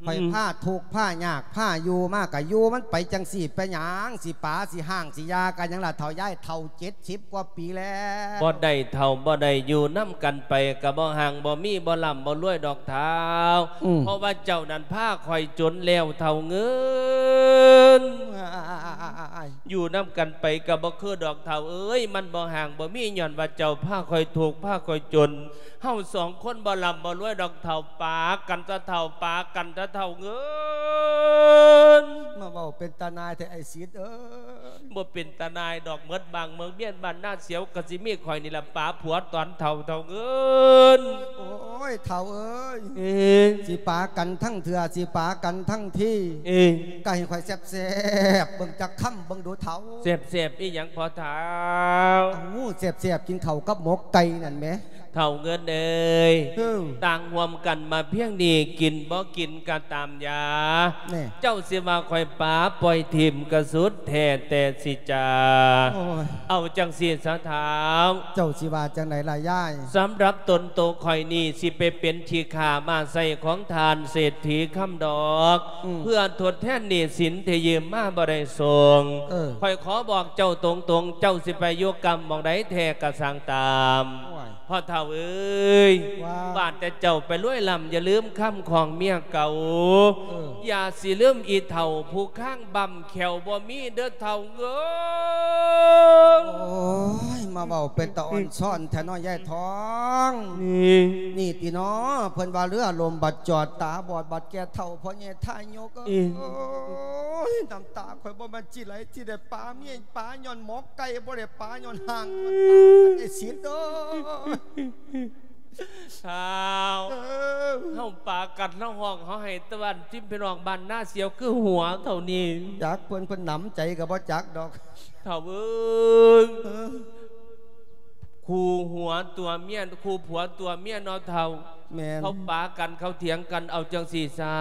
ອືມ ຂ້ອຍພາທຸກພາຍາກພາຢູ່ມາກະຢູ່ມັນໄປຈັ່ງຊີ້ ເປັນຫຍັງ ຊິປາຊິຮ້າງຊິຢາກັນຫຍັງລະເຖົ້າຍາຍ ເຖົ້າເຈັດສິບກວ່າປີແລ້ວ. ບໍ່ໄດ້ເຖົ້າບໍ່ໄດ້ ຢູ່ນຳກັນໄປກະບໍ່ຮັ່ງບໍ່ມີ ບໍ່ລ່ຳບໍ່ລວຍດອກທ້າວ ອືມ ເພາະວ່າເຈົ້ານັ້ນພາຂ້ອຍຈົນແລ້ວເຖົ້າເງິນ. ຢູ່ນຳກັນໄປກໍບໍ່ຄືດອກເຖົ້າເອີຍ ມັນບໍ່ຮັ່ງບໍ່ມີ ຍ້ອນວ່າເຈົ້າພາຂ້ອຍທຸກພາຂ້ອຍຈົນ ເຮົາສອງຄົນບໍ່ລ່ຳບໍ່ລວຍດອກເຖົ້າ ປາກັນຊະເຖົ້າ ປາກັນຊະເຖົ້າເງິນ. ມາເວົ້າເປັນຕານາຍແທ້ໄອ້ສິດເອີຍ. ບໍ່ເປັນຕານາຍດອກ ໝົດບ້ານເມືອງມຽນບ້ານນາສຽວ ກໍຊິມີຂ້ອຍນີ້ລະປາຜົວຕອນເຖົ້າ ເຖົ້າເງິນ. ໂອ້ຍ ເຖົ້າເອີຍ ເອີ ຊິປາກັນທັງເທື່ອ ຊິປາກັນທັງທີ ເອີ ກໍໃຫ້ຂ້ອຍແຊບໆເບິ່ງຈັກຄຳເບິ່ງດູເຖົ້າ. ແຊບໆອີ່ຫຍັງພໍ່ທ້າວ? ເອົາ ແຊບໆກິນເຂົ້າກັບໝົກໄກ່ນັ້ນແໝ. ເຖົ້າເງິນເອີຍ ເອີ ຕ່າງຮ່ວມກັນມາພຽງນີ້ ກິນບໍ່ກິນກໍຕາມຢາ ແນ່ ເຈົ້າຊິວ່າຂ້ອຍປາປ່ອຍຖິ້ມກໍສຸດແທ້ແຕ່ຊິຈາ. ໂອ້ຍ ເອົາຈັ່ງຊີ້ຊະທ້າວ ເຈົ້າຊິວ່າຈັ່ງໃດລະຍາຍ? ສຳລັບຕົນໂຕຂ້ອຍນີ້ ຊິໄປເປັນຂີ້ຂ້າມ້າໄຊຂອງທ່ານເສດຖີຄຳດອກ ອືມ ເພື່ອທົດແທນໜີ້ສິນທີ່ຢືມມາບໍ່ໄດ້ສົ່ງ. ເອີ ຂ້ອຍຂໍບອກເຈົ້າຕົງໆ ເຈົ້າຊິໄປຢູ່ກຳໝ່ອງໃດແທ້ກໍຊ່າງຕາມ. ໂອ້ຍ ພໍ່ເຖົ້າເອີຍ ວ່າ ວ່າແຕ່ເຈົ້າໄປລວຍລ້ຳ ຢ່າລືມຄຳຂອງເມຍເກົ່າ. ເອີ ຢ່າຊິລືມອີ່ເຖົ້າຜູ້ຄາງບຳແຂ້ວບໍ່ມີເດີເຖົ້າເອີຍ. ໂອ້ຍ ມາເວົ້າເປັນຕາອ່ອນຊ້ອນແທ້ເນາະຍາຍທອງ. ນີ້ ນີ້ຕິເນາະ ເພິ່ນວ່າເຮືອລົມບັດຈອດ ຕາບອດບັດແກ່ເຖົ້າ ພໍ່ໃຫຍ່ທ່າຍົກເອີຍ. ເອີ ໂອ້ຍ ນ້ຳຕາຂ້ອຍບໍ່ແມ່ນຊິໄຫຼ ຊິໄດ້ປາເມຍປາຍ້ອນໝອກໄກ່ ບໍ່ໄດ້ປາຍ້ອນຮ້າງ ໄອ້ສິດເອີຍ. ທ້າວ ເອີ ເຮົາປາກັນ ເຮົາຮ້ອງ ເຮົາໄຫ້ຕະວັນ ທີມພີ່ນ້ອງບ້ານນາສຽວຄືຫົວເທົ່ານີ້. ຈັກເພິ່ນ ເພິ່ນໜຳໃຈກໍບໍ່ຈັກດອກ ເຖົ້າເອີຍ. ເອີ ຄູ່ຫົວຕົວເມຍ ຄູ່ຜົວຕົວເມຍເນາະເຖົ້າ. ແມ່ນ ເຂົາປາກັນ ເຂົາຖຽງກັນ ເອົາຈັ່ງຊີ້ຊະ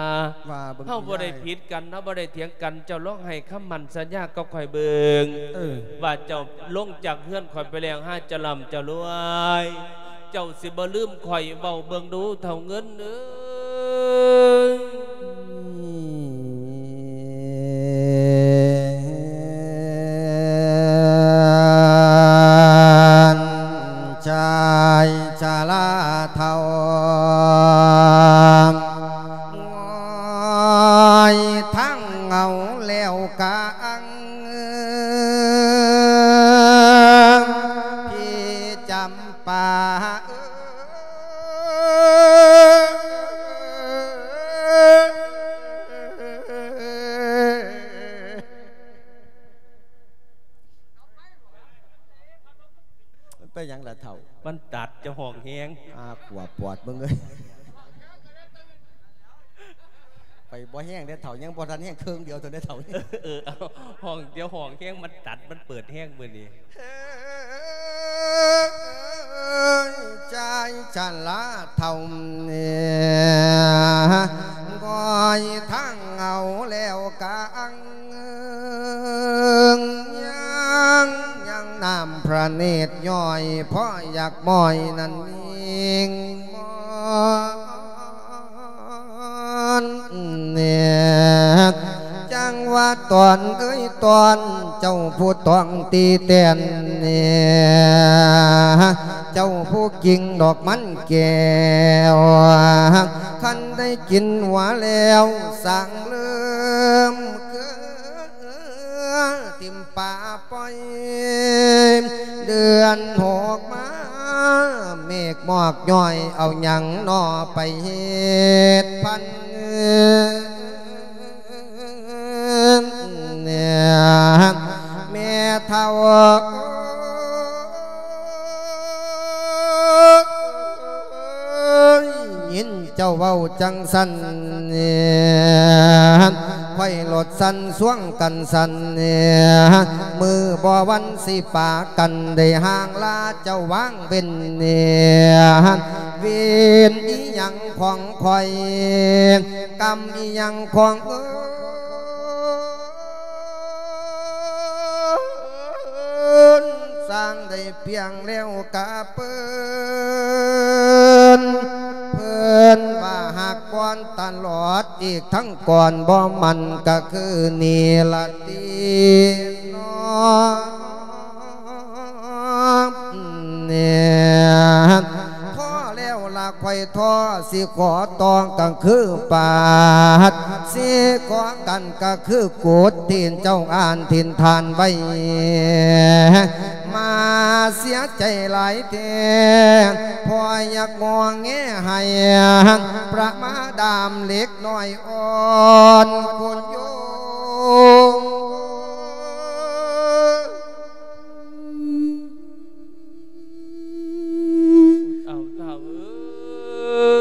ວ່າເບິ່ງ ເຮົາບໍ່ໄດ້ຜິດກັນ ເຮົາບໍ່ໄດ້ຖຽງກັນ ເຈົ້າລອງໃຫ້ຄຳໝັ້ນສັນຍາກັບຂ້ອຍເບິ່ງ ເອີ ວ່າເຈົ້າລົງຈາກເຮືອນຂ້ອຍໄປແລ້ວ ຫາຈະລ່ຳຈະລວຍ ເຈົ້າຊິບໍ່ລືມຂ້ອຍ ເວົ້າເບິ່ງດູເຖົ້າເງິນເອີຍ. ຊາຍຊະລາເຖົ້າ ງອຍທັງເງົາແລ້ວກາງ ພີ່ຈຳປາເອີຍ. ມັນເປັນຫຍັງລະເຖົ້າ? ມັນຕັດ ເຈົ້າຮ້ອງແຮງ. ອາ ຂວບປອດເບິ່ງເອີຍ. ໄປບໍ່ແຮງເດ້ເຖົ້າ ຍັງບໍ່ທັນແຮງເຄິ່ງດຽວເທົ່ານັ້ນເຖົ້າ. ເອີ ເອົາ ຫ້ອງ ດຽວຫ້ອງແຮງ ມັນຕັດ ມັນເປີດແຮງມື້ນີ້. ເອີຍ ຊາຍຊະລາເຖົ້າເອີຍ ງອຍທາງເອົາແລ້ວກະອັງ ຍັງ ຍັງນ້ຳພະເນດຍ້ອຍ ພໍຢາກມ້ອຍນັ້ນຍິງມອນເນດ ຈັ່ງວ່າຕອນເອີຍຕອນ ເຈົ້າຜູ້ຕ້ອງຕີແຕນເນດ ເຈົ້າຜູ້ກິນດອກມັນແກ້ວ ຄັນໄດ້ກິນຫົວແລ້ວ ສ້າງເລີ່ມເກືອ ຖິ້ມປາປ່ອຍ ເດືອນຫົກມາ ເມກໝອກຍ້ອຍ ເອົາຫຍັງໜໍ່ໄປເຮັດພັນເອີຍ ແມ່ເຖົ້າ ຍິນເຈົ້າເວົ້າຈັ່ງຊັ້ນ ຂ້ອຍໂລດສັ່ນຊວງກັນສັ່ນ ມື້ບໍ່ວັນຊິປາກັນໄດ້ຫ່າງລາເຈົ້າວາງເວັ້ນ ເວນອີ່ຫຍັງຂອງຂ້ອຍ ກຳອີ່ຫຍັງຂອງເອີ ເອີນ ສ້າງໄດ້ພຽງແລ້ວກະເປີນ ເພິ່ນວ່າຫາກກ່ອນຕະຫຼອດ ອີກທັງກ່ອນບໍ່ໝັ້ນກະຄືນີ້ລະຕິເນາະ ແນ່ ພໍແລ້ວລະຂ້ອຍທໍ້ ຊິຂໍຕໍ່ກະຄືປາດ ຊິຂໍກັນກະຄືກົດ ທີ່ເຈົ້າອ່ານຖິ່ນຖານໄວ້ ມາເສຍໃຈຫຼາຍແທ້ ພໍ່ຢາກງໍແງໃຫ້ ປະມາດາມເລັກນ້ອຍອ່ອນຄຸນໂຍ ເອົາເຖົ້າເອີຍ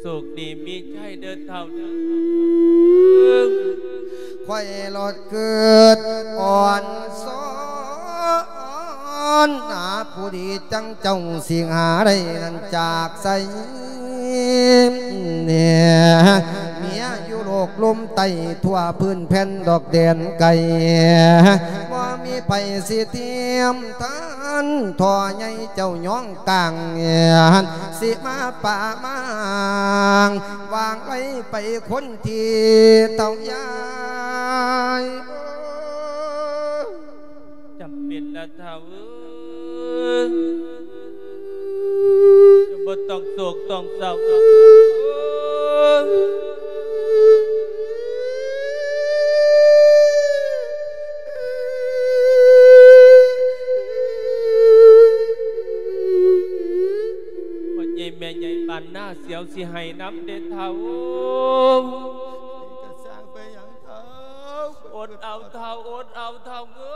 ໂຊກດີມີໄຈເດີເຖົ້າເດີ ຂ້ອຍລອດ ເກີດອ່ອນຊອນ ຫາຜູ້ດີຈັ່ງເຈົ້າຊິຫາໄດ້ນັ້ນຈາກໃສ ແນ່ ເມຍຢູ່ໂລກລຸ່ມໃຕ້ ທົ່ວພື້ນແຜ່ນດອກແດນໄກ ບໍ່ມີໃຜຊິທຽມທັນ ທໍ່ໃຫຍ່ເຈົ້າຍ້ອງກາງ ຊິມາປະມາງ ວາງໄວ້ໄປຄົນທີ່ເຖົ້າຍາຍ ຈຳເປັນລະເຖົ້າເອີຍ ຈະບໍ່ຕ້ອງໂສກຕ້ອງເສົ້າດອກເອີຍ ພໍ່ໃຫຍ່ແມ່ໃຫຍ່ບ້ານນາສຽວຊິໄຫ້ນຳເດ້ເຖົ້າ ກະສ້າງໄປຫຍັງເຖົ້າ ອົດເອົາເຖົ້າ ອົດເອົາເຖົ້າເອີ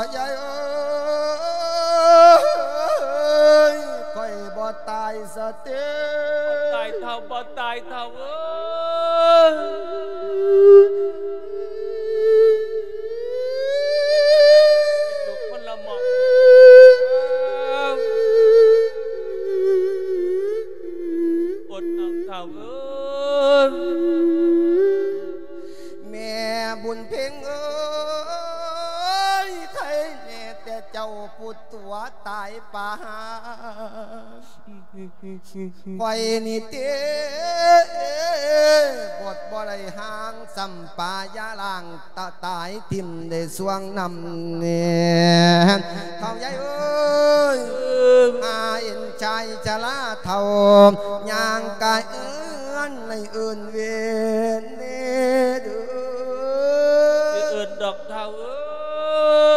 ຍ ຍາຍເອີຍ ຂ້ອຍບໍ່ຕາຍສະຕິ ບໍ່ຕາຍເຖົ້າ ບໍ່ຕາຍເຖົ້າເອີຍ ລູກຄົນລະໝອກ ອົດເອົາເຖົ້າເອີຍ ແມ່ບຸນເພັງເອີຍ ໄທແມ່ແຕ່ເຈົ້າຜູ້ຕົວະຕາຍປາຫາ ຂ້ອຍນີ້ເຕະບົດບໍ່ໄດ້ຫາງ ສ່ຳປາຢາລ້າງຕະຕາຍຖິ້ມໄດ້ຊ່ວງນ້ຳແນ່ ເຖົ້າໃຫຍ່ເອີຍ ອາເອັນຊາຍຊະລາເຖົ້າ ຍ່າງກາຍເອື້ອນໃນເອີ້ນເວນເດີ ຊິເອີ້ນດອກເຖົ້າເອີ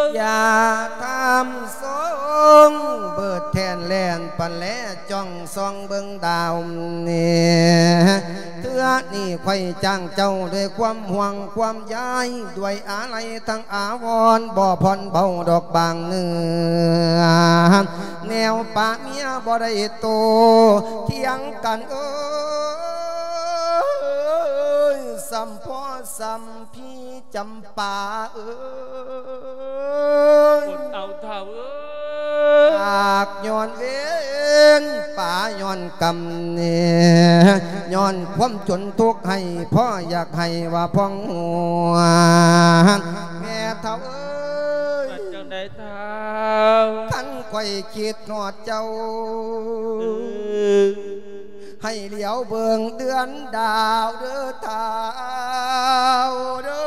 ຍ ຢ່າທຳຊົງ ເບີດແທນແລ່ນປັນແລ ຈ້ອງສ່ອງເບິ່ງດາວແນ່ ຈ້າງເຈົ້າດ້ວຍຄວາມຫ່ວງຄວາມໃຍ ດ້ວຍອາໄລທັງອາວອນ ບໍ່ຜ່ອນເບົາດອກບາງເນື້ອ ແນວປະເມຍບໍ່ໄດ້ໂຕ ຖຽງກັນເອີຍ ສ່ຳພໍ່ສ່ຳ ພີ່ຈຳປາເອີຍ ອົດເອົາເຖົ້າເອີຍ ຢາກຍ້ອນເວນປາຍ້ອນກຳ ຍ້ອນຄວາມຈົນທຸກໃຫ້ ພໍ່ຢາກໃຫ້ວ່າພອງຫົວ ແມ່ເຖົ້າເອີຍ ວ່າຈັ່ງໃດເຖົ້າ ຄັນຂ້ອຍຄິດຮອດເຈົ້າ ເອີ ໃຫ້ຫຼຽວເບິ່ງເດືອນດາວເດີທ້າວເດີ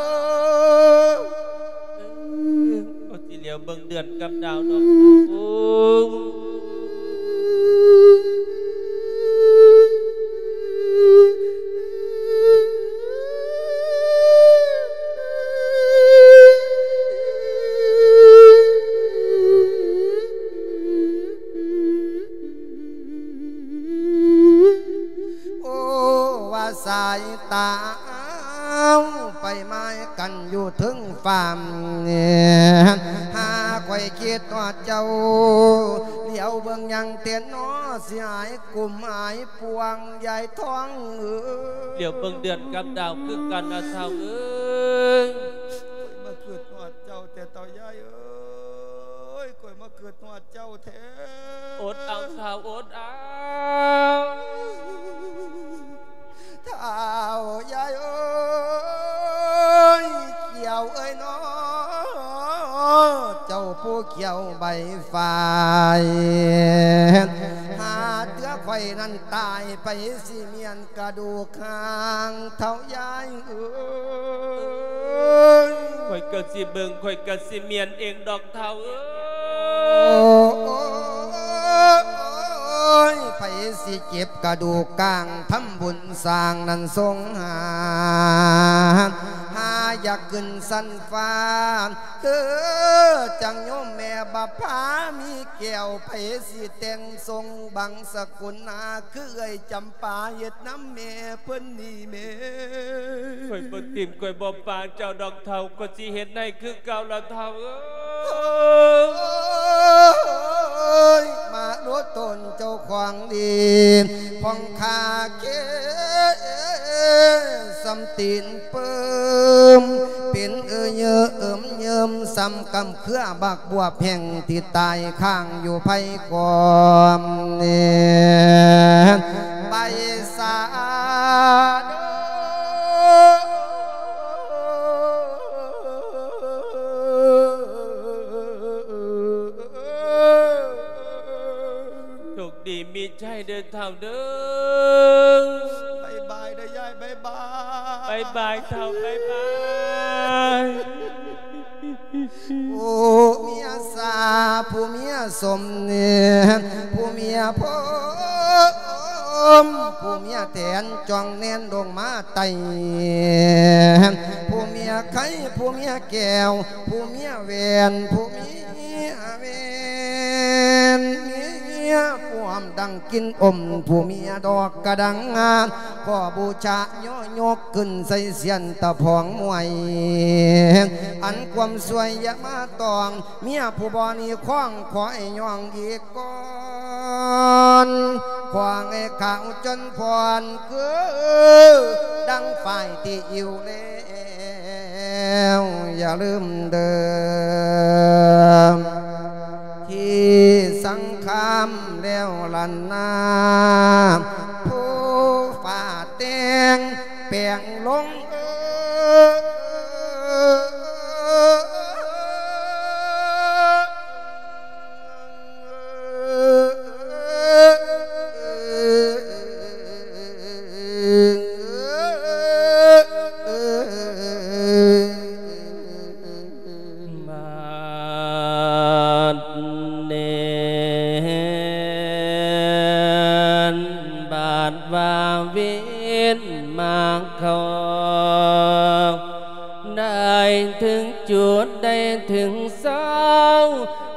ເອີ ກໍຊິຫຼຽວເບິ່ງເດືອນກັບດາວດອກ ໂອ້ ໂອ້ ວ່າສາຍຕາໄປໝາຍກັນຢູ່ເທິງຟ້າ ຫາຂ້ອຍຄິດຮອດເຈົ້າ ຫຼຽວເບິ່ງຫຍັງແທ້ນໍ ຊິຫາຍກຸ້ມຫາຍປ່ວງ ຍາຍທອງເອີຍ ຫຼຽວເບິ່ງເດືອນກັບດາວຄືກັນນະເຖົ້າເອີຍ ຂ້ອຍມາຄິດຮອດເຈົ້າແທ້ເຖົ້າຍາຍເອີຍ ຂ້ອຍມາຄິດຮອດເຈົ້າແທ້ ອົດເອົາເຖົ້າ ອົດເອົາ ເຖົ້າຍາຍເອີຍ ຂຽວເອີຍນໍ ເຈົ້າຜູ້ຂຽວໃບຝ້າຍ ຫາເທື່ອຂ້ອຍນັ້ນຕາຍໄປ ຊິມ້ຽນກະດູກຫາງເຖົ້າຍາຍເອີຍ ຂ້ອຍກະຊິເບິ່ງ ຂ້ອຍກະຊິມ້ຽນເອງດອກເຖົ້າເອີຍ ໂອ້ຍ ໃຜຊິເຈັບກະດູກກາງ ທຳບຸນສ້າງນັ້ນສົງຫານ ຫາຢາກຂຶ້ນຊັ້ນຟ້າ ເອີ ຈັ່ງໂຍມແມ່ບັບຜາມີແກ້ວ ໃຜຊິແຕ່ງຊົງບັງສະກຸນນາ ຄືເອື້ອຍຈຳປາເຮັດນຳແມ່ເພິ່ນນີ້ແມ່ ຂ້ອຍບໍ່ຖິ້ມ ຂ້ອຍບໍ່ປະເຈົ້າດອກເຖົ້າ ຂ້ອຍຊິເຮັດໃຫ້ຄືເກົ່າລະເຖົ້າເອີຍ ມະນຸດຕົນເຈົ້າຂອງດີ ຂອງຂ້າເຄ ສ່ຳຕີນ ປຶ້ມ ເປັນເອີເຍີ້ເອີມເຍີ້ມ ສ່ຳກຳເຄືອບັກບວບແຫ້ງ ທີ່ຕາຍຄ້າງຢູ່ໄພກອມ ໃບສາໂດ ໂຊກດີມີໄຊເດີເຖົ້າເດີ ບາຍບາຍເດີຍາຍ ບາຍບາຍ ບາຍບາຍເຖົ້າ ບາຍບາຍ ຜູ້ເມຍສາ ຜູ້ເມຍສົມເນດ ຜູ້ເມຍພົມ ຜູ້ເມຍແຖນ ຈ່ອງແນນລົງມາໄຕ້ ຜູ້ເມຍໄຂ່ ຜູ້ເມຍແກ້ວ ຜູ້ເມຍແຫວນ ຜູ້ເມຍແຫວນ ເມຍພວມດັງກິນອົມ ຜູ້ເມຍດອກກະດັງງາມ ຂໍບູຊາຍໍຍົກຂຶ້ນໃສ່ຊຽນຕະພອງມວຍ ອັນຄວາມສວຍຢ່າມາຕ້ອງ ເມຍຜູ້ບໍ່ນີ້ຄອງ ຂໍໃຫ້ຍ້ອງອີກກ່ອນ ຂໍໃຫ້ຂາວຈົນພອນ ຄືດັ່ງຝ້າຍທີ່ອິ້ວແລ້ວ ຢ່າລືມເດີ ທີ່ສັງຄາມແລ້ວລັນນາ ຜູ້ຟ້າແຕ່ງແປງລົງ ບາດນີ້ບາດວ່າເວນມາເຂົ້າ ໄດ້ເຖິງຈຸດ ໄດ້ເຖິງເຊົາ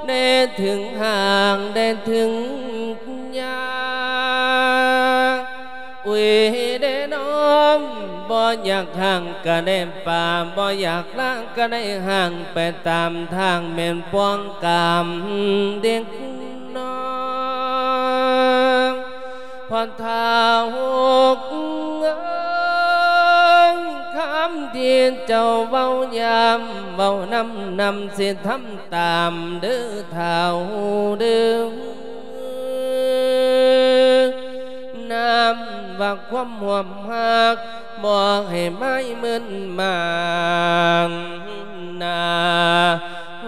ໄດ້ເຖິງຫາງ ໄດ້ເຖິງຍາ ອຸ້ຍເດ້ນ້ອງ ບໍ່ ບໍ່ຢາກຮ່າງກະໄດ້ປາ ບໍ່ຢາກລາກະໄດ້ຮ່າງ ໄປຕາມທາງແມ່ນປ່ອງກາມເດັກນ້ອຍ ພໍ່ທ້າວເອີຍ ຄຳທີ່ເຈົ້າເວົ້າ ຍາມເວົ້ານຳ ນຳຊິທຳຕາມເດີ້ທ້າວເດີ້ ນຳວ່າຄວາມຮ່ວມຮັກ ບໍ່ໃຫ້ມາຍມຶນມານນາ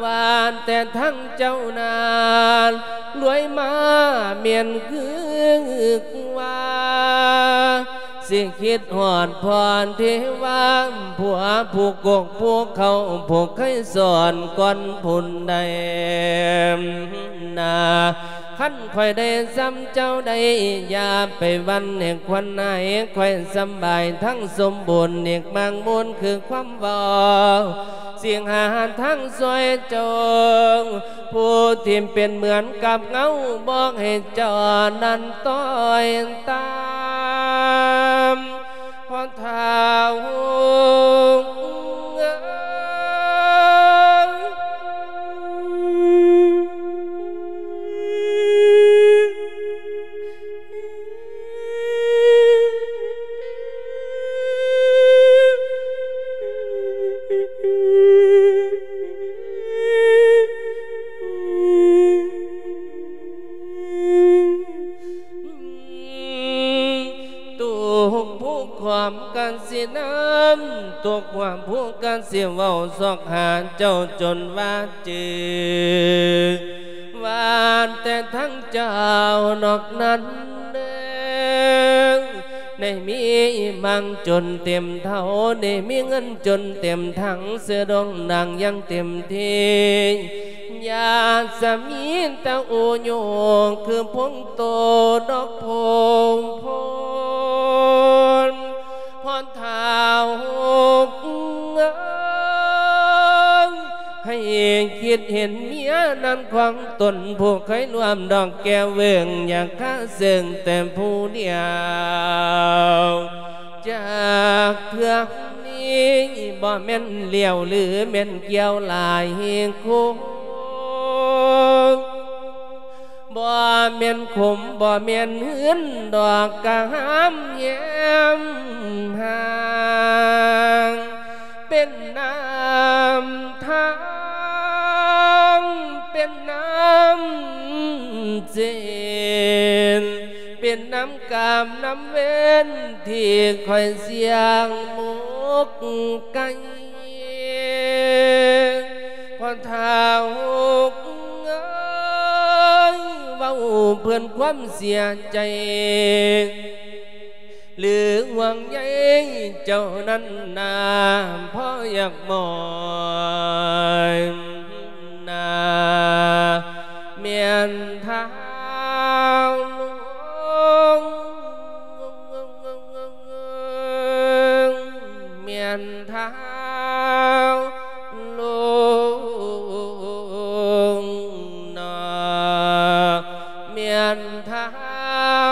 ວ່າແຕ່ທາງເຈົ້ານັ້ນລວຍມາແມ່ນຄືວ່າ ຊິຄິດຮອດພອນເທວາ ຜົວຜູ້ກົກຜູ້ເຄົ້າ ຜູ້ເຄີຍສອນກ່ອນຜູ້ໃດນາ ຄັນຂ້ອຍໄດ້ສ່ຳເຈົ້າໄດ້ ຢ່າໄປຫວັ່ນໃຫ້ຄວັນໃຫ້ ຂ້ອຍສຳບາຍທັງສົມບູນ ເອກມັງມູນຄືຄວາມເວົ້າ ຊິຫາທາງຊ່ວຍເຈົ້າ ຜູ້ທີ່ເປັນເໝືອນກັບເງົາ ບອກໃຫ້ເຈົ້ານັ້ນຕ້ອຍຕາມ ພໍ່ທ້າວເອີຍ ທຸກຜູ້ຄວາມກະຊິນຳ ທຸກຄວາມຜູ້ກະຊິເວົ້າ ຊອກຫາເຈົ້າຈົນວ່າຈື່ ວ່າແຕ່ທາງເຈົ້ານອກນັ້ນເດີ ໄດ້ມີມັງຈົນເຕັມເຖົ້າ ໄດ້ມີເງິນຈົນເຕັມຖັງ ເສື້ອດອງໜັງຢ່າງເຕັມທີ່ ຢາກຈະມີແຕ່ອູໂຍ ຄືພົງໂຕດອກໂພງໂພນ ພໍ່ທ້າວເອີຍ ໃຫ້ຄິດເຫັນເມຍນັ້ນຂອງຕົນ ຜູ້ເຄີຍຮ່ວມດອກແກ້ວເຫວີງ ຢາກຄາເຊິ່ງແຕ່ຜູ້ດຽວ ຈັກເທື່ອນີ້ ບໍ່ແມ່ນລ້ຽວ ຫຼືແມ່ນກ່ຽວຫຼາຍຄົນ ບໍ່ແມ່ນຂົມ ບໍ່ແມ່ນຫືນດອກ ກະຫາມແຮມຮ່າງ ເປັນນ້ຳທາງ ເປັນນ້ຳເຈນ ເປັນນ້ຳກາມນ້ຳເວັນ ທີ່ຂ້ອຍສ່ຽງໝົກໄກ່ ພໍ່ທ້າວເອີຍ ເວົ້າເພື່ອຄວາມເສຍໃຈ ຫຼືຫ່ວງໃຍເຈົ້ານັ້ນນາ ພໍຢາກມອຍນາ ແມ່ນທ້າວຫຼວງ ແມ່ນທ້າວຫຼວງນາ ແມ່ນທ້າ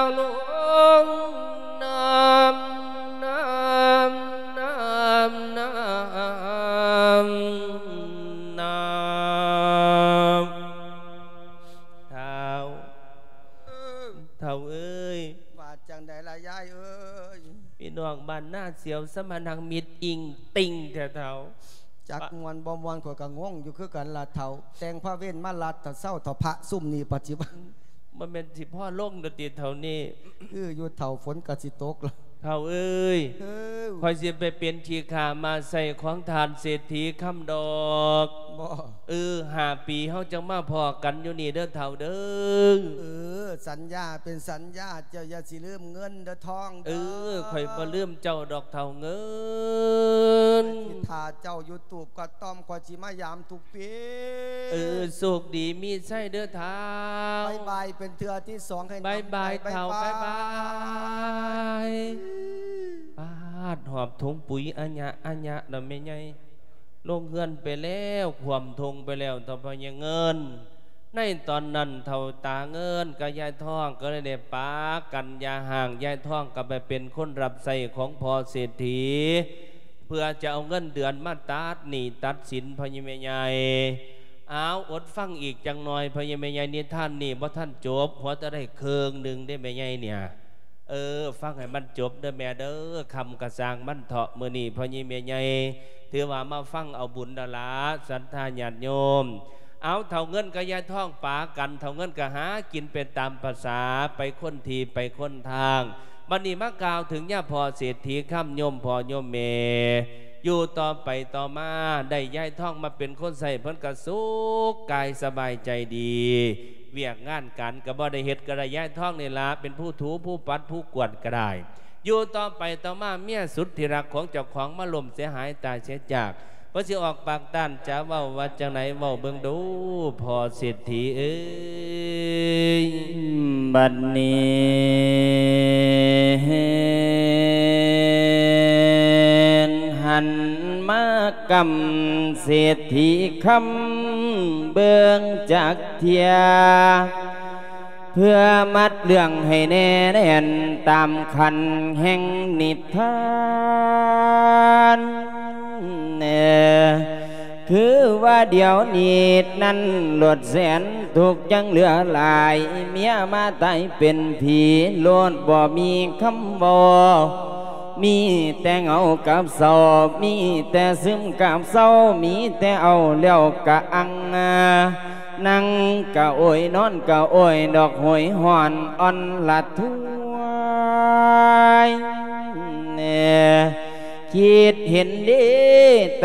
ວຫຼວງນາ ນາ ນາ ນາ ນາ ທ້າວ ເອີ ທ້າວເອີຍ ວ່າຈັ່ງໃດລະຍາຍເອີຍ? ພີ່ນ້ອງບ້ານນາສຽວ ສະມານັ່ງມິດອິງຕິງແທ້ທ້າວ. ຈັກມ່ວນບໍ່ມ່ວນ ຂ້ອຍກໍງົງຢູ່ຄືກັນລະທ້າວ. ແຕ່ງພະເວນມາລັດ ຖ້າເຊົ້າ ຖ້າພະຊຸມນີ້ປະຕິບັດ ບໍ່ແມ່ນຊິພໍລົງດອກຕິເທົ່ານີ້? ຄືຢູ່ທ້າວ ຝົນກໍຊິຕົກລະ. ທ້າວເອີຍ ເອີ ຂ້ອຍຊິໄປເປັນຂີ້ຂ້າມ້າໃຊ້ຂອງທ່ານເສດຖີຄຳດອກ. ບໍ່ ເອີ ຫ້າປີເຮົາຈັ່ງມາພໍ້ກັນຢູ່ນີ້ເດີທ້າວເດີ. ເອີ ສັນຍາເປັນສັນຍາ ເຈົ້າຢ່າຊິລືມເງິນເດີທອງເດີ. ເອີ ຂ້ອຍບໍ່ລືມເຈົ້າດອກທ້າວເງິນ. ຂ້ອຍຊິຖ້າເຈົ້າຢູ່ຕູບກະຕ້ອມ ຂ້ອຍຊິມາຢາມທຸກປີ. ເອີ ໂຊກດີມີໄຊເດີທ້າວ. ບາຍບາຍ ເປັນເທື່ອທີສອງ ໃຫ້ນຳໃຈ. ບາຍບາຍທ້າວ ບາຍບາຍ. ປາດ ຫອບຖົງປຸຍອະຍະອະຍະລະແມ່ໃຫຍ່. ລົງເຮືອນໄປແລ້ວ ຂວມທົ່ງໄປແລ້ວ ເຖົ້າພໍ່ໃຫຍ່ເງິນ. ໃນຕອນນັ້ນ ເຖົ້າຕາເງິນກັບຍາຍທອງກໍເລີຍໄດ້ປາກັນຢ່າຮ້າງ. ຍາຍທອງກໍໄປເປັນຄົນຮັບໃຊ້ຂອງພໍ່ເສດຖີ ເພື່ອຈະເອົາເງິນເດືອນມາຕັດໜີ້ຕັດສິນພໍ່ໃຫຍ່ແມ່ໃຫຍ່. ອ້າວ ອົດຟັງອີກຈັກໜ່ອຍ ພໍ່ໃຫຍ່ແມ່ໃຫຍ່, ນິທານນີ້ບໍ່ທັນຈົບ, ຫົວແຕ່ໄດ້ເຄິ່ງໜຶ່ງເດ້ແມ່ໃຫຍ່ເນຍ. ເອີ ຟັງໃຫ້ມັນຈົບເດີແມ່ເດີ, ຄ່ຳກະຊ່າງມັນເຖາະ. ມື້ນີ້ພໍ່ໃຫຍ່ແມ່ໃຫຍ່ ຖືວ່າມາຟັງເອົາບຸນແລ້ວລະ ສັດທາຍາດໂຍມ. ເອົາ ເຖົ້າເງິນກັບຍາຍທອງປາກັນ, ເຖົ້າເງິນກໍຫາກິນໄປຕາມປະສາ ໄປຄົນທີ່ໄປຄົນທາງ. ບັດນີ້ມາກ່າວເຖິງຍາພໍ່ເສດຖີຄຳ ໂຍມພໍ່ໂຍມແມ່ ຢູ່ຕໍ່ໄປຕໍ່ມາໄດ້ຍາຍທອງມາເປັນຄົນໃຊ້, ເພິ່ນກໍສຸກກາຍສະບາຍໃຈດີ, ວຽກງານການກໍບໍ່ໄດ້ເຮັດ, ກໍໄດ້ຍາຍທອງນີ້ລະເປັນຜູ້ຖູຜູ້ປັດຜູ້ກວາດກໍໄດ້. ຢູ່ຕໍ່ໄປຕໍ່ມາ ເມຍສຸດທີ່ຮັກຂອງເຈົ້າຂອງມາລົ້ມເສຍຫາຍຕາຍເສຍຈາກ, ເພິ່ນຊິອອກປາກຕ້ານຈະເວົ້າວ່າຈັ່ງໃດ ເວົ້າເບິ່ງດູພໍ່ເສດຖີເອີຍ. ບັດນີ້ຫັນມາກຳເສດຖີຄຳເບິ່ງຈັກເທື່ອ ເພື່ອມັດເລື່ອງໃຫ້ແນ່ແໜ້ນຕາມຂັ້ນແຫ່ງນິທານ. ຄືວ່າດຽວນີ້ນັ້ນ ໂລດແສນທຸກຍັງເຫຼືອຫຼາຍ, ເມຍມາຕາຍເປັນຜີ ໂລດບໍ່ມີຄຳເວົ້າ, ມີແຕ່ເຫງົາກັບເສົ້າ, ມີແຕ່ຊຶມກັບເສົ້າ, ມີແຕ່ເອົາແລ້ວກະອັ່ງ. ນັ່ງກະໂອຍ ນອນກະໂອຍ ດອກໂຫຍຫອນອ່ອນລະທວຍ. ຄິດເຫັນເດ້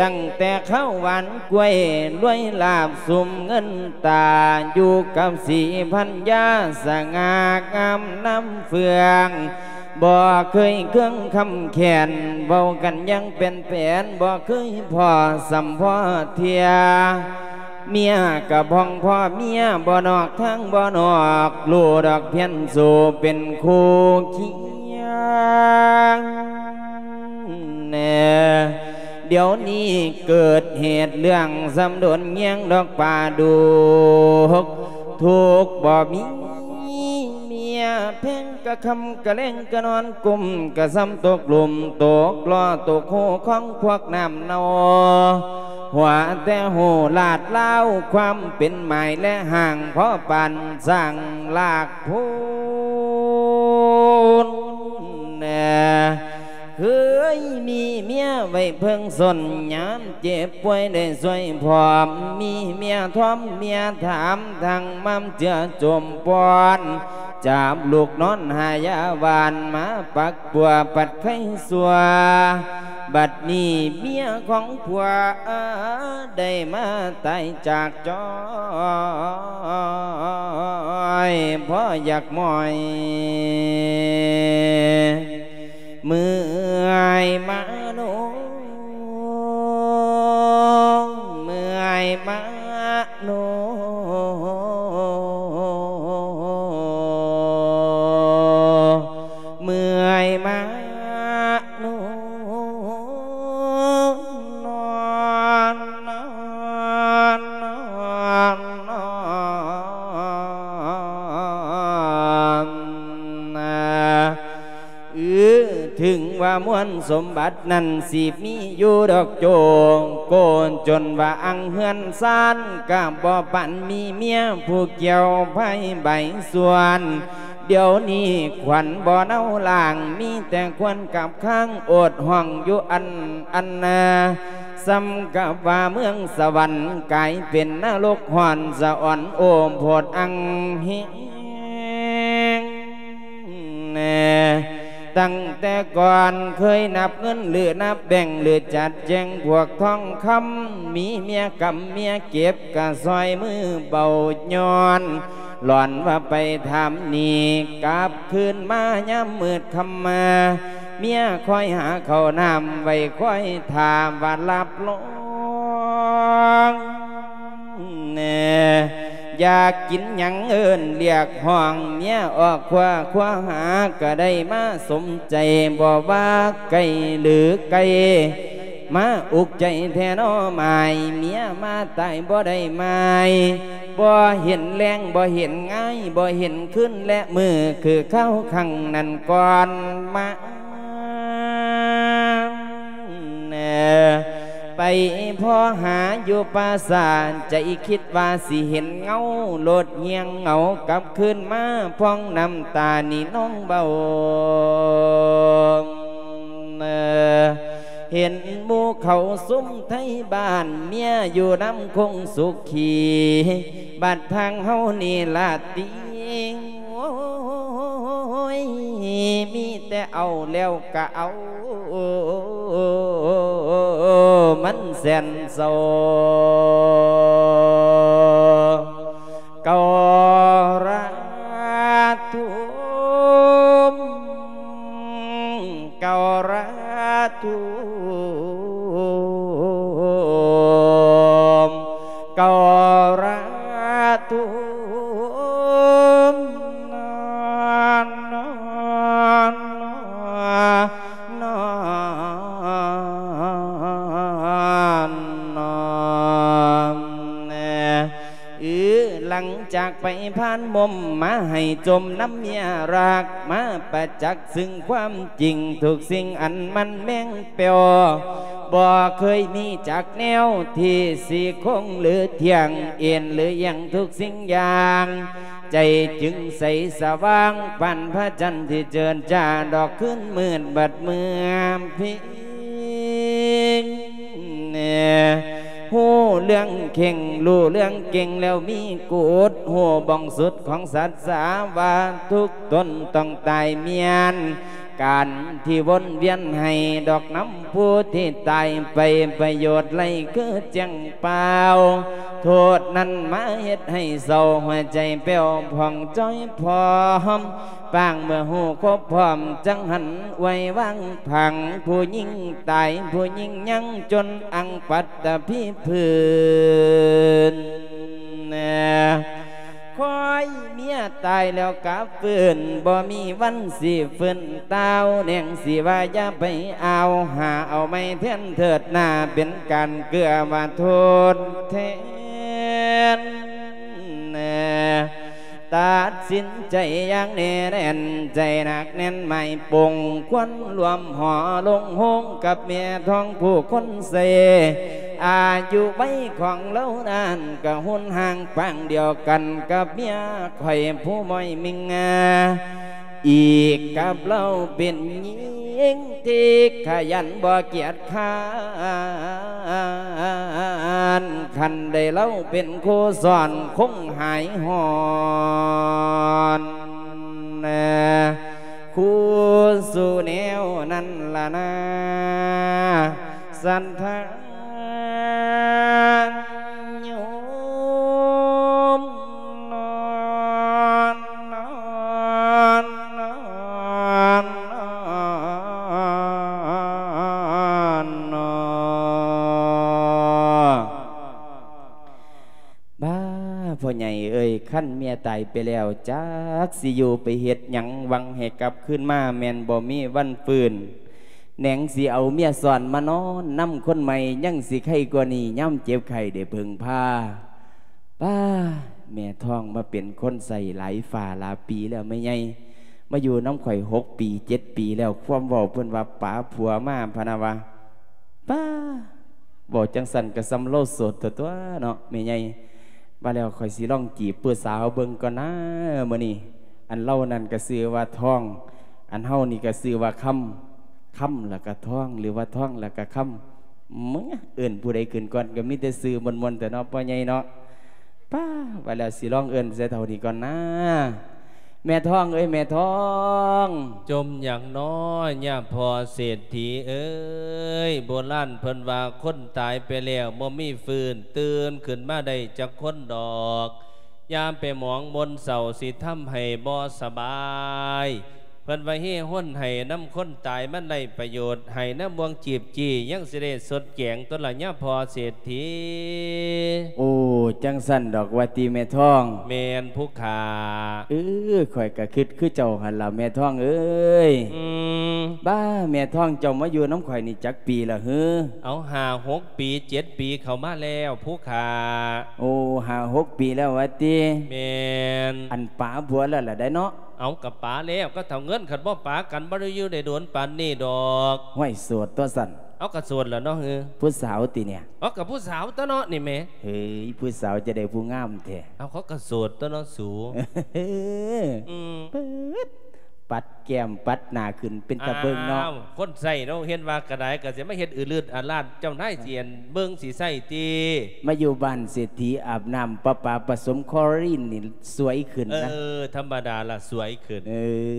ຕັ້ງແຕ່ຄາວຫວານກ້ວຍ ລວຍລາບສຸມເງິນຕາ ຢູ່ກັບສີພັນຍາ ສະຫງ່າງາມນຳເຟືອງ ບໍ່ເຄີຍເຄືອງຄຳແຄ້ນ ເວົ້າກັນຢ່າງແປນໆ ບໍ່ເຄີຍພໍ້ສ່ຳພໍ້ເທື່ອ. ເມຍກະພອງພໍ່ເມຍ ບໍ່ນອກທາງບໍ່ນອກ ຮູ້ດອກພຽນສູ່ເປັນຄູ່ຄຽງແນ່. ດຽວນີ້ເກີດເຫດເລື່ອງ ສ່ຳດົນແຍງດອກປາດຸກ ທຸກບໍ່ມີ ເມຍແພງກະຄ່ຳກະແລງກະນອນກຸ້ມ ກະສ່ຳຕົກຫຼຸມຕົກລໍ້ຕົກໂຄຂອງພວກນ້ຳເນົ່າ ຫົວແຕ່ຮູ້ລາດລາວ ຄວາມເປັນໝາຍແລະຮ່າງ ພໍປານສ້າງລາກໂພນແນ່. ເຄີຍມີເມຍໄວ້ເພິ່ງສົນ ຍາມເຈັບປ່ວຍໄດ້ຊ່ວຍພ້ອມ ມີເມຍທອມເມຍຖາມ ທັງມາເຈືອຈົມປ່ອນ ຈັບລູກນອນຫາຢາຫວານ ມາປັກປົວປັດໄຄຊົ່ວ. ບັດນີ້ເມຍຂອງຜົວ ໄດ້ມາຕາຍຈາກຈອຍ ພໍຢາກໝອຍ ເມື່ອຍມາໂນ ເມື່ອຍມາໂນ ເມື່ອຍມາໂນ ນອນ ນອນ ນອນ ນອນ ນາ ເອີ ເຖິງວ່າມວນສົມບັດນັ້ນຊິມີຢູ່ດອກໂຈງໂກນ ຈົນວ່າອັ່ງເຮືອນຊານກະບໍ່ປານມີເມຍຜູ້ກ່ຽວໄພໃບສ່ວນ. ດຽວນີ້ຂວັນບໍ່ເນົາລ້າງ ມີແຕ່ຄວັນກັບຄ້າງ ໂອດຫ້ອງຢູ່ອັນອັນນາ ສ່ຳກັບວ່າເມືອງສະຫວັນ ກາຍເປັນນະລົກຮ້ອນສະອອນໂອໂພດອັ່ງແຮງແນ່. ຕັ້ງແຕ່ກ່ອນເຄີຍນັບເງິນ ຫຼື ນັບແບງ ຫຼື ຈັດແຈງພວກທອງຄຳ ມີເມຍກຳເມຍເກັບ ກະຊ່ອຍມືເບົາຍ້ອນ ຫຼອນວ່າໄປຖາມໜີ້ ກັບຄືນມາຍາມມືດຄ່ຳມາ ເມຍຄອຍຫາເຂົ້ານ້ຳໄວ້ ຄອຍຖ້າວ່າຮັບຮອງແນ່. ຢາກກິນຫຍັງເອີ້ນລຽກຮ້ອງ ເມຍອອກຄວ້າຄວ້າຫາ ກະໄດ້ມາສົມໃຈ ບໍ່ວ່າໄກຫຼືໄກ ມາອຸກໃຈແທ້ນໍໝາຍ ເມຍມາຕາຍບໍ່ໄດ້ໝາຍ ບໍ່ເຫັນແລງ ບໍ່ເຫັນງາຍ ບໍ່ເຫັນຄືນ ແລະມື້ຄືຄາວຄັ້ງນັ້ນກ່ອນມາ ໄປພໍ້ຫາຢູ່ປ່າຊ້າ ໃຈຄິດວ່າຊິເຫັນເງົາໂລດ ຍ່ຽງເຫງົາກັບຄືນມາ ພອງນ້ຳຕານີ້ນອງເບົາ. ເຫັນໝູ່ເຂົາຊຸມໄທບ້ານ ເມຍຢູ່ນຳຄົງສຸຂີ ບັດທາງເຮົານີ້ລາດຕີ ໂອ້ຍ ມີແຕ່ເອົາແລ້ວກະເອົາ ມັນແສນເສົ້າ. ກະຣາທຸມ ກະຣາທຸມ ກະຣາທຸມ ນອນ ນອນ ນອນ ນອນ ນອນ ເອີ ຫຼັງຈາກໄປຜ່ານມົມມາໃຫ້ຈົມນຳເມຍຮັກ ມາປະຈັກຊຶ່ງຄວາມຈິງ ທຸກສິ່ງອັນມັນແມ່ງແປ້ວ ບໍ່ເຄີຍມີຈັກແນວທີ່ຊິຄົງຫຼືທ່ຽງ ເອັນຫຼື ອຽງທຸກສິ່ງຢ່າງ ໃຈຈຶ່ງໃສສະຫວ່າງ ປານພະຈັນທີ່ເຈີນຈ້າ ດອກຄືນມືດບັດເມື່ອພີ ຮູ້ເລື່ອງເຄັ່ງ ຮູ້ເລື່ອງເກັ່ງແລ້ວມີກຸດ ຮູ້ບ່ອງສຸດຂອງສັດສາວ່າ ທຸກຕົນຕ້ອງຕາຍມຽນ ການທີ່ວົນວຽນໃຫ້ດອກນຳຜູ້ທີ່ຕາຍໄປ ປະໂຫຍດໄລຄືແຈ້ງປ່າວ ໂທດນັ້ນມາເຮັດໃຫ້ເສົ້າ ຫົວໃຈແປ້ວຜ່ອງຈ້ອຍພ້ອມ ປາງເມື່ອຮູ້ຄົບພ້ອມ ຈັ່ງຫັນໄວວາງຜັງ ຜູ້ຍິງຕາຍ ຜູ້ຍິງຍັງຈົນອັງປັດຕະພີພື້ນ ຄອຍເມຍຕາຍແລ້ວກະຟື້ນ ບໍ່ມີວັນຊິຟື້ນ ຕ່າວແນງຊິວ່າຢ່າໄປອາວ ຫາເອົາໃໝ່ແທນເທີດໜ້າ ເປັນການເກື້ອວ່າທົດແທນ ຕັດສິນໃຈຢ່າງແນ່ແໜ້ນ ໃຈໜັກແໜ້ນໝາຍປົງ ຄວນລວມຫໍລົງໂຮງ ກັບແມ່ທອງຜູ້ຄົນເຊ ອາຍຸໄວຂອງລາວນັ້ນ ກະຮຸນຮ່າງປາງດຽວກັນກັບເມຍຂ້ອຍຜູ້ໝ້ອຍມິງງາ ອີກກັບລາວເປັນຍິງທີ່ຂະຫຍັນບໍ່ກຽດຄ້ານ ຄັນໄດ້ລາວເປັນຄູ່ສອນຄົງຫາຍຮ້ອນ ຄູ່ສູ່ແນວນັ້ນລະນາ ສັນທາໂຍມ ນອນ ນອນ ນອນ ນອນ ນອນ. ບ້າ ພໍ່ໃຫຍ່ເອີຍ ຄັນເມຍຕາຍໄປແລ້ວ ຈັກຊິຢູ່ໄປເຮັດຫຍັງ ຫວັງໃຫ້ກັບຄືນມາ ແມ່ນບໍ່ມີວັນຟື້ນ ແໜງຊິເອົາເມຍຊ້ອນມານອນນຳຄົນໃໝ່ ຍັງຊິໄຄກວ່ານີ້ ຍາມເຈັບໄຂ້ໄດ້ເພິ່ງພາ. ປ້າ ແມ່ທອງມາເປັນຄົນໃຊ້ຫຼາຍຟ້າຫຼາຍປີແລ້ວແມ່ໃຫຍ່ ມາຢູ່ນຳຂ້ອຍຫົກປີເຈັດປີແລ້ວ ຄວາມເວົ້າເພິ່ນວ່າປາຜົວມາພະນະວ່າ ປ້າ ເວົ້າຈັ່ງຊັ້ນກະສ່ຳລາວໂສດຕົວໆ ເນາະແມ່ໃຫຍ່. ວ່າແລ້ວຂ້ອຍຊິລອງຈີບຜູ້ສາວເບິ່ງກ່ອນນາມື້ນີ້ ອັນລາວນັ້ນກະຊື່ວ່າທອງ ອັນເຮົານີ້ກະຊື່ວ່າຄຳ ຄຳລະກະທອງ ຫຼືວ່າທອງລະກະຄຳ ເອີ່ນຜູ້ໃດຂຶ້ນກ່ອນ ກະມີແຕ່ຊື່ມ່ວນໆ ແທ້ເນາະ ພໍ່ໃຫຍ່ເນາະ. ປ້າ ວ່າແລ້ວຊິລອງເອີ້ນໃສ່ເທົ່ານີ້ກ່ອນນາ ແມ່ທອງເອີຍ ແມ່ທອງ. ຈົ່ມຫຍັງນໍ ຍາພໍ່ເສດຖີເອີຍ ໂບລານເພິ່ນວ່າຄົນຕາຍໄປແລ້ວບໍ່ມີຟື້ນ ຕື່ນຂຶ້ນມາໄດ້ຈັກຄົນດອກ ຢ່າໄປໝອງມົນເສົ້າ ຊິທຳໃຫ້ບໍ່ສະບາຍ. ເພິ່ນວ່າເຮຮົນໃຫ້ນຳຄົນຕາຍມັນໄດ້ປະໂຫຍດ ໃຫ້ນຳບ່ວງຈີບຈີ້ຍັງຊິໄດ້ຊົດແຈງຕົວລະຍາພໍ່ເສດຖີ. ໂອ້ จั่งซั้นดอกว่าติแม่ทอง แม่นผู้ข้า เออ ข้อยก็คิดคือเจ้าหั่นล่ะแม่ทองเอ้ย อืม บ้า แม่ทองเจ้ามาอยู่นำข้อยนี่จักปีละหือ เอา ห้าหกปี เจ็ดปีเข้ามาแล้วผู้ข้า โอ้ ห้าหกปีแล้วว่าติ แม่น อันป๋าผัวแล้วล่ะได๋เนาะ เอา กะป๋าแล้ว กะเฒ่าเงิน คันบ่ป๋ากันบ่ได้อยู่ได้โดนปานนี้ดอก ห้วย โสดตั๊วซั้น เอา กะโสดล่ะเนาะหือ ผู้สาวติเนี่ย เอา กะผู้สาวตั๊วเนาะนี่แหม เฮ้ย ผู้สาวจะได้ผู้งามแท้ เอา เขากะโสดตั๊วเนาะสู อืม ปัดแก้มปัดหน้าขึ้นเป็นตาเบิ่งเนาะ อ้าว คนใช้เนาะ เห็นว่ากะได้ กะสิมาเฮ็ดอือลืดอาลาด เจ้านายสิอันเบิ่งสิใช้ติ มาอยู่บ้านเศรษฐีอาบน้ำประปาผสมคลอรีนนี่สวยขึ้นนะ เออ ธรรมดาล่ะ สวยขึ้น เอ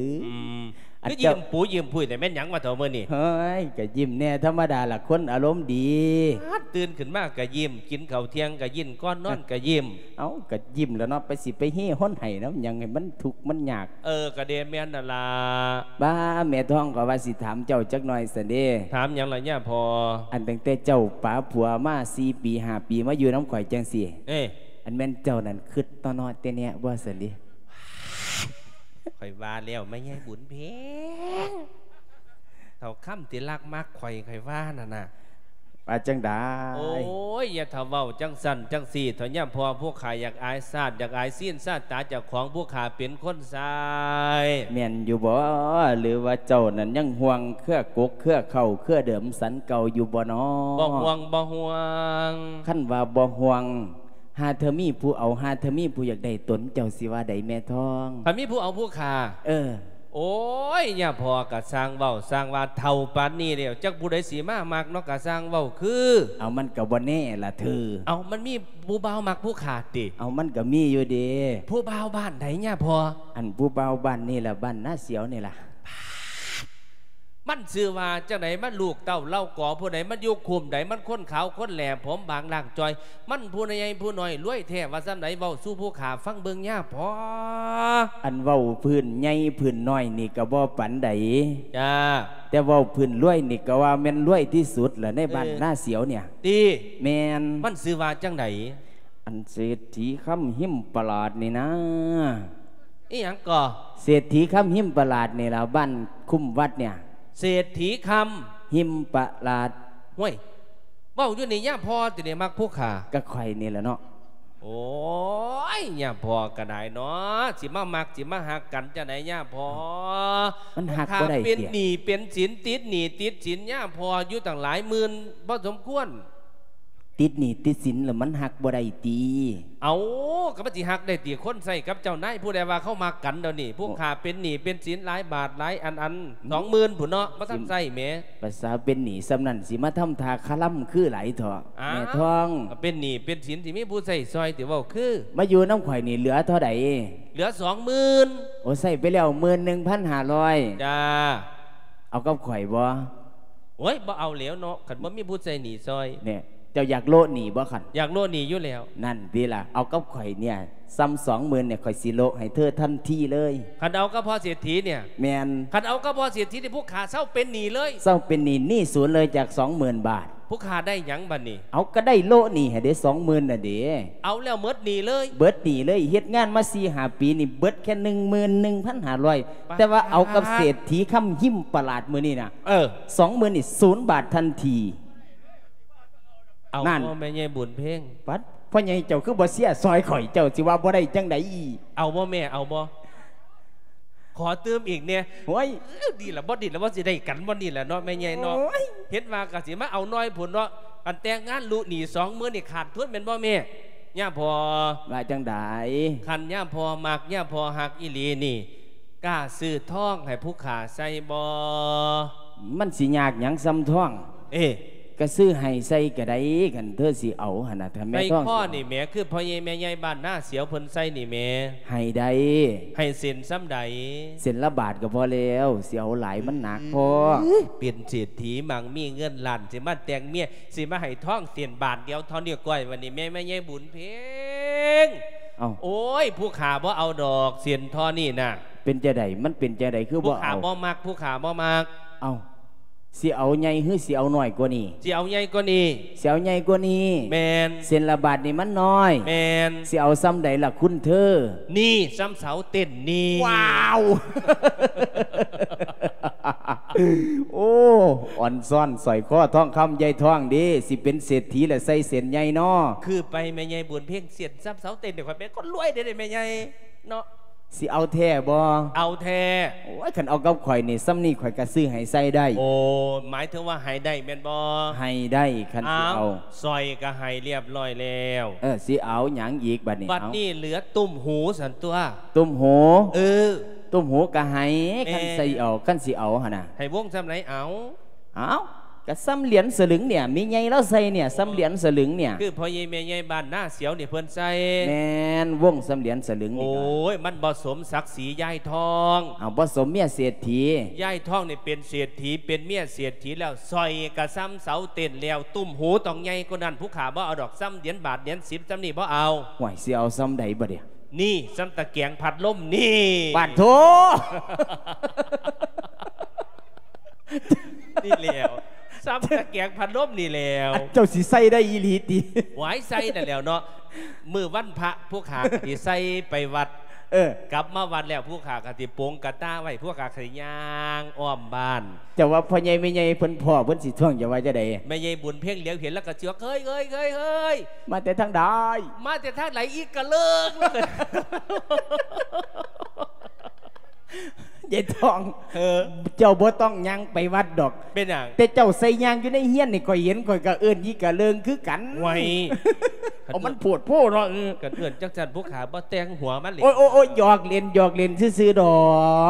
อ อืม อัน คือ เจ้า ยิ้มปูยิ้มพุ้ย แต่แม่นหยังวะเฒ่ามื้อนี้ เฮ้ย กะยิ้มแน่ธรรมดาล่ะ คนอารมณ์ดี ฮัด ตื่นขึ้นมากะยิ้ม กินข้าวเที่ยงกะยิ้ม ก่อนนอนกะยิ้ม เอ้า กะยิ้มแล้วเนาะ ไปสิไปเฮฮนไห้นำหยังให้มันทุกข์มันยาก เออ กะเดแม่นนั่นล่ะ บ้า แม่ทองก็ว่าสิถามเจ้าจักหน่อยซั้นเด้ ถามหยังล่ะย่าพ่อ อันตั้งแต่เจ้าป๋าผัวมาสี่ปีห้าปีมาอยู่นำข้อยจั่งซี้ เอ้ อันแม่นเจ้านั่นคิดต่อเนาะแต่แนะบ่ซั้นเด้ ข้อยว่าแล้วแม่ใหญ่บุญเพ็ง เฒ่าคำที่รักมักข้อย ข้อยว่านั่นน่ะ ว่าจั่งใด โอ้ย อย่าเฒ่าเว้าจั่งซั้นจั่งซี้เถาะ ย่าพ่อ ผู้ข้าอยากอายชาติ อยากอายศีลชาตาเจ้าของ ผู้ข้าเป็นคนใช้ แม่นอยู่บ่ หรือว่าเจ้านั้นยังห่วงเครือกกเครือเค้าเครือเดิมสันเก่าอยู่บ่น้อ บ่ห่วง บ่ห่วง คันว่าบ่ห่วง หาเธอมีผู้เอา หาเธอมีผู้อยากได้ตน เจ้าสิว่าใดแม่ทอง ถ้ามีผู้เอาผู้ข้า เออ โอ้ย ย่าพ่อกะซ่างเว้าซ่างว่า เฒ่าปานนี้แล้ว จักผู้ใดสิมามักเนาะ กะซ่างเว้าคือ เอามันกะบ่แน่ล่ะเธอ เอามันมีผู้บ่าวมักผู้ข้าติ เอามันกะมีอยู่เด้ ผู้บ่าวบ้านใดย่าพ่อ อันผู้บ่าวบ้านนี่ล่ะ บ้านนาเสียวนี่ล่ะ มันชื่อว่าจั่งใด มันลูกเต้าเหล่ากอผู้ใด มันอยู่คุ้มใด มันคนขาวคนแหล่ ผมบางล่างจ่อย มันผู้ใหญ่ผู้น้อย รวยแท้ว่าซ่ำใด เว้าสู่ผู้ข้าฟังเบิ่งย่าพ่อ อันเว้าพื้นใหญ่พื้นน้อยนี่กะบ่ปานใด จ้า แต่เว้าพื้นรวยนี่กะว่าแม่นรวยที่สุดล่ะในบ้าน เออ นาเสียวเนี่ย ติ แม่น มันชื่อว่าจั่งใด อันเศรษฐีคำหิมปราดนี่นะ อีหยังก่อ เศรษฐีคำหิมปราดนี่ล่ะ บ้านคุ้มวัดเนี่ย เศรษฐีคำ หิมปราด ห้วย เว้าอยู่นี่ย่าพ่อติเนี่ยมักผู้ข้า กะข้อยนี่ล่ะเนาะ โอ้ย ย่าพ่อกะได้เนาะ สิมามักสิมาฮักกันจั่งใดย่าพ่อ มันฮักบ่ได้ ผู้ข้าเป็น ติ หนี้เป็นสิน ติดหนี้ติดสินย่าพ่ออยู่ตั้งหลายหมื่นพอสมควร ติดหนี้ติดสินแล้วมันฮักบ่ได้ติ เอ้า กะมันสิฮักได้ติ คนใช้กับเจ้านาย ผู้ใดว่าเขามักกันเดี๋ยวนี้ ผู้ข้าเป็นหนี้เป็นสินหลายบาทหลายอันอัน สองหมื่นพุ้นเนาะ บ่ทันใช้แหม ภาษาเป็นหนี้ส่ำนั้นสิมาทำท่าคาลำคือหลายเถาะ อ้าว แม่ทอง เป็นหนี้เป็นสินสิมีผู้ใช้ซอยติ เว้าคือ มาอยู่นำข้อยนี่เหลือเท่าใด เหลือสองหมื่น โอ้ ใช้ไปแล้วหมื่นหนึ่งพันห้าร้อย จ้า เอากับข้อยบ่ โอ๊ย บ่เอาแล้วเนาะ คันบ่มีผู้ใช้หนี้ซอย เนี่ย เจ้าอยากโละหนี้บ่คัน อยากโละหนี้อยู่แล้ว นั่นติล่ะ เอากับข้อยเนี่ย ส่ำสองหมื่นเนี่ย ข้อยสิโละให้เธอทันทีเลย คันเอากับพ่อเศรษฐีเนี่ย แม่น คันเอากับพ่อเศรษฐีนี่ ผู้ข้าเซาเป็นหนี้เลย เซาเป็นหนี้ หนี้ศูนย์เลยจากสองหมื่นบาท ผู้ข้าได้หยังบัดนี้ เอากะได้โละหนี้ให้เด้ สองหมื่นน่ะเด้ เอาแล้วหมดหนี้เลย เบิดหนี้เลย เฮ็ดงานมาสี่ห้าปีนี่ เบิดแค่หนึ่งหมื่นหนึ่งพันห้าร้อย ปาด แต่ว่าเอากับเศรษฐีคำหิมปราดมื้อนี้น่ะ เออ สองหมื่นนี่ ศูนย์บาททันที เอา นั่น พ่อแม่ใหญ่บุญเพ็ง ปัด พ่อใหญ่เจ้าคือบ่เสียซอยข้อย เจ้าสิว่าบ่ได้จั่งใด เอาบ่แม่ เอาบ่ ขอตื่มอีกแหน่ โอ้ย เอ้อ ดีละ บ่ดีละ ว่าสิได้กันบ่นี่ละเนาะ แม่ใหญ่เนาะ โอ้ย เห็นว่ากะสิมาเอาน้อยพุ้นเนาะ อันแต่งงานลุหนี้สองหมื่นนี่ขาดทุนแม่นบ่แม่ ย่าพ่อ ว่าจั่งใด คันย่าพ่อมัก ย่าพ่อฮักอีหลีนี่ กล้าซื้อทองให้ผู้ข้าใส่บ่ มันสิยากหยังส่ำทอง เอ้ กะซื้อให้ใส่กะได้ คันเธอสิเอาหั่นน่ะ ถ้าแม่ทอง ใส่คอนี่แหม คือพ่อใหญ่แม่ใหญ่บ้านนาเสียวเพิ่นใส่นี่แหม ให้ได้ ให้เส้นส่ำใด เส้นละบาทกะพอแล้ว สิเอาหลายมันหนักพอ เป็นเศรษฐีมั่งมีเงินล้าน สิมาแต่งเมีย สิมาให้ทองเส้นบาทเดียวเท่านี้ก้อย วันนี้แม่ แม่ใหญ่บุญเพ็ง เอ้า โอ๊ย ผู้ข้าบ่เอาดอก เส้นเท่านี้น่ะ เป็นจั่งใด มันเป็นจั่งใด คือบ่เอา ผู้ข้าบ่มัก ผู้ข้าบ่มัก เอ้า ຊິເອົາໃຫຍ່ ຫຼື ຊິເອົານ້ອຍກວ່ານີ້? ຊິເອົາໃຫຍ່ກວ່ານີ້. ຊິເອົາໃຫຍ່ກວ່ານີ້? ແມ່ນ. ເສັ້ນລະບາດນີ້ມັນນ້ອຍ. ແມ່ນ. ຊິເອົາສ່ຳໃດລະຄຸນເທີ? ນີ້ ສ່ຳເສົາເຕັ້ນນີ້. ວ້າວ ໂອ້ ອ່ອນຊ້ອນ ສ້ອຍຄໍທອງຄຳ ຍາຍທອງເດ້ ຊິເປັນເສດຖີແລ້ວ ໃສ່ເສັ້ນໃຫຍ່ເນາະ. ຄືໄປແມ່ໃຫຍ່ບຸນເພັງ ເສັ້ນສ່ຳເສົາເຕັ້ນນີ້ ຂ້ອຍເປັນຄົນລວຍເດ້ແມ່ໃຫຍ່ເນາະ. ຊິເອົາແທ້ບໍ່? ເອົາແທ້. ໂອ້ຍ ຄັນເອົາກັບຂ້ອຍນີ້ ສ່ຳນີ້ຂ້ອຍກະຊື້ໃຫ້ໃສ່ໄດ້. ໂອ້ ໝາຍເຖິງວ່າໃຫ້ໄດ້ແມ່ນບໍ່? ໃຫ້ໄດ້ ຄັນຊິເອົາ. ອ້າວ ສ້ອຍກະໃຫ້ລຽບຮ້ອຍແລ້ວ. ເອີ ຊິເອົາຫຍັງອີກບາດນີ້? ບາດນີ້ເອົາ ເຫຼືອຕຸ້ມຫູຊັ້ນຕົວະ. ຕຸ້ມຫູ? ເອີ ຕຸ້ມຫູກະໃຫ້. ແມ່ນ. ຄັນຊິເອົາ ຄັນຊິເອົາຫັ້ນນະ. ໃຫ້ວົງສ່ຳໃດເອົາ? ເອົ້າ ກະສ່ຳຫຼຽນສະລຶງເນຍ ແມ່ໃຫຍ່ລາວໃສ່ເນຍ ສ່ຳຫຼຽນສະລຶງເນຍ. ຄືພໍ່ໃຫຍ່ແມ່ໃຫຍ່ບ້ານນາສຽວນີ້ເພິ່ນໃສ່. ແມ່ນ ວົງສ່ຳຫຼຽນສະລຶງນີ້. ໂອ້ຍ ມັນບໍ່ສົມສັກສີຍາຍທອງ. ເອົາ ບໍ່ສົມເມຍເສດຖີ. ຍາຍທອງນີ້ເປັນເສດຖີ ເປັນເມຍເສດຖີແລ້ວ ສ້ອຍກະສ່ຳເສົາເຕັ້ນແລ້ວ ຕຸ້ມຫູຕ້ອງໃຫຍ່ກວ່ານັ້ນ. ຜູ້ຂ້າບໍ່ເອົາດອກ ສ່ຳຫຼຽນບາດຫຼຽນສິບ ສ່ຳນີ້ບໍ່ເອົາ. ຫ້ວຍ ຊິເອົາສ່ຳໃດບາດນີ້? ນີ້ ສ່ຳຕະແກງພັດລົມນີ້. ປາດໂທ ນີ້ແຫຼ້ວ ສ່ຳຕະແກງພັດລົມນີ້ແຫຼ້ວ. ອັນເຈົ້າຊິໃສ່ໄດ້ອີ່ຫຼີຕິ? ຫວາຍ ໃສ່ນັ້ນແຫຼ້ວເນາະ. ມື້ວັນພະ ພວກຂ້າກະຊິໃສ່ໄປວັດ. ເອີ ກັບມາວັດແລ້ວ ພວກຂ້າກະຊິປົງກະຕ່າໄວ້ ພວກຂ້າກະຊິຍ່າງອ້ອມບ້ານ. ເຈົ້າວ່າພໍ່ໃຫຍ່ແມ່ໃຫຍ່ເພິ່ນພໍ້ ເພິ່ນຊິທ້ວງເຈົ້າວ່າຈັ່ງໃດ? ແມ່ໃຫຍ່ບຸນເພັງຫຼຽວເຫັນແລ້ວກະຊິວ່າ ເຮີ້ຍ ເຮີ້ຍ ເຮີ້ຍ ເຮີ້ຍ ມາແຕ່ທາງໃດ? ມາແຕ່ທາງໃດອີກກະເລີກ. ຍາຍທອງ ເອີ ເຈົ້າບໍ່ຕ້ອງຍ່າງໄປວັດດອກ. ເປັນຫຍັງ? ແຕ່ເຈົ້າໃສ່ຍ່າງຢູ່ໃນເຮືອນນີ້ ຂ້ອຍເຫັນ ຂ້ອຍກະເອີ້ນອີກະເລີງຄືກັນ. ໂອ້ຍ ເອົາ ມັນໂພດໂພເນາະ. ເອີ ກະເອີ້ນຈັ່ງຊັ້ນ ພວກຂ້າບໍ່ແຕ່ງຫົວມັນເລີຍ. ໂອ້ຍ ໂອ້ຍ ໂອ້ຍ ຫຍອກຫຼິ້ນ ຫຍອກຫຼິ້ນຊື່ໆດອ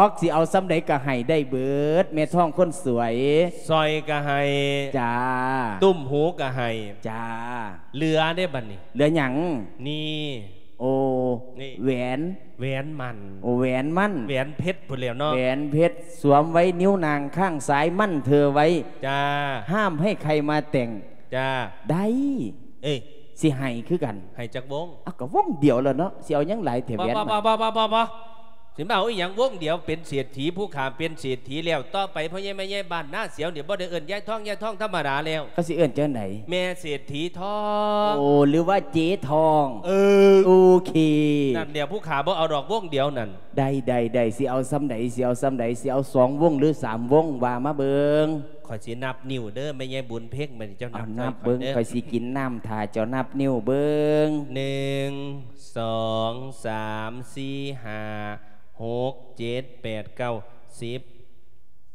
ກ. ຊິເອົາສ່ຳໃດກະໃຫ້ໄດ້ເບິດ ແມ່ທອງຄົນສວຍ. ສ້ອຍກະໃຫ້. ຈ້າ. ຕຸ້ມຫູກະໃຫ້. ຈ້າ. ເຫຼືອເດ້ບາດນີ້. ເຫຼືອຫຍັງ? ນີ້. ໂອ້ ນີ້ ແຫວນ ແຫວນໝັ້ນ. ໂອ້ ແຫວນໝັ້ນ ແຫວນເພັດພຸ້ນແຫຼ້ວເນາະ. ແຫວນເພັດສວມໄວ້ນິ້ວນາງຂ້າງຊ້າຍ ໝັ້ນເທີໄວ້. ຈ້າ. ຫ້າມໃຫ້ໃຄມາແຕະ. ຈ້າ. ໄດ້. ເອີ ຊິໃຫ້ຄືກັນ. ໃຫ້ຈັກວົງ? ເອົາ ກະວົງດຽວແລ້ວເນາະ ຊິເອົາຫຍັງຫຼາຍແທ້ແຫວນ. ບໍ່ ບໍ່ ບໍ່ ບໍ່ ບໍ່ ຊິມາເອົາອີ່ຫຍັງວົງດຽວ ເປັນເສດຖີ ຜູ້ຂ້າເປັນເສດຖີແລ້ວ. ຕໍ່ໄປພໍ່ໃຫຍ່ແມ່ໃຫຍ່ບ້ານນາສຽວນີ້ ບໍ່ໄດ້ເອີ້ນຍາຍທອງ ຍາຍທອງທຳມະດາແລ້ວ. ເຂົາຊິເອີ້ນຈັ່ງໃດ? ແມ່ເສດຖີທອງ. ໂອ້ ຫຼືວ່າເຈທອງ. ເອີ ໂອເຄ. ນັ້ນແຫຼ້ວ ຜູ້ຂ້າບໍ່ເອົາດອກ ວົງດຽວນັ້ນ. ໄດ້ ໄດ້ ໄດ້ ຊິເອົາສ່ຳໃດ? ຊິເອົາສ່ຳໃດ? ຊິເອົາສອງວົງ ຫຼື ສາມວົງ? ວ່າມາເບິ່ງ. ຂ້ອຍຊິນັບນິ້ວເດີ ແມ່ໃຫຍ່ບຸນເພັງ. ບາດນີ້ເຈົ້ານັບ ເອົາ ນັບເບິ່ງ ຂ້ອຍຊິກິນນ້ຳຖ້າເຈົ້ານັບນິ້ວເບິ່ງ. ໜຶ່ງ ສອງ ສາມ ສີ່ ຫ້າ ຫົກ ເຈັດ ແປດ ເກົ້າ ສິບ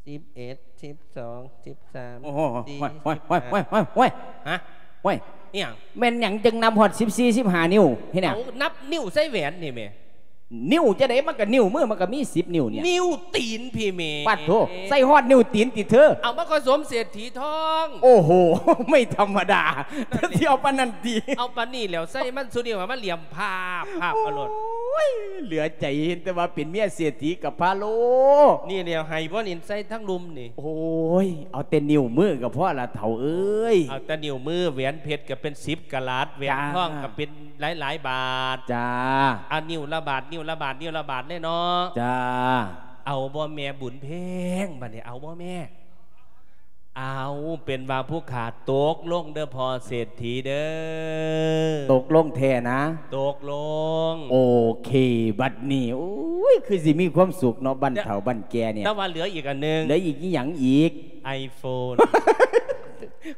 ສິບເອັດ ສິບສອງ ສິບສາມ ໂອ້ໂຫ ສີ່ ໂອ້ຍ ໂອ້ຍ ໂອ້ຍ ໂອ້ຍ ໂອ້ຍ ຮະ? ໂອ້ຍ ອີ່ຫຍັງ? ແມ່ນຫຍັງຈຶ່ງນັບຮອດສິບສີ່ ສິບຫ້ານິ້ວ? ເຮັດຫຍັງ? ເອົາ ນັບນິ້ວໃສ່ແຫວນນີ້ແໝ່. ນິ້ວຈັ່ງໃດ? ມັນກະນິ້ວມື ມັນກະມີສິບນິ້ວນີ້. ນິ້ວຕີນພີ້ແໝ່. ປາດໂທ ໃສ່ຮອດນິ້ວຕີນຕິເທີ? ເອົາ ມັນກະສົມເສດຖີທອງ. ໂອ້ໂຫ ໄມ່ທຳມະດາ. ນັ້ນແຫຼະ ຊິເອົາປານນັ້ນຕິ? ເອົາປານນີ້ແລ້ວ ໃສ່ມັນສູ່ນິ້ວ ໃຫ້ມັນຫຼຽມພາບພາບເອົາໂລດ. ໂອ້ຍ ເຫຼືອໃຈ ເຫັນແຕ່ວ່າເປັນເມຍເສດຖີກະພາໂລ. ນີ້ແຫຼ້ວ ໃຫ້ບໍ່ນິນໃສ່ທັງລຸ່ມນີ້. ໂອ້ຍ ເອົາແຕ່ນິ້ວມືກະພໍລະເຖົ້າເອີຍ. ເອົາແຕ່ນິ້ວມື ແຫວນເພັດກະເປັນສິບກະລັດ ແຫວນທອງກະເປັນ ຫຼາຍໆບາດ. ຈ້າ. ອ່າ ນິ້ວລະບາດ ນິ້ວລະບາດ ນິ້ວລະບາດເລີຍເນາະ. ຈ້າ. ເອົາບໍ່ແມ່ບຸນເພັງ? ບາດນີ້ເອົາບໍ່ແມ່? ເອົາ ເປັນວ່າຜູ້ຂ້າຕົກລົງເດີພໍ່ເສດຖີເດີ. ຕົກລົງແທ້ນະ? ຕົກລົງ. ໂອເຄ ບາດນີ້ ໂອ້ຍ ຄືຊິມີຄວາມສຸກເນາະ ບັ້ນເຖົ້າບັ້ນແກ່ນີ້. ແຕ່ວ່າເຫຼືອອີກອັນໜຶ່ງ. ເຫຼືອອີກອີ່ຫຍັງອີກ? ໄອໂຟນ.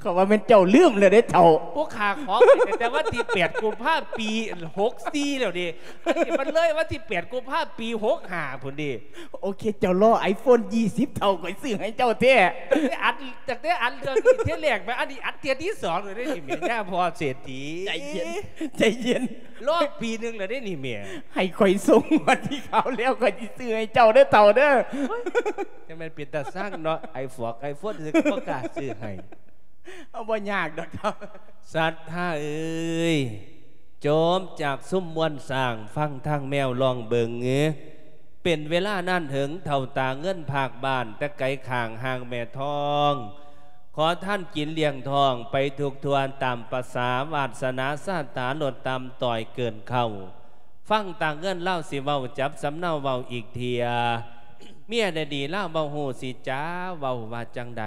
ເຂົາວ່າແມ່ນເຈົ້າລືມແລ້ວເດ້ເຖົ້າ. ພວກຂ້າຂໍໄປຕັ້ງແຕ່ວັນທີແປດກຸມພາປີຫົກສີ່ແລ້ວເດ້. ອັນນີ້ມັນເລີຍວັນທີແປດກຸມພາປີຫົກຫ້າພຸ້ນເດ້. ໂອເຄ ເຈົ້າລໍໄອໂຟນຊາວເຖົ້າ ຂ້ອຍຊື້ໃຫ້ເຈົ້າແທ້. ຕັ້ງແຕ່ອັດ ຕັ້ງແຕ່ອັດເລື່ອງນີ້ເທື່ອແລກມາ ອັນນີ້ອັດເທື່ອທີສອງແລ້ວເດ້ນີ້ແມ່ ຍາພໍ່ເສດຖີ. ໃຈເຢັນ ໃຈເຢັນ. ລໍປີໜຶ່ງແລ້ວເດ້ນີ້ແມ່. ໃຫ້ຂ້ອຍສົ່ງງວດທີ່ຄາວແລ້ວ ຂ້ອຍຊິຊື້ໃຫ້ເຈົ້າເດີເຖົ້າເດີ. ໂອ້ຍ ຈັ່ງແມ່ນເປັນຕາຊັງເນາະ ໄອຟອກໄອໂຟນຊື່ໆ ກໍບໍ່ກ້າຊື້ໃຫ້. ເອົາ ບໍ່ຍາກດອກເຖົ້າ. ສັດທາເອີຍ ໂຈມຈາກຊຸມມວນຊ້າງ ຟັງທາງແມວຮ້ອງເບິ່ງເອີ. ເປັນເວລານານເຖິງ ເຖົ້າຕາເງິນພາກບ້ານ ແຕ່ໄກຂ້າງຫ່າງແມ່ທອງ ຂໍທານກິນລ້ຽງທ້ອງໄປທຸກທົ່ວ ຕາມປະສາວາດສະໜາຊາຕາ ລົດຕ່ຳຕ້ອຍເກີນເຄົ້າ. ຟັງຕາເງິນລາວຊິເວົ້າ ຈັບສຳເນົາເວົ້າອີກເທື່ອ. ຍໄດ້ດີລາວບໍ່ຮູ້ຊິຈາເວົ້າວ່າຈັ່ງໃດ.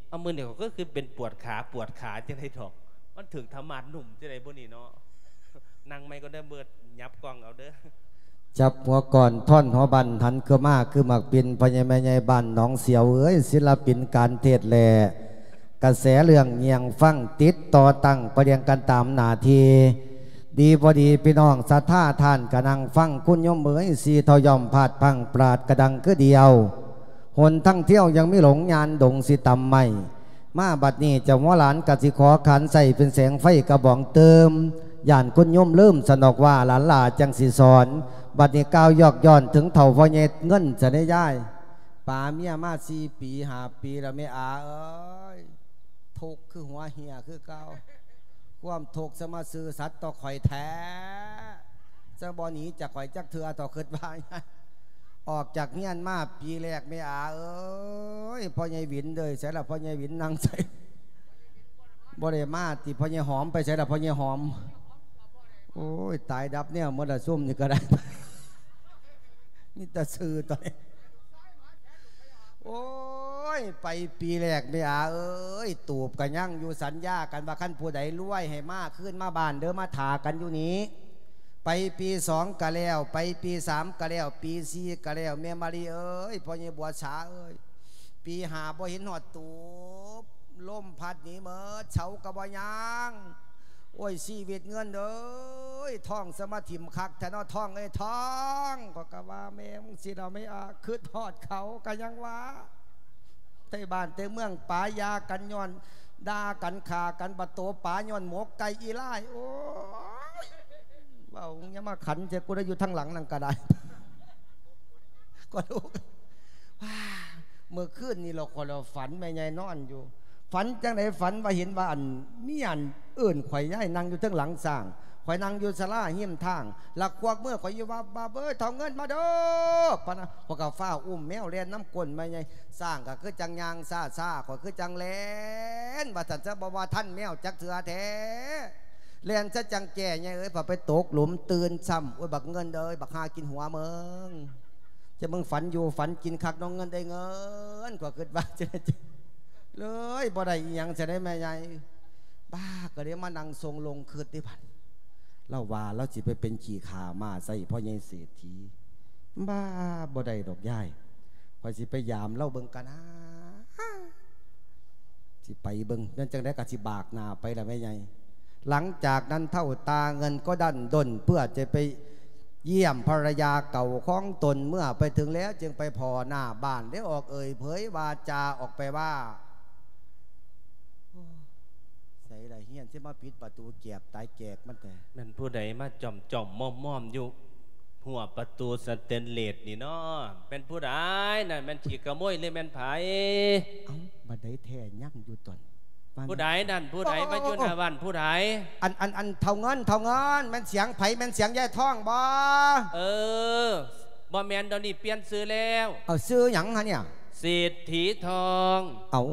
ເອົາ ມື້ນີ້ຂ້ອຍຄືເປັນປວດຂາ ປວດຂາຈັ່ງໃດດອກ ມັນຖືກທຳມາດໜຸ່ມຈັ່ງໃດບໍ່ນີ້ເນາະ. ນັ່ງໃໝ່ກ່ອນເດີ ເບີດ ຫຍັບກ້ອງເອົາເດີ. ຈັບຫົວກ່ອນ ທ້ອນຫົວບັ້ນ ຫັນຄືມາຄືໝາກປິ່ນ ພໍ່ໃຫຍ່ແມ່ໃຫຍ່ບ້ານໜອງສຽວເອີຍ ສິລະປິນການເທດແລ ກະແສເລື່ອງຍ່ຽງຟັງ ຕິດຕໍ່ຕັ້ງປະລຽງກັນຕາມໜ້າທີ່. ດີບໍ່ດີພີ່ນ້ອງສັດທາທ່ານກະນັ່ງຟັງ ຄຸນໂຍມເອີຍ ສີ່ເຖົ້າຍ່ອມພາດພັ້ງ ປາດກະດັງຄືດຽວ ຫົນທາງທ່ຽວຍັງມີຫຼົງ ຍ່ານດົງຊິຕຳໄມ້. ມາບັດນີ້ເຈົ້າຫົວຫຼານກະຊິຂໍຂານໃຊ້ເປັນແສງໄຟກະບອງຕື່ມ ຢ້ານຄຸນໂຍມລືມ ສະນອກວ່າຫຼານຫຼ້າຈັ່ງຊິສອນ. ບັດນີ້ກ່າວຍອກຍ້ອນເຖິງເຖົ້າພໍ່ໃຫຍ່ເງິນຊະເດຍາຍ. ປາເມຍມາສີ່ປີຫ້າປີແລ້ວແມ່ອາເອີຍ ທຸກຄືຫົວເຫ່ຍຄືເກົ່າ. ຄວາມທຸກສະມາຊື່ສັດຕໍ່ຂ້ອຍແທ້ ຈະບໍ່ໜີຈາກຂ້ອຍຈັກເທື່ອ ຕໍ່ຄິດວ່າ ອອກຈາກຮຽນມາປີແລກ ແມ່ອາເອີຍ ພໍ່ໃຫຍ່ຫວິນເດີ ໃສລະພໍ່ໃຫຍ່ຫວິນ ນັ່ງໃສ ບໍ່ໄດ້ມາຕິ. ພໍ່ໃຫຍ່ຫອມໄປໃສລະ ພໍ່ໃຫຍ່ຫອມ? ໂອ້ຍ ຕາຍດັບແນວໝົດລະ ຊຸມນີ້ກະໄດ້ ມີແຕ່ຊື່ຕອນນີ້. ໂອ້ຍ ໄປປີແລກ ແມ່ອາເອີຍ ຕູບກະຍັງຢູ່ ສັນຍາກັນວ່າ ຄັນຜູ້ໃດລວຍໃຫ້ມາຄືນມາບ້ານເດີ ມາຖ້າກັນຢູ່ນີ້. ໄປປີສອງກະແລ້ວ ໄປປີສາມກະແລ້ວ ປີສີ່ກະແລ້ວ ແມ່ມາລີເອີຍ ພໍ່ໃຫຍ່ບົວສາເອີຍ ປີຫ້າບໍ່ເຫັນຮອດຕູບ ລົມພັດໜີເໝິດ ເສົາກະບໍ່ຍ່າງ. ໂອ້ຍ ຊີວິດເງິນເອີຍ ທ້ອງສະມາຖິ້ມຄັກແທ້ເນາະ ທ້ອງເອີຍ ທ້ອງ. ຂ້ອຍກະວ່າແມ່ມຶງຊິລະ ແມ່ອາ ຄຶດຮອດເຂົາກະຍັງວ່າ ແຕ່ບ້ານແຕ່ເມືອງປາຢາກັນ ຍ້ອນດ່າກັນຂ້າກັນ ບັດໂຕປາຍ້ອນໝົກໄກ່ອີ່ຫຼ້າຍ. ໂອ້ຍ ເວົ້າຢ່າມາຂັນໃສ່ກູເດີ ຢູ່ທາງຫຼັງນັ້ນກະໄດ້ ກະລູກ. ມື້ຄືນນີ້ລະ ຂ້ອຍລະຝັນ ແມ່ໃຫຍ່ນອນຢູ່ ຝັນຈັ່ງໃດ ຝັນວ່າເຫັນວ່າ ອັນ ມີອັນເອີ້ນຂ້ອຍ ຍາຍນັ່ງຢູ່ເທິງຫຼັງຊ້າງ ຂ້ອຍນັ່ງຢູ່ສາລາຮິມທາງ ລະຄວັກມືຂ້ອຍຢູ່ ວັບວັບ ເອີຍ ເຖົ້າເງິນມາເດີ ປານນັ້ນ. ຂ້ອຍກະຟ້າວອຸ້ມແມວແລ່ນນຳກົ້ນແມ່ໃຫຍ່ ຊ້າງກະຄືຈັ່ງຍ່າງຊ້າໆ ຂ້ອຍຄືຈັ່ງແລ່ນ ວ່າຊັ້ນຊະ ບໍ່ວ່າທັນແມວຈັກເທື່ອແທ້ ແລ່ນຊະຈັ່ງແຈ້ ຍາຍເອີຍ ພໍໄປຕົກຫຼຸມຕື່ນຊ້ຳ. ໂອ້ຍ ບັກເງິນເອີຍ ບັກຫາກິນຫົວມຶງ ຈະມຶງຝັນຢູ່ຝັນກິນຄັກເນາະ ເງິນໄດ້ເງິນ ກວ່າຄຶດວ່າ ເລີຍບໍ່ໄດ້ອີ່ຫຍັງຊະເດແມ່ໃຫຍ່. ບ້າ ກະເລີຍມານັ່ງຊົງລົງຄຶດເດບັດ ລາວວ່າລາວຊິໄປເປັນຂີ້ຂ້າມ້າໃສ່ພໍ່ໃຫຍ່ເສດຖີ. ບ້າ ບໍ່ໄດ້ດອກຍາຍ ຂ້ອຍຊິໄປຢາມລາວເບິ່ງກະນາ ຊິໄປເບິ່ງ ແມ່ນຈັ່ງໃດກະຊິບາກໜ້າໄປລະແມ່ໃຫຍ່. ຫຼັງຈາກນັ້ນເຖົ້າຕາເງິນກໍດັ້ນດົນ ເພື່ອຈະໄປຢ້ຽມພັນລະຍາເກົ່າຂອງຕົນ ເມື່ອໄປເຖິງແລ້ວຈຶ່ງໄປພໍ້ໜ້າບ້ານ ໄດ້ອອກເອີ່ຍເຜີຍວາຈາອອກໄປວ່າ ໃສລະ ຮຽນຊິມາປິດປະຕູແກບຕາຍແກກມັນແທ້. ແມ່ນຜູ້ໃດມາຈ້ອມໆມອມໆຢູ່ ຮົ້ວປະຕູສະເຕນເລດນີ້ເນາະ ແມ່ນຜູ້ໃດນັ້ນ ແມ່ນຂີ້ຂະໂມຍຫຼືແມ່ນໃຜ? ເອົ້າ ບັດໃດແທ້ ຍັງຢູ່ຕົນະ ຜູ້ໃດນັ້ນ ຜູ້ໃດມາຢູ່ໜ້າບ້ານ ຜູ້ໃດ? ອັນ ອັນ ອັນ ເຖົ້າເງິນ ເຖົ້າເງິນ ແມ່ນສຽງໃຜ? ແມ່ນສຽງຍາຍທອງບໍ່? ເອີ ບໍ່ແມ່ນ ດຽວນີ້ປ່ຽນຊື່ແລ້ວ. ເອົາ ຊື່ຫຍັງຫະເນຍ? ເສດຖີທອງ. ເອົາ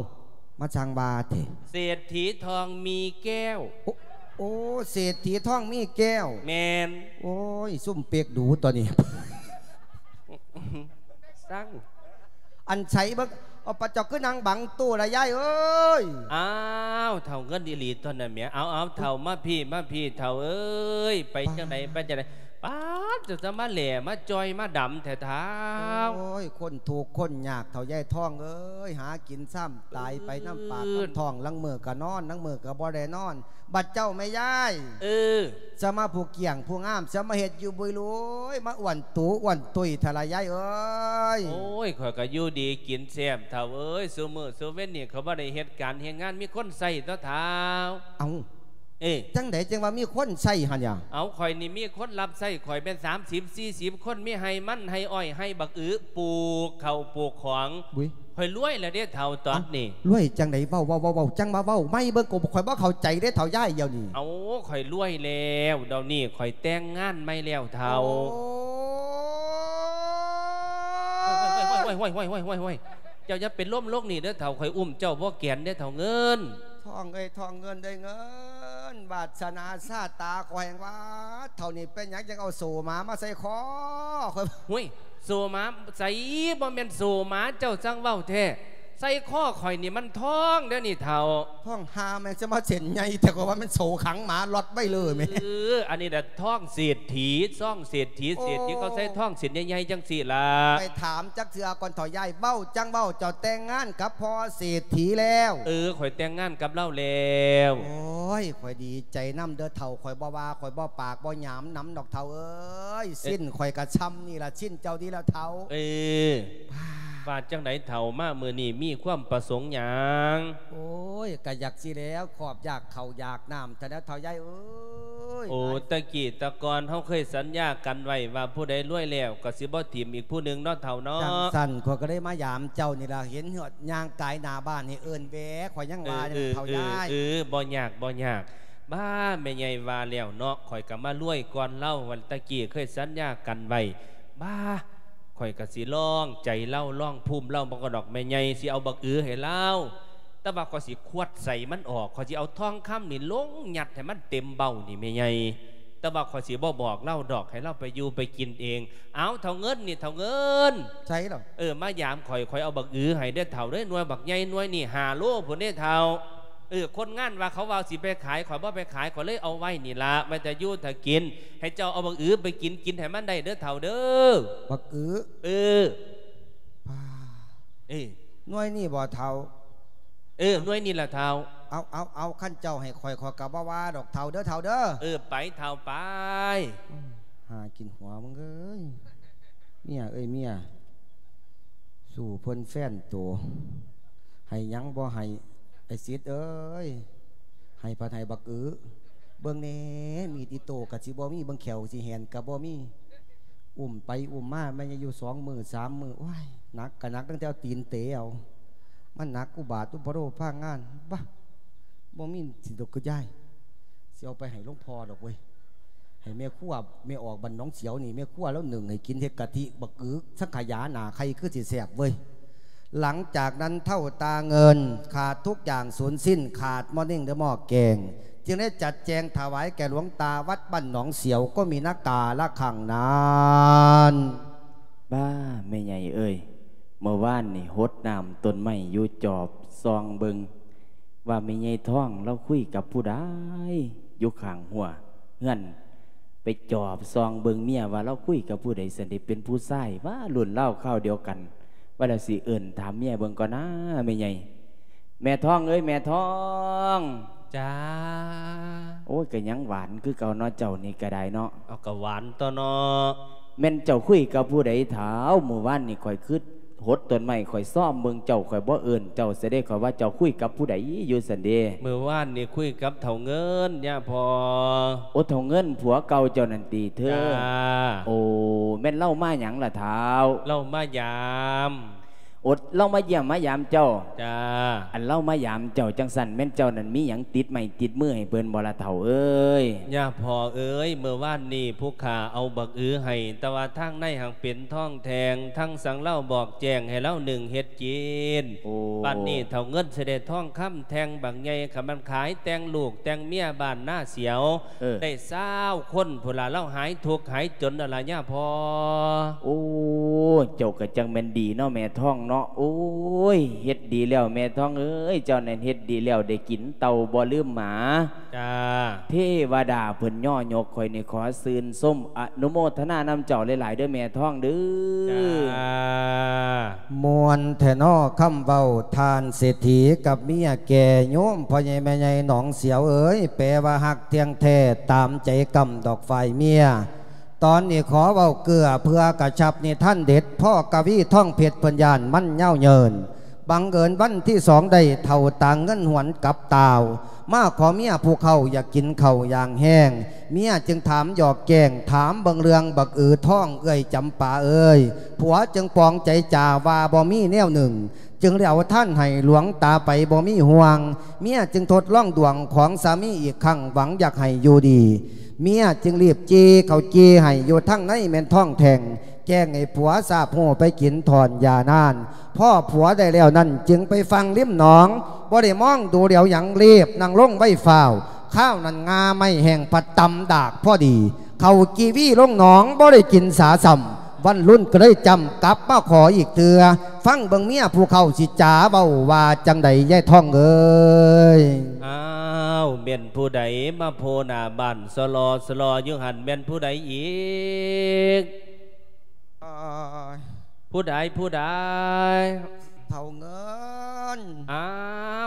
ມາຊ່າງວ່າແທ້ ເສດຖີທອງມີແກ້ວ. ໂອ້ ໂອ້ ເສດຖີທອງມີແກ້ວ. ແມ່ນ. ໂອ້ຍ ຊຸມເປັກດູຕົວນີ້ ຊັງ ອັນໃສເບິ່ງ ເອົາ ປະເຈົ້າຄືນັ່ງບັງຕູ້ລະຍາຍເອີຍ. ອ້າວ ເຖົ້າເງິນອີ່ຫຼີຕົວນັ້ນແໝ. ເອົາ ເອົາ ເຖົ້າມາພີ້ ມາພີ້ ເຖົ້າເອີຍ ໄປຈັ່ງໃດ ໄປຈັ່ງໃດ? ປາດ ເຈົ້າຈະມາແຫຼມາຈ່ອຍມາດຳແທ້ທ້າວ. ໂອ້ຍ ຄົນທຸກຄົນຍາກເຖົ້າຍາຍທອງເອີຍ ຫາກິນຊ້ຳຕາຍໄປນຳປາກນຳທ້ອງ ລາງມື້ກະນອນ ລາງມື້ກະບໍ່ໄດ້ນອນ. ບັດເຈົ້າແມ່ຍາຍ ເອີ ສະມາຜູ້ກ້ຽງຜູ້ງາມ ສະມາເຮັດຢູ່ບຸຍລຸຍ ມາອ້ວນຕູອ້ວນຕຸ້ຍແທ້ລະຍາຍເອີຍ. ໂອ້ຍ ຂ້ອຍກະຢູ່ດີກິນແຊບເຖົ້າເອີຍ ຊຸມື້ຊຸເວັນນີ້ ຂ້ອຍບໍ່ໄດ້ເຮັດການເຮັດງານ ມີຄົນໃຊ້ຕົວະທ້າວ. ເອົ້າ ເອີ ຈັ່ງໃດຈັ່ງວ່າມີຄົນໃຊ້ຫັ້ນຫຍາ? ເອົາ ຂ້ອຍນີ້ມີຄົນຮັບໃຊ້ຂ້ອຍແມ່ນສາມສິບສີ່ສິບຄົນ ມີໄຮ່ມັນໄຮ່ອ້ອຍໄຮ່ບັກອື ປູກເຂົ້າປູກຂອງ. ອຸ້ຍ ຂ້ອຍລວຍແລ້ວເດ້ເຖົ້າຕອນນີ້. ເອົ້າ ລວຍຈັ່ງໃດ? ເວົ້າ ເວົ້າ ເວົ້າ ເວົ້າ ຈັ່ງມາເວົ້າໃໝ່ເບິ່ງ ກະຂ້ອຍບໍ່ເຂົ້າໃຈເດ້ເຖົ້າຍາຍດຽວນີ້. ເອົາ ຂ້ອຍລວຍແລ້ວ ດຽວນີ້ຂ້ອຍແຕ່ງງານໃໝ່ແລ້ວເຖົ້າ. ໂອ້ຍ ໂອ້ຍ ເຈົ້າຢ່າເປັນລົມລົງນີ້ເດີເຖົ້າ ຂ້ອຍອຸ້ມເຈົ້າບໍ່ແກນເດ້ເຖົ້າເງິນ. ທອງເອີຍ ທອງເງິນເອີຍ ເງິນ ວາດສະໜາຊາຕາຂ້ອຍແຮ່ງວ່າ ເຖົ້ານີ້ເປັນຫຍັງຈັ່ງເອົາໂສ້ໝາມາໃສ່ຄໍຂ້ອຍ? ໂອ້ຍ ໂສໝາໃສ? ບໍ່ແມ່ນໂສໝາ ເຈົ້າຈັ່ງເວົ້າແທ້. ໃສ່ຄໍຂ້ອຍນີ້ມັນທອງເດ້ນີ້ເຖົ້າ. ທອງຫ່າແມ່ນ ຈະມາເສັ້ນໃຫຍ່ແທ້ ຂ້ອຍວ່າມັນໂສຂັງໝາລັອດໄວ້ເລີຍແມ່. ເອີ ອັນນີ້ລະທອງເສດຖີ ທອງເສດຖີ ໂອ້ ເສດຖີເຂົາໃສ່ທອງເສັ້ນໃຫຍ່ໆ ຈັ່ງຊີ້ລະ. ໄປຖາມຈັກເທື່ອກ່ອນເຖົ້າຍາຍ. ເວົ້າຈັ່ງເວົ້າ ເຈົ້າແຕ່ງງານກັບພໍ່ເສດຖີແລ້ວ? ເອີ ຂ້ອຍແຕ່ງງານກັບລາວແລ້ວ. ໂອ້ຍ ຂ້ອຍດີໃຈນຳເດີເຖົ້າ. ຂ້ອຍບໍ່ວ່າ ຂ້ອຍບໍ່ປາກບໍ່ຫຍາມນຳດອກເຖົ້າເອີຍ. ເອີ ຊິ້ນຂ້ອຍກະຊ່ຳນີ້ລະ ຊິ້ນເຈົ້ານີ້ລະເຖົ້າ. ເອີ ວ່າຈັ່ງໃດເຖົ້າ ມາມື້ນີ້ມີຄວາມປະສົງຫຍັງ? ໂອ້ຍ ກະຢາກຊິແລ້ວ ຄອບຢາກເຂົ້າຢາກນ້ຳ ແຕ່ແລ້ວເຖົ້າຍາຍເອີຍ. ໂອ້ ຕະກີ້ຕະກ່ອນເຮົາເຄີຍສັນຍາກັນໄວ້ວ່າ ຜູ້ໃດລວຍແລ້ວກໍຊິບໍ່ຖິ້ມອີກຜູ້ໜຶ່ງເນາະເຖົ້າເນາະ. ຈັ່ງຊັ້ນ ຂ້ອຍກໍເລີຍມາຢາມເຈົ້ານີ້ລະ ເຫັນຮອດຍ່າງກາຍໜ້າບ້ານນີ້ເອີ້ນແຫວ ຂ້ອຍຍັງວ່າຢູ່ ເອີ ເຖົ້າຍາຍ. ເອີ ເອີ ບໍ່ຍາກ ບໍ່ຍາກ. ບ້າ ແມ່ໃຫຍ່ວ່າແລ້ວເນາະ ຂ້ອຍກໍມາລວຍກ່ອນລາວ. ວັນຕະກີ້ເຄີຍສັນຍາກັນໄວ້ ບ້າ ຂ້ອຍກໍຊິລອງໃຈລາວ ລອງພູມລາວເບິ່ງກ່ອນດອກ ແມ່ໃຫຍ່ ຊິເອົາບັກອືໃຫ້ລາວ. ແຕ່ວ່າຂ້ອຍຊິຄວັດໃສ່ມັນອອກ ຂ້ອຍຊິເອົາທອງຄຳນີ້ລົງຍັດໃຫ້ມັນເຕັມເບົ້ານີ້ແມ່ໃຫຍ່. ແຕ່ວ່າຂ້ອຍຊິບໍ່ບອກລາວດອກ ໃຫ້ລາວໄປຢູ່ໄປກິນເອງ. ເອົາ ເຖົ້າເງິນນີ້ ເຖົ້າເງິນ. ໃສລະ? ເອີ ມາຢາມຂ້ອຍ ຂ້ອຍເອົາບັກອືໃຫ້ເດີເຖົ້າເດີ ໜ່ວຍບັກໃຫຍ່ໜ່ວຍນີ້ ຫ້າໂລພຸ້ນເດ້ເຖົ້າ. ເອີ ຄົນງານວ່າ ເຂົາວ່າຊິໄປຂາຍ ຂ້ອຍບໍ່ໄປຂາຍ ຂ້ອຍເລີຍເອົາໄວ້ນີ້ລະ ໄວ້ຖ້າຢູ່ຖ້າກິນ. ໃຫ້ເຈົ້າເອົາບັກອືໄປກິນ ກິນໃຫ້ມັນໄດ້ເດີເຖົ້າເດີ. ບັກອື? ເອີ ປ້າ ເອີ ໜ່ວຍນີ້ບໍ່ເຖົ້າ? ເອີ ໜ່ວຍນີ້ລະເຖົ້າ. ເອົາ ເອົາ ເອົາ ຄັນເຈົ້າໃຫ້ຂ້ອຍ ຂ້ອຍກໍບໍ່ວ່າດອກເຖົ້າເດີ ເຖົ້າເດີ. ເອີ ໄປເຖົ້າໄປ. ຫາກິນຫົວມຶງເອີຍ ເມຍເອີຍເມຍ. ສູ້ເພິ່ນແຟນໂຕ ໃຫ້ຫຍັງບໍ່ໃຫ້ ໄອ້ສິດເອີຍ. ໃຫ້ພັດໃຫ້ບັກອື ເບິ່ງແດ່ ມີດອິໂຕ້ກໍຊິບໍ່ມີ ເບິ່ງແຂ້ວຊິແຫນກໍບໍ່ມີ. ອຸ້ມໄປອຸ້ມມາ ແມ່ນຢູ່ສອງມື້ສາມມື້. ໂອ້ຍ ໜັກກໍໜັກຕັ້ງແຕ່ເອົາຕີນເຕະເອົາ ມັນໜັກອຸບາດອຸປະໂລພາງານ. ບາ ບໍ່ມີຊິດອກ ຄືຍາຍ ຊິເອົາໄປໃຫ້ຫຼວງພໍ່ດອກເວີຍ. ໃຫ້ແມ່ຄົວ ແມ່ອອກບ້ານໜອງສຽວນີ້ ແມ່ຄົວລາວໜຶ້ງໃຫ້ກິນ ເຮັດກະທິບັກອຶ ສັງຂະຫຍາໜ້າໄຂ່ ຄືຊິແຊບເວີຍ. ຫຼັງຈາກນັ້ນເຖົ້າຕາເງິນຂາດທຸກຢ່າງສູນສິ້ນ ຂາດໝໍ້ເໜັງ ແລະ ໝໍ້ແກງ ຈຶ່ງໄດ້ຈັດແຈງຖວາຍແກ່ຫຼວງຕາວັດບ້ານໜອງສຽວ ກໍມີນາກາລະຄັ້ງນັ້ນ. ບ້າ ແມ່ໃຫຍ່ເອີຍ ເມື່ອວານນີ້ຫົດນ້ຳຕົ້ນໄມ້ຢູ່ ຈອບສ່ອງເບິ່ງ ວ່າແມ່ໃຫຍ່ທອງລາວຄຸຍກັບຜູ້ໃດ ຢູ່ຂ້າງຮົ້ວເຮືອນ. ໄປຈອບສ່ອງເບິ່ງເມຍວ່າລາວຄຸຍກັບຜູ້ໃດ ຊັ້ນເດ ເປັນຜູ້ຊາຍຫວາ ລຸ້ນລາວຄາວດຽວກັນ. ວ່າແລ້ວຊິເອີ້ນຖາມເມຍເບິ່ງກ່ອນນາ ແມ່ໃຫຍ່. ແມ່ທອງເອີຍ ແມ່ທອງ. ຈ້າ. ໂອ້ຍ ກໍຍັງຫວານຄືເກົ່າເນາະ ເຈົ້ານີ້ກໍໄດ້ເນາະ. ເອົາ ກໍຫວານຕົວະເນາະ. ແມ່ນເຈົ້າຄຸຍກັບຜູ້ໃດທ້າວ? ມື້ວານນີ້ຂ້ອຍຄືຫົດຕົ້ນໄມ້ ຂ້ອຍຊອມເບິ່ງເຈົ້າ ຂ້ອຍບໍ່ເອີ້ນເຈົ້າຊະເດ ຂ້ອຍວ່າເຈົ້າຄຸຍກັບຜູ້ໃດຢູ່ຊັ້ນເດ. ມື້ວານນີ້ຄຸຍກັບເຖົ້າເງິນ ຍາພໍ່. ໂອ້ ເຖົ້າເງິນ ຜົວເກົ່າເຈົ້ານັ້ນຕິເທີ? ຈ້າ. ໂອ້ ແມ່ນລາວມາຫຍັງລະທ້າວ? ລາວມາຢາມ. ໂອ້ ລາວມາຢ້ຽມມາຢາມເຈົ້າ? ຈ້າ. ອັນລາວມາຢາມເຈົ້າຈັ່ງຊັ້ນ ແມ່ນເຈົ້ານັ້ນມີຫຍັງຕິດໄມ້ຕິດມືໃຫ້ເພິ່ນບໍ່ລະເຖົ້າເອີຍ? ຍາພໍ່ເອີຍ ມື້ວານນີ້ຜູ້ຂ້າເອົາບັກອືໃຫ້ ແຕ່ວ່າທາງໃນຫາກເປັນທອງແທ່ງ ທັງສັງລາວບອກແຈ້ງໃຫ້ລາວໜຶ້ງເຮັດກິນ. ໂອ້ ບັດນີ້ເຖົ້າເງິນຊິໄດ້ທອງຄຳແທ່ງບັກໃຫຍ່ ຄັນມັນຂາຍແຕ່ງລູກແຕ່ງເມຍບ້ານນາສຽວ ເອີ ໄດ້ຊາວຄົນພຸ້ນລະ ລາວຫາຍທຸກຫາຍຈົນແລ້ວລະຍາພໍ່. ໂອ້ ເຈົ້າກໍຈັ່ງແມ່ນດີເນາະແມ່ທອງເນາະ. ໂອ້ຍ ເຮັດດີແລ້ວແມ່ທອງເອີຍ ເຈົ້ານັ້ນເຮັດດີແລ້ວ ໄດ້ກິນເຕົ່າບໍ່ລືມໝາ. ຈ້າ. ເທວະດາເພິ່ນຍໍຍົກ ຂ້ອຍນີ້ຂໍຊື່ນຊົມອະນຸໂມທະນານຳເຈົ້າຫຼາຍໆເດີແມ່ທອງເດີ. ຈ້າ. ມ່ວນແທ້ເນາະຄຳເວົ້າ ທ່ານເສດຖີກັບເມຍແກ່. ໂຍມພໍ່ໃຫຍ່ແມ່ໃຫຍ່ໜອງສຽວເອີຍ ແປວ່າຮັກທ່ຽງແທ້ ຕາມໃຈກຳດອກຝ່າຍເມຍ. ຕອນນີ້ຂໍເວົ້າເກືອເພື່ອກະຊັບນິທານເດັດ ພໍ່ກະວີທອງເພັດເພິ່ນຢ້ານມັນຍາວເຍີນ. ບັງເອີນວັນທີສອງໄດ້ເຖົ້າຕາເງິນຫວນກັບຕ່າວ ມາຂໍເມຍຜູ້ເຖົ້າ ຢາກກິນເຂົ້າຢ່າງແຮງ. ເມຍຈຶ່ງຖາມຫຍອກແກ້ງ ຖາມເບິ່ງເລື່ອງບັກອືທອງ ເອື້ອຍຈຳປາເອີຍ. ຜົວຈຶ່ງປອງໃຈຈາວ່າບໍ່ມີແນວໜຶ່ງ ຈຶ່ງໄດ້ເອົາທານໃຫ້ຫຼວງຕາໄປບໍ່ມີຫ່ວງ. ເມຍຈຶ່ງທົດລອງດວງຂອງສາມີອີກຄັ້ງ ຫວັງຢາກໃຫ້ຢູ່ດີ. ເມຍຈຶ່ງລີບຈີ່ເຂົ້າຈີ່ໃຫ້ຢູ່ທາງໃນແມ່ນທອງແທ່ງ ແກ້ງໃຫ້ຜົວຊາບຮູ້ໄປກິນຖອນຢານານ. ພໍຜົວໄດ້ແລ້ວນັ້ນ ຈຶ່ງໄປຟັ່ງລິມໜອງ ບໍ່ໄດ້ມອງດູຫຼຽວຫຍັງ ລີບນັ່ງລົງໄວຟ້າວ. ຄາວນັ້ນງ່າໄມ້ແຫ້ງພັດຕຳດາກພໍດີ ເຂົ້າກີ່ວີລົງໜອງ ບໍ່ໄດ້ກິນສາຊ້ຳ. ວັນລຸນກໍເລີຍຈຳກັບມາຂໍອີກເທື່ອ. ຟັງເບິ່ງເມຍຜູ້ເຖົ້າຊິຈາເວົ້າວ່າຈັ່ງໃດ ຍາຍທອງເອີຍ. ອ້າວ ແມ່ນຜູ້ໃດມາໂພໜ້າບ້ານສະຫຼໍສະຫຼໍຢູ່ຫັ້ນ ແມ່ນຜູ້ໃດອີກ? ເອີຍ ຜູ້ໃດ ຜູ້ໃດ? ເຖົ້າເງິນ. ອ້າ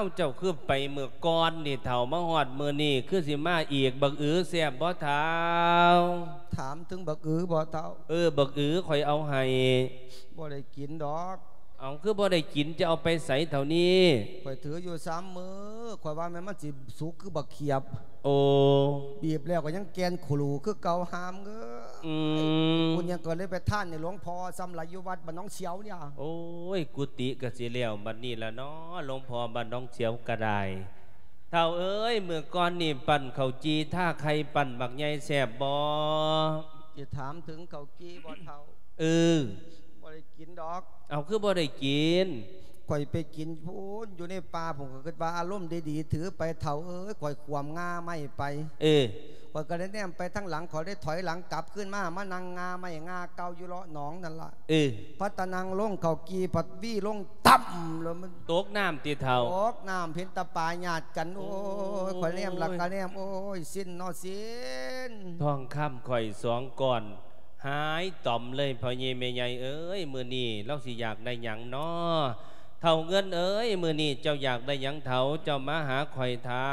ວ ເຈົ້າຄືໄປມື້ກ່ອນນີ້ເຖົ້າ ມາຮອດມື້ນີ້ຄືຊິມາອີກ? ບັກອືແຊບບໍ່ເຖົ້າ? ຖາມເຖິງບັກອືບໍ່ເຖົ້າ? ເອີ ບັກອືຂ້ອຍເອົາໃຫ້. ບໍ່ໄດ້ກິນດອກ. ເອົາ ຄືບໍ່ໄດ້ກິນ ຈະເອົາໄປໃສເຖົ້ານີ້? ຂ້ອຍຖືຢູ່ສາມມື້ ຂ້ອຍວ່າແມ່ນມັນຊິສຸກຄືບັກຂຽບ. ໂອ້ ບີບແລ້ວກໍຍັງແກ່ນຂະຫຼູຄືເກົ່າ ຫາມເອີຍ. ອືມ ບຸນຫຍັງກໍເລີຍໄປທານໃຫ້ຫຼວງພໍ່ ສ່ຳຫຼາຍຢູ່ວັດບ້ານໜອງສຽວນີ້. ໂອ້ຍ ກຸຕິກໍຊິແລ້ວບັດນີ້ລະເນາະ ຫຼວງພໍ່ບ້ານໜອງສຽວກໍໄດ້. ເຖົ້າເອີຍ ມື້ກ່ອນນີ້ປັ້ນເຂົ້າຈີ່ທາໄຂ່ ປັ້ນບັກໃຫຍ່ແຊບບໍ່? ຊິຖາມເຖິງເຂົ້າຈີ່ບໍ່ເຖົ້າ? ເອີ ບໍ່ໄດ້ກິນດອກ. ເອົາ ຄືບໍ່ໄດ້ກິນ? ຂ້ອຍໄປກິນພຸ້ນ ຢູ່ໃນປ່າພຸ້ນ ຂ້ອຍຄິດວ່າອາລົມດີໆ ຖືໄປເຖົ້າເອີຍ ຂ້ອຍຂວມງາໄມ້ໄປ. ເອີ ຂ້ອຍກໍໄດ້ແນມໄປທາງຫຼັງ ຂ້ອຍໄດ້ຖອຍຫຼັງກັບຄືນມາ ມານັ່ງງາໄມ້ງາເກົ່າຢູ່ເລາະໜອງນັ້ນລະ. ເອີ ພັດຕະນັ່ງລົງເຂົ້າກີ່ ພັດວີລົງຕ່ຳ ແລ້ວມັນຕົກນ້ຳຕິເຖົ້າ? ຕົກນ້ຳ ເຫັນແຕ່ປາຍາດກັນ. ໂອ້ຍ ໂອ້ຍ ຂ້ອຍແນມລະກະແນມ ໂອ້ຍ ຊິນເນາະ ຊິນ. ທອງຄຳຂ້ອຍສອງກ້ອນ ຫາຍຕ່ອມເລີຍ ພໍ່ໃຫຍ່ແມ່ໃຫຍ່ເອີຍ ມື້ນີ້ລາວຊິຢາກໄດ້ຫຍັງນໍ? ເຖົ້າເງິນເອີຍ ມື້ນີ້ເຈົ້າຢາກໄດ້ຫຍັງເຖົ້າ? ເຈົ້າມາຫາຂ້ອຍເຖົ້າ.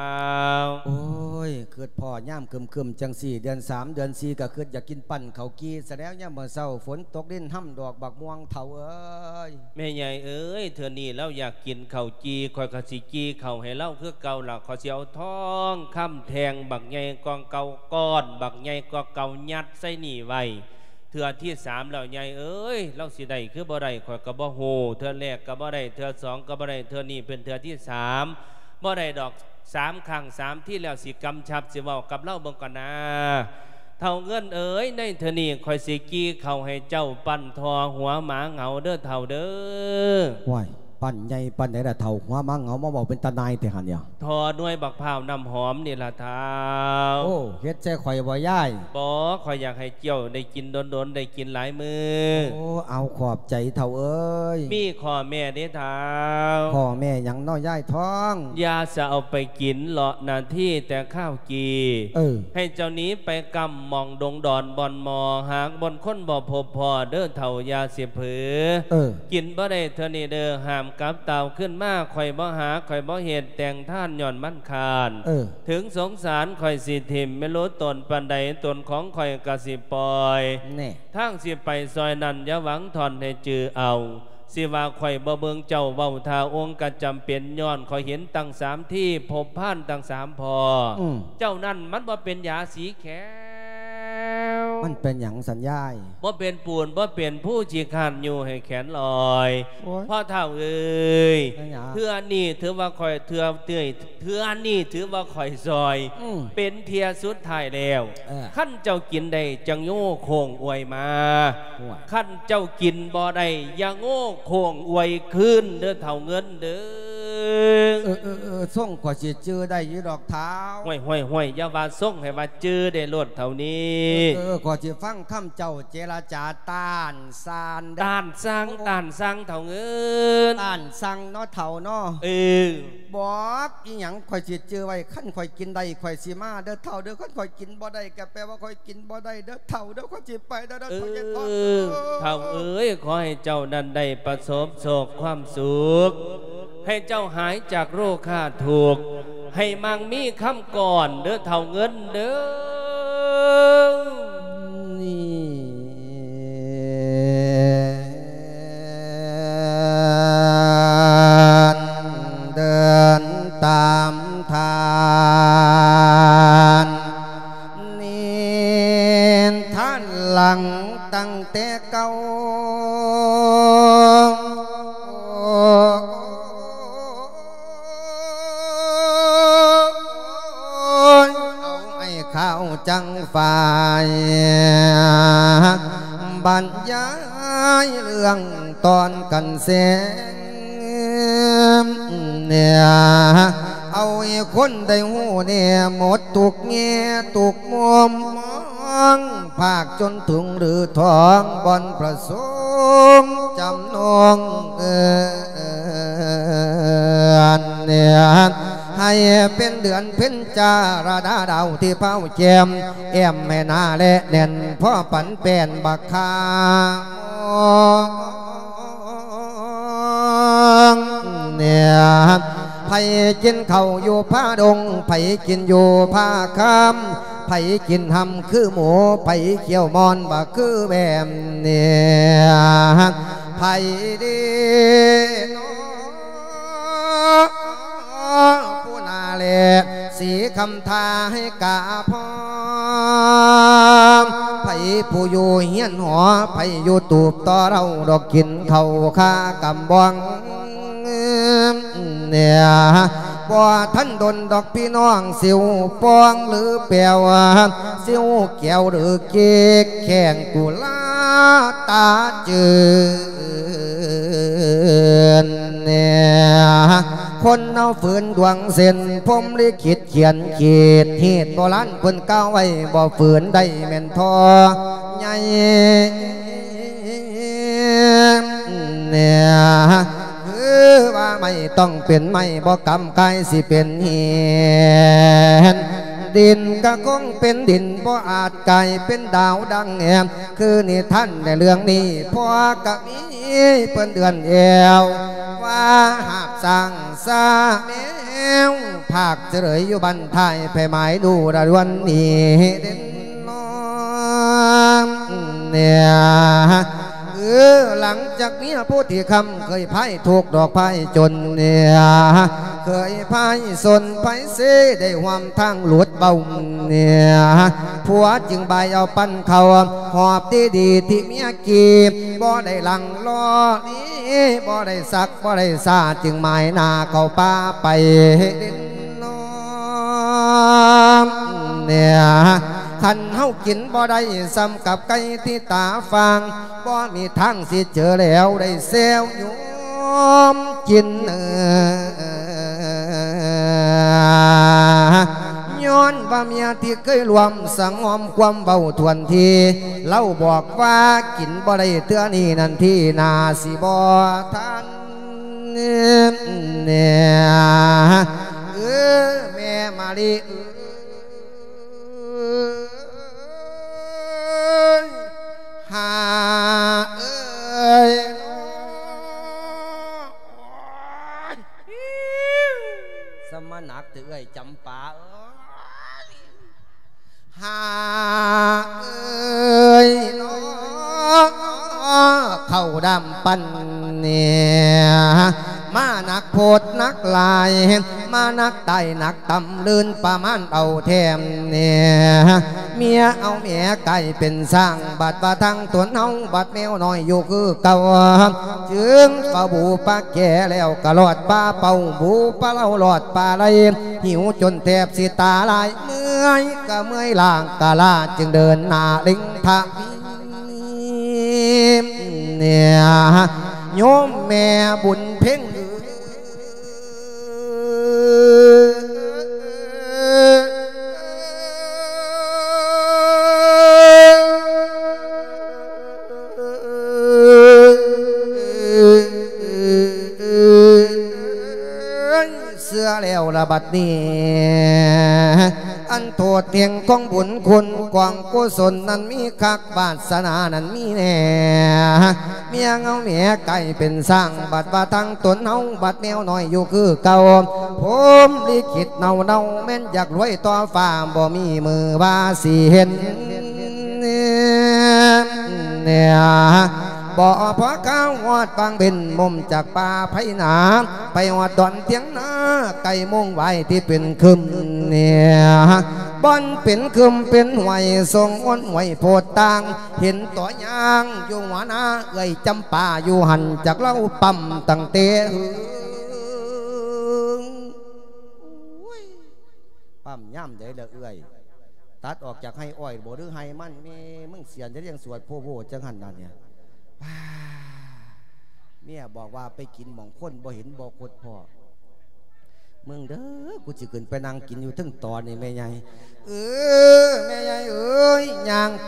ໂອ້ຍ ຄຶດພໍ້ຍາມຄຶມໆ ຈັ່ງຊີ້ ເດືອນສາມເດືອນສີ່ ກໍຄຶດຢາກກິນປັ້ນເຂົ້າກີ່ຊະແລ້ວ. ຍາມມື້ເຊົ້າຝົນຕົກ ລິນຮຳດອກບັກມ່ວງເຖົ້າເອີຍ. ແມ່ໃຫຍ່ເອີຍ ເທື່ອນີ້ລາວຢາກກິນເຂົ້າຈີ່ ຂ້ອຍກໍຊິຈີ່ເຂົ້າໃຫ້ລາວຄືເກົ່າລະ. ຂ້ອຍຊິເອົາທອງຄຳແທ່ງບັກໃຫຍ່ກວ່າເກົ່າ ກ້ອນບັກໃຫຍ່ກວ່າເກົ່າ ຍັດໃສ່ນີ້ໄວ້. ເທື່ອທີສາມແລ້ວ ໃຫຍ່ເອີຍ ລາວຊິໄດ້ຄືບໍ່ໄດ້ ຂ້ອຍກໍບໍ່ຮູ້. ເທື່ອແລກກໍບໍ່ໄດ້ ເທື່ອສອງກໍບໍ່ໄດ້ ເທື່ອນີ້ເປັນເທື່ອທີສາມ ບໍ່ໄດ້ດອກ. ສາມຄັ້ງສາມທີແລ້ວ ຊິກຳຊັບ ຊິເວົ້າກັບລາວເບິ່ງກ່ອນນາ. ເຖົ້າເງິນເອີຍ ໃນເທື່ອນີ້ຂ້ອຍຊິກີ່ເຂົ້າໃຫ້ເຈົ້າ ປັ້ນທໍ່ຫົວໝາເຫງົາເດີເຖົ້າເດີ. ໂອ້ຍ ປັ້ນໃຫຍ່ປານໃດລະເຖົ້າ? ຫົວໝາເຫງົາ ມາເວົ້າເປັນຕາໜ່າຍແທ້ຫັ້ນ. ທໍ່ໜ່ວຍບັກພ້າວນ້ຳຫອມນີ້ລະເຖົ້າ. ໂອ້ ເຮັດໃສ່ຂ້ອຍບໍ່ຍາຍ? ບໍ່ ຂ້ອຍຢາກໃຫ້ເຈົ້າໄດ້ກິນດົນໆ ໄດ້ກິນຫຼາຍມື້. ໂອ້ ເອົາ ຂອບໃຈເຖົ້າເອີຍ. ມີຂໍ້ແມ້ເດ້ເຖົ້າ. ຂໍ້ແມ້ຫຍັງນໍຍາຍທອງ? ຢ່າສະເອົາໄປກິນເລາະນາທີແຕ່ຄາວກີ່. ເອີ ໃຫ້ເຈົ້າໜີໄປກຳໝ່ອງດົງດອນບ່ອນໝໍ ຫາກບ່ອນຄົນບໍ່ພົບພໍ້ເດີເຖົ້າ ຢ່າຊິເຜີ. ເອີ ກິນບໍ່ໄດ້ເທື່ອນີ້ເດີ ຫ້າມກັບຕ່າວຄືນມາ. ຂ້ອຍບໍ່ຫາ ຂ້ອຍບໍ່ເຮັດ ແຕ່ງທານຍ້ອນມັນຄ້ານ. ເອີ ເຖິງສົງສານຂ້ອຍຊິຖິ້ມ ແມ່ນໂລຕົນປານໃດ ຕົນຂອງຂ້ອຍກໍຊິປ່ອຍ. ແນ່ ທາງຊິໄປຊອຍນັ້ນ ຢ່າຫວັງທ່ອນໃຫ້ຈື່ເອົາ. ຊິວ່າຂ້ອຍບໍ່ເບິ່ງເຈົ້າເວົ້າທ່າອົງກໍຈຳເປັນ ຍ້ອນຂ້ອຍເຫັນຕັ້ງສາມທີ ພົບພານຕັ້ງສາມພໍ້. ອືມ ເຈົ້ານັ້ນມັນບໍ່ເປັນຢາສີແຂວ. ມັນເປັນຫຍັງສັນຍາຍ? ບໍ່ເປັນປູນ ບໍ່ເປັນພູ ຂີ້ຄ້ານຢູ່ໃຫ້ແຂນລອຍ. ໂອ້ຍ ພໍ່ເຖົ້າເອີຍ ເປັນຫຍັງ? ເທື່ອນີ້ຖືວ່າຂ້ອຍ ເທື່ອ ເທື່ອ ເທື່ອນີ້ຖືວ່າຂ້ອຍຊ່ອຍ. ອືມ ເປັນເທື່ອສຸດທ້າຍແລ້ວ. ເອີ ຄັນເຈົ້າກິນໄດ້ຈັ່ງໂຍໂຄ້ງອວຍມາ. ໂອ້ຍ ຄັນເຈົ້າກິນບໍ່ໄດ້ ຢ່າໂງໂຄ້ງອວຍຄືນເດີເຖົ້າເງິນເດີ. ເອີ ເອີ ເອີ ຊົງຂ້ອຍຊິຈື່ໄດ້ຢູ່ດອກເຖົ້າ. ຫ້ວຍ ຫ້ວຍ ຫ້ວຍ ຢ່າວ່າຊົງ ໃຫ້ວ່າຈື່ໄດ້ໂລດເຖົ້ານີ້. ເອີ ເອີ ເອີ ຂ້ອຍຊິຟັງຄຳເຈົ້າເຈລະຈາ ຕ້ານຊານເດີ. ຕ້ານຊັງ ໂອ້ ຕ້ານຊັງເຖົ້າເງິນ. ຕ້ານຊັງເນາະເຖົ້າເນາະ. ເອີ ບອກອີຫຍັງຂ້ອຍຊິຈື່ໄວ້ ຄັນຂ້ອຍກິນໄດ້ຂ້ອຍຊິມາເດີເຖົ້າເດີ ຄັນຂ້ອຍກິນບໍ່ໄດ້ກໍແປວ່າຂ້ອຍກິນບໍ່ໄດ້ເດີເຖົ້າເດີ ຂ້ອຍຊິໄປແລ້ວເດີ. ເອີ ເຖົ້າ ເຖົ້າເອີຍ ຂໍໃຫ້ເຈົ້ານັ້ນໄດ້ປະສົບໂຊກຄວາມສຸກ ໃຫ້ເຈົ້າຫາຍຈາກໂລຄາທຸກ ໃຫ້ມັ່ງມີຄຳກ້ອນເດີເຖົ້າເງິນເດີ. ນີ້ ເດີນຕາມທ່ານ ນີ້ທ່ານຫຼັງຕັ້ງແຕ່ເກົ່າ. ໂອ້ຍ ເອົາໄອ້ຂາວຈັງຝ້າຍ ບັນຍາຍເລື່ອງຕອນກັນແສງ ເອົາໃຫ້ຄົນໄດ້ຮູ້ແດ່ ໝົດທຸກແງ່ທຸກມຸມ. ງ ພາກຈົນທຸງຫຼືທອງ ບ່ອນພະສົງຈຳນອງເອີນ ໃຫ້ເປັນເດືອນເພັນ ຈາລະດາດາວທີ່ພາວແຈ່ມ ແອ້ມແມ່ນາແລະແໜ້ນ ພໍປັນແປ້ນບັກຄາ ເນຍ ໃຜກິນເຂົ້າຢູ່ຜາດົງ ໃຜກິນຢູ່ຜາຄຳ ໃຜກິນຫຳຄືໝູ ໃຜຂ້ຽວມ່ອນບໍ່ຄືແບມ ເນຍ ໃຜດີເນາະ ຜູ້ໜ້າແລ ສີຄຳທາໃຫ້ກາພ້ອມ ໃຜຜູ້ຢູ່ເຮືອນຫໍ ໃຜຢູ່ຕູບຕໍ່ເລົ່າ ດອກກິນເຂົ້າຄາກຳບອງ ເນຍ ບໍ່ທັນດົນດອກພີ່ນ້ອງ ຊິວປ່ອງຫຼືແປວ ຊິວແກ້ວຫຼືເກກ ແຂ້ງກຸລາຕາຈືນ ເນຍ ຄົນເຮົາຝືນດວງເສັ້ນ ພົມລິຂິດຂຽນຂີດ ຮີດໂບລານເພິ່ນກ່າວໄວ້ ບໍ່ຝືນໄດ້ແມ່ນທໍ່ໃຫຍ່ ເນຍ ຄືວ່າໄມ້ຕ້ອງເປັນໄມ້ ບໍ່ກຳກາຍຊິເປັນຫີນ ດິນກໍຄົງເປັນດິນ ບໍ່ອາດກາຍເປັນດາວດັ່ງແອມ ຄືນິທານໃນເລື່ອງນີ້ ພໍ່ກໍມີເພິ່ນເອື້ອນແອວ ວ່າຫາບສ້າງຊາແມວ ພາກຈະເລີຍຢູ່ບ້ານທ້າຍ ໃຜໝາຍດູລະດວນນີ້ເດັ່ນນ້ອມ ເນຍ ເອີ ຫຼັງຈາກເມຍໂພທິຄຳ ເຄີຍພາຍທຸກດອກພາຍຈົນ ເນຍ ເຄີຍພາຍສົນພາຍເຊ ໄດ້ຮ່ວມທາງຫຼຸດເບົາ ເນຍ ຜົວຈຶ່ງບາຍເອົາປັນເຂົ້າ ຫອບດີໆ ທີ່ເມຍກີບ ບໍ່ໄດ້ຫຼັ່ງລໍລີ ບໍ່ໄດ້ສັກ ບໍ່ໄດ້ຊາ ຈຶ່ງໝາຍໜ້າເຂົ້າປ່າໄປເດັ່ນນ້ອມ ເນຍ ຄັນເຮົາກິນບໍ່ໄດ້ສ່ຳກັບໄກ່ທີ່ຕາຟາງ ບໍ່ມີທາງຊິເຈີແລ້ວໄດ້ແຊວໂຍມກິນ ຍ້ອນວ່າເມຍທີ່ເຄີຍຮ່ວມສັງຫອມຄວາມເວົ້າຖ້ວນທີ ລາວບອກວ່າກິນບໍ່ໄດ້ເທື່ອນີ້ນັ້ນ ທີໜ້າຊິບໍ່ທັນ ເນຍ ເອີ ແມ່ມະລິເອີຍ ຫາເອີຍ ສະມາໜັກແຕ່ເອື້ອຍຈຳປາເອີຍ ຫາເອີຍເນາະ ເຂົ້າດຳປັນເນຍ ມາໜັກໂພດໜັກຫຼາຍ ມາໜັກຕາຍໜັກຕ່ຳ ລື່ນປະມານເອົາແຖມເນຍ ເມຍເອົາແມ່ກາຍເປັນຊ້າງ ບັດວ່າທາງຕົນເຮົາ ບັດແມວນ້ອຍຢູ່ຄືເກົ່າ ຈຶ່ງປະບູປະແກແລ້ວກະລອດປາເປົ້າ ບູປະເລົ່າລອດປາໄລ ຫິວຈົນແທບຊິຕາລາຍ ເມື່ອຍກະເມື່ອຍ ລ້າງກະລ້າ ຈຶ່ງເດີນໜ້າເລັ່ງທະວີ ເນຍ ໂຍມແມ່ບຸນເພັງເອີຍ ເຊື່ອແລ້ວລະບັດນີ້ ອັນໂທດແຫ່ງກອງບຸນຄຸນກອງກຸສົນນັ້ນມີຄັກ ວາດສະໜານັ້ນມີແນ່ ເມຍເຮົາແມ່ກາຍເປັນຊ້າງ ບັດວ່າທາງຕົນເຮົາ ບັດແມວນ້ອຍຢູ່ຄືເກົ່າ ພົມລິຂິດເນົ່າໆ ແມ່ນຢາກລວຍຕໍ່ຟ້າ ບໍ່ມີມື້ວ່າຊິເຫັນ ເນຍ ບໍ່ພໍຄາວຮອດວັງເວັນ ມຸມຈາກປ່າໄພໜາ ໄປຮອດດອນທຽງນາ ໃກ້ໂມງໄຫວ້ທີ່ເປັນຄຶມເນຍ ບ່ອນເປັນຄຶມເປັນຫ້ວຍ ສົ່ງໂອນຫ້ວຍໂພດຕ່າງ ເຫັນຕົວຢ່າງຢູ່ຫົວໜ້າ ເອື້ອຍຈຳປາຢູ່ຫັ້ນ ຈັກລາວປ້ຳຕັ້ງແຕ່ຫຶງ ປ້ຳຍາມໃດລະເອື້ອຍ? ຕັດອອກຈາກໄຮ່ອ້ອຍບໍ່ ຫຼືໄຮ່ມັນ? ແມ່ມຶງສຽນຈະລ້ຽງສວດໂພໂວຈັ່ງຫັ້ນນະເນຍ ເມຍບອກວ່າໄປກິນໝ່ອງຄົນບໍ່ເຫັນບໍ່ຄົດພໍ້ ມຶງເດີ ກູຊິຂຶ້ນໄປນັ່ງກິນຢູ່ເທິງຕອນນີ້ແມ່ໃຫຍ່ ເອີ ແມ່ໃຫຍ່ເອີຍ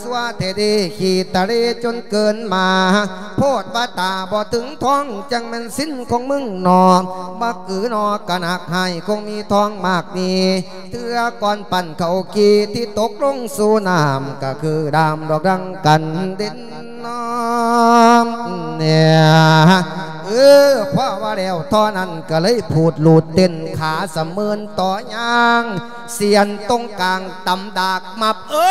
ຊົ່ວແທ້ເດ ຂີ້ຕະເລຈົນເກີນມາ ໂພດວ່າຕາບໍ່ເຖິງທ້ອງ ຈັ່ງແມ່ນສິນຂອງມຶງໜໍ ບັກອືໜໍກະໜັກ ຮ້າຍຄົງມີທອງມາກມີ ເທື່ອກ່ອນປັ້ນເຂົ້າກີ່ ທີ່ຕົກລົງສູ່ນ້ຳ ກະຄືດາມດອກດັງກັນເດັ່ນນອມ ເນຍ ເອີ ພໍວ່າແລ້ວທໍ່ນັ້ນ ກະເລີຍພູດລູດເຕັ້ນ ຂາສະເໝີນຕໍ່ຍ່າງ ສຽນຕົງກາງຕຳດາກມັບ ເອີ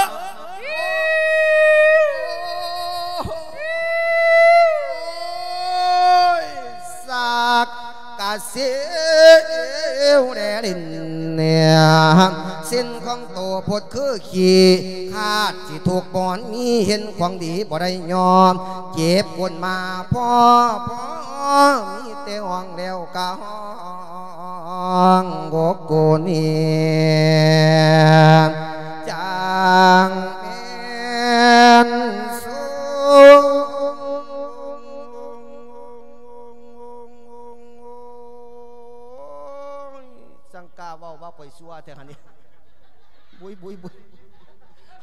ສາກກະເຊວແດ່ຫຼິ້ນ ເນຍ ສິນຂອງໂຕໂພດຄືຂີ້ ຄາດຊິທຸກບ່ອນມີ ເຫັນຂອງດີບໍ່ໄດ້ຍອມ ເຈັບກົ້ນມາພໍ ພໍ ມີແຕ່ຮ້ອງແລ້ວກະຮ້ອງ ໂອໂກນີ ຈັ່ງແມ່ນສຸ ສັງກາເວົ້າວ່າຂ້ອຍຊົ່ວແທ້ຫັ້ນນີ້ ບຸຍ ບຸຍ ບຸຍ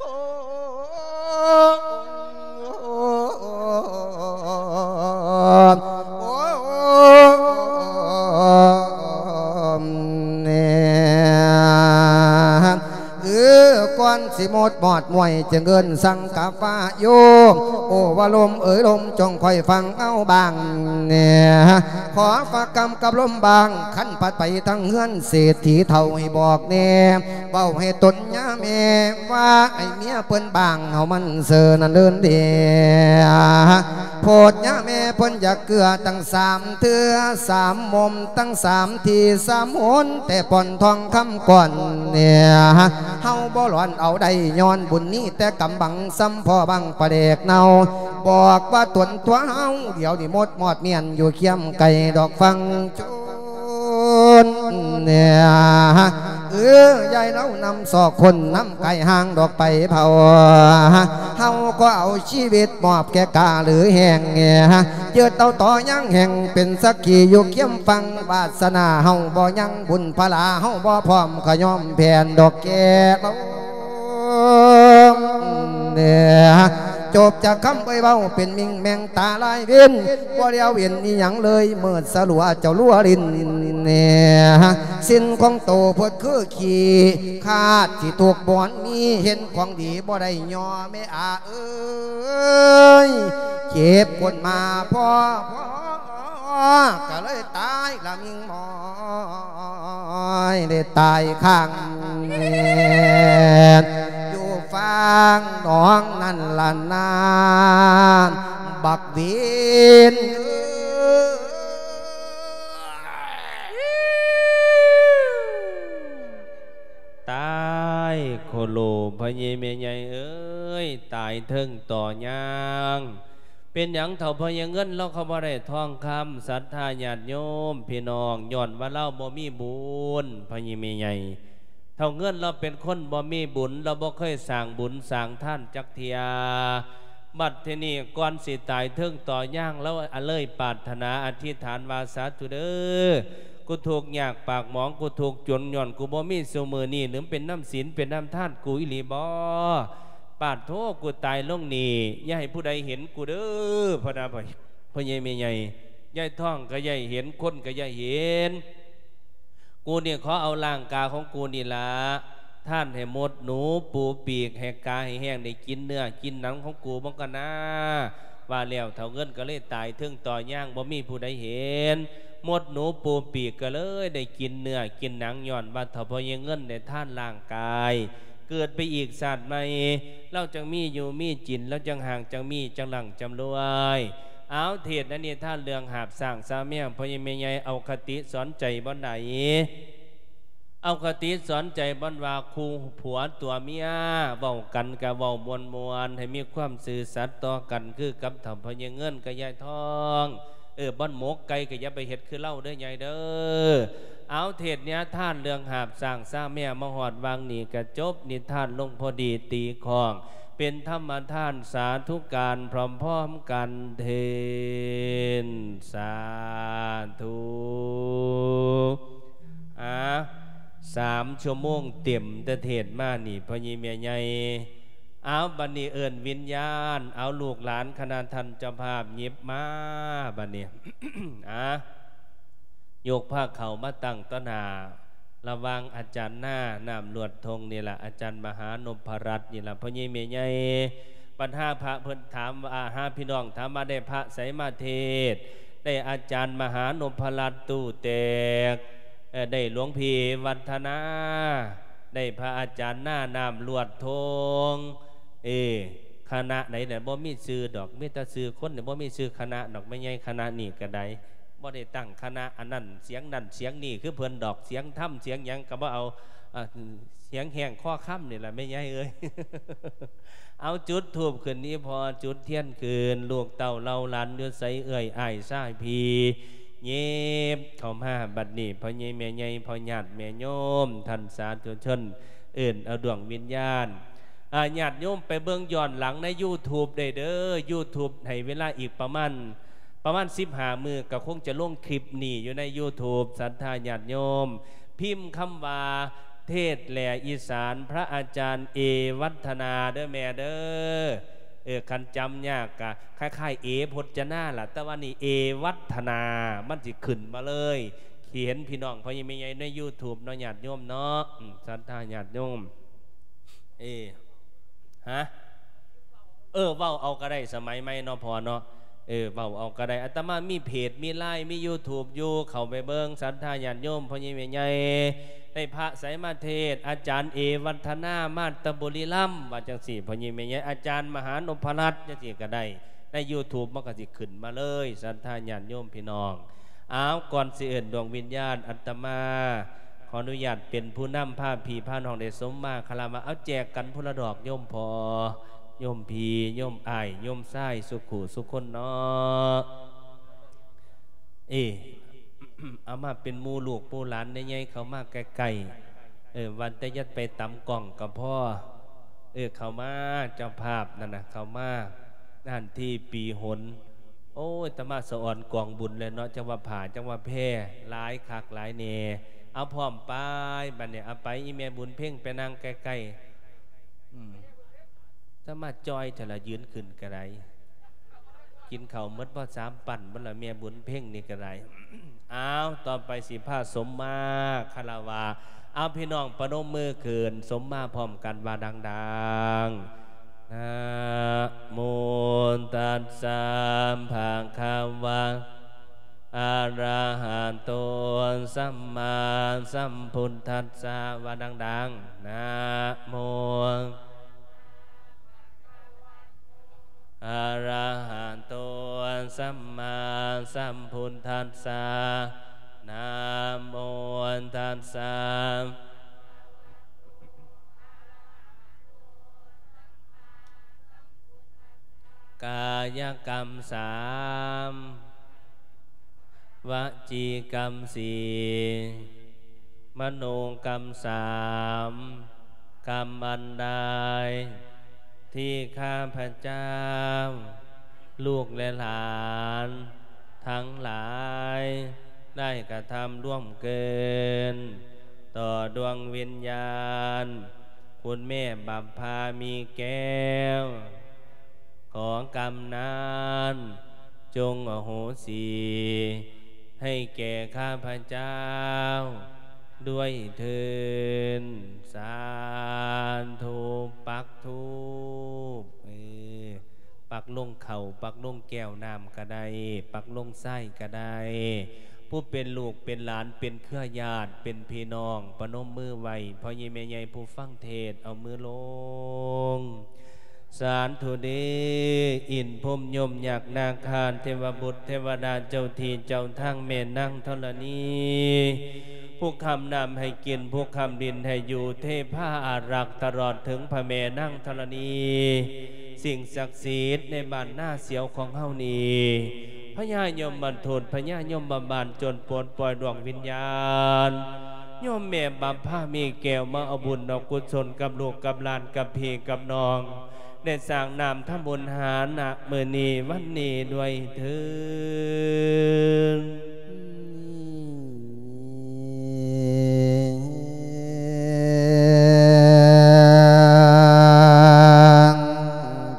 ໂອ້ ເອີ ກ່ອນຊິໝົດມອດມວຍ ຈຶ່ງເອີ້ນສັງກະວາໂຍ ໂອ ວ່າລົມເອີຍລົມ ຈົ່ງຄອຍຟັງເອົາບ້າງແດ່ ຂໍຝາກຄຳກັບລົມບ້າງ ຄັນພັດໄປທາງເຮືອນເສດຖີເຖົ້າໃຫ້ບອກແດ່ ເວົ້າໃຫ້ຕົນຍາແມ່ວ່າ ໃຫ້ເມຍເພິ່ນບ້າງ ເຮົາມັນເຊີນນັ້ນເດີນເດ ໂພດຍາແມ່ເພິ່ນຢາກເກືອຕັ້ງສາມເທື່ອສາມໝົມ ຕັ້ງສາມທີສາມຫົນ ແຕ່ປ່ອນທອງຄຳກ່ອນເນຍ ເຮົາບໍ່ຫຼອນເອົາໄດ້ ຍ້ອນບຸນມີແຕ່ກຳບັງ ສ່ຳພໍບັງປາແດກເນົ່າ ບອກວ່າຕົນຕົວເຮົາ ດຽວນີ້ໝົດມອດມ້ຽນ ຢູ່ຄຽມໄກດອກຟັງ ເນຍ ເອີ ຢາຍເລົ່ານຳຊອກຄົນ ນຳໄກ່ຫ່າງດອກໄປເຜົາ ເຮົາກໍເອົາຊີວິດມອບແກ່ກາຫຼືແຮງ ຍຶດເອົາຕໍ່ຍັງແຫ່ງ ເປັນສັກຂີຢູ່ຄຽມຝັ່ງ ວາສະໜາເຮົາບໍ່ຍັງ ບຸນພະລາເຮົາບໍ່ພ້ອມ ກໍຍອມແຜ່ນດອກແກ່ເຮົາ ເນຍ ຈົບຈາກຄຳເອີຍເວົ້າ ເປັນມິ່ງແມ່ງ ຕາລາຍເວັນ ບໍ່ແລ້ວເວັນອີ່ຫຍັງເລີຍ ມືດສະຫຼົວເຈົ້າຫຼົວຫຼິ້ນແດ່ ສິນຂອງໂຕໂພດຄືຂີ້ ຄາດຊິທຸກບ່ອນມີ ເຫັນຂອງດີບໍ່ໄດ້ຍໍ ແມ່ອາເອີຍ ເຈັບກົ້ນມາພໍ ກະເລີຍຕາຍລະມິ່ງໝອຍ ໄດ້ຕາຍຂ້າງແມ່ນ ຢູ່ຝັ່ງໜອງນັ້ນລະນາ ບັກເວນເອີຍ ຕາຍໂຄໂລ ພໍ່ໃຫຍ່ແມ່ໃຫຍ່ເອີຍ ຕາຍເທິງຕໍຍ່າງ ເປັນຫຍັງເຖົ້າພໍ່ໃຫຍ່ເງິນລາວຄືບໍ່ໄດ້ທອງຄຳ ສັດທາຍາດໂຍມພີ່ນ້ອງ ຍ້ອນວ່າລາວບໍ່ມີບຸນ ພໍ່ໃຫຍ່ແມ່ໃຫຍ່ ເຖົ້າເງິນລາວເປັນຄົນບໍ່ມີບຸນ ລາວບໍ່ເຄີຍສ້າງບຸນສ້າງທານຈັກເທື່ອ ບັດທີນີ້ກ່ອນຊິຕາຍເທິງຕໍຍ່າງ ລາວເລີຍປາດຖະໜາອະທິຖານວ່າ ສາທຸເດີ ກູທຸກຍາກປາກໝອງ ກູທຸກຈົນ ຍ້ອນກູບໍ່ມີຊຸມື້ນີ້ ຫຼືເປັນນຳສິນເປັນນຳທານກູອີ່ຫຼີບໍ? ປາດໂທ ກູຕາຍລົງນີ້ ຢ່າໃຫ້ຜູ້ໃດເຫັນກູເດີ ພໍ່ນາ ພໍ່ໃຫຍ່ແມ່ໃຫຍ່ ຍາຍທອງກະຢ່າໃຫ້ເຫັນ ຄົນກະຢ່າໃຫ້ເຫັນ ກູນີ້ຂໍເອົາຮ່າງກາຍຂອງກູນີ້ລະ ທານໃຫ້ມົດໜູປູປີກ ໃຫ້ກາໃຫ້ແຫ້ງ ໄດ້ກິນເນື້ອກິນໜັງຂອງກູເບິ່ງກ່ອນນາ. ວ່າແລ້ວເຖົ້າເງິນກໍເລີຍຕາຍເທິງຕໍຍາງ ບໍ່ມີຜູ້ໃດເຫັນ. ມົດໜູປູປີກກໍເລີຍໄດ້ກິນເນື້ອກິນໜັງ ຍ້ອນວ່າເຖົ້າພໍ່ໃຫຍ່ເງິນໄດ້ທານຮ່າງກາຍ ເກີດໄປອີກຊາດໃໝ່ ລາວຈັ່ງມີຢູ່ມີກິນ ລາວຈັ່ງຮ່າງຈັ່ງມີ ຈັ່ງຮັ່ງຈັ່ງລວຍ. ເອົາ ເທດໃນນິທານເລື່ອງຫາບຊ້າງຊາແມວ ພໍ່ໃຫຍ່ແມ່ໃຫຍ່ ເອົາຄະຕິສອນໃຈບ່ອນໃດ? ເອົາຄະຕິສອນໃຈບ່ອນວ່າ ຄູ່ຜົວຕົວເມຍເວົ້າກັນກະເວົ້າມ່ວນໆ ໃຫ້ມີຄວາມຊື່ສັດຕໍ່ກັນ ຄືກັບເຖົ້າພໍ່ໃຫຍ່ເງິນກັບຍາຍທອງ. ເອີ ບ່ອນໝົກໄກ່ກໍຢ່າໄປເຮັດຄືລາວເດີຍາຍເດີ. ເອົາ ເທດນິທານເລື່ອງຫາບຊ້າງຊາແມວມາຮອດຫວ່າງນີ້ ກະຈົບນິທານລົງພໍດີຕີຂ້ອງ ເປັນທຳມະທານ ສາທຸການພ້ອມໆກັນເທີ້ນ ສາທຸ. ອາ ສາມຊົ່ວໂມງເຕັມແຕ່ເທດມານີ້ ພໍ່ໃຫຍ່ແມ່ໃຫຍ່. ເອົາ ບັດນີ້ເອີ້ນວິນຍານ ເອົາ ລູກຫຼານຄະນະທ່ານເຈົ້າພາບຫຍິບມາ ບັດນີ້ ອາ ຍົກພາເຂົ້າມາຕັ້ງຕໍ່ໜ້າ ລະຫວ່າງອາຈານນາ ນ້ຳລວດທົ່ງນີ້ລະ ອາຈານມະຫານົບພະລັດນີ້ລະ ພໍ່ໃຫຍ່ແມ່ໃຫຍ່. ບັດຫາພະເພິ່ນຖາມວ່າ ຫາພີ່ນ້ອງຖາມວ່າ ໄດ້ພະໃສມາເທດ? ໄດ້ອາຈານມະຫານົບພະລັດຕູ້ແຕກ ເອີ ໄດ້ຫຼວງພີ່ວັດທະນາ ໄດ້ພະອາຈານນາ ນ້ຳລວດທົ່ງ. ເອີ ຄະນະໃດນະ ບໍ່ມີຊື່ດອກ ມີແຕ່ຊື່ຄົນ ບໍ່ມີຊື່ຄະນະດອກ ແມ່ໃຫຍ່. ຄະນະນີ້ກະໄດ້ ບໍ່ໄດ້ຕັ້ງຄະນະອັນນັ້ນສຽງນັ້ນສຽງນີ້ຄືເພິ່ນດອກ ສຽງທຳສຽງຫຍັງກະບໍ່ເອົາ ອາ ສຽງແຫ້ງຄໍຄຳນີ້ລະແມ່ໃຫຍ່ເອີຍ. ເອົາ ຈຸດທູບຂຶ້ນອີ່ພໍ່ ຈຸດທຽນຂຶ້ນ ລູກເຕົ້າເຫຼົ່າຫຼານຢູ່ໃສ ເອື້ອຍອ້າຍຊາຍພີ່ ຫຍິບເຂົ້າມາ. ບັດນີ້ພໍ່ໃຫຍ່ແມ່ໃຫຍ່ ພໍ່ຍາດແມ່ໂຍມ ທ່ານສາທຸຊົນ ເອີ້ນເອົາດວງວິນຍານ ອາ ຍາດໂຍມໄປເບິ່ງຍ້ອນຫຼັງໃນຢູທູບໄດ້ເດີ. ຢູທູບໃຫ້ເວລາອີກປະມານ ປະມານສິບຫ້າມື້ ກໍຄົງຈະລົງຄລິບນີ້ຢູ່ໃນຢູທູບ. ສັດທາຍາດໂຍມ ພິມຄຳວ່າ ເທດແຫຼອີສານ ພະອາຈານເອວັດທະນາ ເດີແມ່ເດີ. ເອີ ຄັນຈຳຍາກກະຄ້າຍໆ ເອ ພົດຈະນາລະ ແຕ່ວ່ານີ້ເອວັດທະນາ ມັນຊິຂຶ້ນມາເລີຍ. ຊິເຫັນພີ່ນ້ອງພໍ່ໃຫຍ່ແມ່ໃຫຍ່ໃນຢູທູບເນາະ ຍາດໂຍມເນາະ ອືມ ສັດທາຍາດໂຍມ. ເອີ ຮະ ເອີ ເວົ້າເອົາກໍໄດ້ ສະໄໝໃໝ່ເນາະພໍ່ເນາະ. ເອີ ເວົ້າເອົາກໍໄດ້ ອາດຕະມາມີເພຈ ມີລາຍ ມີຢູທູບຢູ່ ເຂົ້າໄປເບິ່ງ ສັດທາຍາດໂຍມ ພໍ່ໃຫຍ່ແມ່ໃຫຍ່. ໄດ້ພະໃສມາເທດ? ອາຈານເອວັດທະນາ ມາແຕ່ບຸລີລຳ ວ່າຈັ່ງຊີ້ ພໍ່ໃຫຍ່ແມ່ໃຫຍ່. ອາຈານມະຫານົບພະລັດ ຈັ່ງຊີ້ກໍໄດ້ ໃນຢູທູບມັນກໍຊິຂຶ້ນມາເລີຍ ສັດທາຍາດໂຍມພີ່ນ້ອງ. ອ້າວ ກ່ອນຊິເອີ້ນດວງວິນຍານ ອາດຕະມາຂໍອະນຸຍາດເປັນຜູ້ນຳພາພີ່ພານ້ອງໄດ້ສົມມາຄາລະວະ. ເອົາ ແຈກກັນຜູ້ລະດອກ ໂຍມພໍ່ ໂຍມພີ່ ໂຍມອ້າຍ ໂຍມຊາຍ ສູ່ຄູ່ສູ່ຄົນເນາະ. ເອີ ເອົາມາເປັນໝູ່ລູກໝູ່ຫຼານໃຫຍ່ໆ ເຂົ້າມາໃກ້ໆ. ເອີ ວ່າແຕ່ຢ່າໄປຕຳກ້ອງກໍພໍ. ເອີ ເຂົ້າມາ ເຈົ້າພາບນັ້ນນະ ເຂົ້າມາ. ນັ້ນທີ່ປີຫົນ ໂອ້ຍ ຕາມາສະອອນກອງບຸນແລ້ວເນາະ ຈັກວ່າຜ້າ ຈັກວ່າແພ ຫຼາຍຄັກຫຼາຍແນ່. ເອົາ ພ້ອມໄປ ບັດນີ້ ເອົາໄປ ອີ່ແມ່ບຸນເພັງໄປນັ່ງໃກ້ໆ. ອືມ ຕາມາຈ່ອຍແທ້ລະ ຢືນຂຶ້ນກະໄດ້ ກິນເຂົ້າໝົດບໍ່ ສາມປັ້ນໝົດລະ ແມ່ບຸນເພັງນີ້ກະໄດ້. ອ້າວ ຕໍ່ໄປຊິພາສົມມາຄາລະວະ. ເອົາ ພີ່ນ້ອງປະນົມມືຂຶ້ນ ສົມມາພ້ອມກັນວ່າດັງໆ. ນະໂມຕັດສະ ພະຄະວະ ອະລະຫະໂຕ ສຳມາສຳພຸດທັດສະ ວ່າດັງໆ. ນະໂມ ອະລະຫະໂຕ ສຳມາສຳພຸດທັດສະ ນະໂມຕັດສະ. ກາຍະກຳສາມ ວະຈີກຳສີ່ ມະໂນກຳສາມ ກຳອັນໃດທີ່ຂ້າພະເຈົ້າ ລູກແລະຫຼານທັງຫຼາຍ ໄດ້ກະທຳລ່ວງເກີນຕໍ່ດວງວິນຍານ ຄຸນແມ່ບັບພາມີແກ້ວ ຂໍກຳນັ້ນ ຈົ່ງອະໂຫສິໃຫ້ແກ່ຂ້າພະເຈົ້າ ດ້ວຍເທີ້ນ. ສາທຸ. ປັກທູບ ເອີ ປັກລົງເຂົ້າ ປັກລົງແກ້ວນ້ຳກະໄດ້ ປັກລົງຊາຍກະໄດ້. ຜູ້ເປັນລູກເປັນຫຼານ ເປັນເຄືອຍາດ ເປັນພີ່ນ້ອງ ປະນົມມືໄວ້ ພໍ່ໃຫຍ່ແມ່ໃຫຍ່ຜູ້ຟັງເທດ ເອົາມືລົງ. ສາທຸເດ ອິນພົມຍົມ ຍັກ ນາຄາ ເທວະບຸດ ເທວະດາ ເຈົ້າທີ່ເຈົ້າທາງ ແມ່ນາງທໍລະນີ ຜູ້ຄ້ຳນ້ຳໃຫ້ກິນ ຜູ້ຄ້ຳດິນໃຫ້ຢູ່ ເທພາອາລັກ ຕະຫຼອດເຖິງພະແມ່ນາງທໍລະນີ ສິ່ງສັກສິດໃນບ້ານນາສຽວຂອງເຮົານີ້ ພະຍາຍົມມະທູດ ພະຍາຍົມມະບານ ຈົ່ງປົດປ່ອຍດວງວິນຍານ ໂຍມແມ່ບັບພາມີແກ້ວ ມາເອົາບຸນເອົາກຸສົນກັບລູກກັບຫຼານ ກັບພີ່ກັບນ້ອງ ໄດ້ສ້າງນ້ຳທຳບຸນຫານະມື້ນີ້ວັນນີ້ດ້ວຍເທີ້ນ.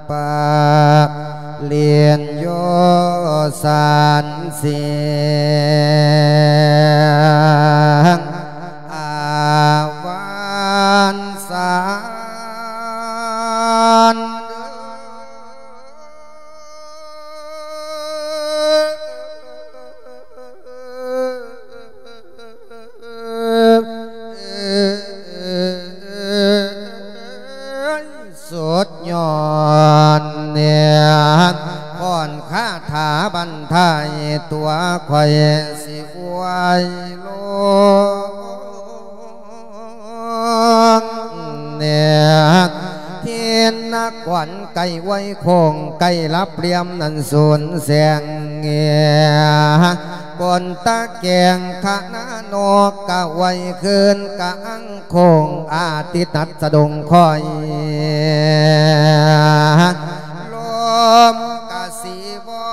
ປະລິນໂຍສັນສິງ ອາວັນສັນ ສຸດຍອດເນຍ ກ່ອນຄາຖາບັນທາຍຕົວຂ້ອຍຊິອວຍລົງເນຍ ທິນນະກອນໄກ່ອວຍໂຄ້ງ ໄກ່ລັບຫຼ່ຽມນັ້ນສູນແສງເນຍ ກົນຕະແກງຄະນະນົກກະໄຫວຄືນກະອັງໂຄ້ງ ອາທິດຕັດສະດົງຄອຍ ລົມກະສີວອ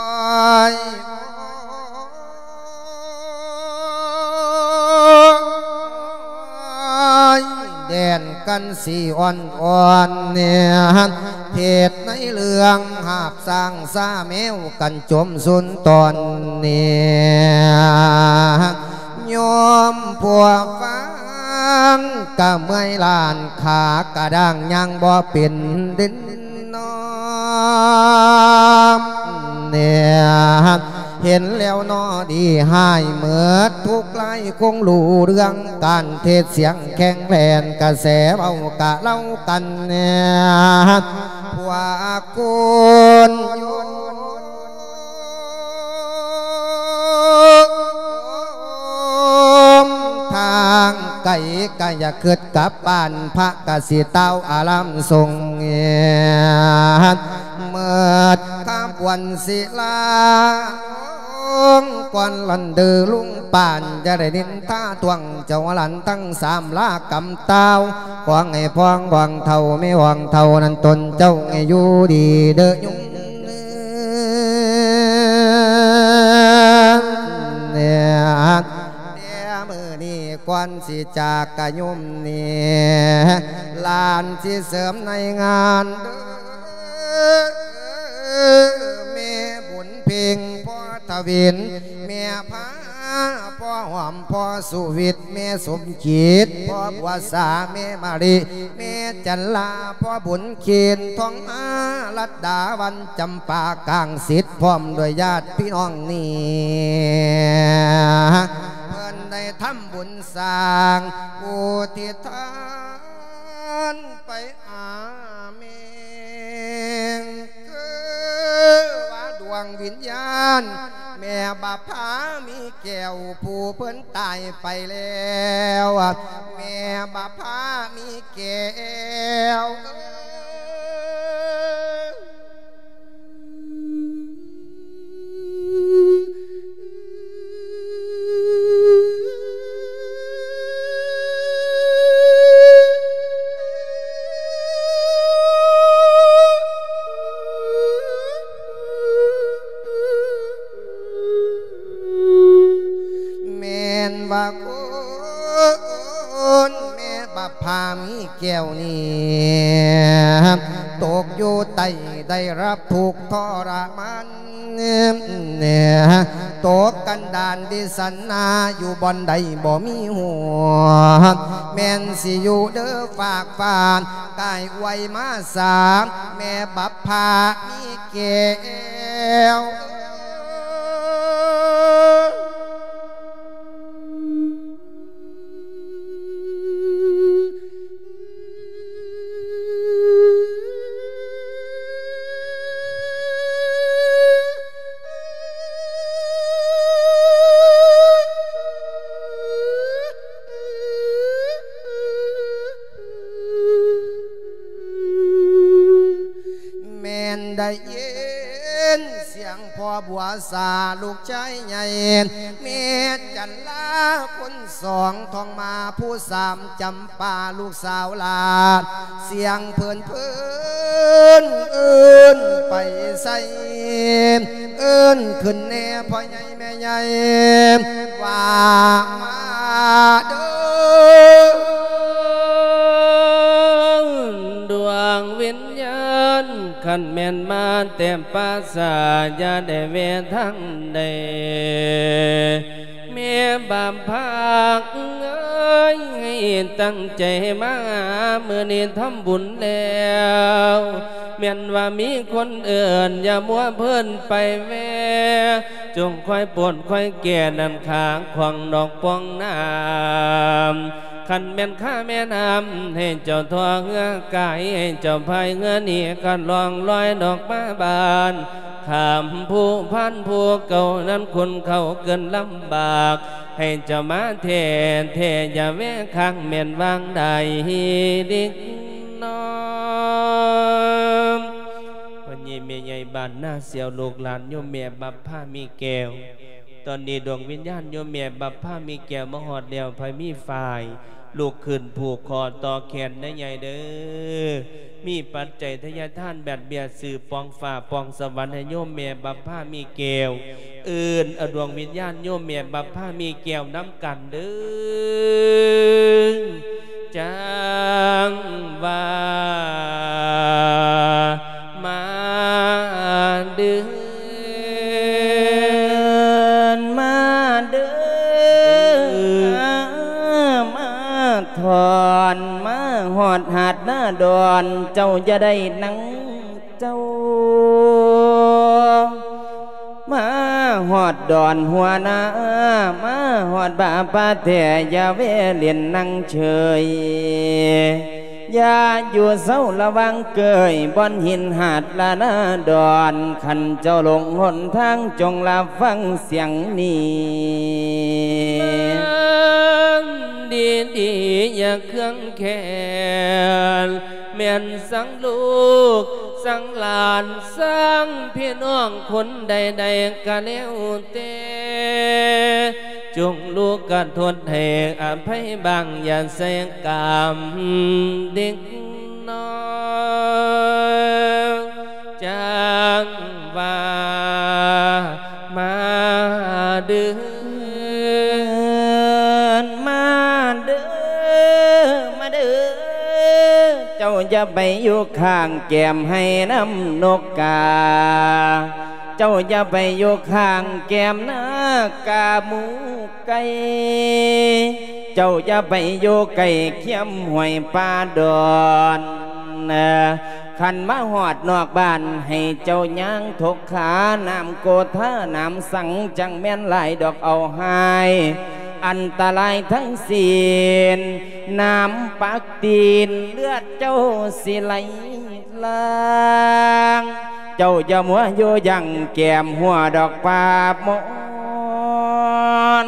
ຍ ແດນກັນສີອ່ອນໆ ເນຍ ເທດໃນເລື່ອງຫາບ ຊ້າງຊາແມວກັນຈົມຊຸນຕອນນີ້ ໂຍມຜູ້ຟັງກະເມື່ອຍລ້ານ ຂາກະດ້າງຍ່າງບໍ່ເປັນເດັ່ນນອມ ເນຍ ເຫັນແລ້ວໜໍ່ດີຮ້າຍເໝິດທຸກລາຍ ຄົງຮູ້ເລື່ອງການເທດ ສຽງແຄງແລ່ນກະແສເວົ້າກະເລົ່າກັນແນ່ ພວກຄຸນໂຍມທາງໄກກະຢ່າຄິດກັບບ້ານ ພະກະຊິຕ່າວອາລາມສົງ ເໝິດຂະບວນສິລາ ລົງກ່ອນລັນເດີລຸງປານ ຢ່າໄດ້ນິນທາທວງເຈົ້າຫຼານທັງສາມລາກຳຕ່າວ ຂໍໃຫ້ພອງບອງເຖົ້າແມ່ອອງເຖົ້ານັ້ນ ຕົນເຈົ້າໃຫ້ຢູ່ດີເດີໂຍມ ແຕ່ມື້ນີ້ກ່ອນຊິຈາກກະໂຍມນີ້ ຫຼານຊິເສີມໃນງານເດີ ແມ່ບຸນເພັງ ພໍ່ທະວິນ ແມ່ພາ ພໍ່ຫອມ ພໍ່ສຸວິດ ແມ່ສົມຈິດ ພໍ່ບົວສາ ແມ່ມະລິ ແມ່ຈັນລາ ພໍ່ບຸນເຄນ ທອງມາ ລັດດາ ວັນຈຳປາ ກາງສິດ ພ້ອມດ້ວຍຍາດພີ່ນ້ອງນີ້ ເພິ່ນໄດ້ທຳບຸນສ້າງ ອຸທິດທານໄປຫາແມ່ ຄືວ່າດວງວິນຍານ ແມ່ບັບພາມີແກ້ວ ຜູ້ເພິ່ນຕາຍໄປແລ້ວ ແມ່ບັບພາມີແກ້ວ ແມ່ນວ່າຄົນແມ່ບັບພາມີແກ້ວນີ້ ຕົກຢູ່ໃຕ້ ໄດ້ຮັບທຸກທໍລະມານ ຕົກກັນດານວິສັນນາ ຢູ່ບ່ອນໃດບໍ່ມີຫົວ ແມ່ນຊິຢູ່ເດີຝາກຟານ ກາຍໄວມາສາ ແມ່ບັບພາມີແກ້ວ. ແມ່ນໄດ້ຍິນສຽງພໍ່ບົວສາ ລູກຊາຍໃຫຍ່ ແມ່ຈັນລາຄົນສອງ ທອງມາຜູ້ສາມ ຈຳປາລູກສາວຫຼານ ສຽງເພີນເພີນ ເອີ້ນໄປໃສ ເອີ້ນຂຶ້ນແດ່ພໍ່ໃຫຍ່ແມ່ໃຫຍ່ ວ່າມາເດີ ດວງວິນຍານ ຄັນແມ່ນມາແຕ່ປ່າຊ້າ ຢ່າໄດ້ແວ່ທາງໃດ ແມ່ບາບພາກເອີຍ ຕັ້ງໃຈມາ ມື້ນີ້ທຳບຸນແລ້ວ ແມ່ນວ່າມີຄົນເອີ້ນ ຢ່າມົວເພີນໄປແວ່ ຈົ່ງຄອຍໂປດຄອຍແກ່ ນັ້ນຂ້າຂອງດອກປ່ອງນ້ຳ ຄັນແມ່ນຂ້າແມ່ນ້ຳ ໃຫ້ເຈົ້າທໍ່ເຮືອກາຍ ໃຫ້ເຈົ້າພາຍເຮືອໜີ ຄັນລ່ອງລອຍດອກມາບ້ານ ຂ້າມພູພານຜູ້ເກົ່າ ນັ້ນຄຸນເຂົ້າເກີນລຳບາກ ໃຫ້ເຈົ້າມາແທ້ແທ້ ຢ່າແວ່ຄ້າງ ແມ່ນວາງໄດ້ເດັກນ້ອຍ. ພໍ່ໃຫຍ່ແມ່ໃຫຍ່ບ້ານນາເຊວ ລູກຫຼານໂຍມແມ່ບັບພາມີແກ້ວ ຕອນນີ້ດວງວິນຍານໂຍມແມ່ບັບພາມີແກ້ວມາຮອດແລ້ວ ໃຜມີຝ້າຍ ລຸກຂຶ້ນຜູກຂໍຕໍ່ແຂນເດີໃຫຍ່ເດີ ມີປັດໄຈທະຍາທານບາດເບ້ຍຊື້ປ່ອງຟ້າປ່ອງສະຫວັນໃຫ້ໂຍມແມ່ບັບພາມີແກ້ວ ເອີ້ນເອົາດວງວິນຍານໂຍມແມ່ບັບພາມີແກ້ວນຳກັນເດີ ຈັ່ງວ່າ ມາເດີ ມາເດີ ມາທ່ອນ ມາຮອດຫາດນາດອນ ເຈົ້າຢ່າໄດ້ນັ່ງເຈົ້າ ມາຮອດດອນຫົວນາ ມາຮອດບາປາແທ້ ຢ່າແວ່ຫຼິ້ນນັ່ງເຊີຍ ຢ່າຢູ່ເຊົາລະວັງເກີຍ ບ່ອນຫີນຫາດລະນາດອນ ຄັນເຈົ້າຫຼົງຫົນທາງ ຈົ່ງລະຟັງສຽງນີ້ ຟັງດີໆ ຢ່າເຄືອງແຄ້ນ ແມ່ນສັງລູກສັງຫຼານ ສັງພີ່ນ້ອງຄົນໃດໆ ກະແລ້ວແຕ່ ຈົ່ງລູກກະທົດໃຫ້ອະໄພບາງ ຢ່າໃສ່ກາມເດັກນ້ອຍ ຈັ່ງວ່າ ມາເດີ ມາເດີ ມາເດີ ເຈົ້າຢ່າໄປຢູ່ຂ້າງແກ້ມໄຮ່ນຳນົກກາ ເຈົ້າຢ່າໄປຢູ່ຂ້າງແກ້ມນາກາໝູໄກ່ ເຈົ້າຢ່າໄປຢູ່ໃກ້ຄຽມຫ້ວຍປ່າດອນ ຄັນມາຮອດນອກບ້ານ ໃຫ້ເຈົ້າຍ່າງທົກຂາ ນ້ຳໂກທານ້ຳສັງ ຈັ່ງແມ່ນຫຼາຍດອກເອົາຮ້າຍ ອັນຕະລາຍທັງສິ້ນ ນ້ຳປັກຕີນ ເລືອດເຈົ້າຊິໄຫຼຫຼາງ ເຈົ້າຢ່າມົວຢູ່ຢັ້ງແກ້ມຫົວດອກປາບມອນ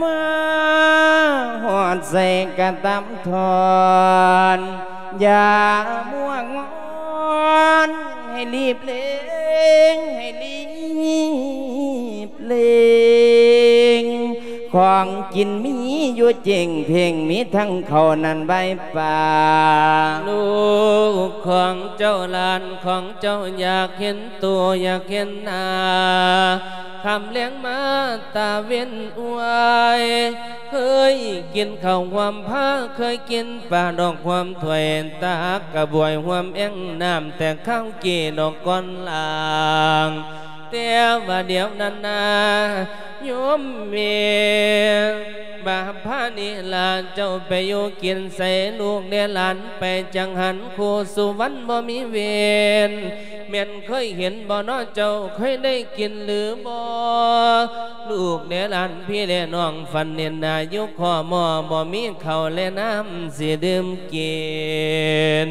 ມາຮອດໃສ່ກະຕຳທ່ອນ ຢ່າມົວງອນ ໃຫ້ລີບເລັ່ງ ໃຫ້ລີບເລັ່ງ ຂອງກິນມີຢູ່ເຈັງເພງ ມີທັງເຂົ້ານັ້ນໃບປາ ລູກຂອງເຈົ້າ ຫຼານຂອງເຈົ້າ ຢາກເຫັນໂຕ ຢາກເຫັນໜ້າ ຄ່ຳແລງມາຕາເວັນອວຍ ເຄີຍກິນເຂົ້າຮ່ວມພາ ເຄີຍກິນປາດອກຮ່ວມຖ້ວຍ ຕັກກະບວຍຮ່ວມແອ່ງນ້ຳ ແຕ່ຄາວກີ້ດອກກ່ອນລາງ ແຕ່ວ່າດຽວນັ້ນນາ ໂຍມແມ່ ບາບພານີ້ລະ ເຈົ້າໄປຢູ່ກິນໃສ ລູກແດ່ຫຼານໄປ ຈັງຫັນຄູ່ສຸວັນບໍ່ມີເວນ ແມ່ນເຄີຍເຫັນບໍ່ນໍ ເຈົ້າເຄີຍໄດ້ກິນຫຼືບໍ່? ລູກແດ່ຫຼານພີ່ແລະນ້ອງ ຝັນເຫັນໜ້າຢູ່ຄໍ່ໝໍ້ ບໍ່ມີເຂົ້າແລະນ້ຳຊິດື່ມກິນ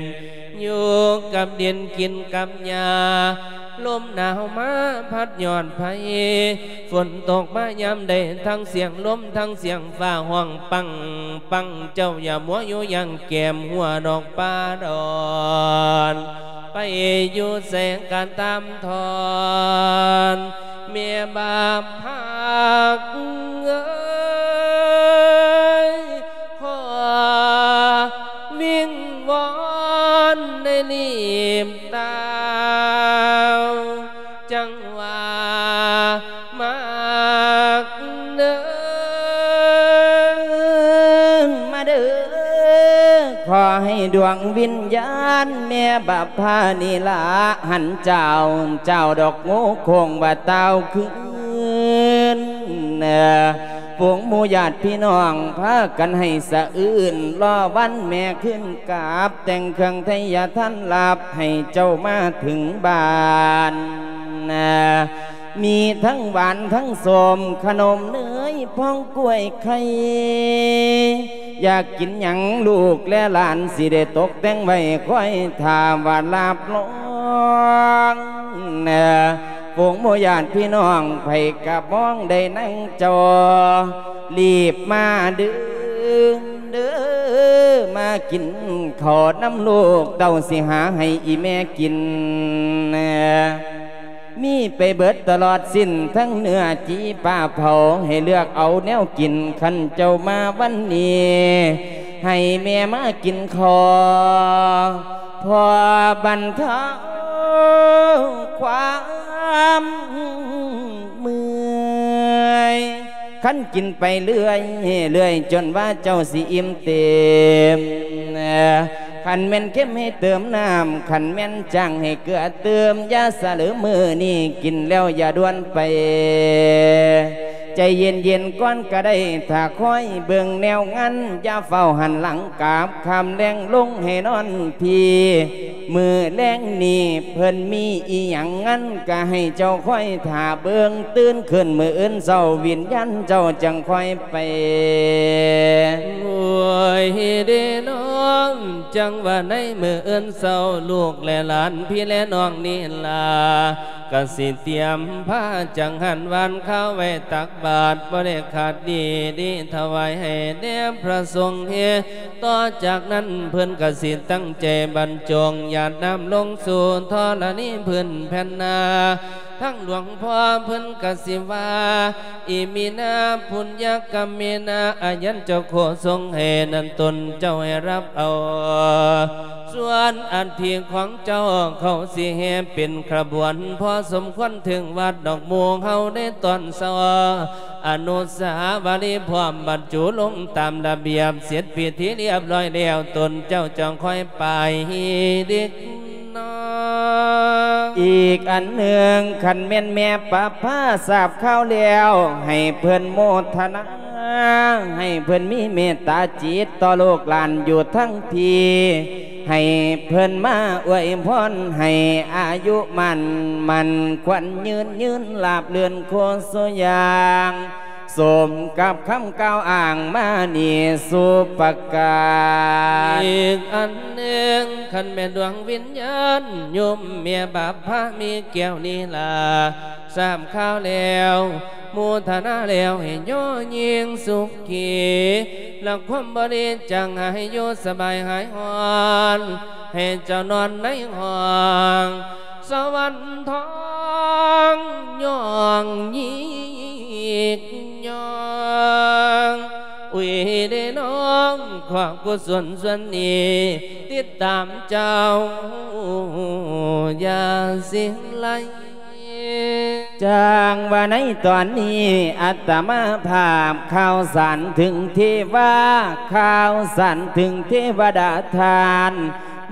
ຢູ່ກັບດິນກິນກັບຫຍ້າ ລົມໜາວມາພັດຍອດໄຜ່ ຝົນຕົກມາຍາມໃດ ທັງສຽງລົມ ທັງສຽງຟ້າຮ້ອງປັງ ປັງ ເຈົ້າຢ່າມົວຢູ່ຢ່າງແກ້ມຫົວດອກປ່າດອນ ໄປຢູ່ໃສກະຕາມທອນ ແມ່ບາບພັກເອີຍ ຂໍວິງວອນໄດ້ລີບຕາວ ຈັ່ງວ່າມັກເດີ ມາເດີ ຂໍໃຫ້ດວງວິນຍານແມ່ບາບພານີ້ລະ ຫັນເຈົ້າ ເຈົ້າດອກໂງ່ໂຄ້ງວ່າຕ່າວຄືນ ເອີ ຝູງໝູ່ຍາດພີ່ນ້ອງພາກັນໃຫ້ສະອື່ນ ລໍວັນແມ່ຄືນກັບ ແຕ່ງເຄື່ອງໄທຍະທັນລາບ ໃຫ້ເຈົ້າມາເຖິງບ້ານ ມີທັງຫວານທັງສົ້ມ ຂະໜົມເນີຍ ພອງກ້ວຍໄຂ່ ຢາກກິນຫຍັງລູກແລະຫຼານ ຊິໄດ້ຕົກແຕ່ງໄວ້ ຄອຍຖ້າວ່າລາບລອງ ເອີ ໂປງໝູ່ຍາດພີ່ນ້ອງ ໃຜກະມອງໄດ້ນາງເຈົ້າ ລີບມາເດີ ເດີ ມາກິນເຂົ້ານຳລູກເຕົ້າ ຊິຫາໃຫ້ອີ່ແມ່ກິນ ມີໄປເບິດຕະຫຼອດສິ້ນ ທັງເນື້ອຈີປາເຜົາ ໃຫ້ເລືອກເອົາແນວກິນ ຄັນເຈົ້າມາວັນນີ້ ໃຫ້ແມ່ມາກິນຂໍ ພໍບັນເທົາຄວາມເມື່ອຍ ຄັນກິນໄປເລື້ອຍ ເລື້ອຍ ຈົນວ່າເຈົ້າຊິອີ່ມເຕັມ ຄັນແມ່ນເຄັມໃຫ້ເຕີມນ້ຳ ຄັນແມ່ນຈາງໃຫ້ເກືອເຕີມ ຢ່າສະເຫຼີມມື້ນີ້ກິນແລ້ວຢ່າດ່ວນໄປ ໃຈເຢັນໆກ່ອນກະໄດ້ ຖ້າຄອຍເບິ່ງແນວງານ ຢ່າຟ້າວຫັນຫຼັງກັບ ຄ່ຳແລງລົງໃຫ້ນອນພີ້ ມື້ແລງນີ້ເພິ່ນມີອີ່ຫຍັງງານ ກະໃຫ້ເຈົ້າຄອຍຖ້າເບິ່ງ ຕື່ນຂຶ້ນມື້ອື່ນເຊົ້າ ວິນຍານເຈົ້າຈັ່ງຄ່ອຍໄປ ໂອ້ຍເດ້ນ້ອງ ຈັ່ງວ່າໃນມື້ອື່ນເຊົ້າ ລູກແລະຫຼານ ພີ່ແລະນ້ອງນີ້ລະ ກະຊິຕຽມພາຈັງຫັນຫວານຄາວໄວ້ຕັກບາດ ບໍ່ໄດ້ຂາດດີ ດີຖວາຍໃຫ້ແດ່ພະສົງເຮ ຕໍ່ຈາກນັ້ນເພິ່ນກະຊິຕັ້ງໃຈບັນຈົງ ຢາດນ້ຳລົງສູ່ທໍລະນີພື້ນແຜ່ນນາ ທັງຫຼວງພໍ່ເພິ່ນກະຊິວ່າ ອິມິນາ ປຸນຍະກຳມິນາ ອາຍັນຈະໂຄ ຊົງໃຫ້ນັ້ນຕົນເຈົ້າໃຫ້ຮັບເອົາ ສ່ວນອັດຖິຂອງເຈົ້າເຂົາຊິແຫ່ເປັນຂະບວນ ພໍສົມຄວນເຖິງວັດດອກໝູ່ເຮົາໃນຕອນເຊົ້າ ອະນຸສາວະລີພ້ອມບັນຈຸລົງຕາມລະບຽບ ເສັດພິທີລຽບຮ້ອຍແລ້ວ ຕົນເຈົ້າຈັ່ງຄ່ອຍໄປເດັກນ້ອຍ. ອີກອັນໜຶ່ງ ຄັນແມ່ນແມ່ປະພາຊາບຂ່າວແລ້ວ ໃຫ້ເພິ່ນໂມທະນາ ໃຫ້ເພິ່ນມີເມດຕາຈິດຕໍ່ລູກຫຼານຢູ່ທັງພີ້ ໃຫ້ເພິ່ນມາອວຍພອນໃຫ້ອາຍຸໝັ້ນ ໝັ້ນຂວັນຍືນ ຍືນລາບລື່ນໂຄສຸຢ່າງ ສົມກັບຄຳກ່າວອ້າງມານີ້ສຸປະການ. ອີກອັນໜຶ່ງ ຄັນແມ່ນດວງວິນຍານໂຍມແມ່ບາບພາມີແກ້ວນີ້ລະ ຊາບຂ່າວແລ້ວ ໂມທະນາແລ້ວໃຫ້ຍໍຍິ່ງສຸຂິ ລະຄວາມບໍ່ດີຈັງໃຫ້ຢູ່ສະບາຍຫາຍຮ້ອນ ໃຫ້ເຈົ້ານອນໃນຫ້ອງສະຫວັນທອງ ຍ້ອງຍິກຍ້ອງ ອຸຍເດນ້ອງ ຂອບກຸສົນສ່ວນນີ້ ຕິດຕາມເຈົ້າຢ່າສິ້ນໄລ. ຈັ່ງວ່າໃນຕອນນີ້ ອາດຕະມາພາບຂ່າວສານເຖິງເທວາ ຂ່າວສານເຖິງເທວະດາທ່ານ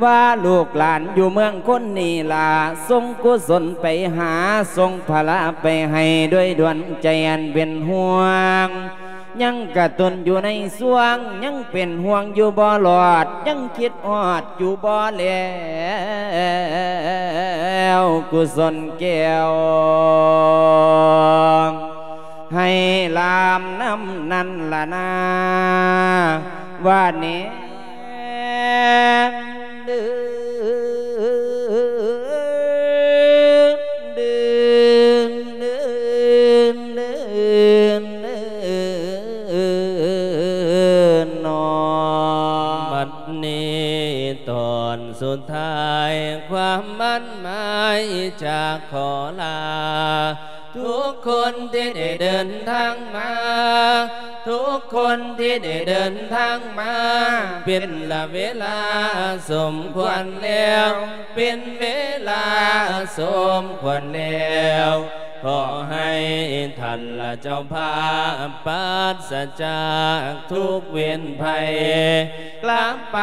ວ່າລູກຫຼານຢູ່ເມືອງຄົນນີ້ລະ ສົ່ງກຸສົນໄປຫາ ສົ່ງພະລາໄປໃຫ້ ດ້ວຍດວງໃຈອັນເປັນຫ່ວງ. ຍັງກະຕຸນຢູ່ໃນຊ່ວງ ຍັງເປັນຫ່ວງຢູ່ບໍ່ລອດ ຍັງຄິດຮອດຢູ່ບໍ່ແລ້ວ ກຸສົນແກ້ວ ໃຫ້ລາມນຳນັ້ນລະນາ ວ່າແນ່. ບັດນີ້ຕອນສຸດທ້າຍ ຄວາມໝັ້ນໝາຍຈະຂໍລາ ທຸກຄົນທີ່ໄດ້ເດີນທາງມາ ທຸກຄົນທີ່ໄດ້ເດີນທາງມາ ເປັນລະເວລາສົມຄວນແລ້ວ ເປັນເວລາສົມຄວນແລ້ວ ຂໍໃຫ້ທ່ານລະເຈົ້າພາບ ປາສະຈາກທຸກເວນໄພ ກລັບໄປ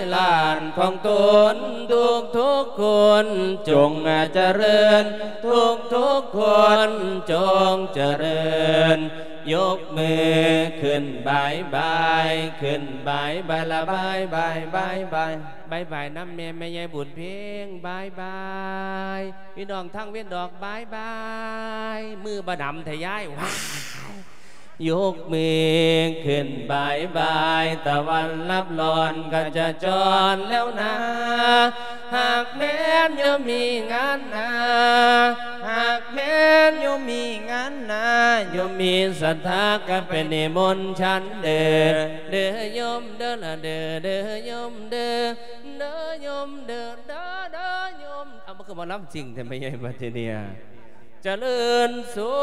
ຫຼານຂອງຕົນທຸກໆຄົນ ຈົ່ງຈະເລີນ ທຸກໆຄົນຈົ່ງຈະເລີນ. ຍົກມືຂຶ້ນບາຍບາຍ ຂຶ້ນບາຍບາຍລະບາຍບາຍ ບາຍບາຍ ບາຍບາຍນຳແມ່ ແມ່ໃຫຍ່ບຸນເພັງ ບາຍບາຍ ພີ່ນ້ອງທາງເວັນດອກ ບາຍບາຍ ມືບໍ່ດຳແທ້ຍາຍ ວ້າຍ. ຍົກມືຂຶ້ນບາຍບາຍ ຕາວັນລັບລອນຂະຈະຈອນແລ້ວນາ ຫາກແມ່ນໂຍມມີງານນາ ຫາກແມ່ນໂຍມມີງານນາ ໂຍມມີສັດທາກະໄປນິມົນສັນເດີ ເດີໂຍມເດີລະເດີ ເດີໂຍມເດີ ເດີໂຍມເດີ ເດີ ເດີໂຍມ. ເອົາ ມັນຄືໝໍລຳຈິງແທ້ ແມ່ໃຫຍ່ປັດເຈເນຍ. ຈະເລີນສຸ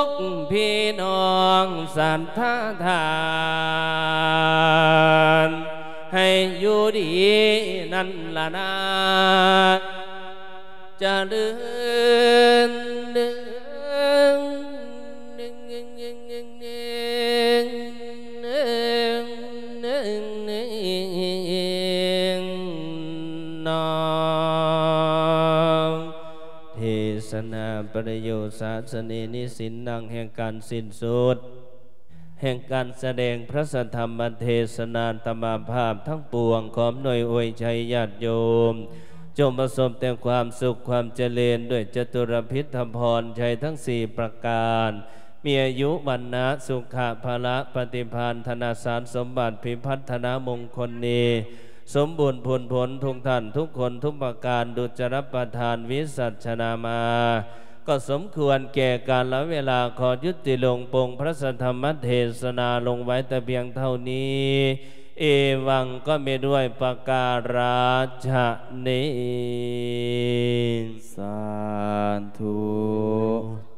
ກພີ່ນ້ອງສັດທາທ່ານ ໃຫ້ຢູ່ດີນັ້ນລະນາ ຈະເລີນເດີ ເທສະນາປະໂຍຊາສະເນນິສິນ ນາງແຫ່ງການສິ້ນສຸດ ແຫ່ງການສະແດງພະສະທຳມະເທສະນາ ອາດຕະມາພາບທັງປວງ ຂໍອຳນວຍອວຍໄຊຍາດໂຍມ ຈົ່ງປະສົບແຕ່ຄວາມສຸກຄວາມຈະເລີນ ດ້ວຍຈະຕຸລະພິດທະພອນໄຊທັງສີ່ປະການ ມີອາຍຸ ວັນນະ ສຸຂະ ພະລະ ປະຕິພານ ທະນະສານສົມບັດ ພິພັດທະນະມົງຄົນນີ້ ສົມບູນຜົນຜົນທຸກທ່ານທຸກຄົນທຸກປະການ ດຸດຈະລະປະທານ ວິສັດຊະນາມາ ກໍສົມຄວນແກ່ການລະເວລາ ຂໍຍຸຕິລົງ ປົງພະສະທຳມະເທສະນາລົງໄວ້ແຕ່ພຽງເທົ່ານີ້ ເອວັງ ກໍມີດ້ວຍປະກາລະຊະເນ ສາທຸ.